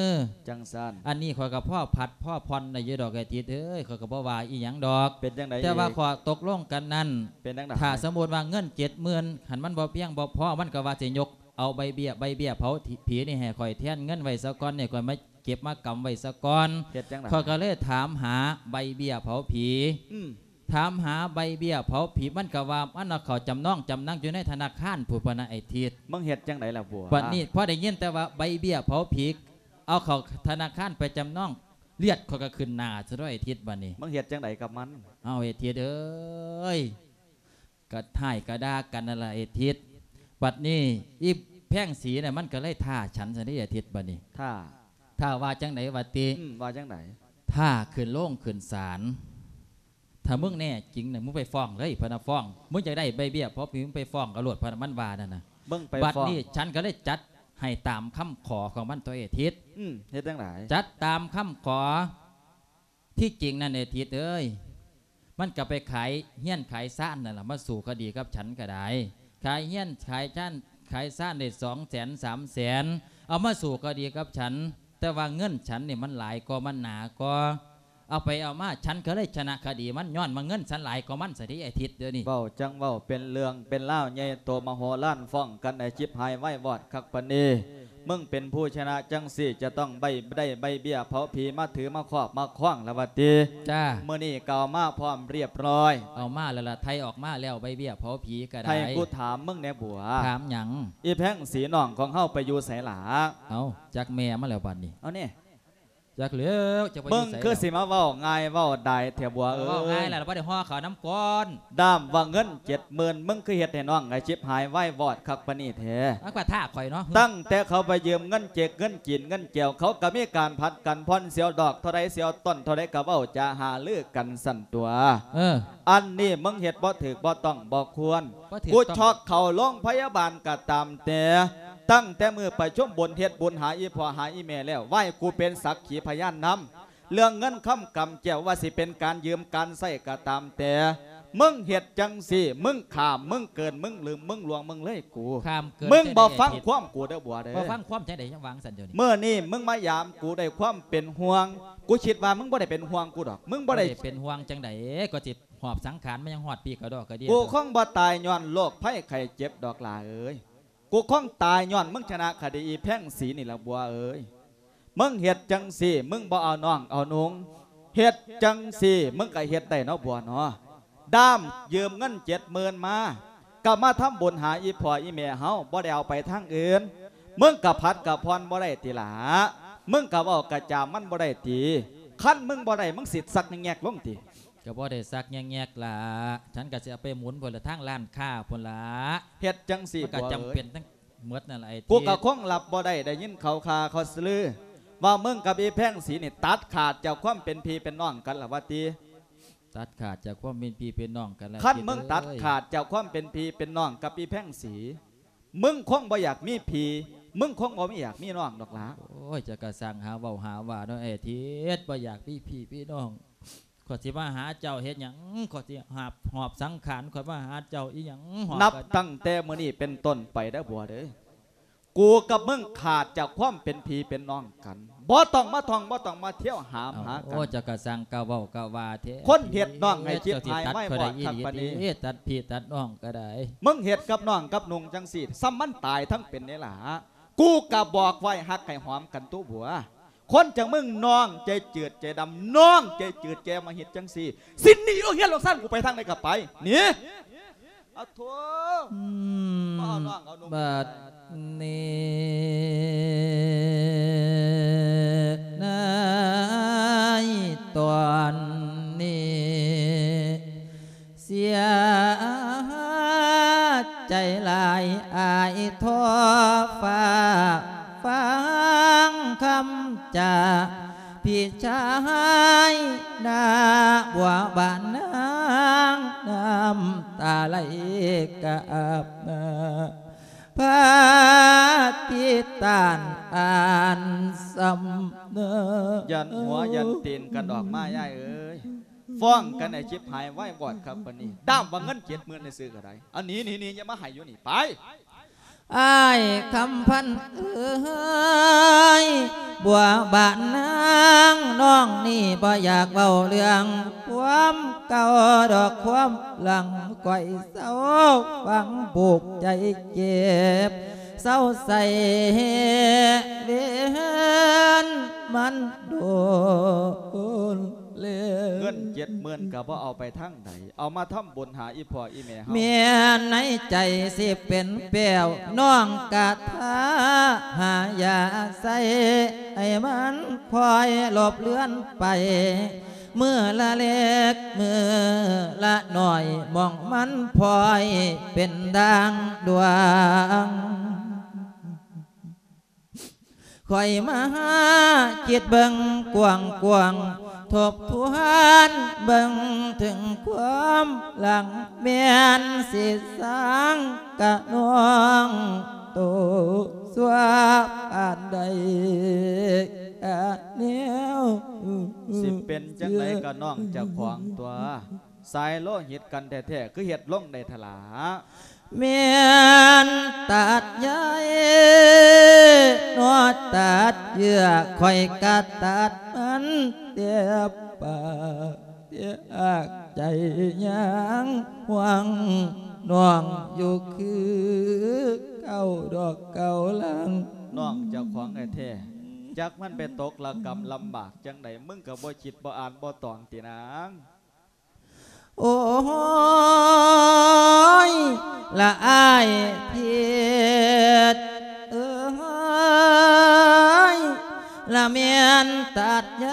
ຈັ່ງຊັ້ນ ອັນນີ້ຂ້ອຍກໍພໍພັດພໍຜ່ອນໄດ້ຢູ່ດອກ ໄອ້ທິດເອີຍ ຂ້ອຍກໍບໍ່ວ່າອີ່ຫຍັງດອກ. ເປັນຈັ່ງໃດ? ແຕ່ວ່າຂໍ້ຕົກລົງກັນນັ້ນ ເປັນຈັ່ງໃດ? ຖ້າສົມມຸດວ່າເງິນເຈັດໝື່ນ ຄັນມັນບໍ່ພຽງບໍ່ພໍ ມັນກໍວ່າຊິຍົກ ເອົາໃບເບ້ຍ ໃບເບ້ຍເຜົາຜີນີ້ໃຫ້ຂ້ອຍແທນເງິນໄວ້ສາກ່ອນ ໃຫ້ຂ້ອຍມາເກັບມາກຳໄວ້ສາກ່ອນ. ເຮັດຈັ່ງໃດ? ຂ້ອຍກໍເລີຍຖາມຫາໃບເບ້ຍເຜົາຜີ. ອືມ ຖາມຫາໃບເບ້ຍເຜົາຜີ ມັນກໍວ່າມັນເອົາເຂົ້າຈຳນອງຈຳນຳຢູ່ໃນທະນາຄານພຸ້ນ ພະນະໄອ້ທິດ. ມຶງເຮັດຈັ່ງໃດລະບົວ? ບັດນີ້ພໍໄດ້ຍິນແຕ່ວ່າໃບເບ້ຍເຜົາຜີ ເອົາເຂົ້າທະນາຄານໄປຈຳນອງ ເລືອດຂ້ອຍກໍຂຶ້ນໜ້າຊະດອກໄອ້ທິດບັດນີ້. ມຶງເຮັດຈັ່ງໃດກັບມັນ? ເອົາ ໄອ້ທິດເອີຍ ກະຮ້າຍກະດ່າກັນນັ້ນລະໄອ້ທິດ. ບັດນີ້ອີ່ແພງສີນະ ມັນກະເລີຍທ້າສັນຊັ້ນເດໄອ້ທິດບັດນີ້. ທ້າ? ທ້າວ່າຈັ່ງໃດວະຕິ? ອືມ ວ່າຈັ່ງໃດ? ທ້າຂຶ້ນໂລງຂຶ້ນສານ. ຖ້າມຶງແນ່ຈິງນະ ມຶງໄປຟ້ອງເລີຍ ພະນະ ຟ້ອງ. ມຶງຢາກໄດ້ໃບເບ້ຍເຜົາຜີ ມຶງໄປຟ້ອງເອົາໂລດ ພະນະ ມັນວ່ານັ້ນນະ. ບັດນີ້ສັນກະເລີຍຈັດໃຫ້ຕາມຄຳຂໍຂອງມັນໂຕໄອ້ທິດ. ອືມ ເຮັດຈັ່ງໃດ? ຈັດຕາມຄຳຂໍ. ທີ່ຈິງນັ້ນໄອ້ທິດເອີຍ ມັນກໍໄປຂາຍເຮືອນຂາຍຊານນັ້ນລະ ມາສູ້ຄະດີກັບສັນກໍໄດ້. ຂາຍເຮືອນຂາຍຊານ ຂາຍຊານໄດ້ສອງແສນ ສາມແສນ ເອົາມາສູ້ຄະດີກັບສັນ. ແຕ່ວ່າເງິນສັນນີ້ມັນຫຼາຍກວ່າ ມັນໜາກວ່າ ເອົາໄປເອົາມາ ສັນກໍເລີຍຊະນະຄະດີມັນ ຍ້ອນວ່າເງິນສັນຫຼາຍກວ່າມັນຊະເດໄອ້ທິດດຽວນີ້. ເວົ້າຈັ່ງເວົ້າ ເປັນເລື່ອງເປັນລາວໃຫຍ່ໂຕມະໂຫລານ ຟ້ອງກັນໃຫ້ຈິບຫາຍວາຍວອດຄັກປານນີ້. ມຶງເປັນຜູ້ຊະນະຈັ່ງຊີ້ ຈະຕ້ອງໄດ້ໃບເບ້ຍເຜົາຜີມາຖືມາຄອບມາຄອງລະວ່າຕິ. ຈ້າ ມື້ນີ້ກໍເອົາມາພ້ອມຮຽບຮ້ອຍ. ເອົາມາແລ້ວລະ ໄຖ່ອອກມາແລ້ວ ໃບເບ້ຍເຜົາຜີກໍໄດ້. ໃຫ້ກູຖາມມຶງແດ່ບົວ. ຖາມຫຍັງ? ອີ່ແພງສີນ້ອງຂອງເຮົາໄປຢູ່ໃສລະ? ເອົ້າ ຈັກແມ່ມັນແລ້ວບັດນີ້. ເອົານີ້ ຈັກແລ້ວ ຈັກໄປຢູ່ໃສແລ້ວ. ມຶງຄືຊິມາເວົ້າງ່າຍເວົ້າດາຍແທ້ບົວເອີຍ. ເວົ້າງ່າຍແລ້ວ ບໍ່ໄດ້ຫໍ່ເຂົ້ານຳກ່ອນ. ດ້າມວ່າເງິນເຈັດໝື່ນ ມຶງຄືເຮັດໃຫ້ນ້ອງໄອ້ຈິບຫາຍວາຍວອດຄັກປານນີ້ແທ້. ມັນກໍທ້າຂ້ອຍເນາະ. ຕັ້ງແຕ່ເຂົາໄປຢືມເງິນເຈັກເງິນຈີນເງິນແຈວ ເຂົາກໍມີການຜັດກັນຜ່ອນ ສຽວດອກເທົ່າໃດ ສຽວຕົ້ນເທົ່າໃດ ກໍເວົ້າຈາຫາລືກັນຊັ້ນຕົວະ. ເອີ ອັນນີ້ມຶງເຮັດບໍ່ຖືກບໍ່ຕ້ອງບໍ່ຄວນ. ບໍ່ຖືກຕ້ອງ. ກູຊັອກເຂົ້າໂລງພະຍາບານກໍຕາມແຕ່ ຕັ້ງແຕ່ມື້ປະຊຸມບຸນເຮັດບຸນຫາອີ່ພໍ່ຫາອີ່ແມ່ແລ້ວ ໄວ້ ກູເປັນສັກຂີພະຍານນຳ. ເລື່ອງເງິນຄຳກຳແກ້ວ ວ່າຊິເປັນການຢືມການໃຊ້ກໍຕາມແຕ່ ມຶງເຮັດຈັ່ງຊີ້ ມຶງຂ້າມ ມຶງເກີນ ມຶງລືມ ມຶງລ່ວງ ມຶງເລີຍກູ. ຂ້າມເກີນ ມຶງບໍ່ຟັງຄວາມກູເດີບົວເດີ. ບໍ່ຟັງຄວາມຈັ່ງໃດ ຍັງວ່າຈັ່ງຊັ້ນດຽວນີ້. ມື້ນີ້ມຶງມາຢາມກູດ້ວຍຄວາມເປັນຫ່ວງ. ກູຄິດວ່າມຶງບໍ່ໄດ້ເປັນຫ່ວງກູດອກ. ມຶງບໍ່ໄດ້ ບໍ່ໄດ້ເປັນຫ່ວງຈັ່ງໃດ ກໍຊິຫອບສັງຂານມາຍັງຮອດປີກະດອກກະເດຍ. ກູຄົງບໍ່ຕາຍຍ້ອນໂລກໄພໄຂ້ເຈັບດອກຫຼ້າເອີຍ. ກູຄົງຕາຍຍ້ອນມຶງຊະນະຄະດີອີ່ແພງສີນີ້ລະບົວເອີຍ. ມຶງເຮັດຈັ່ງຊີ້ ມຶງບໍ່ເອົານ້ອງເອົານຸ່ງ ເຮັດຈັ່ງຊີ້ ມຶງກະເຮັດໄດ້ເນາະບົວເນາະ. ດ້າມຢືມເງິນເຈັດໝື່ນມາ ກະມາທຳບຸນຫາອີ່ພໍ່ອີ່ແມ່ເຮົາ ບໍ່ໄດ້ເອົາໄປທາງອື່ນ. ມຶງກະຜັດກະຜ່ອນບໍ່ໄດ້ຕິຫຼ້າ. ມຶງກະເວົ້າກະຈາມັນບໍ່ໄດ້ຕິ. ຄັນມຶງບໍ່ໄດ້ ມຶງຊິສັກແງກລົງຕິ. ກໍບໍ່ໄດ້ຊັກແຍກໆລະ ສັນກໍຊິເອົາໄປໝູນພຸ້ນລະ ທາງຮ້ານຄ້າພຸ້ນລະ. ເຮັດຈັ່ງຊີ້ ມັນກໍ ບົວເອີຍ ຈຳເປັນທັງໝົດນັ້ນລະ ໄອ້ທິດ. ກູກໍຄົງຮັບບໍ່ໄດ້ ໄດ້ຍິນເຂົາຂ່າເຂົາລືວ່າ ມຶງກັບອີ່ແພງສີນີ້ ຕັດຂາດຈາກຄວາມເປັນພີ່ເປັນນ້ອງກັນລະວ່າຕິ. ຕັດຂາດຈາກຄວາມເປັນພີ່ເປັນນ້ອງກັນລະ ຄັນມຶງຕັດຂາດຈາກຄວາມເປັນພີ່ເປັນນ້ອງກັບອີ່ແພງສີ ມຶງຄົງບໍ່ຢາກມີພີ່ ມຶງຄົງບໍ່ມີ ຢາກມີນ້ອງດອກລະ. ໂອ້ຍ ເຈົ້າກໍຊ່າງຫາເວົ້າຫາວ່າເນາະ ໄອ້ທິດ. ບໍ່ຢາກມີພີ່ມີນ້ອງ ຂ້ອຍຊິມາຫາເຈົ້າເຮັດຫຍັງ? ຂ້ອຍຊິຫາບຫອບສັງຂານຂ້ອຍມາຫາເຈົ້າອີ່ຫຍັງ? ນັບຕັ້ງແຕ່ມື້ນີ້ເປັນຕົ້ນໄປເດີບົວເດີ ກູກັບມຶງຂາດຈາກຄວາມເປັນພີ່ເປັນນ້ອງກັນ. ບໍ່ຕ້ອງມາທ່ອງ ບໍ່ຕ້ອງມາທ່ຽວຫາມຫາກັນ. ໂອ້ ເຈົ້າກໍຊ່າງກະເວົ້າກະວ່າແທ້. ຄົນເຮັດນ້ອງໃຫ້ຈິບຫາຍວາຍວອດຄັກປານນີ້ ຕັດພີ່ຕັດນ້ອງກໍໄດ້. ມຶງເຮັດກັບນ້ອງກັບນຸ່ງຈັ່ງຊີ້ ສ່ຳມັນຕາຍທັງເປັນເດລະ. ກູກະບອກໄວ້ ຮັກໃຫ້ຫອມກັນໂຕບົວ. ຄົນຈັ່ງມຶງ ນ້ອງໃຈຈືດໃຈດຳ ນ້ອງໃຈຈືດແກ່ມາເຮັດຈັ່ງຊີ້ ຊິໜີໂລງຮຽນໂລງຊານກູໄປທາງໃດກໍໄປ ໜີ. ອາໂທ ອືມ ບໍ່ເອົານ້ອງເອົານຸ່ງ ບັດນີ້ ໃນຕອນນີ້ ເສຍໃຈຫຼາຍອ້າຍທໍ່ ຝາກຟັງຄຳຈາ ພີ່ຊາຍໜ້າບົວບານນາງ ນ້ຳຕາໄຫຼກາບໜ້າ ພາທິດຕານອ່ານສຳເນີ ຢັນຫົວຢັນຕີນກັນອອກມາ ຍາຍເອີຍ. ຟ້ອງກັນໃຫ້ຈິບຫາຍວາຍວອດຄັກປານນີ້ ດ້າມວ່າເງິນເຈັດໝື່ນຊື່ໆກໍໄດ້. ອັນນີ້ ນີ້ ນີ້ ຢ່າມາໃຫ້ຢູ່ນີ້ ໄປ. ອ້າຍຄຳພັນເອີຍ ບົວບານນາງ ນ້ອງນີ້ບໍ່ຢາກເວົ້າເລື່ອງຄວາມເກົ່າດອກ ຄວາມຫຼັງຂ້ອຍເຊົາຟັງ ຜູກໃຈເຈັບເຊົາໃສ່ ເວນມັນໂດນ ເງິນເຈັດໝື່ນກໍບໍ່ເອົາໄປທາງໃດ ເອົາມາທຳບຸນຫາອີ່ພໍ່ອີ່ແມ່ເຮົາ. ແມ່ນໃນໃຈຊິເປັນແປ້ວ ນ້ອງກະທາຫາຢາໃສ່ ໃຫ້ມັນຄ່ອຍລົບເລືອນໄປ ມື້ລະເລັກມື້ລະໜ້ອຍ ໝ່ອງມັນພອຍເປັນດ່າງດວງ. ຂ້ອຍມາຄິດເບິ່ງກວ້າງໆ ທົບທວນເບິ່ງເຖິງຄວາມຫຼັງ ແມ່ນຊິສ້າງກະນ້ອງໂຕຊົ່ວປານໃດ ກະແນວ ຊິເປັນຈັ່ງໃດກະນ້ອງເຈົ້າຂອງຕົວະ ສາຍໂລຫິດກັນແທ້ໆ ຄືເຮັດລົງໄດ້ທະລາ. ແມ່ນຕັດໃຍເນາະ ຕັດເຍື່ອ ຂ້ອຍກະຕັດມັນແຕ່ປາກ ແຕ່ອາກໃຈຍັງຫ່ວງນ້ອງຢູ່ຄືເກົ່າດອກເກົ່າຫຼັງ. ນ້ອງເຈົ້າຂອງແທ້ໆ ຈັກມັນໄປຕົກລະກຳລຳບາກຈັ່ງໃດ ມຶງກະບໍ່ຄິດບໍ່ອ່ານບໍ່ຕອງຕິນາງ. ໂອ້ຍ ລະອ້າຍທິດເອີຍ ລະແມ່ນຕັດໃຍ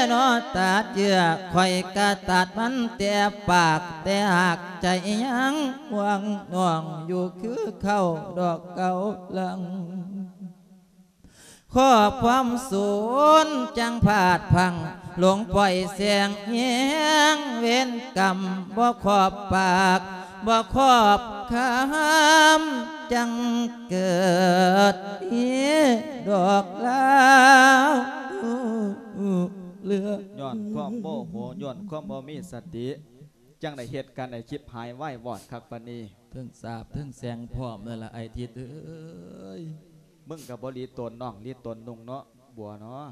ເນາະ ຕັດເຍື່ອ ຂ້ອຍກະຕັດມັນແຕ່ປາກ ແຕ່ຫາກໃຈຍັງຫ່ວງນ້ອງຢູ່ຄືເກົ່າດອກເກົ່າຫຼັງ. ຂອບຄວາມສູນຈັ່ງພາດພັງ ຫຼົງປ່ອຍແສງແຮງເວນກຳ ບໍ່ຂອບປາກບໍ່ຂອບຄຳ ຈັ່ງເກີດເຫດດອກລາວເຫຼືອ ຍ້ອນຄວາມໂມໂຫ ຍ້ອນຄວາມບໍ່ມີສະຕິ ຈັ່ງໄດ້ເຮັດການໄດ້ຈິບຫາຍວາຍວອດຄັກປານນີ້. ເທິງສາບເທິງແຊ່ງພ້ອມນັ້ນລະ ອ້າຍທິດເອີຍ. ມຶງກໍບໍ່ຫຼີຕົນນ້ອງຫຼີຕົນນຸ່ງເນາະ ບົວເນາະ.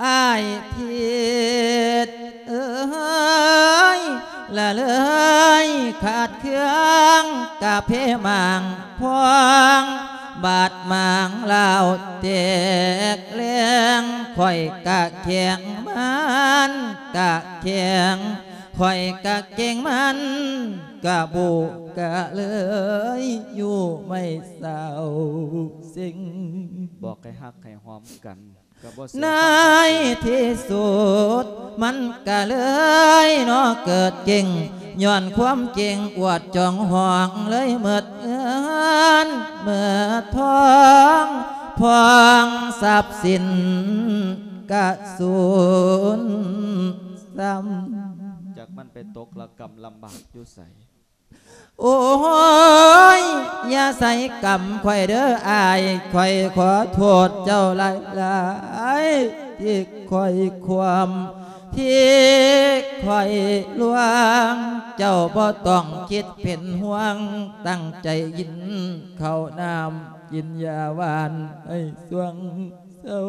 ອ້າຍທິດເອີຍ ລະເລີຍຂາດເຄື່ອງກະເພໝາງພອງ ບາດໝາງລາວແຕກແຫຼງ ຂ້ອຍກະແຂງມັນກະແຂງ ຂ້ອຍກະເກັ່ງມັນກະບູກະເລີຍຢູ່ໄມ່ສາວເສັງ. ບອກໃຫ້ຮັກໃຫ້ຫອມກັນ ໃນທີ່ສຸດມັນກະເລີຍເນາະເກີດເກັ່ງ ຍ້ອນຄວາມເກັ່ງອວດຈອງຫ້ອງເລີຍໝົດເຮືອນໝົດທອງ ພອງຊັບສິນກະສູນຊຳ. ຈັກມັນໄປຕົກລະກຳລຳບາກຢູ່ໃສ? ໂອ້ຍ ຢ່າໃສ່ກຳຂ້ອຍເດີອ້າຍ ຂ້ອຍຂໍໂທດເຈົ້າຫຼາຍໆ ທີ່ຂ້ອຍຄວາມ ທີ່ຂ້ອຍລວງ ເຈົ້າບໍ່ຕ້ອງຄິດເປັນຫ່ວງ ຕັ້ງໃຈກິນເຂົ້ານ້ຳ ກິນຢາຫວານໃຫ້ຊ່ວງເຊົາ.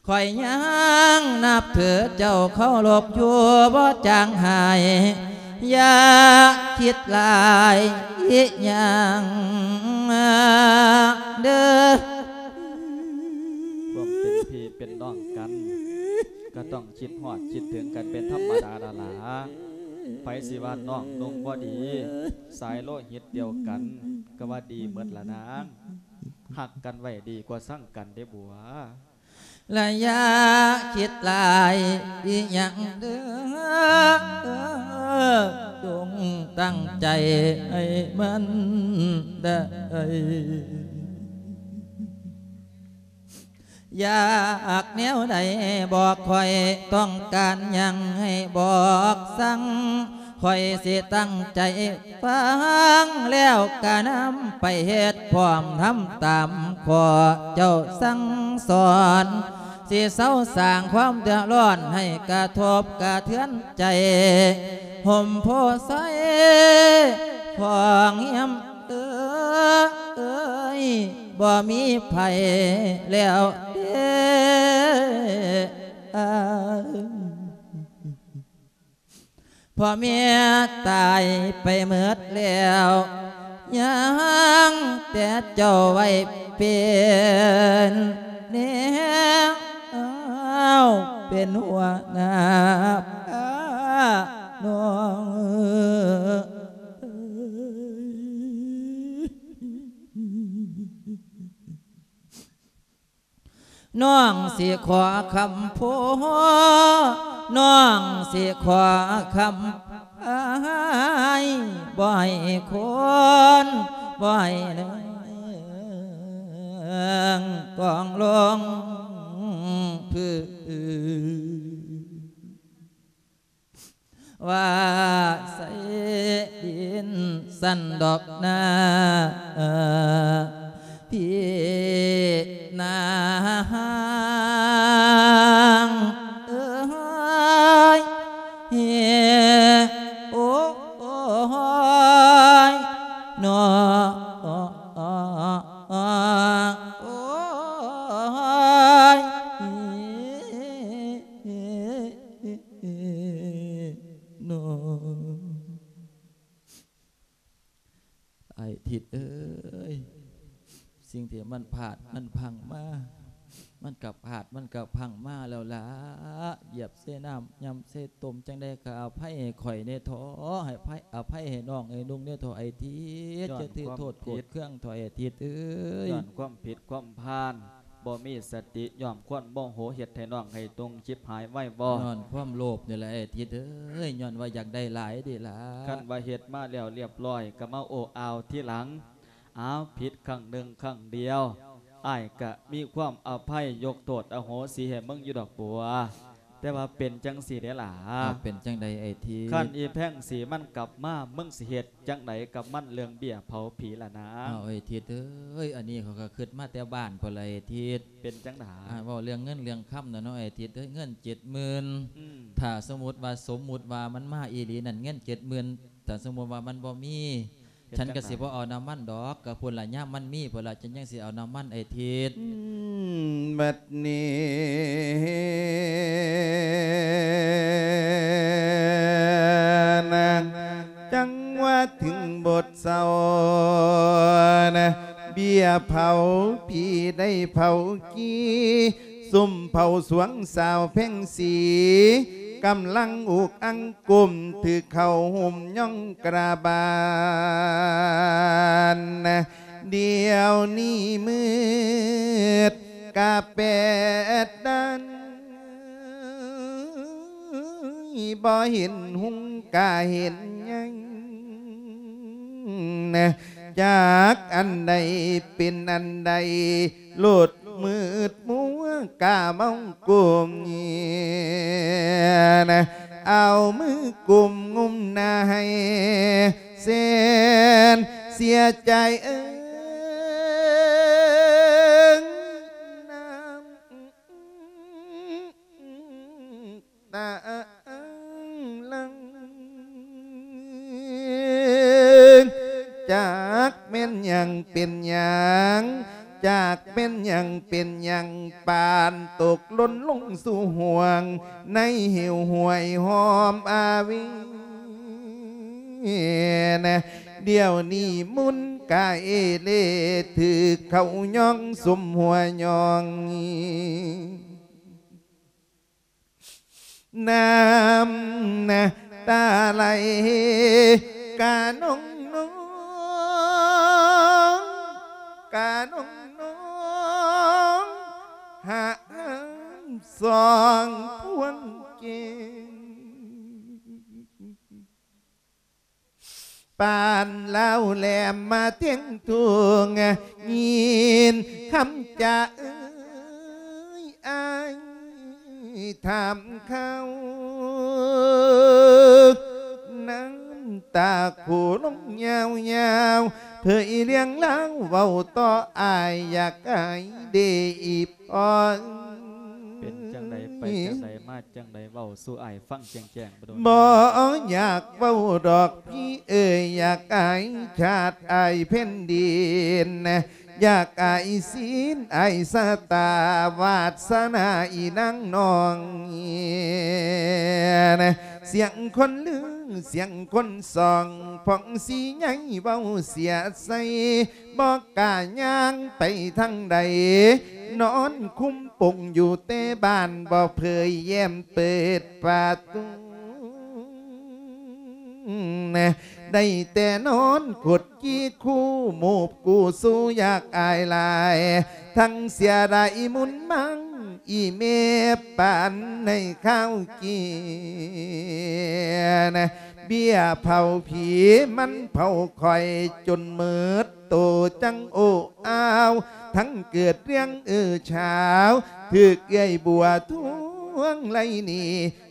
ຂ້ອຍຍັງນັບຖືເຈົ້າເຄົາລົບຢູ່ບໍ່ຈາງຫາຍ ຢ່າຄິດຫຼາຍອີຫຍັງເດີ. ຄວາມເປັນພີ່ເປັນນ້ອງກັນ ກໍຕ້ອງຄິດຮອດຄິດເຖິງກັນເປັນທຳມະດາລະລະ. ໃຜຊິວ່ານ້ອງນຸ່ງບໍ່ດີ ສາຍໂລຫິດດຽວກັນ ກໍວ່າດີໝົດລະນາງ. ຮັກກັນໄວ້ດີກວ່າຊັງກັນເດ້ບົວ. ລະຢ່າຄິດຫຼາຍອີຫຍັງເດີ ຈົ່ງຕັ້ງໃຈໃຫ້ມັນໄດ້. ຢາກແນວໃດບອກຂ້ອຍ ຕ້ອງການຫຍັງໃຫ້ບອກສັ່ງ ຂ້ອຍຊິຕັ້ງໃຈ ຟັງແລ້ວກະນຳໄປເຮັດ ພ້ອມທຳຕາມຂໍ້ເຈົ້າສັ່ງສອນ ຊິເຊົາສ້າງຄວາມເດືອດຮ້ອນໃຫ້ກະທົບກະເທືອນໃຈ ຮົ່ມໂພໄຊຂອງຮຽມເອີຍ ບໍ່ມີໃຜແລ້ວເດ້. ພໍ່ແມ່ຕາຍໄປໝົດແລ້ວ ຍັງແຕ່ເຈົ້າໄວ້ເປັນແນວ ເປັນຫົວໜ້າພານ້ອງເອີຍ. ນ້ອງຊິຂໍຄຳໂພ ນ້ອງຊິຂໍຄຳພາຍ ບໍ່ໃຫ້ຄົນ ບໍ່ໃຫ້ເລື່ອງກອງລົງພື້ນ ວ່າໃສດິນສັ່ນດອກນາ ພີ່ນາງເອີຍ ເຮ ໂອ້ຍ ນອ ໂອ້ຍ ເນາະ ອ້າຍທິດເອີຍ ສິ່ງທີ່ມັນພາດມັນພັງມາ ມັນກະພາດມັນກະພັງມາແລ້ວລະ ຢຽບໃສ່ນ້ຳ ຫຍ້ຳໃສ່ຕົມ ຈັ່ງໃດກະອະໄພໃຫ້ຂ້ອຍແດ່ເຖາະ ໃຫ້ໄພ ອະໄພໃຫ້ນ້ອງໃຫ້ນຸ່ງແດ່ເຖາະ ອ້າຍທິດ ຢ່າຖືໂທດໂກດເຄືອງເຖາະ ອ້າຍທິດເອີຍ ຍ້ອນຄວາມຜິດຄວາມພານ ບໍ່ມີສະຕິ ຍ້ອນຄວາມໂມໂຫ ເຮັດໃຫ້ນ້ອງໃຫ້ນຸ່ງຊິບຫາຍໄວວອດ ຍ້ອນຄວາມໂລບນີ້ແຫຼະ ອ້າຍທິດເອີຍ ຍ້ອນວ່າຢາກໄດ້ຫຼາຍເດ້ລະ ຄັນວ່າເຮັດມາແລ້ວລຽບຮ້ອຍ ກໍມາໂອ້ອາວທີຫຼັງ ອາວ ຜິດຄັ້ງໜຶ່ງຄັ້ງດຽວ ອ້າຍກະມີຄວາມອະໄພ ຍົກໂທດອະໂຫສິໃຫ້ມຶງຢູ່ດອກບົວ ແຕ່ວ່າເປັນຈັ່ງຊີ້ເດ້ຫຼ້າ ເປັນຈັ່ງໃດອ້າຍທິດ ຄັນອີແພງສີມັນກັບມາ ມຶງຊິເຮັດ ຈັ່ງໃດກັບມັນເລື່ອງເບ້ຍເຜົາຜີລະນາງ ເອົາ ອ້າຍທິດເອີຍ ອັນນີ້ຂ້ອຍກໍຄິດມາແຕ່ບ້ານພຸ້ນລະ ອ້າຍທິດ ເປັນຈັ່ງໃດ ອ່າ ເວົ້າເລື່ອງເງິນເລື່ອງຄຳນະເນາະ ອ້າຍທິດເອີຍ ເງິນເຈັດໝື່ນ ອືມ ຖ້າສົມມຸດວ່າ ສົມມຸດວ່າມັນມາອີ່ຫຼີນັ້ນ ເງິນເຈັດໝື່ນ ຖ້າສົມມຸດວ່າມັນບໍ່ມີ ເຮັດ ສັນກໍ ຈັ່ງໃດ ຊິບໍ່ເອົານຳມັນດອກ ກໍພຸ້ນລະ ຍາມມັນມີພຸ້ນລະ ຈັ່ງ ຈັ່ງຊິເອົານຳມັນ ອ້າຍທິດ ອືມ ບັດນີ້ ນະ ຈັ່ງວ່າເຖິງບົດເຊົານະ ເບ້ຍເຜົາຜີໄດ້ເຜົາກີ ຊຸມເຜົາສວງສາວແພງສີ ກຳລັງອຸກອັງກົ້ມຖືເຂົ້າຫຸ້ມຍ່ອງກະບານນະ ດຽວນີ້ມືດກະແປດດານ ບໍ່ເຫັນຮຸ່ງກະເຫັນຫຍັງ ຈັກອັນໃດເປັນອັນໃດ ໂລດມືດມົວກະເມົາກຸມ ເອົາມືກຸມງຸ້ມໜ້າໃຫ້ແສນເສຍໃຈ ເອີຍ ນ້ຳຕາຫຼັ່ງ ຈັກແມ່ນຫຍັງເປັນຫຍັງ ຈັກແມ່ນຫຍັງເປັນຫຍັງ ປານຕົກຫຼົ່ນລົງສູ່ຫ້ວງ ໃນເຫວຫ້ວຍຫອມອາເວນ ດຽວນີ້ມຸນກະເອເລ ຖືກເຂົາຍ້ອງສຸມຫົວຍ້ອງ ນ້ຳຕາໄຫຼກະນົງໆ ກະນົງໆ ຫາມສອງພວງແກ້ງ ປານລາວແຫຼມມາແທງທຸ່ງ ຍິນຄຳຈາເອີຍອ້າຍຖາມຂ່າວ ນ້ຳຕາໂຄລົງຍາວໆ ເຜີຍເລື່ອງລາວເວົ້າຕໍ່ອ້າຍ ຢາກອາຍເດອີ ອໍ ເປັນຈັ່ງໃດ ໄປຈັ່ງໃດ ມາຈັ່ງໃດ ເວົ້າສູ່ອ້າຍຟັງແຈ້ງໆ ບໍ່ໂດນ ບໍ່ຢາກເວົ້າດອກພີ່ເອີຍ ຢາກອາຍຊາດອາຍແຜ່ນດິນ ຢາກອາຍສິນອາຍຊະຕາ ວາດສະໜາອີນາງນ້ອງ ສຽງຄົນລື ສຽງຄົນສ່ອງ ຜ່ອງສີໃຫຍ່ເວົ້າເສຍໃສ ບໍ່ກ້າຍ່າງໄປທາງໃດ ນອນຄຸມປົງຢູ່ແຕ່ບ້ານ ບໍ່ເຜີຍແຍ້ມເປີດປະຕູ ໄດ້ແຕ່ນອນຂົດຂີ້ຄູ ໝູບກູສູ່ຢາກອາຍຫຼາຍ ທັງເສຍດາຍມຸນມັງ ອີແມ່ປານໃນຄາວກີ້ ເບ້ຍເຜົາຜີມັນເຜົາຂ້ອຍຈົນໝົດໂຕ ຈັ່ງໂອ້ອ້າວ ທັງເກີດເລື່ອງເອີ່ເຊົ້າ ຖືກເອື້ອຍບົວທວງໄລ່ໜີ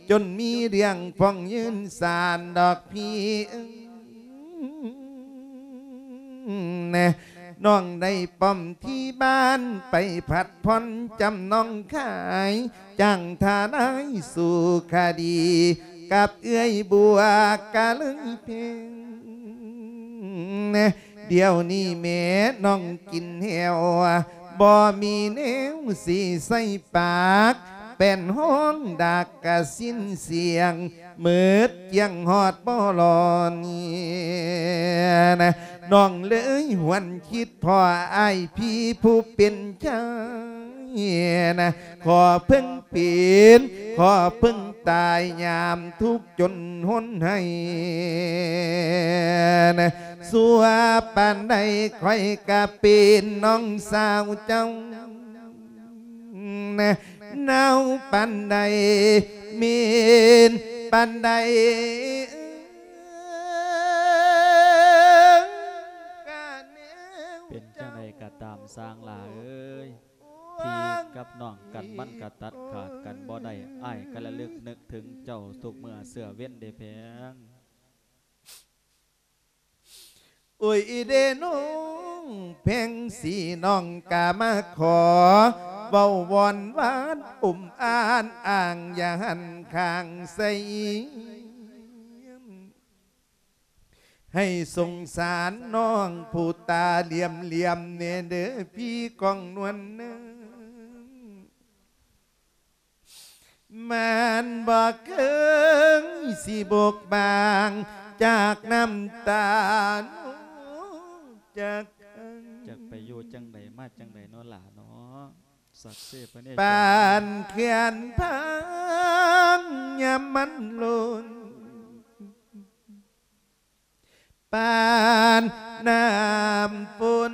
ຈົນມີເລື່ອງຟ້ອງຍື່ນສານດອກພີ່ເອີຍ ນ້ອງໄດ້ປ້ອມທີ່ບ້ານ ໄປຜັດຜ່ອນຈຳນອງຂາຍ ຈ້າງທະນາຍສູ້ຄະດີ ກັບເອື້ອຍບົວກະເລີຍເພງ ດຽວນີ້ແມ່ນ້ອງກິນແຫ້ວ ບໍ່ມີແນວຊິໃສ່ປາກ ແປ້ນຮ້ອງດາກກະສິ້ນສຽງ ໝົດກ້ຽງຮອດບໍ່ຫຼອນ ນ້ອງເລີຍຫວນຄິດພໍ້ອ້າຍພີ່ຜູ້ເປັນຊາຍ ຂໍເພິ່ງເປັນ ຂໍເພິ່ງຕາຍຍາມທຸກຈົນຫົນໄຫ້ ຊົ່ວປານໃດຂ້ອຍກະເປັນນ້ອງສາວເຈົ້າ ໜາວປານໃດ ເໝັນປານໃດ ກະແນວ ເປັນຈັ່ງໃດກະຕາມ ຊ່າງຫຼ້າເອີຍ ພີ່ກັບນ້ອງກັນມັນກະຕັດຂາດກັນບໍ່ໄດ້ ອ້າຍກະລະລຶກນຶກເຖິງເຈົ້າທຸກເມື່ອເສືອເວັນເດ້ແພງ. ໂອ້ຍເດນ້ອງແພງສີ ນ້ອງກະມາຂໍ ເວົ້າວອນຫວານອົມອ້ານອ້າງ ຢ່າຫັນຂ້າງໃສ່ ໃຫ້ສົງສານນ້ອງຜູ້ຕາຫຼຽມໆ ແດ່ເດີພີ່ກອງນວນເນີ ມັນບໍ່ເຄີຍຊິບົກບາງ ຈາກນ້ຳຕານ້ອງຈັກ ຈັກໄປຢູ່ຈັ່ງໃດມາຈັ່ງໃດເນາະຫຼ້າເນາະ ສັກເສພະເນຈອນ ປານເຂື່ອນພັງຍາມມັນລົ້ນ ປານນ້ຳຝົນ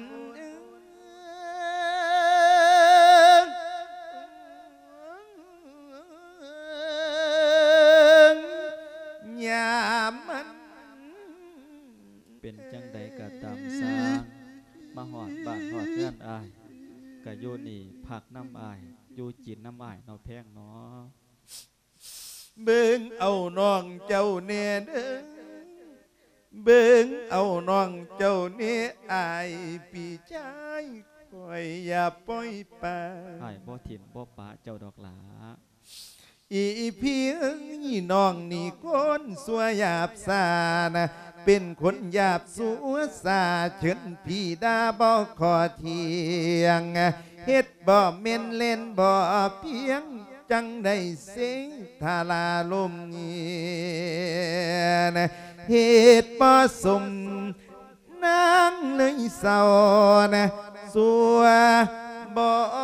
ເປັນຈັ່ງໃດກໍຕາມຊ່າງ ມາຮອດບ້ານຮອດເຮືອນອ້າຍ ກໍຢູ່ນີ້ພັກນຳອ້າຍ ຢູ່ກິນນຳອ້າຍເນາະແພງເນາະ. ເບິ່ງເອົານ້ອງເຈົ້າແດ່ເດີ ເບິ່ງເອົານ້ອງເຈົ້າແດ່ ອ້າຍພີ່ຊາຍຂ້ອຍຢ່າປ່ອຍປະ ອ້າຍບໍ່ຖິ້ມບໍ່ປະເຈົ້າດອກຫຼ້າ. ອີ່ພີ່ເອີຍ ນ້ອງນີ້ຄົນຊົ່ວຫຍາບຊານະ ເປັນຄົນຫຍາບຊົ່ວຊາ ເຊີນຜີດ່າບໍ່ຂໍທ່ຽງ ເຮັດບໍ່ແມ່ນແລ່ນບໍ່ພຽງ ຈັ່ງໄດ້ເສທາລາລົມ ເຮັດບໍ່ສົມ ນາງເລີຍເສົ້ານະ ຊົ່ວບໍ່ເ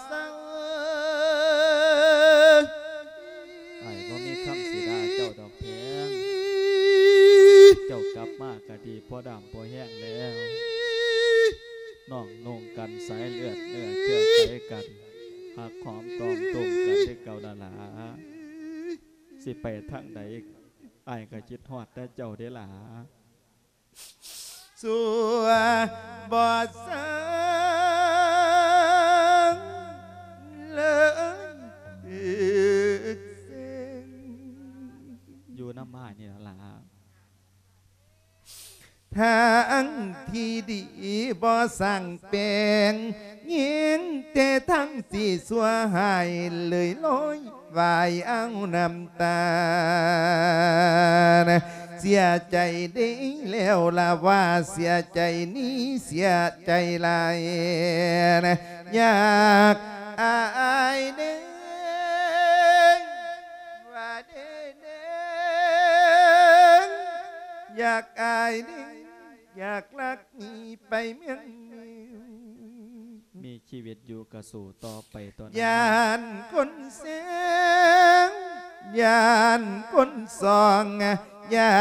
ສົ້າ. ອ້າຍບໍ່ມີຄຳຊິດ່າເຈົ້າດອກແພງ ເຈົ້າກັບມາກະດີພໍດຳພໍແຮງແລ້ວ ນ້ອງນຸ່ງກັນສາຍເລືອດເນື້ອເຊື້ອໄຂກັນ ຮັກຫອມຕອມຕົມກັນຄືເກົ່ານັ້ນລະ. ຊິໄປທາງໃດ ອ້າຍກະຄິດຮອດແຕ່ເຈົ້າເດ້ລະ. ຊົ່ວບໍ່ເສົ້າເລີຍເສັງ ຢູ່ນຳອ້າຍນີ້ລະລະ ທາງທີ່ດີບໍ່ສ້າງແປງ ແຍງແຕ່ທາງທີ່ຊົ່ວຮ້າຍ ເລີຍລອຍ ວາຍເອົານ້ຳຕາ ເສຍໃຈເດ້ແລ້ວລະວ່າ ເສຍໃຈນີ້ເສຍໃຈຫຼາຍ ຢາກອາຍເດ້ ວ່າເດ້ ຢາກອາຍເດ້ ຢາກລັກໜີໄປເມືອງ ມີຊີວິດຢູ່ກະສູ້ຕໍ່ໄປຕົວະນາງ ຢ້ານຄົນແຊງ ຢ້ານຄົນສ່ອງ ຢ້າ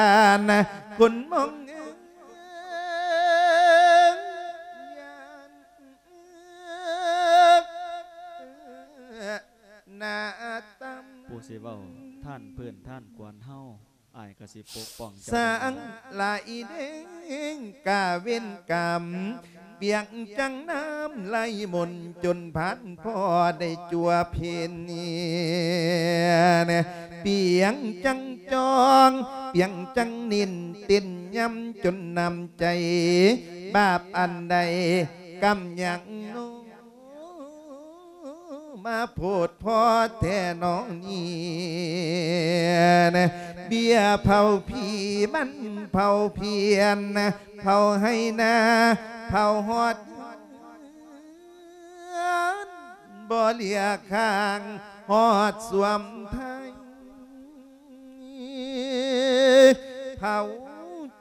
ນຄົນມອງ ຢ້ານໜ້າຕ່ຳ ຜູ້ຊິເວົ້າທານພື້ນທານກວນເຮົາ ອ້າຍກະຊິປົກປ້ອງເຈົ້າ ສ້າງຫຼາຍເດ້ ກາເວນກຳ ປຽງຈັ່ງນ້ຳໄຫຼມົນ ຈົນຜ່ານພໍໄດ້ຈົວເພັນ ປຽງຈັ່ງຈອງ ປຽງຈັ່ງນິນ ເຕັ້ນຍຳຈົນນ້ຳໃຈ ບາບອັນໃດກຳຍັງໂນ ມາໂພດພໍແທ້ນ້ອງນີ້ ເບ້ຍເຜົາຜີມັນເຜົາພຽນ ເຜົາໄຮ່ນາເຜົາຮອດເຮືອນ ບໍ່ເຫຼືອຄ້າງຮອດສວມໄທ ເຜົາ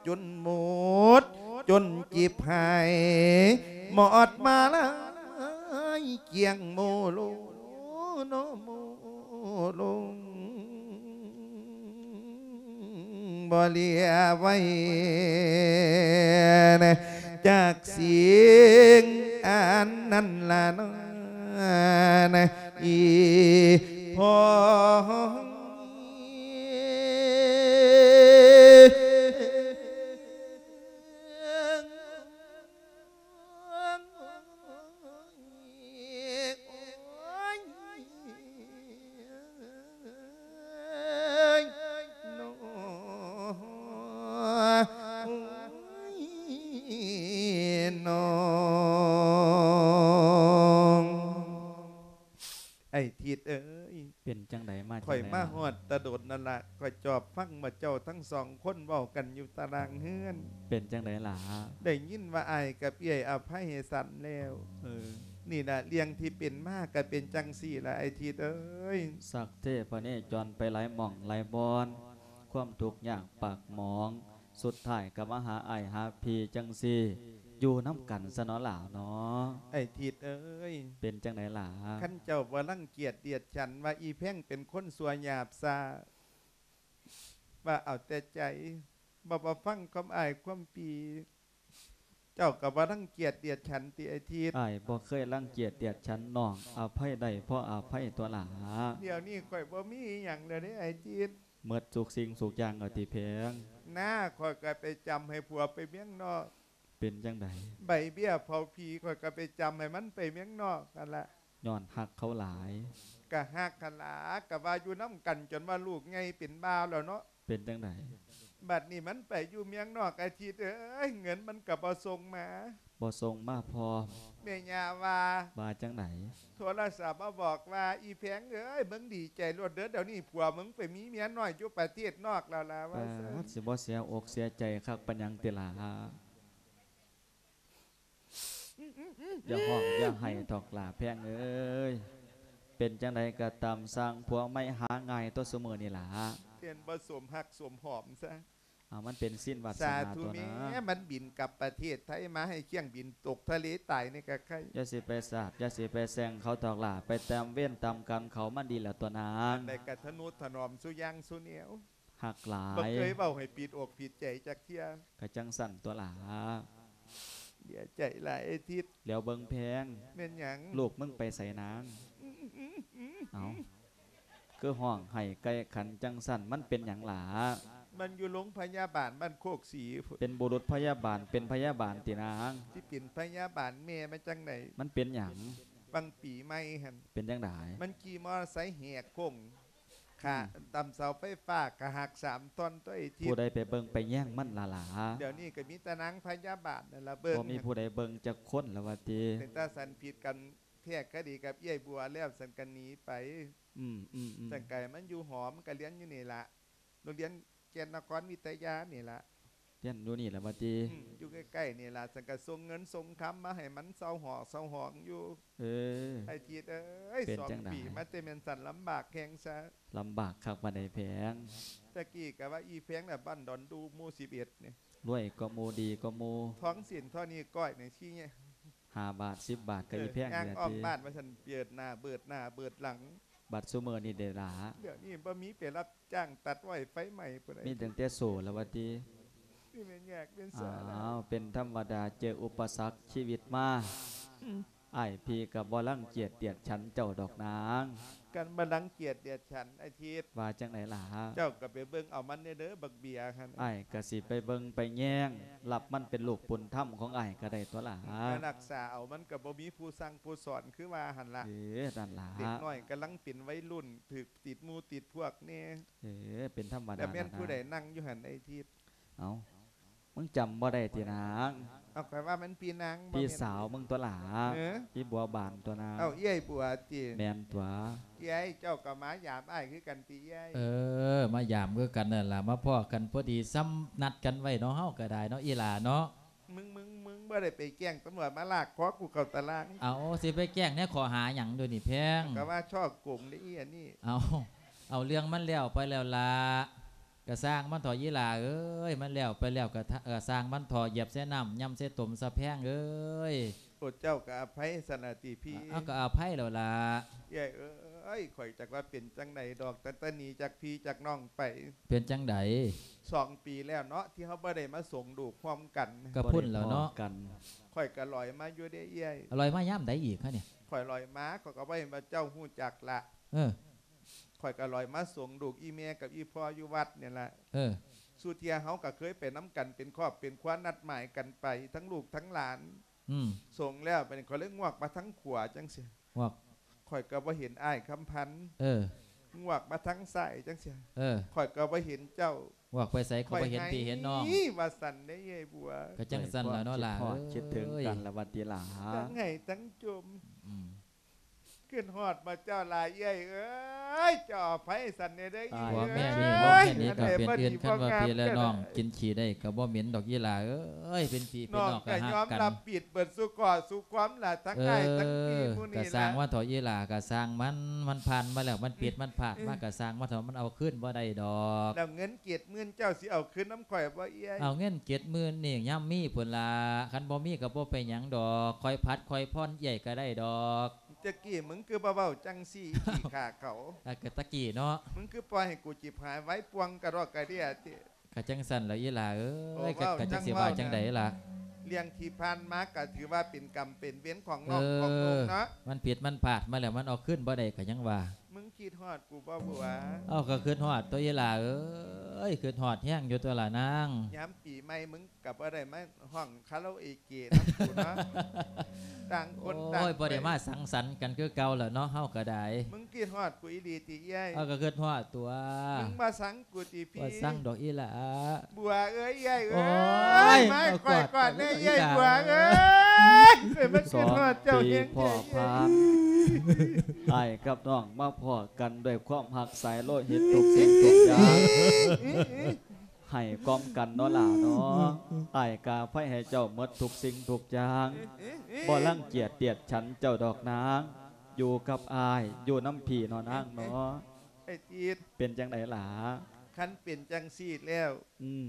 ຈົນໝົດ ຈົນຈິບຫາຍ ໝອດມາລາຍ ກ້ຽງໂມໂລ ໂນໂມໂລ ບໍ່ເຫຼືອໄວ້ ຈັກສິ່ງອັນນັ້ນລະນານ ອີ່ພໍ່ ອ້າຍທິດເອີຍ ເປັນຈັ່ງໃດມາຈັ່ງໃດ ຂ້ອຍມາຮອດຕະດົນນັ້ນລະ ຂ້ອຍຈອບຟັງວ່າເຈົ້າທັງສອງຄົນເວົ້າກັນຢູ່ຕາລ່າງເຮືອນ ເປັນຈັ່ງໃດຫຼ້າ ໄດ້ຍິນວ່າອ້າຍກັບເອື້ອຍອະໄພໃຫ້ສັນແລ້ວ ເອີ ນີ້ລະເລື່ອງທີ່ເປັນມາກະເປັນຈັ່ງຊີ້ລະ ອ້າຍທິດເອີຍ ສັກເທພະເນຈອນໄປຫຼາຍໝ່ອງຫຼາຍບ່ອນ ຄວາມທຸກຍາກປາກໝອງ ສຸດທ້າຍກໍມາຫາອ້າຍຫາພີ່ຈັ່ງຊີ້ ຢູ່ນຳກັນຊະເນາະຫຼ້າເນາະ ອ້າຍທິດເອີຍ ເປັນຈັ່ງໃດຫຼ້າ ຄັນເຈົ້າບໍ່ລັງກຽດດຽດສັນວ່າອີ່ແພງເປັນຄົນຊົ່ວຫຍາບຊ້າ ວ່າເອົາແຕ່ໃຈ ບໍ່ ບໍ່ຟັງຄວາມອ້າຍຄວາມພີ່ ເຈົ້າກໍບໍ່ລັງກຽດດຽດສັນຕິອ້າຍທິດ ອ້າຍບໍ່ເຄີຍລັງກຽດດຽດສັນນ້ອງ ອະໄພໄດ້ພໍອະໄພຕົວະຫຼ້າ ດຽວນີ້ຂ້ອຍບໍ່ມີອີ່ຫຍັງແລ້ວເດ້ອ້າຍທິດ ໝົດທຸກສິ່ງທຸກຢ່າງແລ້ວຕິແພງ ນາ ຂ້ອຍກໍໄປຈຳໃຫ້ຜົວໄປເມືອງນອກ. ເປັນຈັ່ງໃດ? ໃບເບ້ຍເຜົາຜີ ຂ້ອຍກໍໄປຈຳໃຫ້ມັນໄປເມືອງນອກຫັ້ນລະ. ຍ້ອນຮັກເຂົາຫຼາຍ? ກໍຮັກຫັ້ນລະ, ກໍວ່າຢູ່ນຳກັນຈົນວ່າລູກໃຫຍ່ເປັນບ່າວແລ້ວເນາະ. ເປັນຈັ່ງໃດ? ບັດນີ້ມັນໄປຢູ່ເມືອງນອກ ອາທິດເອີຍ, ເງິນມັນກໍບໍ່ສົ່ງມາ. ບໍ່ສົ່ງມາພ້ອມ. ແມ່ຍ່າວ່າ. ວ່າຈັ່ງໃດ? ໂທລະສັບມາບອກວ່າ ອີ່ແພງເອີຍ, ມຶງດີໃຈໂລດເດີ, ດຽວນີ້ຜົວມຶງໄປມີເມຍນ້ອຍຢູ່ປະເທດນອກແລ້ວລະ ວ່າຊັ້ນ. ປາດ, ຊິບໍ່ເສຍອົກເສຍໃຈຄັກປານຫຍັງຕິຫຼ້າ? ຢ່າຮ້ອງຢ່າໄຫ້ດອກຫຼ້າແພງເອີຍ. ເປັນຈັ່ງໃດກໍຕາມຊ່າງ, ຜົວໃໝ່ຫາງ່າຍຕົວະຊຸມື້ນີ້ຫຼ້າ. ເປັນບໍ່ສົມຮັກສົມຫອມຊະ. ເອົາ ມັນເປັນສິນວາດສະໜາຕົວະນາ. ສາທຸແມ່, ມັນບິນກັບປະເທດໄທມາໃຫ້ຄຽງບິນຕົກທະເລຕາຍນີ້ກະໄຄ. ຢ່າຊິໄປສາບ, ຢ່າຊິໄປແຊ່ງເຂົາດອກຫຼ້າ, ໄປຕາມເວນຕາມກຳເຂົາ, ມັນດີແລ້ວຕົວະນາງ. ອັນໃດກະທະນຸຖະໜອມສູ່ຢ່າງສູ່ແນວ. ຮັກຫຼາຍ. ບໍ່ເຄີຍເວົ້າໃຫ້ຜິດອົກຜິດໃຈຈັກເທື່ອ. ກະຈັ່ງຊັ້ນຕົວະຫຼ້າ. ເສຍໃຈຫຼາຍ ອາທິດ. ແລ້ວເບິ່ງແພງ. ແມ່ນຫຍັງ? ລູກມຶງໄປໃສນາງ? ອືມ ເອົ້າ ຄືຮ້ອງໄຫ້ໄກ່ຂັນຈັ່ງຊັ້ນ, ມັນເປັນຫຍັງຫຼ້າ? ມັນຢູ່ໂລງພະຍາບານບ້ານໂຄກສີພຸ້ນ. ເປັນບຸລຸດພະຍາບານ, ເປັນພະຍາບານຕິນາງ? ຊິເປັນພະຍາບານແມ່ມາຈັ່ງໃດ? ມັນເປັນຫຍັງ? ຫວ່າງປີໃໝ່ຫັ້ນ. ເປັນຈັ່ງໃດ? ມັນຂີ່ມໍເຕີໄຊແຫກໂຄ້ງ ຂາ ອືມ ຕຳເສົາໄຟຟ້າ ຂາຫັກສາມທ່ອນຕົວະ ອາທິດ. ຜູ້ໃດໄປເບິ່ງໄປແຍງມັນລະຫຼ້າ? ດຽວນີ້ກໍມີແຕ່ນາງພະຍາບານນັ້ນລະເບິ່ງ. ບໍ່ມີຜູ້ໃດເບິ່ງຈັກຄົນລະວ່າຕິ? ເປັນຕາສັນຜິດກັນແທ້ຄະດີກັບເອື້ອຍບົວແລ້ວ ສັນກໍໜີໄປ. ອືມ ອືມ ອືມ. ສັນກໍໃຫ້ມັນຢູ່ຫໍ ມັນກໍຮຽນຢູ່ນີ້ລະ ໂຮງຮຽນແກ່ນນະຄອນວິທະຍານີ້ລະ. ຮຽນຢູ່ນີ້ລະວ່າຕິ? ອືມ ຢູ່ໃກ້ໆນີ້ລະ. ສັນກໍສົ່ງເງິນສົ່ງຄຳມາໃຫ້ມັນເຊົ່າຫໍເຊົ່າຫ້ອງຢູ່. ເອີ ອາທິດເອີຍ, ເປັນຈັ່ງໃດ? ສອງປີມາແຕ່ແມ່ນສັນລຳບາກແຮງຊະ. ລຳບາກຄັກປານໃດແພງ? ຕະກີ້ກໍວ່າອີ່ແພງນະ ບ້ານດອນດູໝູ່ສິບເອັດນີ້ ລວຍກວ່າໝູ່ ດີກວ່າໝູ່. ທອງເສັ້ນທໍ່ນີ້ກ້ອຍນີ້ຊີ້ ຫ້າບາດ ສິບບາດ ກໍອີ່ແພງ. ເອີ ຍ່າງອ້ອມບ້ານວ່າຊັ້ນ ເບີດໜ້າເບີດໜ້າເບີດຫຼັງ. ບັດຊຸມື້ນີ້ເດລະ? ດຽວນີ້ບໍ່ມີໄປຮັບຈ້າງຕັດໄມ້ໄຟໄໝ້ຜູ້ໃດ. ມີຕັ້ງແຕ່ໂສ້ລະວ່າຕິ? ນີ້ແມ່ນຍາກແມ່ນສາ. ອ້າວ ເປັນທຳມະດາ ເຈີອຸປະສັກຊີວິດມາ. ອືມ ອ້າຍພີ່ກໍບໍ່ລັງກຽດດຽດສັນເຈົ້າດອກນາງ. ກັນບໍ່ລັງກຽດດຽດສັນ ອາທິດ. ວ່າຈັ່ງໃດລະ? ເຈົ້າກໍໄປເບິ່ງເອົາມັນແດ່ເດີ ບັກເບຍຫັ້ນ. ອ້າຍກໍຊິໄປເບິ່ງໄປແຍງ ຮັບມັນເປັນລູກບຸນທຳຂອງອ້າຍກໍໄດ້ຕົວະລະ. ກໍຮັກສາເອົາ ມັນກໍບໍ່ມີຜູ້ສັ່ງຜູ້ສອນຄືວ່າຫັ້ນລະ. ເອີ ນັ້ນລະ. ເດັກນ້ອຍກຳລັງເປັນໄວລຸ້ນ ຖືກຕິດໝູ່ຕິດພວກແດ່. ເອີ ເປັນທຳມະດາ. ແລ້ວແມ່ນຜູ້ໃດນັ່ງຢູ່ຫັ້ນ ອາທິດ? ເອົ້າ ມຶງຈຳບໍ່ໄດ້ຕິນາງ? ເອົາ ຂ້ອຍວ່າແມ່ນພີ່ນາງ ພີ່ສາວມຶງຕົວະຫຼ້າ. ເອີ ອີ່ບົວບານຕົວະນາງ. ເອົ້າ ເອື້ອຍບົວຕິ? ແມ່ນຕົວະ. ເອື້ອຍ ເຈົ້າກໍມາຢາມອ້າຍຄືກັນຕິເອື້ອຍ? ເອີ ມາຢາມຄືກັນນັ້ນລະ, ມາພໍ້ກັນພໍດີ ສ່ຳນັດກັນໄວ້ເນາະ ເຮົາກໍໄດ້ເນາະ ອີ່ຫຼ້າເນາະ. ມຶງ ມຶງ ມຶງບໍ່ໄດ້ໄປແຈ້ງຕຳຫຼວດມາລາກຄໍກູເຂົ້າຕາລາງ? ເອົາ ຊິໄປແຈ້ງໃນຂໍ້ຫາຫຍັງດຽວນີ້ແພງ? ກໍວ່າສໍ້ໂກງເດ້ອີ່ອັນນີ້. ເອົາ ເອົາເລື່ອງມັນແລ້ວໄປແລ້ວລະ. ກະຊ່າງມັນເຖາະ ອີ່ຫຼ້າເອີຍ, ມັນແລ້ວໄປແລ້ວ ກະ ກະຊ່າງມັນເຖາະ, ຢຽບໃສ່ນ້ຳ ຫຍ້ຳໃສ່ຕົມຊະແພງເອີຍ. ໂອ້ ເຈົ້າກະອະໄພຊັ້ນລະຕິພີ່? ເອົາ ກະອະໄພແລ້ວລະ. ເອື້ອຍເອີຍ ຂ້ອຍຈັກວ່າເປັນຈັ່ງໃດດອກ ຕັ້ງແຕ່ໜີຈາກພີ່ຈາກນ້ອງໄປ. ເປັນຈັ່ງໃດ? ສອງປີແລ້ວເນາະ ທີ່ເຮົາບໍ່ໄດ້ມາສົງລູກຮ່ວມກັນ. ກະພຸ້ນແລ້ວເນາະ. ຂ້ອຍກະລອຍມາຢູ່ເດ້ເອື້ອຍ. ລອຍມາຍາມໃດອີກຄະນີ້? ຂ້ອຍລອຍມາ ຂ້ອຍກະບໍ່ເຫັນວ່າເຈົ້າຮູ້ຈັກລະ. ເອີ ຂ້ອຍກໍລອຍມາສົ່ງລູກອີ່ແມ່ກັບອີ່ພໍ່ຢູ່ວັດນີ້ລະ. ເອີ ສູ່ເທື່ອເຮົາກໍເຄີຍໄປນຳກັນເປັນຄອບເປັນຄົວ ນັດໝາຍກັນໄປ ທັງລູກທັງຫຼານ. ອືມ ສົ່ງແລ້ວ ບາດນີ້ຂ້ອຍເລີຍງວກມາທາງຂວາຈັ່ງຊີ້ ງວກ ຂ້ອຍກໍບໍ່ເຫັນອ້າຍຄຳພັນ. ເອີ ງວກມາທາງຊ້າຍຈັ່ງຊີ້ ເອີ ຂ້ອຍກໍບໍ່ເຫັນເຈົ້າ. ງວກໄປໃສກໍບໍ່ເຫັນພີ່ເຫັນນ້ອງ ວ່າຊັ້ນເດ້ເອື້ອຍບົວ. ກໍຈັ່ງຊັ້ນລະເນາະຫຼ້າເອີຍ ຄິດເຖິງກັນລະວ່າຕິຫຼ້າ ທັງໄຫ້ທັງຈົ່ມ. ອືມ ຄິດຮອດບໍ່ເຈົ້າຫຼາຍເອື້ອຍເອີຍ. ເຈົ້າອະໄພສັນແດ່ເດີອີ່ເອີຍ. ບໍ່ແມ່ນນີ້ ບໍ່ແມ່ນນີ້ ກໍເປັນອື່ນ ຄັນວ່າພີ່ແລະນ້ອງກິນຂີ້ໄດ້ກໍບໍ່ເໝັນດອກອີ່ຫຼ້າເອີຍ. ເປັນພີ່ເປັນນ້ອງກໍຮັກກັນ ນ້ອງກໍຍອມຮັບຜິດເບິດສູ່ຂໍ້ສູ່ຄວາມລະ ທັງອ້າຍທັງພີ່ໝູ່ນີ້ລະ. ກໍຊ່າງມັນເຖາະອີ່ຫຼ້າ ກໍຊ່າງມັນ ມັນຜ່ານມາແລ້ວ ມັນຜິດມັນພາດມາ ກໍຊ່າງມັນເຖາະ ມັນເອົາຄືນບໍ່ໄດ້ດອກ. ແລ້ວເງິນເຈັດໝື່ນເຈົ້າຊິເອົາຄືນນຳຂ້ອຍບໍ່ເອື້ອຍ? ເອົາເງິນເຈັດໝື່ນນີ້ຍາມມີພຸ້ນລະ ຄັນບໍ່ມີກໍບໍ່ເປັນຫຍັງດອກ ຄ່ອຍຜັດຄ່ອຍຜ່ອນເອື້ອຍກໍໄດ້ດອກ. ແຈັກກີ້ ມຶງຄືບໍ່ເວົ້າຈັ່ງຊີ້ ຂີ້ຂ້າເຂົາ. ອາ ກະຕະກີ້ເນາະ ມຶງຄືປ່ອຍໃຫ້ກູຈິບຫາຍໄວປ່ວງກະດອກກະເດຍຕິ. ກະຈັ່ງຊັ້ນລະອີ່ຫຼ້າເອີຍ ກະ ກະຈັກຊິວ່າຈັ່ງໃດລະ. ເລື່ອງທີ່ຜ່ານມາກະຖືວ່າເປັນກຳເປັນເວນຂອງນ້ອງ ເອີ ຂອງລຸງເນາະ. ມັນຜິດມັນພາດມາແລ້ວ ມັນເອົາຄືນບໍ່ໄດ້ກະຍັງວ່າ. ມຶງ ຄິດຮອດກູບໍ່ບົວ? ເອົາ ກໍຄິດຮອດຕົວະອີ່ຫຼ້າເອີຍ ຄິດຮອດແຮງຢູ່ຕົວະຫຼ້ານາງ. ຍາມປີໃໝ່ມຶງກໍບໍ່ໄດ້ມາຮ້ອງຄາຣາໂອເກະນຳກູເນາະ ຕ່າງຄົນຕ່າງ ໂອ້ຍ ໄປ ບໍ່ໄດ້ມາສັງສັນກັນຄືເກົ່າລະເນາະ ເຮົາກໍໄດ້. ມຶງຄິດຮອດກູອີ່ຫຼີຕິເອື້ອຍ? ເອົາ ກໍຄິດຮອດຕົວະ. ມຶງບໍ່ສັງ ກູຕິພີ ບໍ່ສັງດອກອີ່ຫຼ້າ. ບົວເອີຍ ເອື້ອຍເອີຍ ໂອ້ຍ ມາກອດ ມາກອດ ກອດແດ່ ເອື້ອຍບົວເອີຍ ຂ້ອຍມາຄິດຮອດເຈົ້າແຮງແທ້. ສອງປີພໍຜ່ານ ອ້າຍກັບນ້ອງມາພໍ້ກັນດ້ວຍຄວາມຮັກສາຍໂລຫິດ ທຸກສິ່ງທຸກຢ່າງ ໃຫ້ກ່ອມກັນເນາະຫຼ້າເນາະ. ອ້າຍກະອະໄພໃຫ້ເຈົ້າໝົດທຸກສິ່ງທຸກຢ່າງ ບໍ່ລັງກຽດຕຽດສັນເຈົ້າດອກນາງ ຢູ່ກັບອ້າຍ ຢູ່ນຳພີ່ເນາະນາງເນາະ. ໄອ້ຕິດ ເປັນຈັ່ງໃດຫຼ້າ? ຄັນເປັນຈັ່ງຊີ້ແລ້ວ ອືມ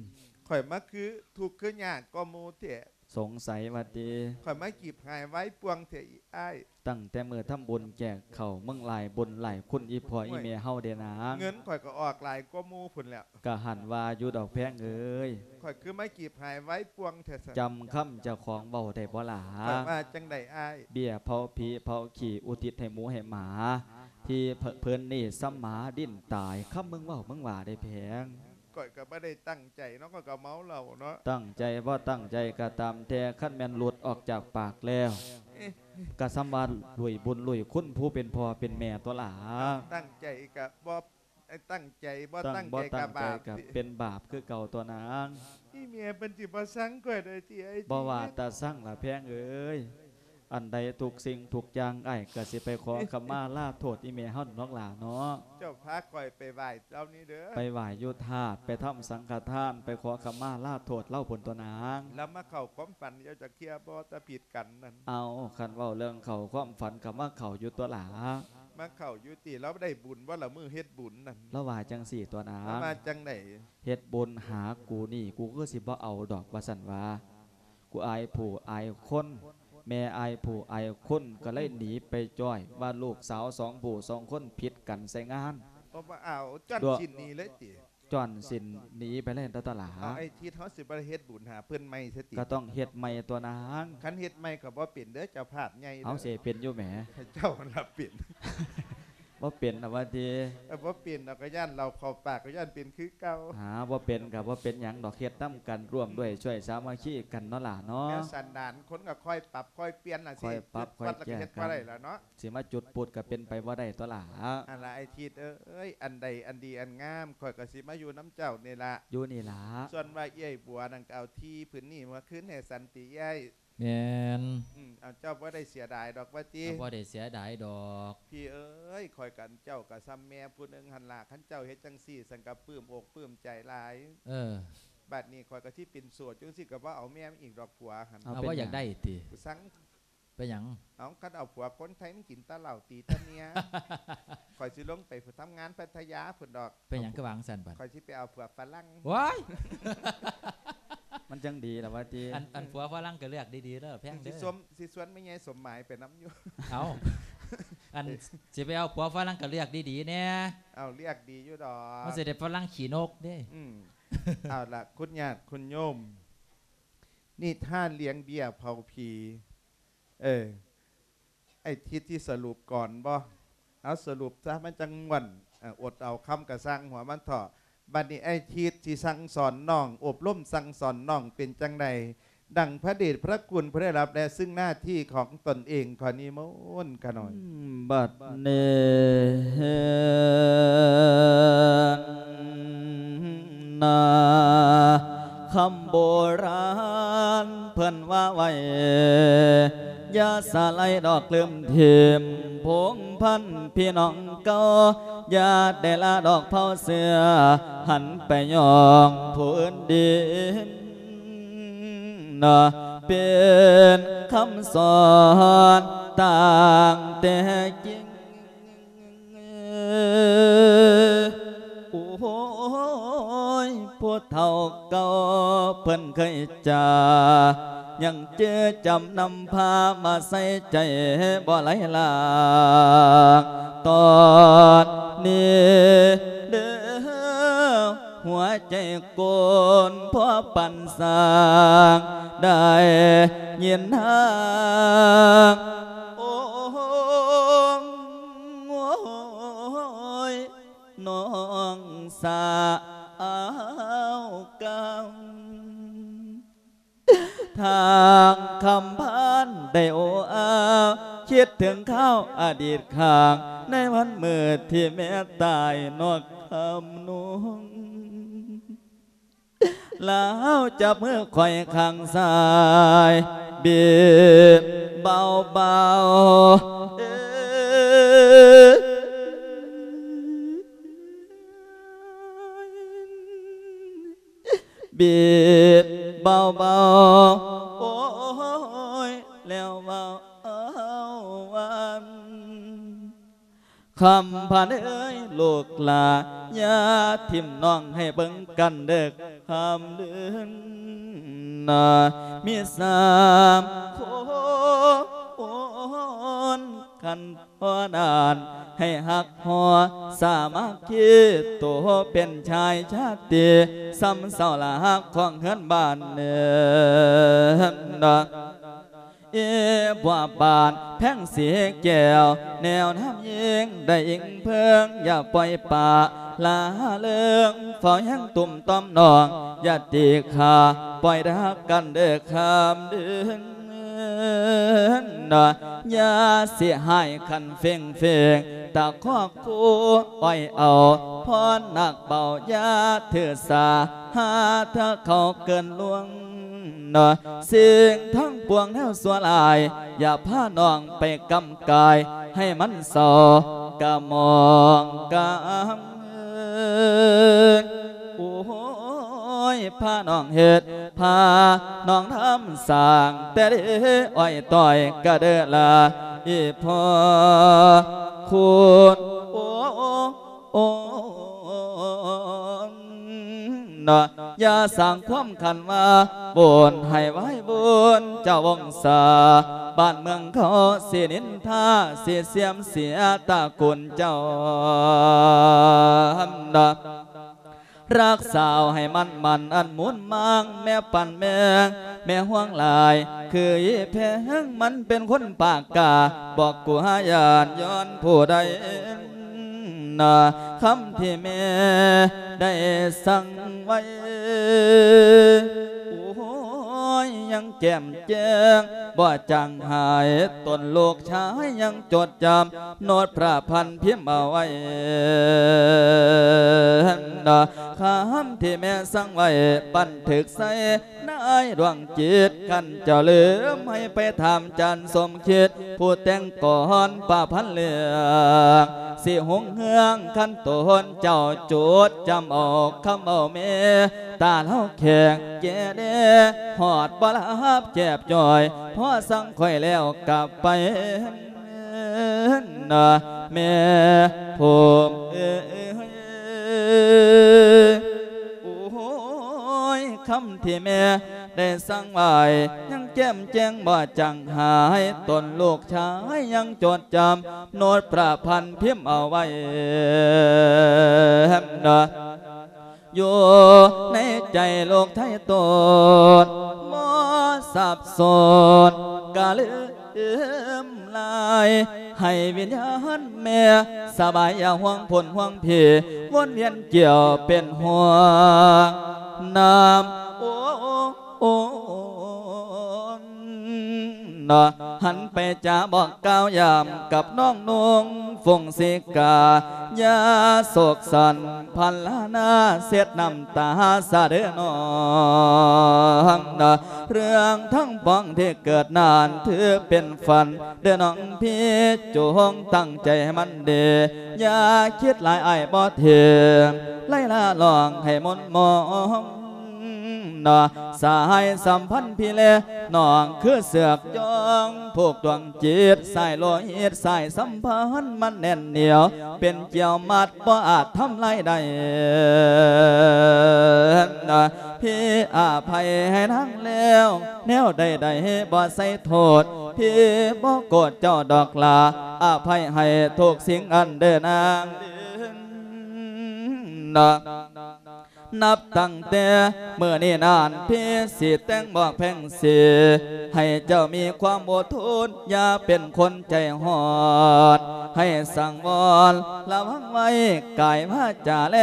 ຂ້ອຍມາຄືທຸກຄືຍາກກວ່າໝູ່ແທ້. ສົງໄສວ່າຕິ? ຂ້ອຍມາກີບຫາຍວາຍປ່ວງແທ້ອີອ້າຍ. ຕັ້ງແຕ່ມື້ທຳບຸນແຈກເຂົ້າ ມຶງຫຼາຍບຸນຫຼາຍຄຸນອີ່ພໍ່ ໂອ້ຍ ອີ່ແມ່ເຮົາເດ້ນາງ. ເງິນຂ້ອຍກໍອອກຫຼາຍກວ່າໝູ່ພຸ້ນແລ້ວ. ກະຫັ້ນວ່າຢູ່ດອກແພງເອີຍ. ຂ້ອຍຄືມາກີບຫາຍວາຍປ່ວງແທ້ຊັ້ນ? ຈຳຄຳເຈົ້າຂອງເວົ້າໄດ້ບໍ່ຫຼ້າ? ຂ້ອຍວ່າຈັ່ງໃດອ້າຍ? ເບ້ຍເຜົາຜີເຜົາຂີ້ ອຸທິດໃຫ້ໝູໃຫ້ໝາ ທີ່ເພິ່ນນີ້ສຳມາດິ້ນຕາຍ ຄຳມຶງເວົ້າມຶງວ່າໄດ້ແພງ. ຂ້ອຍກໍບໍ່ໄດ້ຕັ້ງໃຈເນາະ ຂ້ອຍກໍເມົາເຫຼົ້າເນາະ. ຕັ້ງໃຈບໍ່ຕັ້ງໃຈກໍຕາມແຕ່ ຄັນແມ່ນຫຼຸດອອກຈາກປາກແລ້ວ ເອະ ກໍສ່ຳວ່າລຸຍບຸນລຸຍຄຸນຜູ້ເປັນພໍ່ເປັນແມ່ຕົວະຫຼ້າ. ຕັ້ງໃຈກໍບໍ່ ຕັ້ງໃຈບໍ່ຕັ້ງໃຈກໍບາບ ເປັນບາບຄືເກົ່າຕົວະນາງ. ອີ່ແມ່ເພິ່ນຊິບໍ່ຊັງຂ້ອຍໄດ້ຕິອ້າຍ? ບໍ່ວ່າແຕ່ຊັງລະແພງເອີຍ. ອັນໃດທຸກສິ່ງທຸກຢ່າງ ອ້າຍກໍຊິໄປຂໍຂະມາລາໂທດອີ່ແມ່ເຮົານອກຫຼ້າເນາະ. ເຈົ້າພາຂ້ອຍໄປໄຫວ້ເຈົ້ານີ້ເດີ. ໄປໄຫວ້ຢູ່ທາດ ໄປທຳສັງຄະທານ ໄປຂໍຂະມາລາໂທດລາວພຸ້ນຕົວະນາງ. ລາວມາເຂົ້າຄວາມຝັນເຈົ້າຈັກເທື່ອບໍ່ ແຕ່ຜິດກັນນັ້ນ? ເອົາ ຄັນເວົ້າເລື່ອງເຂົ້າຄວາມຝັນກໍມາເຂົ້າຢູ່ຕົວະຫຼ້າ. ມາເຂົ້າຢູ່ຕິ? ລາວໄດ້ບຸນບໍ່ລະມື້ເຮັດບຸນນັ້ນ? ລາວວ່າຈັ່ງຊີ້ຕົວະນາງ. ລາວວ່າຈັ່ງໃດ? ເຮັດບຸນຫາກູນີ້ ກູຄືຊິບໍ່ເອົາດອກ ວ່າຊັ້ນວ່າ. ກູອາຍຜູ້ອາຍຄົນ ແມ່ອາຍຜູ້ອາຍຄົນ ກໍເລີຍໜີໄປຈ້ອຍ ວ່າລູກສາວສອງຜູ້ສອງຄົນຜິດກັນໃສ່ງານ. ບໍ່ເອົາ ຈ້ອນສິນໜີເລີຍຕິ? ຈ້ອນສິນໜີໄປເລີຍຕົວະຫຼ້າ. ເອົາ ໄອ້ທິດ ເຮົາຊິບໍ່ໄດ້ເຮັດບຸນຫາເພິ່ນໃໝ່ຊະຕິ? ກໍຕ້ອງເຮັດໃໝ່ຕົວະນາງ. ຄັນເຮັດໃໝ່ກໍບໍ່ເປັນເດີ ເຈົ້າພາດໃຫຍ່ເດີ. ເຮົາຊິເປັນຢູ່ແໝ? ເຈົ້າຫັ້ນລະເປັນ. ບໍ່ເປັນລະວ່າຕິ? ເອີ ບໍ່ເປັນດອກ ກໍຢ້ານເຫຼົ້າເຂົ້າປາກ ກໍຢ້ານເປັນຄືເກົ່າ. ຫາ ບໍ່ເປັນກໍບໍ່ເປັນຫຍັງດອກ ເຮັດນຳກັນ ຮ່ວມດ້ວຍຊ່ວຍສາມັກຄີກັນເນາະຫຼ້າເນາະ. ແນວສັນດານຄົນກໍຄ່ອຍປັບຄ່ອຍປ່ຽນລະ ຊິ ຄ່ອຍປັບຄ່ອຍແກ້ກັນ ເຮັດບໍ່ໄດ້ລະເນາະ. ຊິມາຈຸດປຸດກໍເປັນໄປບໍ່ໄດ້ຕົວະຫຼ້າ. ອັນລະ ໄອ້ທິດເອີຍ ອັນໃດອັນດີອັນງາມ ຂ້ອຍກໍຊິມາຢູ່ນຳເຈົ້ານີ້ລະ. ຢູ່ນີ້ລະ. ສ່ວນວ່າເອື້ອຍບົວນັ້ນ ກໍເອົາທີ່ພື້ນນີ້ມາຄືນໃຫ້ສັນຕິເອື້ອຍ? ແມ່ນ. ອືມ ເອົາ ເຈົ້າບໍ່ໄດ້ເສຍດາຍດອກວ່າຕິ? ເຮົາບໍ່ໄດ້ເສຍດາຍດອກ. ພີ່ເອີຍ ຂ້ອຍກັບເຈົ້າກໍສ່ຳແມ່ຜູ້ໜຶ່ງຫັ້ນລະ ຄັນເຈົ້າເຮັດຈັ່ງຊີ້ ສັນກໍປຶ້ມອົກປຶ້ມໃຈຫຼາຍ. ເອີ ບັດນີ້ຂ້ອຍກໍຊິເປັນໂສດຢູ່ຈັ່ງຊີ້ ກໍບໍ່ເອົາແມ່ມາອີກດອກ ຜົວຫັ້ນ. ເອົາ ບໍ່ຢາກໄດ້ຕິ? ສັງ ເປັນຫຍັງ? ເອົາ ຄັນເອົາຜົວຄົນໄທມັນກິນແຕ່ເຫຼົ້າ ຕີແຕ່ເມຍ. ຂ້ອຍຊິລົງໄປທຳງານພັດທະຍາພຸ້ນດອກ. ເປັນຫຍັງຄືວ່າຈັ່ງຊັ້ນບັດ? ຂ້ອຍຊິໄປເອົາຜົວຝຣັ່ງ. ວ້າຍ ມັນຈັ່ງດີລະວ່າຕິ? ອັນ ອັນຜົວຝຣັ່ງກໍເລືອກດີໆເດີ ແພງເດີ. ຊິຊວນ ຊິຊວນແມ່ໃຫຍ່ສົມໝາຍໄປນຳຢູ່. ເອົາ ອັນຊິໄປເອົາຜົວຝຣັ່ງກໍເລືອກດີໆແດ່. ເອົາ ເລືອກດີຢູ່ດອກ. ມັນຊິໄດ້ຝຣັ່ງຂີ້ນົກເດ້. ອືມ ເອົາລະ ຄຸນຍາດຄຸນໂຍມ ນິທານລ້ຽງເບ້ຍເຜົາຜີ. ເອີ ໄອ້ທິດຊິສະຫຼຸບກ່ອນບໍ່? ເອົາ ສະຫຼຸບຊະ ມັນຈັ່ງມ່ວນ. ເອີ ອົດເອົາຄຳກະຊ່າງຫົວມັນເຖາະ. ບັດນີ້ໄອ້ທິດຊິສັ່ງສອນນ້ອງ ອົບຮົມສັ່ງສອນນ້ອງເປັນຈັ່ງໃດ ດັ່ງພະເດດພະຄຸນຜູ້ໄດ້ຮັບ ແລະ ຊຶ່ງໜ້າທີ່ຂອງຕົນເອງ. ຂໍນິມົນຂະໜ່ອຍ. ບັດນີ້ນາ ຄຳໂບລານເພິ່ນວ່າໄວ້ ຢ່າສະໄຫຼດອກລືມຖິ້ມ ພົງພັນພີ່ນ້ອງເກົ່າ ຢ່າໄດ້ລະດອກເຜົ່າເຊື້ອ ຫັນໄປຍ້ອງຜູ້ອື່ນດີ ເປັນຄຳສອນຕ່າງແຕ່ຈິງ. ໂອ້ຍ ຜູ້ເຖົ້າເກົ່າເພິ່ນເຄີຍຈາ ຍັງຈື່ຈຳນຳພາມາໃສ່ໃຈບໍ່ໄຫຼລາກ. ຕອນນີ້ເດີ ຫົວໃຈໂກນພໍປານສ້າງ ໄດ້ຍິນນາງ ໂອ້ ທາງຄຳພັນໄດ້ໂອ້ອາວ ຄິດເຖິງຄາວອະດີດຂ້າງ ໃນວັນມື້ທີ່ແມ່ຕາຍເນາະຄຳນວນ. ລາວຈັບມືຂ້ອຍຂ້າງຊ້າຍ ບີບເບົາໆ ເອີ ບີບເບົາໆ ໂອ້ຍ ແລ້ວເວົ້າວ່າ ຄຳພັນເອີຍລູກຫຼ້າ ຢ່າຖິ້ມນ້ອງໃຫ້ເບິ່ງກັນເດີ້ຄຳເດືອນນະ ມີສາມຄົນ ຄັນພໍນັ້ນໃຫ້ຮັກຫໍ່ສາມັກຄີ ໂຕເປັນຊາຍຊາດຕິ ສ່ຳເສົາຫຼັກຂອງເຮືອນບ້ານເນີນນະ. ອີບົວບານແພງສີແກ້ວ ແນວນຳຍິງໄດ້ອີງເພິ່ງ ຢ່າປ່ອຍປະລະເລີງ ເຝົ້າແຮງຕຸ້ມຕ່ອມນ້ອງ ຢ່າຕີຂ້າ ປ່ອຍດາກັນເດີ້ຄຳເດືອນນະ ຢ່າຊິຮ້າຍຂັນເຟງເຟງ ຕາຄອກຄູ່ອ້ອຍເອົາ ພອນໜັກເບົາ ຢ່າຖືສາ ຫາເທື່ອເຂົາເກີນລ່ວງ ເນາະ ສິ່ງທັງປວງແນວຊົ່ວຮ້າຍ ຢ່າພານ້ອງໄປກຳກາຍ ໃຫ້ມັນເສົ້າກະໝອງກະເມີ. ໂອ້ຍ ພານ້ອງເຮັດ ພານ້ອງທຳສ້າງ ແຕ່ເດອ້ອຍຕ້ອຍກະເດີລາ ອີ່ພໍ່ຄຸນ ໂອ້ ໂອ້ ເນາະ ຢ່າສ້າງຄວາມຂັນຫວ່າ ໂບນໃຫ້ວາຍວຸ່ນເຈົ້າວົງສາ ບ້ານເມືອງເຂົາຊິນິນທາ ຊິເສື່ອມເສຍຕະກຸນເຈົ້າ ເນາະ ຮັກສາເອົາໃຫ້ໝັ້ນໝັ້ນ ອັນໝູນໝາງ ແມ່ປັນແມງ ແມ່ຫ່ວງຫຼາຍ ຄືອີ່ແພງ ມັນເປັນຄົນປາກກາ ບໍ່ກົວຢ້ານຍ້ອນຜູ້ໃດ ນະ ຄຳທີ່ແມ່ໄດ້ສັ່ງໄວ້ ໂອ້ຍ ຍັງແຈ່ມແຈ້ງບໍ່ຈາງຫາຍ ຕົນລູກຊາຍຍັງຈົດຈຳ ໂນດພະພັນພິມເອົາໄວ້ ນະ ຄຳທີ່ແມ່ສັ່ງໄວ້ ບັນທຶກໃສ່ ໃນດວງຈິດ ຄັນເຈົ້າລືມໃຫ້ໄປຖາມຈານສົມຄິດ ຜູ້ແຕ່ງກອນປະພັນເລື່ອງ ຊິຮຸ່ງເຮືອງ ຄັນຕົນເຈົ້າຈົດຈຳເອົາຄຳເວົ້າແມ່ ຕາລາວແຂກແກ່ແດ່ ຮອດບໍ່ລະຮັບແຈບຈ່ອຍ ພໍສັ່ງຂ້ອຍແລ້ວກັບໄປ ນະ ແມ່ຜົມເອີຍ ໂອ້ຍ ຄຳທີ່ແມ່ໄດ້ສັ່ງໄວ້ ຍັງແຈ່ມແຈ້ງບໍ່ຈາງຫາຍ ຕົນລູກຊາຍຍັງຈົດຈຳ ໂນດພະພັນພິມເອົາໄວ້ ນະ ຢູ່ໃນໃຈລູກໄທໂຕນ ບໍ່ສັບສົນກະລືມລາຍ ໃຫ້ວິນຍານແມ່ສະບາຍ ຢ່າຫ່ວງພົ້ນຫ່ວງພີ ວົນວຽນກ່ຽວເປັນຫ່ວງນຳ ໂອ້ ເນາະ ຫັນໄປຈາບອກກ່າວຢາມກັບນ້ອງນຸ່ງຟຸງສີກາ ຢ່າໂສກສັນພັນລານາ ເຊັດນ້ຳຕາສາເດີນ້ອງນະ ເລື່ອງທັງປວງທີ່ເກີດນັ້ນ ຖືເປັນຝັນເດີນ້ອງພີ່ ຈົ່ງຕັ້ງໃຈໃຫ້ມັນດີ ຢ່າຄິດຫຼາຍອ້າຍບໍ່ເທີງ ໄລ່ລາລ້ອງໃຫ້ມົນມອງ ເນາະ ສາຍສຳພັນພີ່ແລນ້ອງ ຄືເຊືອກຈອງຜູກດວງຈິດ ສາຍໂລຫິດ ສາຍສຳພັນມັນແໜ້ນໜຽວ ເປັນກ່ຽວມັດບໍ່ອາດທຳລາຍໄດ້ ເນາະ ພີ່ອະໄພໃຫ້ນາງແລ້ວ ແນວໃດໆບໍ່ໃສ່ໂທດ ພີ່ບໍ່ໂກດເຈົ້າດອກຫຼ້າ ອະໄພໃຫ້ທຸກສິ່ງອັນເດີນາງ ເນາະ ນັບຕັ້ງແຕ່ມື້ນີ້ນານ ພີ່ຊິແຕ່ງບອກແພງເສ ໃຫ້ເຈົ້າມີຄວາມອົດທົນ ຢ່າເປັນຄົນໃຈຮ້ອນ ໃຫ້ສັງວອນລະວັງໄວ້ ກາຍວາຈາແລ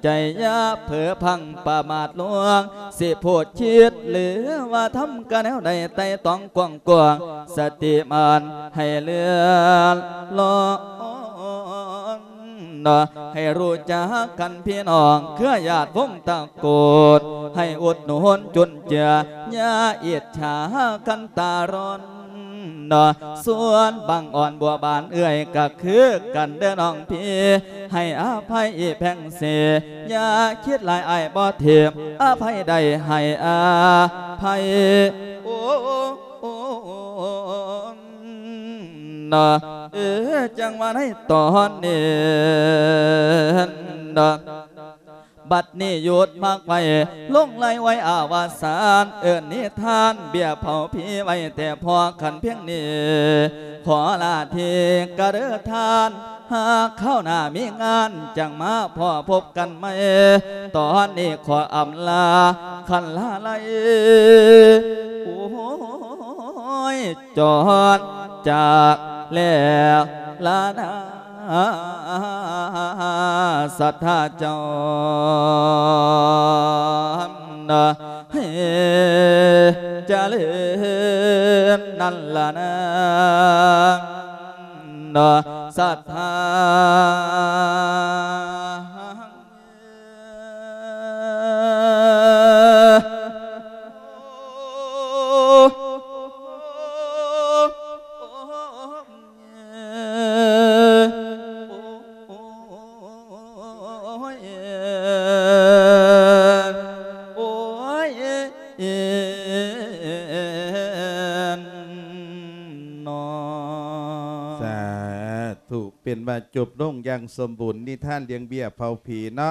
ໃຈ ຢ່າເຜີພັງປະໝາດຫຼວງ ຊິພູດຄິດ ຫຼືວ່າທຳກະແນວໃດ ໄຕ່ຕອງກວ້າງໆ ສະຕິໝັ້ນໃຫ້ເລື່ອນລອຍ ໃຫ້ຮູ້ຈັກກັນພີ່ນ້ອງເຄືອຍາດວົງຕະ ໂກດ ໃຫ້ອຸດໜູນຈຸນເຈືອ ຢ່າອິດສາກັນຕາຮ້ອນ ສ່ວນບັງອ່ອນບົວບານເອື້ອຍ ກະຄືກັນເດີນ້ອງພີ່ ໃຫ້ອະໄພອີ່ແພງເສ ຢ່າຄິດຫຼາຍອ້າຍບໍ່ເທບ ອະໄພໄດ້ໃຫ້ອະໄພ ໂອ້ ເອີ ຈັ່ງວ່າໃນຕອນນີ້ ບັດນີ້ຢຸດພັກໄວ້ ລົງໄລ່ໄວ້ອາວະສານ ເອີ້ນນິທານເບ້ຍເຜົາຜີໄວ້ແຕ່ພໍຄັນພຽງນີ້ ຂໍລາທີກະເດີທ່ານ ຫາກຄາວໜ້າມີງານ ຈັ່ງມາພໍ້ພົບກັນໃໝ່ ຕອນນີ້ຂໍອຳລາຄັນລາໄລ ໂອ້ຍ ຈອນຈາກແລ້ວລະນາ ສັດທາເຈົ້າ ໃຫ້ຈະເລີນນັ້ນລະນາ ສັດທາ. ສາທຸ ເປັນວ່າຈົບລົງຢ່າງສົມບູນ ນິທານເລື່ອງເບ້ຍເຜົາຜີເນາະ.